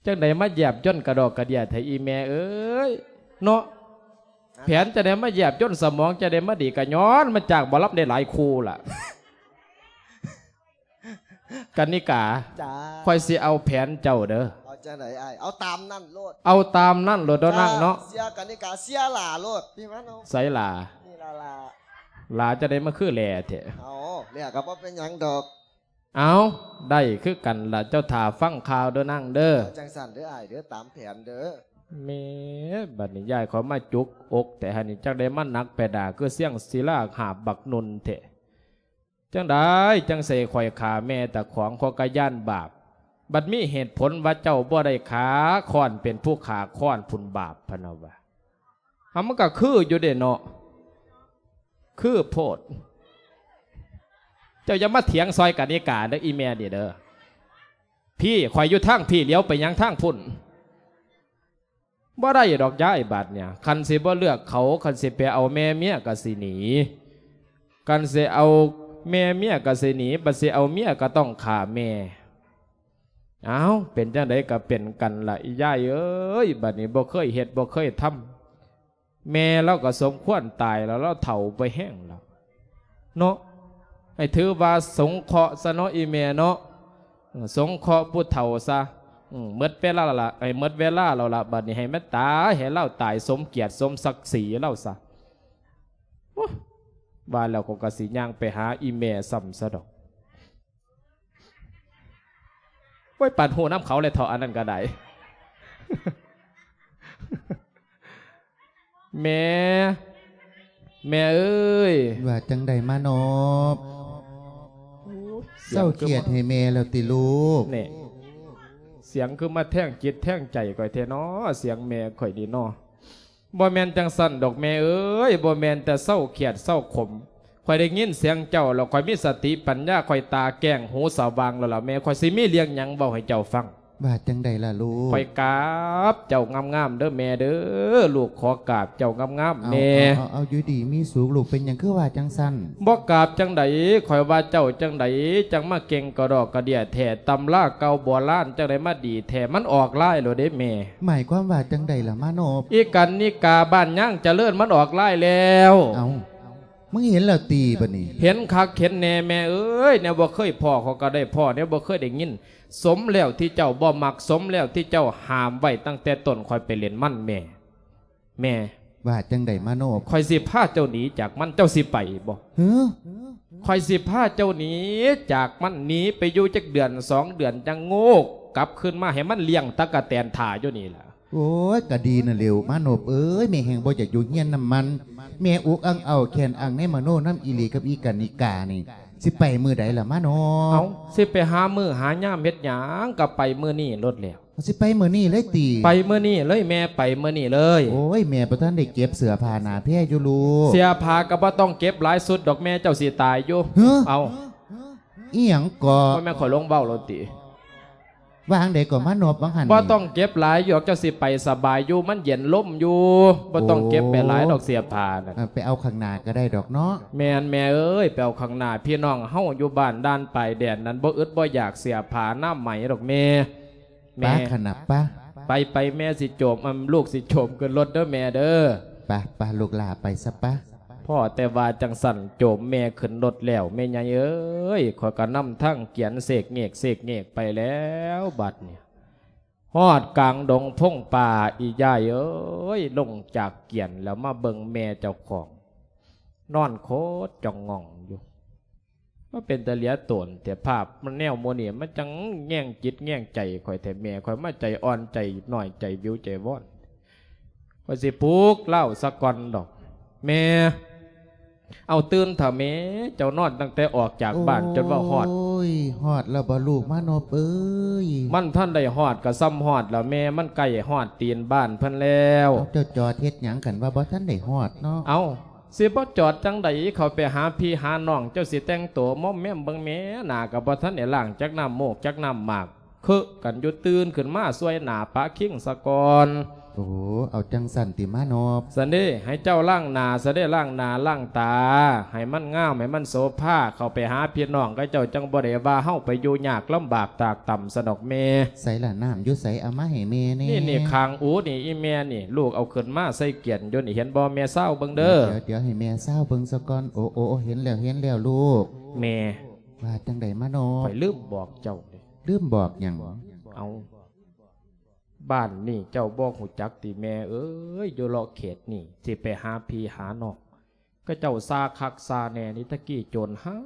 ຈັ່ງໃດມາຢຽບຍົນກະດອກກະເດຍແທ້ອີ່ແມ່ເອີຍເນາະ. ແຜນຈັ່ງໃດມາຢຽບຍົນ ສະໝອງຈັ່ງໃດມາດີ ກະຍ້ອນມາຈາກໝໍລຳໄດ້ຫຼາຍຄູ່ລະ. ກັນນິກາ ຈ້າ ຂ້ອຍຊິເອົາແຜນເຈົ້າເດີ. ເອົາຈັ່ງໃດອ້າຍ? ເອົາຕາມນັ້ນໂລດ. ເອົາຕາມນັ້ນໂລດເນາະນາງເນາະ. ເຊື່ອກັນນິກາ ເຊື່ອຫຼ້າໂລດ. ພີ່ມານົບ ໃສຫຼ້າ? ນີ້ລະຫຼ້າ. ຫຼ້າຈັ່ງໃດມາຄືແຫຼແທ້? ເອົາ ແຫຼກໍບໍ່ເປັນຫຍັງດອກ. ເອົາ ໄດ້ຄືກັນລະ ເຈົ້າຖ້າຟັງຂ່າວເດີນາງເດີ. ຈັ່ງຊັ້ນເດີອ້າຍເດີ ຕາມແຜນເດີ. ແໝ ບັດນີ້ຍາຍເຂົາມາຈຸກອົກແທ້ຫັ້ນນີ້ ຈັກໄດ້ມາໜັກແປດາ ຄືຊຽງສີລາຫາບບັກນຸ່ນແທ້. ຈັ່ງໃດຈັ່ງໃສ່ຂ້ອຍຂ້າແມ່ຕາຂອງ ຂ້ອຍກະຢ້ານບາບ. ບັດມີເຫດຜົນວ່າເຈົ້າບໍ່ໄດ້ຂ້າ ຄ້ອນເປັນຜູ້ຂ້າຄ້ອນພຸ້ນບາບ ພະນະວ່າ. ເອົາ ມັນກໍຄືຢູ່ເດ້ເນາະ ຄືໂພດ. ເຈົ້າຢ່າມາຖຽງຊອຍກັນນິກາເດີ ອີ່ແມ່ນີ້ເດີ. ພີ້ ຂ້ອຍຢູ່ທາງພີ້ ຫຼຽວໄປຫຍັງທາງພຸ້ນ? ບໍ່ໄດ້ດອກຍາຍ ບາດເນີ້ຍ ຄັນຊິບໍ່ເລືອກເຂົາ ຄັນຊິໄປເອົາແມ່ເມຍກໍຊິໜີ ຄັນຊິເອົາແມ່ເມຍກໍຊິໜີ ບັດຊິເອົາເມຍກໍຕ້ອງຂ້າແມ່. ອ້າວ ເປັນຈັ່ງໃດກໍເປັນກັນລະ ອີ່ຍາຍເອີຍ. ບັດນີ້ບໍ່ເຄີຍເຮັດບໍ່ເຄີຍທຳ ແມ່ລາວກໍສົມຄວນຕາຍແລ້ວ ລາວເຖົ້າໄປແຮງແລ້ວເນາະ. ໃຫ້ຖືວ່າສົງເຄາະຊະເນາະ ອີ່ແມ່ເນາະ. ເອີ ສົງເຄາະຜູ້ເຖົ້າຊະ. ເອີ ໝົດເວລາລະ ໃຫ້ໝົດເວລາແລ້ວລະ ບັດນີ້ໃຫ້ມັນຕາຍ ໃຫ້ລາວຕາຍສົມກຽດສົມສັກສີລາວຊະ. ວ່າແລ້ວຂ້ອຍກໍຊິຍ່າງໄປຫາອີ່ແມ່ຊ້ຳຊະດອກ. ໂອ້ຍ ປານຮູ້ນຳເຂົາແລ້ວເທາະ ອັນນັ້ນກໍໄດ້. ແມ່ ແມ່ເອີຍ. ວ່າຈັ່ງໃດມານອບ? ໂອ້ຍ ເຊົາຄຽດໃຫ້ແມ່ແລ້ວຕິລູກ? ແນ່ ສຽງຄືມາແທງຈິດແທງໃຈຂ້ອຍແທ້ນໍ ສຽງແມ່ຂ້ອຍນີ້ນໍ. ບໍ່ແມ່ນຈັ່ງຊັ້ນດອກແມ່ເອີຍ, ບໍ່ແມ່ນແຕ່ເຊົາຄຽດເຊົາຂົມ. ຂ້ອຍໄດ້ຍິນສຽງເຈົ້າແລ້ວ ຂ້ອຍມີສະຕິປັນຍາ, ຂ້ອຍຕາແຈ້ງຫູສະຫວ່າງແລ້ວລະແມ່. ຂ້ອຍຊິມີເລື່ອງຫຍັງເວົ້າໃຫ້ເຈົ້າຟັງ. ວ່າຈັ່ງໃດລະລູກ? ຂ້ອຍກາບເຈົ້າງາມໆເດີແມ່ເດີ, ລູກຂໍກາບເຈົ້າງາມໆແນ່. ເອົາ ເອົາ ເອົາ ຢູ່ດີມີສຸກລູກ, ເປັນຫຍັງຄືວ່າຈັ່ງຊັ້ນ? ບໍ່ກາບຈັ່ງໃດ, ຂ້ອຍວ່າເຈົ້າຈັ່ງໃດ ຈັ່ງມາເກັ່ງກະດອກກະເດຍແທ້, ຕຳລາເກົ່າໂບລານຈັ່ງໃດມາດີແທ້, ມັນອອກລາຍແລ້ວເດ້ແມ່. ໝາຍຄວາມວ່າຈັ່ງໃດລະມານອບ? ອີການນິກາບ້ານຍາງຈະເລີນມັນອອກລາຍແລ້ວ. ເອົ້າ ມຶງເຫັນແລ້ວຕິບາດນີ້? ເຫັນຄັກເຫັນແນ່ແມ່ເອີຍ, ແນວບໍ່ເຄີຍພໍ້ຂ້ອຍກໍໄດ້ພໍ້, ແນວບໍ່ເຄີຍໄດ້ຍິນ. ສົມແລ້ວທີ່ເຈົ້າບໍ່ມັກ, ສົມແລ້ວທີ່ເຈົ້າຫ້າມໄວ້ຕັ້ງແຕ່ຕົ້ນ, ຂ້ອຍໄປເຫຼັ້ນມັນແມ່. ແມ່ ວ່າຈັ່ງໃດມາໂນບ? ຂ້ອຍຊິພາເຈົ້າໜີຈາກມັນ, ເຈົ້າຊິໄປບໍ່? ຫື? ຂ້ອຍຊິພາເຈົ້າໜີຈາກມັນ, ໜີໄປຢູ່ຈັກເດືອນສອງເດືອນ ຈັ່ງໂງກກັບຄືນມາໃຫ້ມັນລ້ຽງຕັກກະແຕນຖ້າຢູ່ນີ້ລະ. ໂອ້ຍ ກະດີນັ້ນແຫຼ້ວມາໂນບເອີຍ, ແມ່ແຮ່ງບໍ່ຢາກຢູ່ເຮືອນນຳມັນ. ແມ່ອຸກອັ່ງເອົ້າແຂນອັ່ງໃນມະໂນນຳອີ່ຫຼີກັບອີການິການີ້. ຊິໄປມື້ໃດລະມາໂນບ? ເອົ້າ ຊິໄປຫາມື້ຫາຍາມເຮັດຫຍັງ, ກໍໄປມື້ນີ້ໂລດແຫຼ້ວ. ຊິໄປມື້ນີ້ເລີຍຕິ? ໄປມື້ນີ້ເລີຍແມ່, ໄປມື້ນີ້ເລີຍ. ໂອ້ຍ ແມ່ບໍ່ທັນໄດ້ເກັບເສື້ອຜ້າໜ້າແພຢູ່ລູກ. ເສື້ອຜ້າກໍບໍ່ຕ້ອງເກັບຫຼາຍຊຸດດອກແມ່, ເຈົ້າຊິຕາຍຢູ່. ຫື? ເອົ້າ ອີ່ຫຍັງເກາະ? ບໍ່ແມ່ນຂ້ອຍຫຼົງເວົ້າໂລດຕິ? ວ່າຈັ່ງໃດກໍມາໂນບວ່າຫັ້ນ. ບໍ່ຕ້ອງເກັບຫຼາຍດອກ, ເຈົ້າຊິໄປສະບາຍຢູ່, ມັນເຢັນລົມຢູ່. ບໍ່ຕ້ອງເກັບໄປຫຼາຍດອກເສື້ອຜ້ານັ້ນ. ເອີ ໄປເອົາຂ້າງໜ້າກໍໄດ້ດອກເນາະ. ແມ່ນແມ່ເອີຍ, ໄປເອົາຂ້າງໜ້າ. ພີ່ນ້ອງເຮົາຢູ່ບ້ານດ່ານປາຍແດນນັ້ນ ບໍ່ອຶດບໍ່ຢາກເສື້ອຜ້າອະນາໄມດອກແມ່. ປະ ແມ່ ຂະໜັບປະ. ໄປ ໄປ ແມ່ຊິໂຈມ, ອັນ ລູກຊິໂຈມຂຶ້ນລົດເດີແມ່ເດີ. ປະ ປະ ລູກຫຼ້າໄປຊະປະ. ພໍ້ແຕ່ວ່າຈັ່ງຊັ້ນ ໂຈມແມ່ຂຶ້ນລົດແລ້ວ, ແມ່ໃຫຍ່ເອີຍ, ຂ້ອຍກໍນຳທາງກຽນເສກເງກເສກເງກໄປແລ້ວ. ບັດນີ້ຮອດກາງດົງພົງປ່າ, ອີ່ຍາຍເອີຍ, ລົງຈາກກຽນແລ້ວມາເບິ່ງແມ່ເຈົ້າຂອງ ນອນໂຄດຈ່ອງງ່ອງຢູ່. ມາເປັນຕາເຫຼຍໂຕນແທ້, ພາບມັນແນວໂມນີ້ ມັນຈັ່ງແຍງຈິດແຍງໃຈຂ້ອຍແທ້ແມ່. ຂ້ອຍມາໃຈອ່ອນໃຈນ້ອຍໃຈວິວໃຈວອນ, ຂ້ອຍຊິປຸກລາວສາກ່ອນດອກແມ່. ເອົາ ຕື່ນເຖາະແມ່, ເຈົ້ານອນຕັ້ງແຕ່ອອກຈາກບ້ານ ໂອ້ຍ ຈົນວ່າຮອດ. ຮອດແລ້ວບໍ່ລູກມາໂນບເອີຍ? ມັນທັນໄດ້ຮອດກໍຊ່ຳຮອດແລ້ວແມ່, ມັນໃກ້ຮອດຕີນບ້ານເພິ່ນແລ້ວ. ເອົາ ເຈົ້າຈອດເຮັດຫຍັງ ຄັນວ່າບໍ່ທັນໄດ້ຮອດເນາະ? ເອົາ ຊິບໍ່ຈອດຈັ່ງໃດ, ເຂົ້າໄປຫາພີ່ຫານ້ອງ, ເຈົ້າຊິແຕ່ງໂຕມ້ອມແມ້ມເບິ່ງແມ້, ໜ້າກໍບໍ່ທັນໄດ້ລ້າງຈັກນ້ຳມູກຈັກນ້ຳໝາກ, ເຄີກັນຢູ່, ຕື່ນຂຶ້ນມາຊ່ວຍໜ້າປະຄິງສາກ່ອນ. ໂອ້ ເອົາຈັ່ງຊັ້ນຕິມານອບ? ຊັ້ນເດ, ໃຫ້ເຈົ້າລ້າງໜ້າຊະເດ, ລ້າງໜ້າລ້າງຕາໃຫ້ມັນງາມ, ໃຫ້ມັນໂສພາ, ເຂົ້າໄປຫາພີ່ນ້ອງເຂົາເຈົ້າ, ຈັ່ງບໍ່ໄດ້ວ່າເຮົາໄປຢູ່ຍາກລຳບາກຕາກຕ່ຳຊັ້ນດອກແມ່. ໃສລະ ນ້ຳຢູ່ໃສ? ເອົາມາໃຫ້ແມ່ແດ່. ນີ້ ນີ້ ຂ້າງອູນີ້ ອີ່ແມ່ນີ້, ລູກເອົາຂຶ້ນມາໃສ່ກຽນຢູ່ນີ້, ເຫັນບໍ່ແມ່? ຊາວເບິ່ງເດີ. ດຽວ ດຽວໃຫ້ແມ່ຊາວເບິ່ງສາກ່ອນ. ໂອ້ ໂອ້ ເຫັນແລ້ວ ເຫັນແລ້ວລູກ. ແມ່ ວ່າຈັ່ງໃດມານອບ? ຂ້ອຍລືມບອກເຈົ້າເດ. ລືມບອກຫຍັງ? ເອົາ ບ້ານນີ້ເຈົ້າບໍ່ຮູ້ຈັກຕິແມ່ເອີຍ? ຢູ່ເລາະເຂດນີ້ ຊິໄປຫາພີ່ຫານ້ອງ ເຂົາເຈົ້າຊາຄັກຊາແນ່ນີ້, ຕະກີ້ໂຈນຮ້າ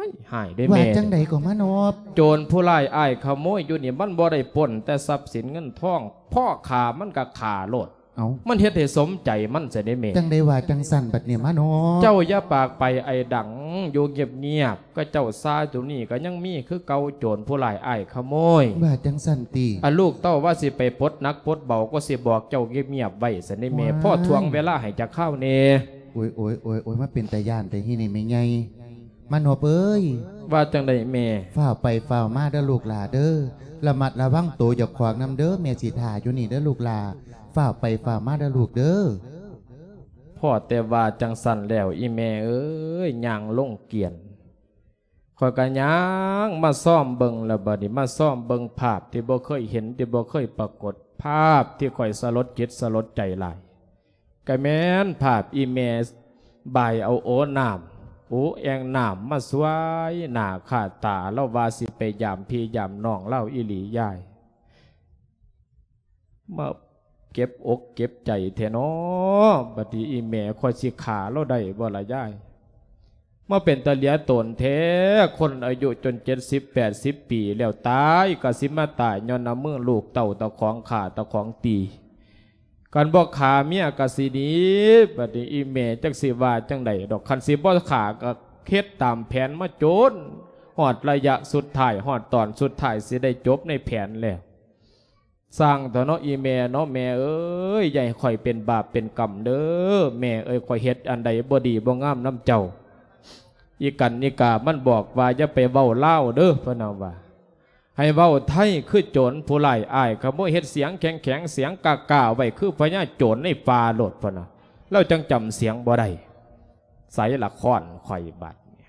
ຍ ຮ້າຍເດ້ແມ່. ວ່າຈັ່ງໃດກໍມານອບ? ໂຈນຜູ້ຮ້າຍອ້າຍຂະໂມຍຢູ່ນີ້ ມັນບໍ່ໄດ້ປົ້ນແຕ່ຊັບສິນເງິນທອງ, ພໍ້ຂ້າມັນກໍຂ້າໂລດ. ເອົ້າ ມັນເຮັດໃຫ້ສົມໃຈມັນຊະເດ້ແມ່. ຈັ່ງໃດວ່າຈັ່ງຊັ້ນບັດນີ້ມານອບ? ເຈົ້າຢ່າປາກໄປໄອ້ດັງ, ຢູ່ງຽບໆ. ເຂົາເຈົ້າຊາຢູ່ນີ້ກໍຍັງມີຄືເກົ່າ, ໂຈນຜູ້ຮ້າຍອ້າຍຂະໂມຍ. ວ່າຈັ່ງຊັ້ນຕິ? ອາ ລູກເຕົ້າວ່າຊິໄປປົດໜັກປົດເບົາ, ກໍຊິບອກເຈົ້າງຽບໆໄວ້ຊະເດ້ແມ່. ວ້າຍ ພໍຖ້ວງເວລາໃຫ້ຈັກຄາວແດ່. ໂອ້ຍ ໂອ້ຍ ໂອ້ຍ ໂອ້ຍ ມາເປັນຕາຢ້ານແທ້ຮີນີ້ແມ່ໃຫຍ່. ມານອບເອີຍ. ວ່າຈັ່ງໃດແມ່? ຟ້າວໄປຟ້າວມາເດີລູກຫຼ້າເດີ. ລະມັດລະວັງໂຕເຈົ້າຂອງນຳເດີ, ແມ່ຊິຖ້າຢູ່ນີ້ເດີລູກຫຼ້າ. ຟ້າວໄປຟ້າວມາເດີລູກເດີ. ພໍ້ແຕ່ວ່າຈັ່ງຊັ້ນແລ້ວ ອີ່ແມ່ເອີຍ, ຍ່າງລົງກຽນ. ຂ້ອຍກໍຍ່າງມາຊອມເບິ່ງແລ້ວ, ບັດນີ້ມາຊອມເບິ່ງພາບທີ່ບໍ່ເຄີຍເຫັນ, ທີ່ບໍ່ເຄີຍປາກົດ, ພາບທີ່ຂ້ອຍສະຫຼົດຈິດສະຫຼົດໃຈຫຼາຍ. ກໍແມ່ນພາບອີ່ແມ່ບາຍເອົາໂອນ້ຳ ໂອແອ່ງນ້ຳມາສວຍໜ້າຄາດຕາ, ລາວວ່າຊິໄປຢາມພີ່ຢາມນ້ອງລາວອີ່ຫຼີຍາຍ. ມາເຈັບອົກເຈັບໃຈແທ້ນໍ. ບັດນີ້ອີ່ແມ່ຂ້ອຍຊິຂ້າລາວໄດ້ບໍ່ລະຍາຍ? ມາເປັນຕາເຫຼືອຕົນແທ້, ຄົນອາຍຸຈົນເຈັດສິບແປດສິບປີແລ້ວ ຕາຍກໍຊິມາຕາຍຍ້ອນນ້ຳມືລູກເຕົ້າເຈົ້າຂອງຂ້າເຈົ້າຂອງຕີ. ຄັນບໍ່ຂ້າເມຍກໍຊິໜີ. ບັດນີ້ອີ່ແມ່ຈັກຊິວ່າຈັ່ງໃດດອກ, ຄັນຊິບໍ່ຂ້າກໍເຮັດຕາມແຜນມາຈົນຮອດໄລຍະສຸດທ້າຍ, ຮອດຕອນສຸດທ້າຍຊິໄດ້ຈົບໃນແຜນແລ້ວ. ຊ່າງເຖາະເນາະ ອີ່ແມ່ເນາະ, ແມ່ເອີຍ ຢ່າໃຫ້ຂ້ອຍເປັນບາບເປັນກຳເດີ້ ແມ່ເອີຍ, ຂ້ອຍເຮັດອັນໃດບໍ່ດີບໍ່ງາມນຳເຈົ້າ. ອີກັນອີກາມັນບອກວ່າ ຢ່າໄປເວົ້າລາວເດີ້ ເພິ່ນວ່າ ໃຫ້ເວົ້າໄທຄືໂຈນຜູ້ຮ້າຍ. ອ້າຍຂະໂມຍເຮັດສຽງແຂງໆ ສຽງກ້າໆໄວ້ ຄືພະຍາໂຈນໃນປ່າໂລດ ເພິ່ນວ່າ. ລາວຈັ່ງຈຳສຽງບໍ່ໄດ້. ໃສລະຄ້ອນຂ້ອຍບາດນີ້?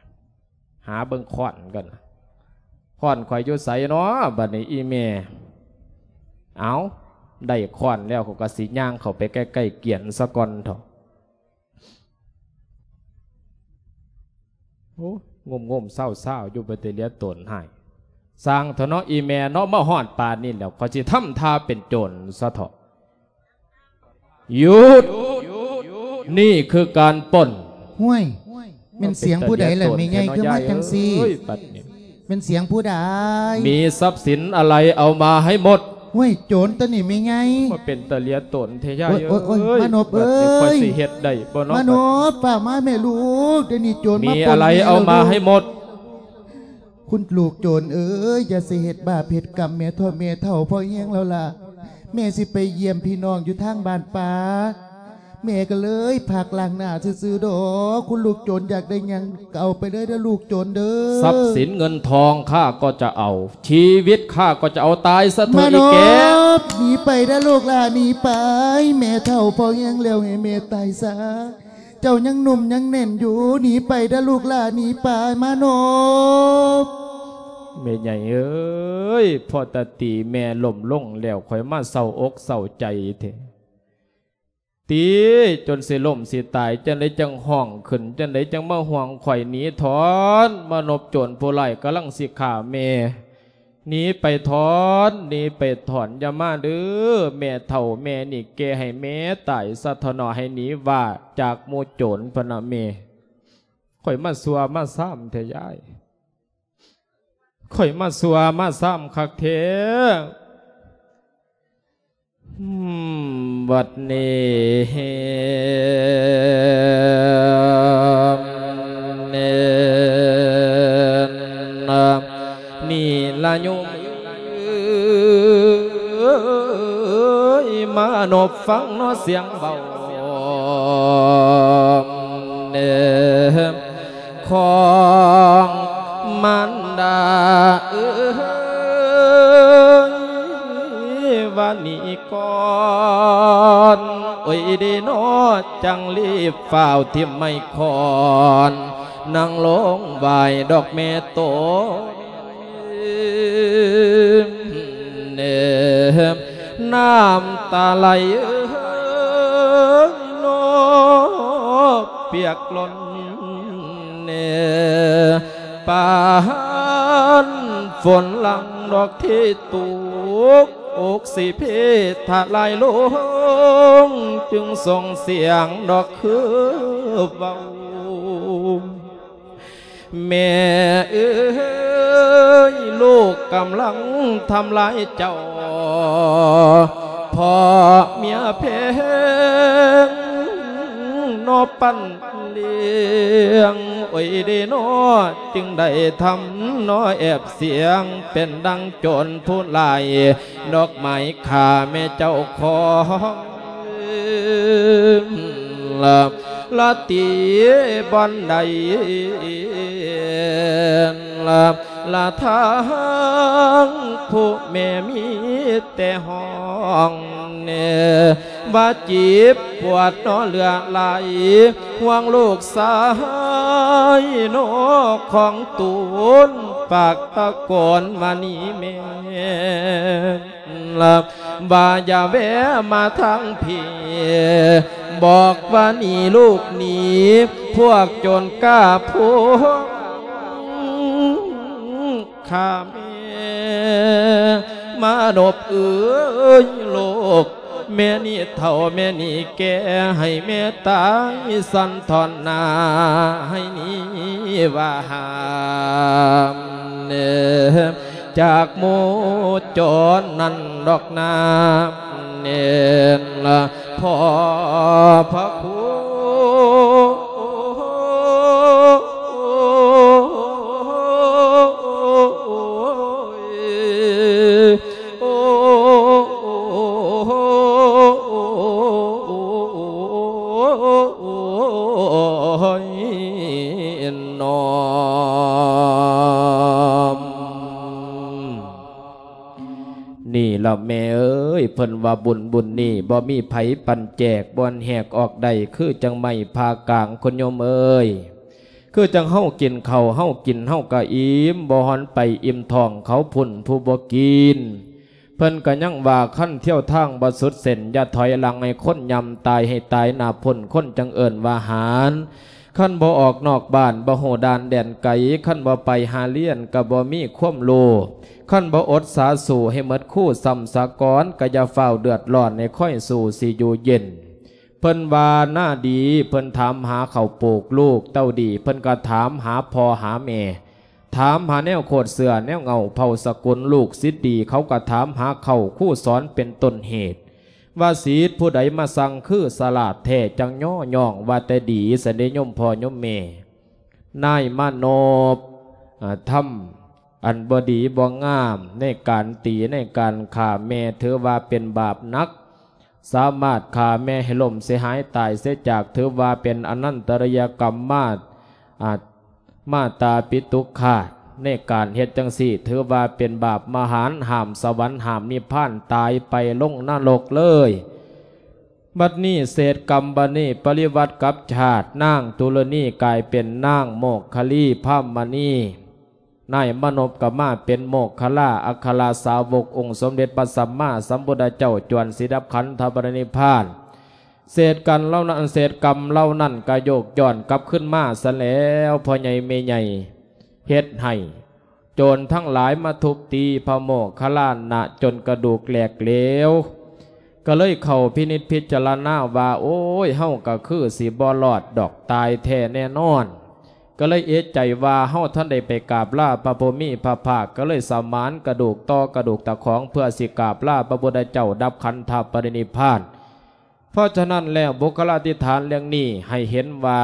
ຫາເບິ່ງຄ້ອນກ່ອນ. ຄ້ອນຂ້ອຍຢູ່ໃສເນາະ ບັດນີ້ອີ່ແມ່? ເອົ້າ ໄດ້ຄ້ອນແລ້ວ ຂ້ອຍກໍຊິຍ່າງເຂົ້າໄປໃກ້ໆ ກຽນສາກ່ອນເຖາະ. ໂອ້ ງົມໆເຊົາໆຢູ່ ເປັນຕາເຫຼືອຕົນຮ້າຍ. ຊ່າງເຖາະເນາະ ອີ່ແມ່ເນາະ, ມາຮອດປານນີ້ແລ້ວ ຂ້ອຍຊິທຳທ່າເປັນໂຈນຊະເຖາະ. ຢຸດ! ນີ້ຄືການປຸ້ນ. ຫ້ວຍ! ແມ່ນສຽງຜູ້ໃດລະແມ່ໃຫຍ່ ຄືມາຈັ່ງຊີ້? ເອີຍ ບັດນີ້ ແມ່ນສຽງຜູ້ໃດ? ມີຊັບສິນອະໄລເອົາມາໃຫ້ໝົດ. ຫ້ວຍ! ໂຈນຕົວນີ້ແມ່ໃຫຍ່. ມາເປັນຕາເຫຼືອຕົນແທ້ຍາຍເອີຍ. ໂອ້ຍ ໂອ້ຍ ໂອ້ຍ ມານົບເອີຍ ບັດນີ້ຂ້ອຍຊິເຮັດໄດ້ບໍ່ເນາະ? ມານົບ ຟ້າວມາແມ່ລູກ, ດຽວນີ້ໂຈນມາປຸ້ນ. ມີອະໄລເອົາມາໃຫ້ໝົດ. ຄຸນລູກໂຈນເອີຍ, ຢ່າຊິເຮັດບາບເຮັດກຳແມ່ເຖາະ, ແມ່ເຖົ້າພໍແຮງແລ້ວລະ. ແມ່ຊິໄປຢ້ຽມພີ່ນ້ອງຢູ່ທາງບ້ານປ່າ, ແມ່ກໍເລີຍພັກລ້າງໜ້າຊື່ໆດອກ. ຄຸນລູກໂຈນຢາກໄດ້ຫຍັງກໍເອົາໄປເລີຍເດີ້ລູກໂຈນເດີ້. ຊັບສິນເງິນທອງຂ້າກໍຈະເອົາ, ຊີວິດຂ້າກໍຈະເອົາ, ຕາຍຊະເຖາະອີແກ. ມານົບ ໜີໄປເດີ້ລູກຫຼ້າ, ໜີໄປ. ແມ່ເຖົ້າພໍແຮງແລ້ວ, ໃຫ້ແມ່ຕາຍຊະ. ເຈົ້າຍັງໜຸ່ມຍັງແໜ້ນຢູ່, ໜີໄປເດີ້ລູກຫຼ້າ, ໜີໄປ. ມານົບ. ແມ່ໃຫຍ່ເອີຍ, ພໍຕາຕີແມ່ລົ້ມລົງແລ້ວ ຂ້ອຍມາເສົ້າອົກເສົ້າໃຈແທ້. ຕີຈົນຊິລົ້ມຊິຕາຍ, ຈັ່ງໃດຈັ່ງຮ້ອງຂຶ້ນ, ຈັ່ງໃດຈັ່ງມາຫ່ວງຂ້ອຍ. ໜີຖອນ, ມານົບໂຈນຜູ້ຮ້າຍກຳລັງຊິຂ້າແມ່. ໜີໄປຖອນ, ໜີໄປຖອນ, ຢ່າມາເດີ້ແມ່ເຖົ້າ, ແມ່ນີ້ແກ່ໃຫ້ແມ່ຕາຍຊະເຖາະເນາະ, ໃຫ້ໜີວ່າຈາກໝູ່ໂຈນພຸ້ນນະແມ່. ຂ້ອຍມາຊົ່ວມາຊາມແທ້ຍາຍ, ຂ້ອຍມາຊົ່ວມາຊາມຄັກແທ້. ອືມ ບັດນີ້ ນີ້ລະໂຍມເອີຍ ມານົບຟັງເນາະສຽງເວົ້າ ເອີ ຂອງມານດາເອີຍ ວ່ານີ້ກ່ອນ ໂອ້ຍເດເນາະ ຈັ່ງລີບຟ້າວຖິ້ມໄມ້ຄ້ອນ ນັ່ງລົງໄຫວ້ດອກແມ່ໂຕ ເອີ ນ້ຳຕາໄຫຼເອີຍ ນອກປຽກລົ້ນເນ ປານຝົນຫຼັງດອກທີ່ຕົກ ອົກຊິເພທະລາຍລົງ ຈຶ່ງສົ່ງສຽງດອກຄືເວົ້າ ແມ່ເອີຍ ລູກກຳລັງທຳລາຍເຈົ້າ ເພາະເມຍແພງ ນອກປັນລ້ຽງ ໂອ້ຍເດເນາະ ຈຶ່ງໄດ້ທຳເນາະແອບສຽງ ເປັນດັ່ງໂຈນຜູ້ຮ້າຍ ດອກໄມ້ຂ້າແມ່ເຈົ້າຂອງ ລະ ລະຕີບ່ອນໃດ ລະ ລະທາງຜູ້ແມ່ມີແຕ່ຮ້ອງແນ່ ວ່າເຈັບປວດເນາະເຫຼືອຫຼາຍ ຫ່ວງລູກຊາຍເນາະຂອງຕົນ ປາກຕະໂກນວ່ານີ້ແມ່ ລະ ວ່າຢ່າແວະມາທາງພີ້ ບອກວ່າໜີລູກໜີ ພວກໂຈນກ້າພວກຂ້າແມ່ ມານົບເອີຍ ລູກ ແມ່ນີ້ເຖົ້າແມ່ນີ້ແກ່ ໃຫ້ແມ່ຕາຍສັ່ນທອນໜ້າ ໃຫ້ນີ້ວ່າຫ້າມແນ່ ຈາກໝູ່ຈອນນັ້ນດອກນາ ແມ່ນລະພໍ່ພະຄູ. ໂອ້ຍ ນ້ອມ ນີ້ລະແມ່ເອີຍ ເພິ່ນວ່າບຸນ ບຸນນີ້ບໍ່ມີໃຜປັນແຈກ ບໍ່ແຫກອອກໄດ້ ຄືຈັ່ງໄມ້ຜ່າກາງ ຄຸນໂຍມເອີຍ. ຄືຈັ່ງເຮົາກິນເຂົ້າ ເຮົາກິນເຮົາກະອີ່ມ ບໍ່ຮອນໄປອີ່ມທ້ອງເຂົາພຸ້ນຜູ້ບໍ່ກິນ. ເພິ່ນກະຍັງວ່າ ຄັນທ່ຽວທາງບໍ່ສຸດເສັ້ນ ຢ່າຖອຍຫຼັງໃຫ້ຄົນຍ່ຳ ຕາຍໃຫ້ຕາຍໜ້າພຸ້ນ ຄົນຈັ່ງເອີ້ນວ່າຫານ. ຄັນບໍ່ອອກນອກບ້ານ ບໍ່ຮູ້ດ່ານແດນໄກ ຄັນບໍ່ໄປຫາລຽນ ກະບໍ່ມີຄວາມຮູ້. ຄັນບໍ່ອົດສາສູ້ໃຫ້ໝົດຄູສ່ຳສາກ່ອນ ກະຢ່າຟ້າວເດືອດຮ້ອນ ໃຫ້ຄອຍສູ້ຊິຢູ່ເຢັນ. ເພິ່ນວ່ານາດີ ເພິ່ນຖາມຫາເຂົ້າປູກ ລູກເຕົ້າດີ ເພິ່ນກະຖາມຫາພໍ່ຫາແມ່ ຖາມຫາແນວໂຄດເຊື້ອແນວເຫງົ້າເຜົ່າສະກຸນ ລູກສິດດີ ເຂົາກະຖາມຫາເຂົ້າຄູສອນເປັນຕົ້ນເຫດ ວ່າສິດຜູ້ໃດມາສັ່ງຄືສະຫຼາດແທ້ ຈັ່ງຍໍຍ້ອງວ່າແຕ່ດີ ຊັ້ນເດໂຍມພໍ່ໂຍມແມ່. ນາຍມານົບ ອາ ທຳອັນບໍ່ດີບໍ່ງາມ ໃນການຕີໃນການຂ້າແມ່ ຖືວ່າເປັນບາບໜັກ ສາມາດຂ້າແມ່ໃຫ້ລົ້ມເສຍຫາຍຕາຍເສຍຈາກ ຖືວ່າເປັນອະນັນຕະລິຍກຳມາດ ອາ ມາຕາປິຕຸຄາດ ໃນການເຮັດຈັ່ງຊີ້ ຖືວ່າເປັນບາບມະຫານ ຫ້າມສະຫວັນ ຫ້າມນິບພານ ຕາຍໄປລົງນະລົກເລີຍ. ບັດນີ້ເສດກຳ ບັດນີ້ປະລິວັດກັບຊາດ ນາງຕຸລະນີກາຍເປັນນາງໂມກຄະລີພາມມະນີ ນາຍມານົບກະມາເປັນໂມກຄະລາ ອັກຄະລາສາວົກອົງສົມເດັດພະສຳມາສຳພຸດທະເຈົ້າ ຈວນສິດັບຂັນທະປະລິນິບພານ. ເສດກັນເຫຼົ່ານັ້ນ ເສດກຳເຫຼົ່ານັ້ນກະໂຍກຍ້ອນກັບຄືນມາຊະແລ້ວ ພໍ່ໃຫຍ່ແມ່ໃຫຍ່ເຮັດໃຫ້ ໂຈນທັງຫຼາຍມາທຸບຕີພະໂມກຄະລານະ ຈົນກະດູກແຫຼກເຫຼວ ກະເລີຍເຂົ້າພິນິດພິຈາລະນາວ່າ ໂອ້ຍ ເຮົາກະຄືຊິບໍ່ລອດດອກ ຕາຍແທ້ແນ່ນອນ. ກະເລີຍເອະໃຈວ່າ ເຮົາທັນໄດ້ໄປກາບລາພະຜູ້ມີພະພາກ ກະເລີຍສະໝານກະດູກຕໍ່ກະດູກຕະຂອງ ເພື່ອຊິກາບລາພະພຸດທະເຈົ້າດັບຂັນທະປະລິນິບພານ. ເພາະສະນັ້ນແລ້ວ ບຸກຄະລາທິຖານເລື່ອງນີ້ໃຫ້ເຫັນວ່າ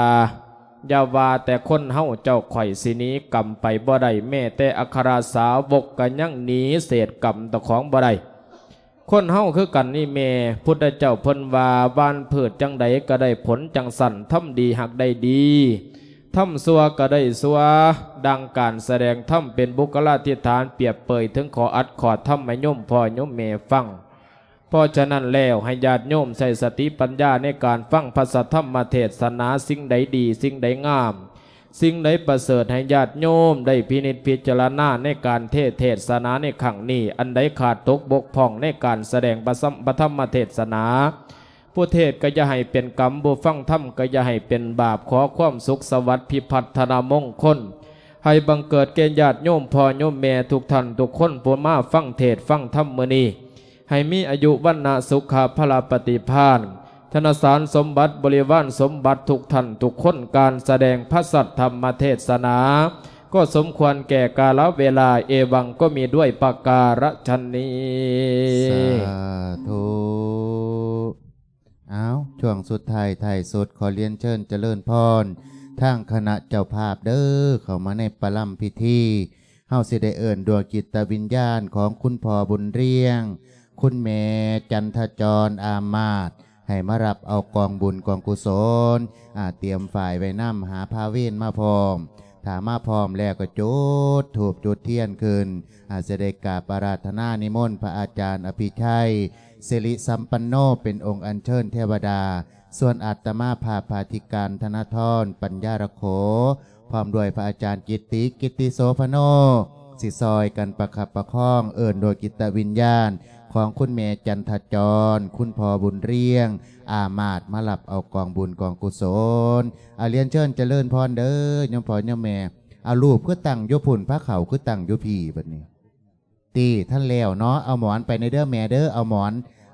ຢ່າວ່າແຕ່ຄົນເຮົາ ເຈົ້າຂ້ອຍຊິໜີກຳໄປບໍ່ໄດ້ ແມ້ແຕ່ອັກຄະລາສາວົກກະຍັງໜີເສດກຳຕະຂອງບໍ່ໄດ້. ຄົນເຮົາຄືກັນນີ້ແມ່ ພຸດທະເຈົ້າເພິ່ນວ່າ ຫວ່ານພືດຈັ່ງໃດກະໄດ້ຜົນຈັ່ງຊັ້ນ ທຳດີຫາກໄດ້ດີ ທຳຊົ່ວກະໄດ້ຊົ່ວ. ດັ່ງການສະແດງທຳເປັນບຸກຄະລາທິຖານ ປຽບເປີຍເຖິງຂໍ້ອັດຂໍ້ທຳໃຫ້ໂຍມພໍ່ໂຍມແມ່ຟັງ. ເພາະສະນັ້ນແລ້ວ ໃຫ້ຍາດໂຍມໃຊ້ສະຕິປັນຍາໃນການຟັງພະສັດທຳມະເທດສະໜາ ສິ່ງໃດດີ ສິ່ງໃດງາມ ສິ່ງໃດປະເສີດ ໃຫ້ຍາດໂຍມໄດ້ພິນິດພິຈາລະນາໃນການເທດເທດສະໜາໃນຄັ້ງນີ້. ອັນໃດຂາດຕົກບົກຜ່ອງໃນການສະແດງພະສຳ ພະທຳມະເທດສະໜາ ຜູ້ເທດກະຢ່າໃຫ້ເປັນກຳ ຜູ້ຟັງທຳກະຢ່າໃຫ້ເປັນບາບ. ຂໍຄວາມສຸກສະຫວັດພິພັດທະນະມົງຄົນ ໃຫ້ບັງເກີດແກ່ຍາດໂຍມພໍ່ໂຍມແມ່ທຸກທ່ານທຸກຄົນ ຜູ້ມາຟັງເທດຟັງທຳມື້ນີ້ ໃຫ້ມີອາຍຸວັນນະສຸຂະພະລະປະຕິພານ ທະນະສານສົມບັດ ບໍລິວານສົມບັດ ທຸກທ່ານທຸກຄົນ. ການສະແດງພະສັດທຳມະເທດສະໜາ ກໍສົມຄວນແກ່ກາລະເວລາ. ເອວັງ ກໍມີດ້ວຍປະກາລະຊະນີ້. ສາທຸ. ອ້າວ ຊ່ວງສຸດທ້າຍທ້າຍສຸດ ຂໍລຽນເຊີນຈະເລີນພອນ ທາງຄະນະເຈົ້າພາບເດີ້ ເຂົ້າມາໃນປະລຳພິທີ. ເຮົາຊິໄດ້ເອີ້ນດວງຈິດຕະວິນຍານຂອງຄຸນພໍ່ບຸນລຽງ ຄຸນແມ່ຈັນທະຈອນ ອາມາດ ໃຫ້ມາຮັບເອົາກອງບຸນກອງກຸສົນ ອາ ຕຽມຝ້າຍໄວ້ນຳ ຫາພາເວນມາພ້ອມ. ຖ້າມາພ້ອມແລ້ວກໍຈຸດທູບຈຸດທຽນຂຶ້ນ ອາ ຈະໄດ້ກາບອາລາທະນານິມົນພະອາຈານອະພິໄຊ ສິລິສຳປັນໂນ ເປັນອົງອັນເຊີນເທວະດາ. ສ່ວນອາດຕະມາພາບພາທິການ ທະນະທອນ ປັນຍາລະໂຂ ພ້ອມດ້ວຍພະອາຈານກິດຕິ ກິດຕິໂສພະໂນ ຊິຊ່ອຍກັນປະຄັບປະຄອງ ເອີ້ນດວງຈິດຕະວິນຍານຂອງຄຸນແມ່ຈັນທະຈອນ ຄຸນພໍ່ບຸນລຽງ ອາມາດ ມາຮັບເອົາກອງບຸນກອງກຸສົນ. ອາ ລຽນເຊີນຈະເລີນພອນເດີ້ ໂຍມພໍ່ໂຍມແມ່. ເອົາ ຮູບຄືຕັ້ງຢູ່ພຸ້ນ ພາເຂົ້າຄືຕັ້ງຢູ່ພີ້ບັດນີ້. ຕິ ທັນແລ້ວເນາະ ເອົາໝອນໄປແດ່ເດີ້ແມ່ເດີ້ ເອົາໝອນ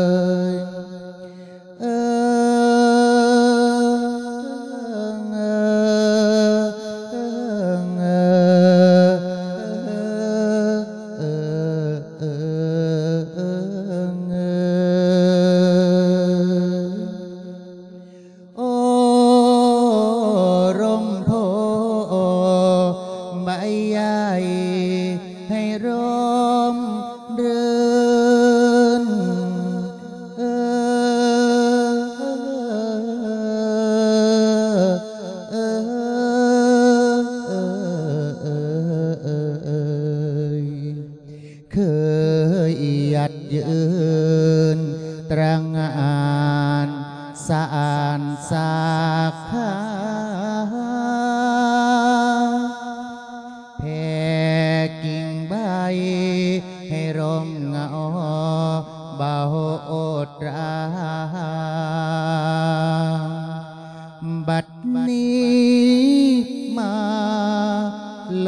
ຍ ເອີ ເອີ ເອີ ເອີ ເອີ ເອີ ເອີ ເອີ ເອີ ໂອ້ ລົມໂພໃບໃຫຍ່ໃຫ້ຮົ່ມລື່ນ ເອີ ເອີ ເອີ ເອີ ເອີ ເຄີຍຫຍັດຍືນຕະຫງ່ານສະອານ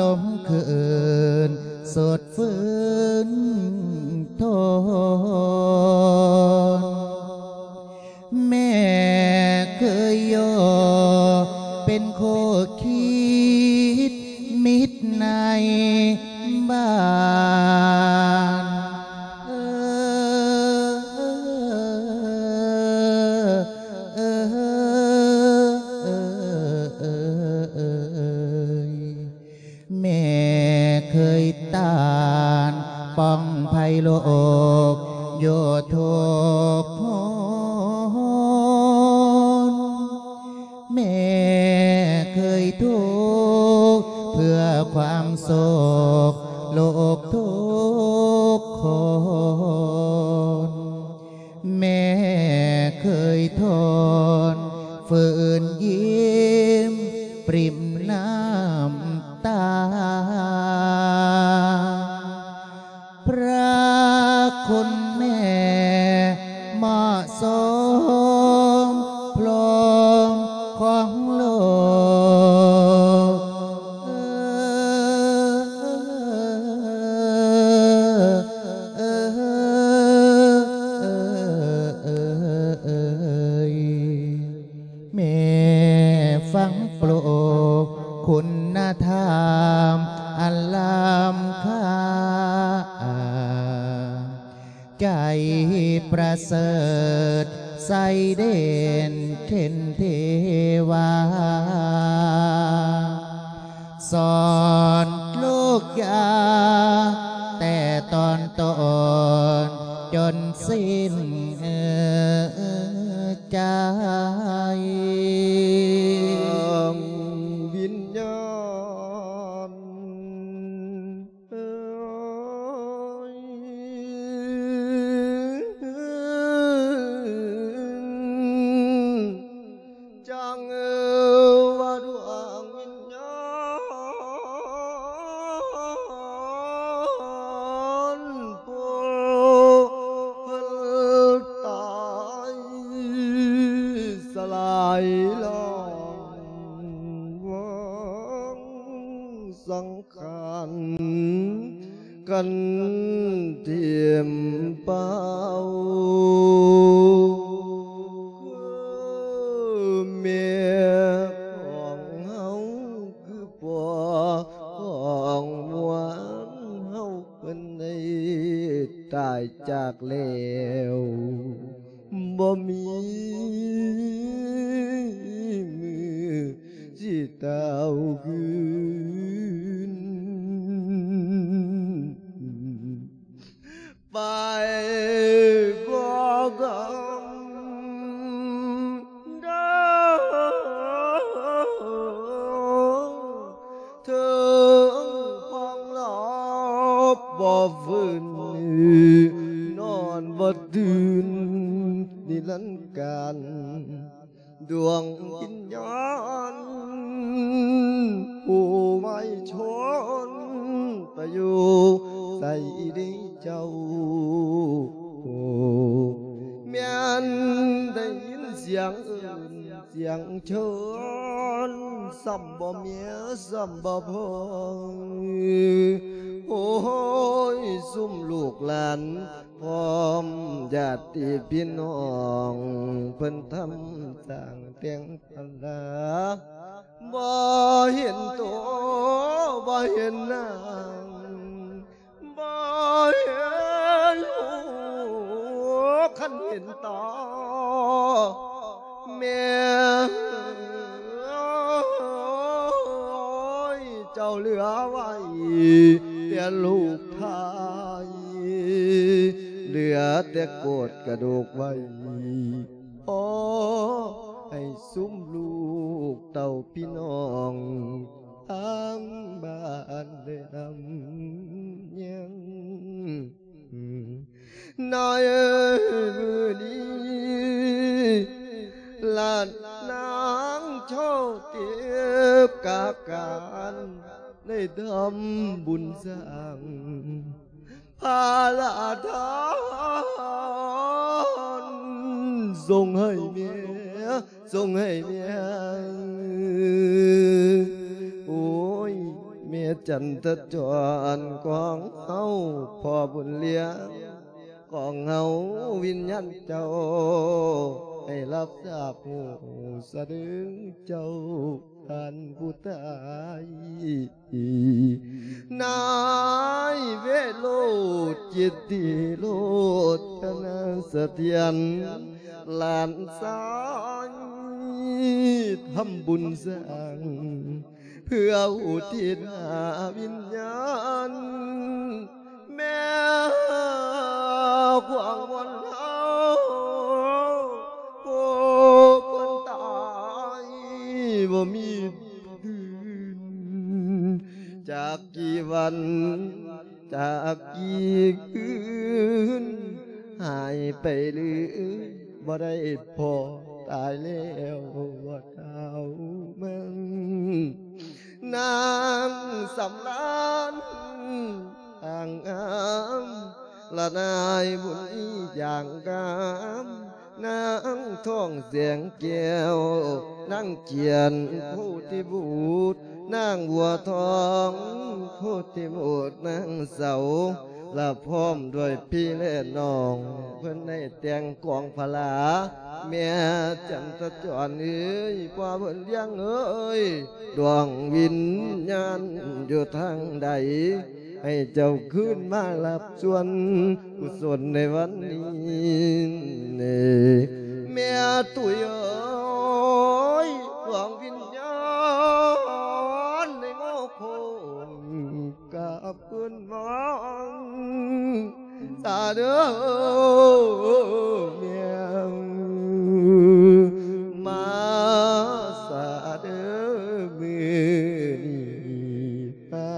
ລົມຄືນສົດຟື້ນທົນ ແມ່ເຄີຍຍໍເປັນຄູ່ຄິດມິດໃນບ້ານ ເອີ ເອີ ເອີ ເອີ ເອີ ເອີ ແມ່ເຄີຍຕ້ານປ່ອງໄພໂລກຢູ່ທຸກຫົນ ແມ່ເຄີຍທຸກເພື່ອຄວາມສຸກລູກທຸກຄົນ ແມ່ເຄີຍທົນຝືນຍິ້ມປຣິມນ້ຳຕາ ພະຄຸນແມ່ເໝາະສົມພົມຂອງໂລກ ເອີ ເອີ ເອີ ເອີ ເອີ ເອີ ເອີ ແມ່ຝັງປຸກຄຸນນະທຳອັນລ້ຳຄ່າ ໃຈປະເສີດໃສເດັ່ນເປັນເທວາ ສອນລູກຢ່າແຕ່ຕອນຕົ້ນຈົນສິ້ນໃຈ ດວງວິນຍານ ເອີຍ ຈັ່ງວ່າດວງວິນຍານຜູ້ເພິ່ນຕາຍສະຫຼາຍລາຍວາງສັງ ຂານກັນຖິ້ມເປົ່າ ຄືແມ່ຂອງເຮົາ ຄືພໍ່ຂອງໝວນເຮົາ ເພິ່ນໄດ້ຕາຍຈາກແລ້ວ ບໍ່ມີມື້ຊິຕາວຄືນ ໄປບໍ່ກຳເດີ ເຖິງພັງລາບບໍ່ຟື້ນ ນອນບໍ່ຕື່ນນິລັນການ ດວງວິນຍານຜູ້ໄວຊົນ ໄປຢູ່ໃສເດເຈົ້າ ແມ່ນໄດ້ຍິນສຽງເອີ້ນ ສຽງເຊີນ ຊ້ຳບໍ່ເມຍ ຊ້ຳບໍ່ພໍ ໂອ້ຍ ຊຸມລູກຫຼານ ພ້ອມຍາດຕິພີ່ນ້ອງ ເພິ່ນທຳສ້າງແຕ່ງພະລາ ບໍ່ເຫັນໂຕ ບໍ່ເຫັນນາງ ບໍ່ເຫັນຫູ ຄັນເຫັນຕາ ແມ່ເອີຍ ເຈົ້າເຫຼືອໄວ້ແຕ່ລູກຊາຍ ເຫຼືອແຕ່ໂກດກະດູກໄວ້ ຂໍໃຫ້ຊຸມລູກເຕົ້າພີ່ນ້ອງ ທາງບ້ານໄດ້ນຳຍັງ ໃນມື້ນີ້ ລາດນາງເຈົ້າເຕັບກາການ ໄດ້ທຳບຸນສ້າງ ພາລະທານ ສົ່ງໃຫ້ແມ່ ສົ່ງໃຫ້ແມ່ ໂອ້ຍ ແມ່ຈັນທະຈອນຂອງເຮົາ ພໍ່ບຸນລ້ຽງຂອງເຮົາ ວິນຍານເຈົ້າໃຫ້ຮັບຊາບຮູ້ສະເດີເຈົ້າ ທ່ານຜູ້ຕາຍ ນາຍເວໂຣດ ກິດຕິໂລດທະນາສະຖຽນ ຫຼານຊາຍທຳບຸນສ້າງ ເພື່ອອຸທິດຫາວິນຍານ ແມ່ຂວາງວັນເຮົາ ຜູ້ເພິ່ນຕາຍບໍ່ມີຄືນ ຈາກກີ່ວັນ ຈາກກີ່ຄືນ ຫາຍໄປເລີຍ ບໍ່ໄດ້ພໍ້ ຕາຍແລ້ວບໍ່ເທົ່າມັນ ນາງສຳລານ ອ່າງງາມ ລະນາຍບຸນມີຢ່າງງາມ ນາງທອງແສງແກ້ວ ນາງຈຽນໂພທິບູດ ນາງບົວທອງໂພທິບູດ ນາງເສົາ ລະພ້ອມດ້ວຍພີ່ແລະນ້ອງ ເພິ່ນໄດ້ແຕ່ງກອງພະລາ ແມ່ຈັນທະຈອນເອີຍ ພໍ່ບຸນລ້ຽງເອີຍ ດວງວິນຍານຢູ່ທາງໃດ ໃຫ້ເຈົ້າຄືນມາຮັບສ່ວນກຸສົນໃນວັນນີ້ ແມ່ຕຸ້ຍເອີຍ ດວງວິນຍານໃນງໍໂຄ້ງ ກັບຄືນມາສາເດີແມ່ ມາສາເດີມື້ນີ້ ມາ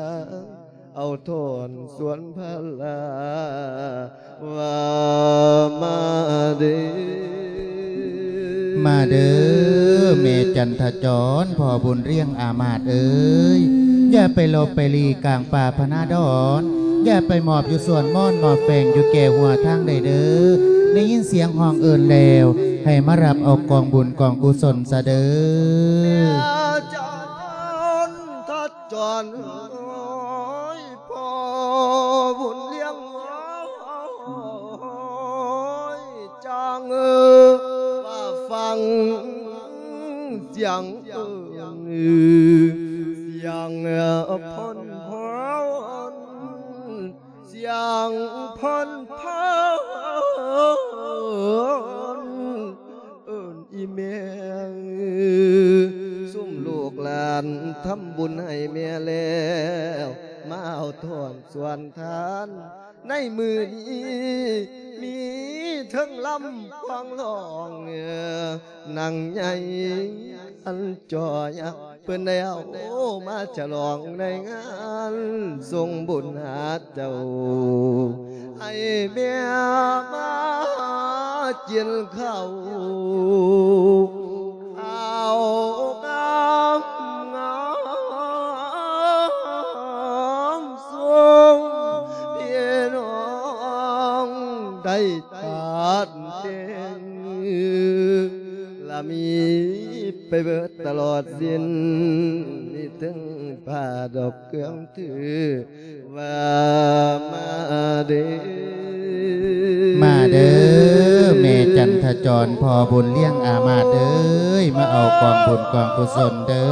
ເອົາທ່ອນສວນພະລາ ວ່າມາເດີ ມາເດີ ແມ່ຈັນທະຈອນ ພໍ່ບຸນລ້ຽງອາມາດເອີຍ ຢ່າໄປຫຼົບໄປຫຼີກກາງປ່າພະນາດອນ ຢ່າໄປໝອບຢູ່ສວນມ່ອນໝອບແຝງຢູ່ແກ່ຫົວທາງໃດເດີ ໄດ້ຍິນສຽງຮ້ອງເອີ້ນແລ້ວ ໃຫ້ມາຮັບເອົາກອງບຸນກອງກຸສົນຊະເດີ ແມ່ຈັນທະຈອນເອີຍ ພໍ່ບຸນລ້ຽງເອີຍ ຈາງເອີວ່າຟັງສຽງເອີ້ນ ສຽງເອີ້ນພົນພອນ ສຽງພົນພອນ ເອີ້ນອີ່ແມ່ ຊຸມລູກຫຼານທຳບຸນໃຫ້ແມ່ແລ້ວ ມາເອົາທ່ອນສວນທານ ໃນມື້ນີ້ມີເທິງລຳພວງຮ້ອງ ນາງໃຫຍ່ອັນຈໍຍັກ ເພິ່ນໄດ້ເອົາມາສະຫຼອງໃນງານສົ່ງບຸນຫາເຈົ້າ ໃຫ້ແມ່ມາກິນເຂົ້າ ເອົາງາມ ງາມຊົມພີ່ນ້ອງໄດ້ ທາດແຕ່ງລະມີໄປເບີດຕະຫຼອດສິ້ນ ມີເຖິງຜ້າດອກເຄື່ອງຖືວ່າມາເດີ ມາເດີ ແມ່ຈັນທະຈອນ ພໍ່ບຸນລ້ຽງອາມາດເອີຍ ມາເອົາກອງບຸນກອງກຸສົນເດີ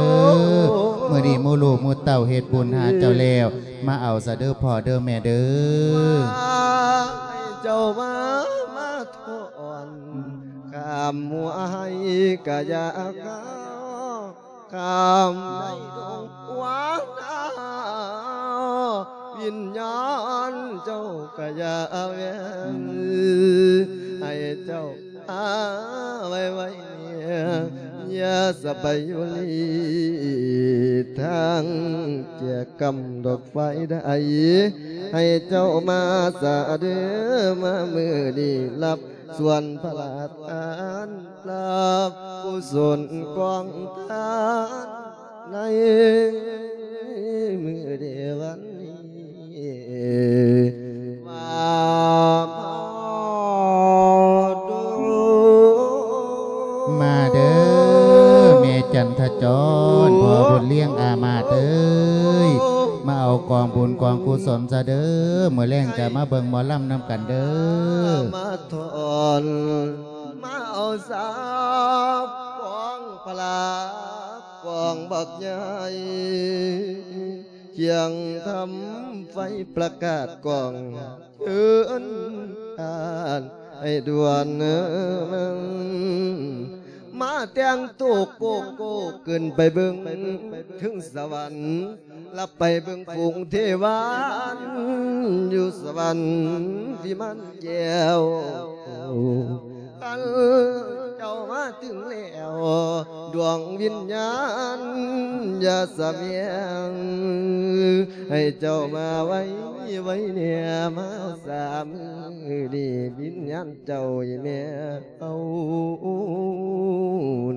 ມື້ນີ້ໝູ່ລູກໝູ່ເຕົ້າເຮັດບຸນຫາເຈົ້າແລ້ວ ມາເອົາຊະເດີພໍ່ເດີແມ່ເດີ ເຈົ້າມາ ມາ ອນ ຂ້າມຫົວໃຫ້ກະຢ່າຂ້າມ ຂ້າມໃນດວງຫົວໜ້າ ວິນຍານເຈົ້າກະຢ່າແວ່ນ ໃຫ້ເຈົ້າຫາໄວໆ ຢ່າສະໄປຢູ່ລີ ທາງແຈກຳດອກໄຟໃດ ໃຫ້ເຈົ້າມາສາເດີ ມາມື້ນີ້ ຮັບ ສ່ວນພະລາທານ ຮັບກຸສົນກອງທານ ໃນມື້ເດວັນນີ້ ມາເດີ ມາເດີ ແມ່ຈັນທະຈອນ ພໍ່ບຸນລ້ຽງອາມາດເອີຍ ກອງບຸນກອງກຸສົນຊະເດີ. ມື້ແລງຈະມາເບິ່ງໝໍລຳນຳກັນເດີ. ມາຖອນ ມາເອົາສາບກອງພະລາ ກອງບັກໃຫຍ່ ຄຽງທຳໄຟປະກາດກອງ ເຊີນທ່ານໃຫ້ດ່ວນ ມາແຕ່ງໂຕໂກໂກ້ ຂຶ້ນໄປເບິ່ງເທິງສະຫວັນ ລະໄປເບິ່ງຝູງເທວານ ຢູ່ສະຫວັນວິມານແກ້ວ. ຄັນເຈົ້າມາເຖິງແລ້ວ ດວງວິນຍານຢ່າສະແຫວງ ໃຫ້ເຈົ້າມາໄວ ໄວແດ່ ມາສາມມື້ນີ້ ວິນຍານເຈົ້າອີແມ່ເອົາ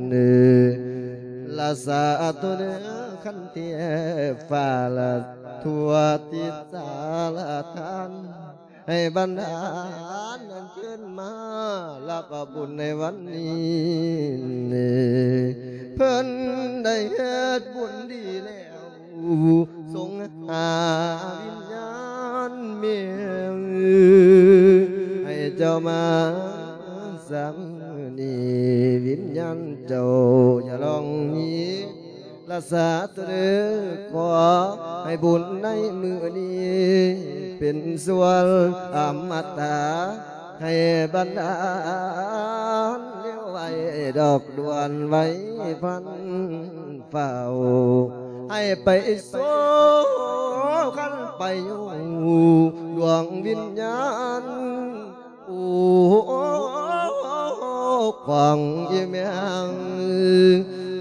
ເນີ ລະສາທຸເນີ ຄັນແທ້ຟ້າລະທົ່ວທິດສາລະທານ ໃຫ້ບັນດານອັນເຊີນມາ ຮັບເອົາບຸນໃນວັນນີ້ ເພິ່ນໄດ້ເຮັດບຸນດີແລ້ວ ສົ່ງຫາວິນຍານແມ່ ໃຫ້ເຈົ້າມາສາມມື້ນີ້ ວິນຍານເຈົ້າຢ່າລອງໜີ ລະສາທຸເດີ ຂໍໃຫ້ບຸນໃນມື້ນີ້ ເປັນສ່ວນອະມະຕະ ໃຫ້ບັນດານເລວໄວດອກດ່ວນໄວພັນຟ້າວ ໃຫ້ໄປໂສຄັນໄປຢູ່ ດວງວິນຍານ ໂອ້ ຂອງອີແມ່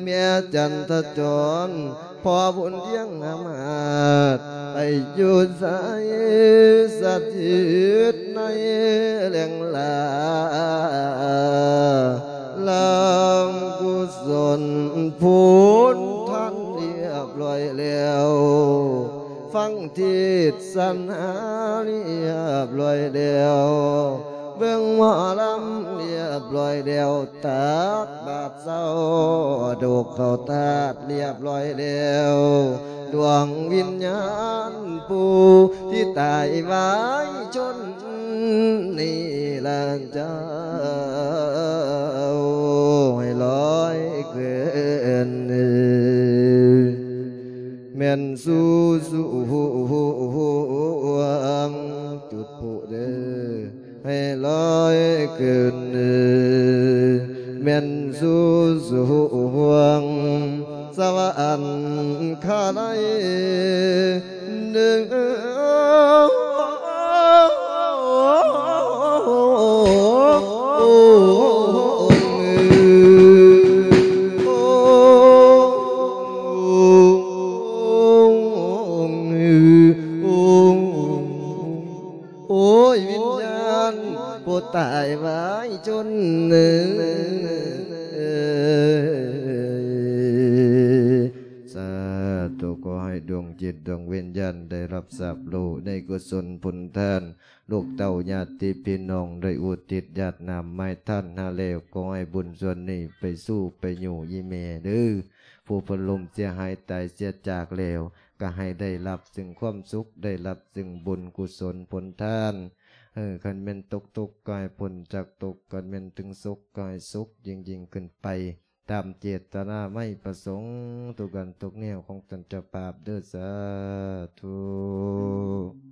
ແມ່ຈັນທະຈອນ ພໍ່ບຸນທຽງອາມາດ ໄປຢູ່ໃສສະຖິດໃນແຫຼ່ງລາ ລ້າງກຸສົນຜົນທານລຽບລ້ອຍແລ້ວ ຟັງເທດສະນາລຽບລ້ອຍແລ້ວ ເບິ່ງໝໍລຳລຽບລ້ອຍແລ້ວ ຕັກບາດເຊົ້າ ດູກເຂົ້າທາດລຽບລ້ອຍແລ້ວ ດວງວິນຍານຜູ້ທີ່ຕາຍວາຍຊົນນີ້ລະເຈົ້າ ໃຫ້ລອຍຂຶ້ນ ແມ່ນສູ່ສວງ ຈຸດພຸເດີ ໃຫ້ລອຍຂຶ້ນ ແມ່ນສູ່ສວງສະຫວັນຄາໄລເດີ. ໂອ້ຍ ວິນຍານຜູ້ຕາຍວາຍຊົນເອີຍ ສາທຸ ຂໍໃຫ້ດວງຈິດດວງວິນຍານໄດ້ຮັບຊາບຮູ້ໃນກຸສົນຜົນທານ ລູກເຕົ້າຍາດຕິພີ່ນ້ອງໄດ້ອຸທິດຢາດນ້ຳມາຍທານຫາແລ້ວ ຂໍໃຫ້ບຸນສ່ວນນີ້ໄປສູ່ໄປຢູ່ອີແມ່ເດີ ຜູ້ເພິ່ນລົ້ມເສຍຫາຍຕາຍເສຍຈາກແລ້ວ ກໍໃຫ້ໄດ້ຮັບຊຶ່ງຄວາມສຸກ ໄດ້ຮັບຊຶ່ງບຸນກຸສົນຜົນທານ ເອີ ຄັນແມ່ນຕົກທຸກກໍໃຫ້ພົ້ນຈາກທຸກ ຄັນແມ່ນເຖິງສຸກກໍໃຫ້ສຸກຍິ່ງໆຂຶ້ນໄປ ຕາມເຈດຕະນາໄມປະສົງທຸກອັນທຸກແນວຂອງທ່ານເຈົ້າພາບເດີ ສາທຸ.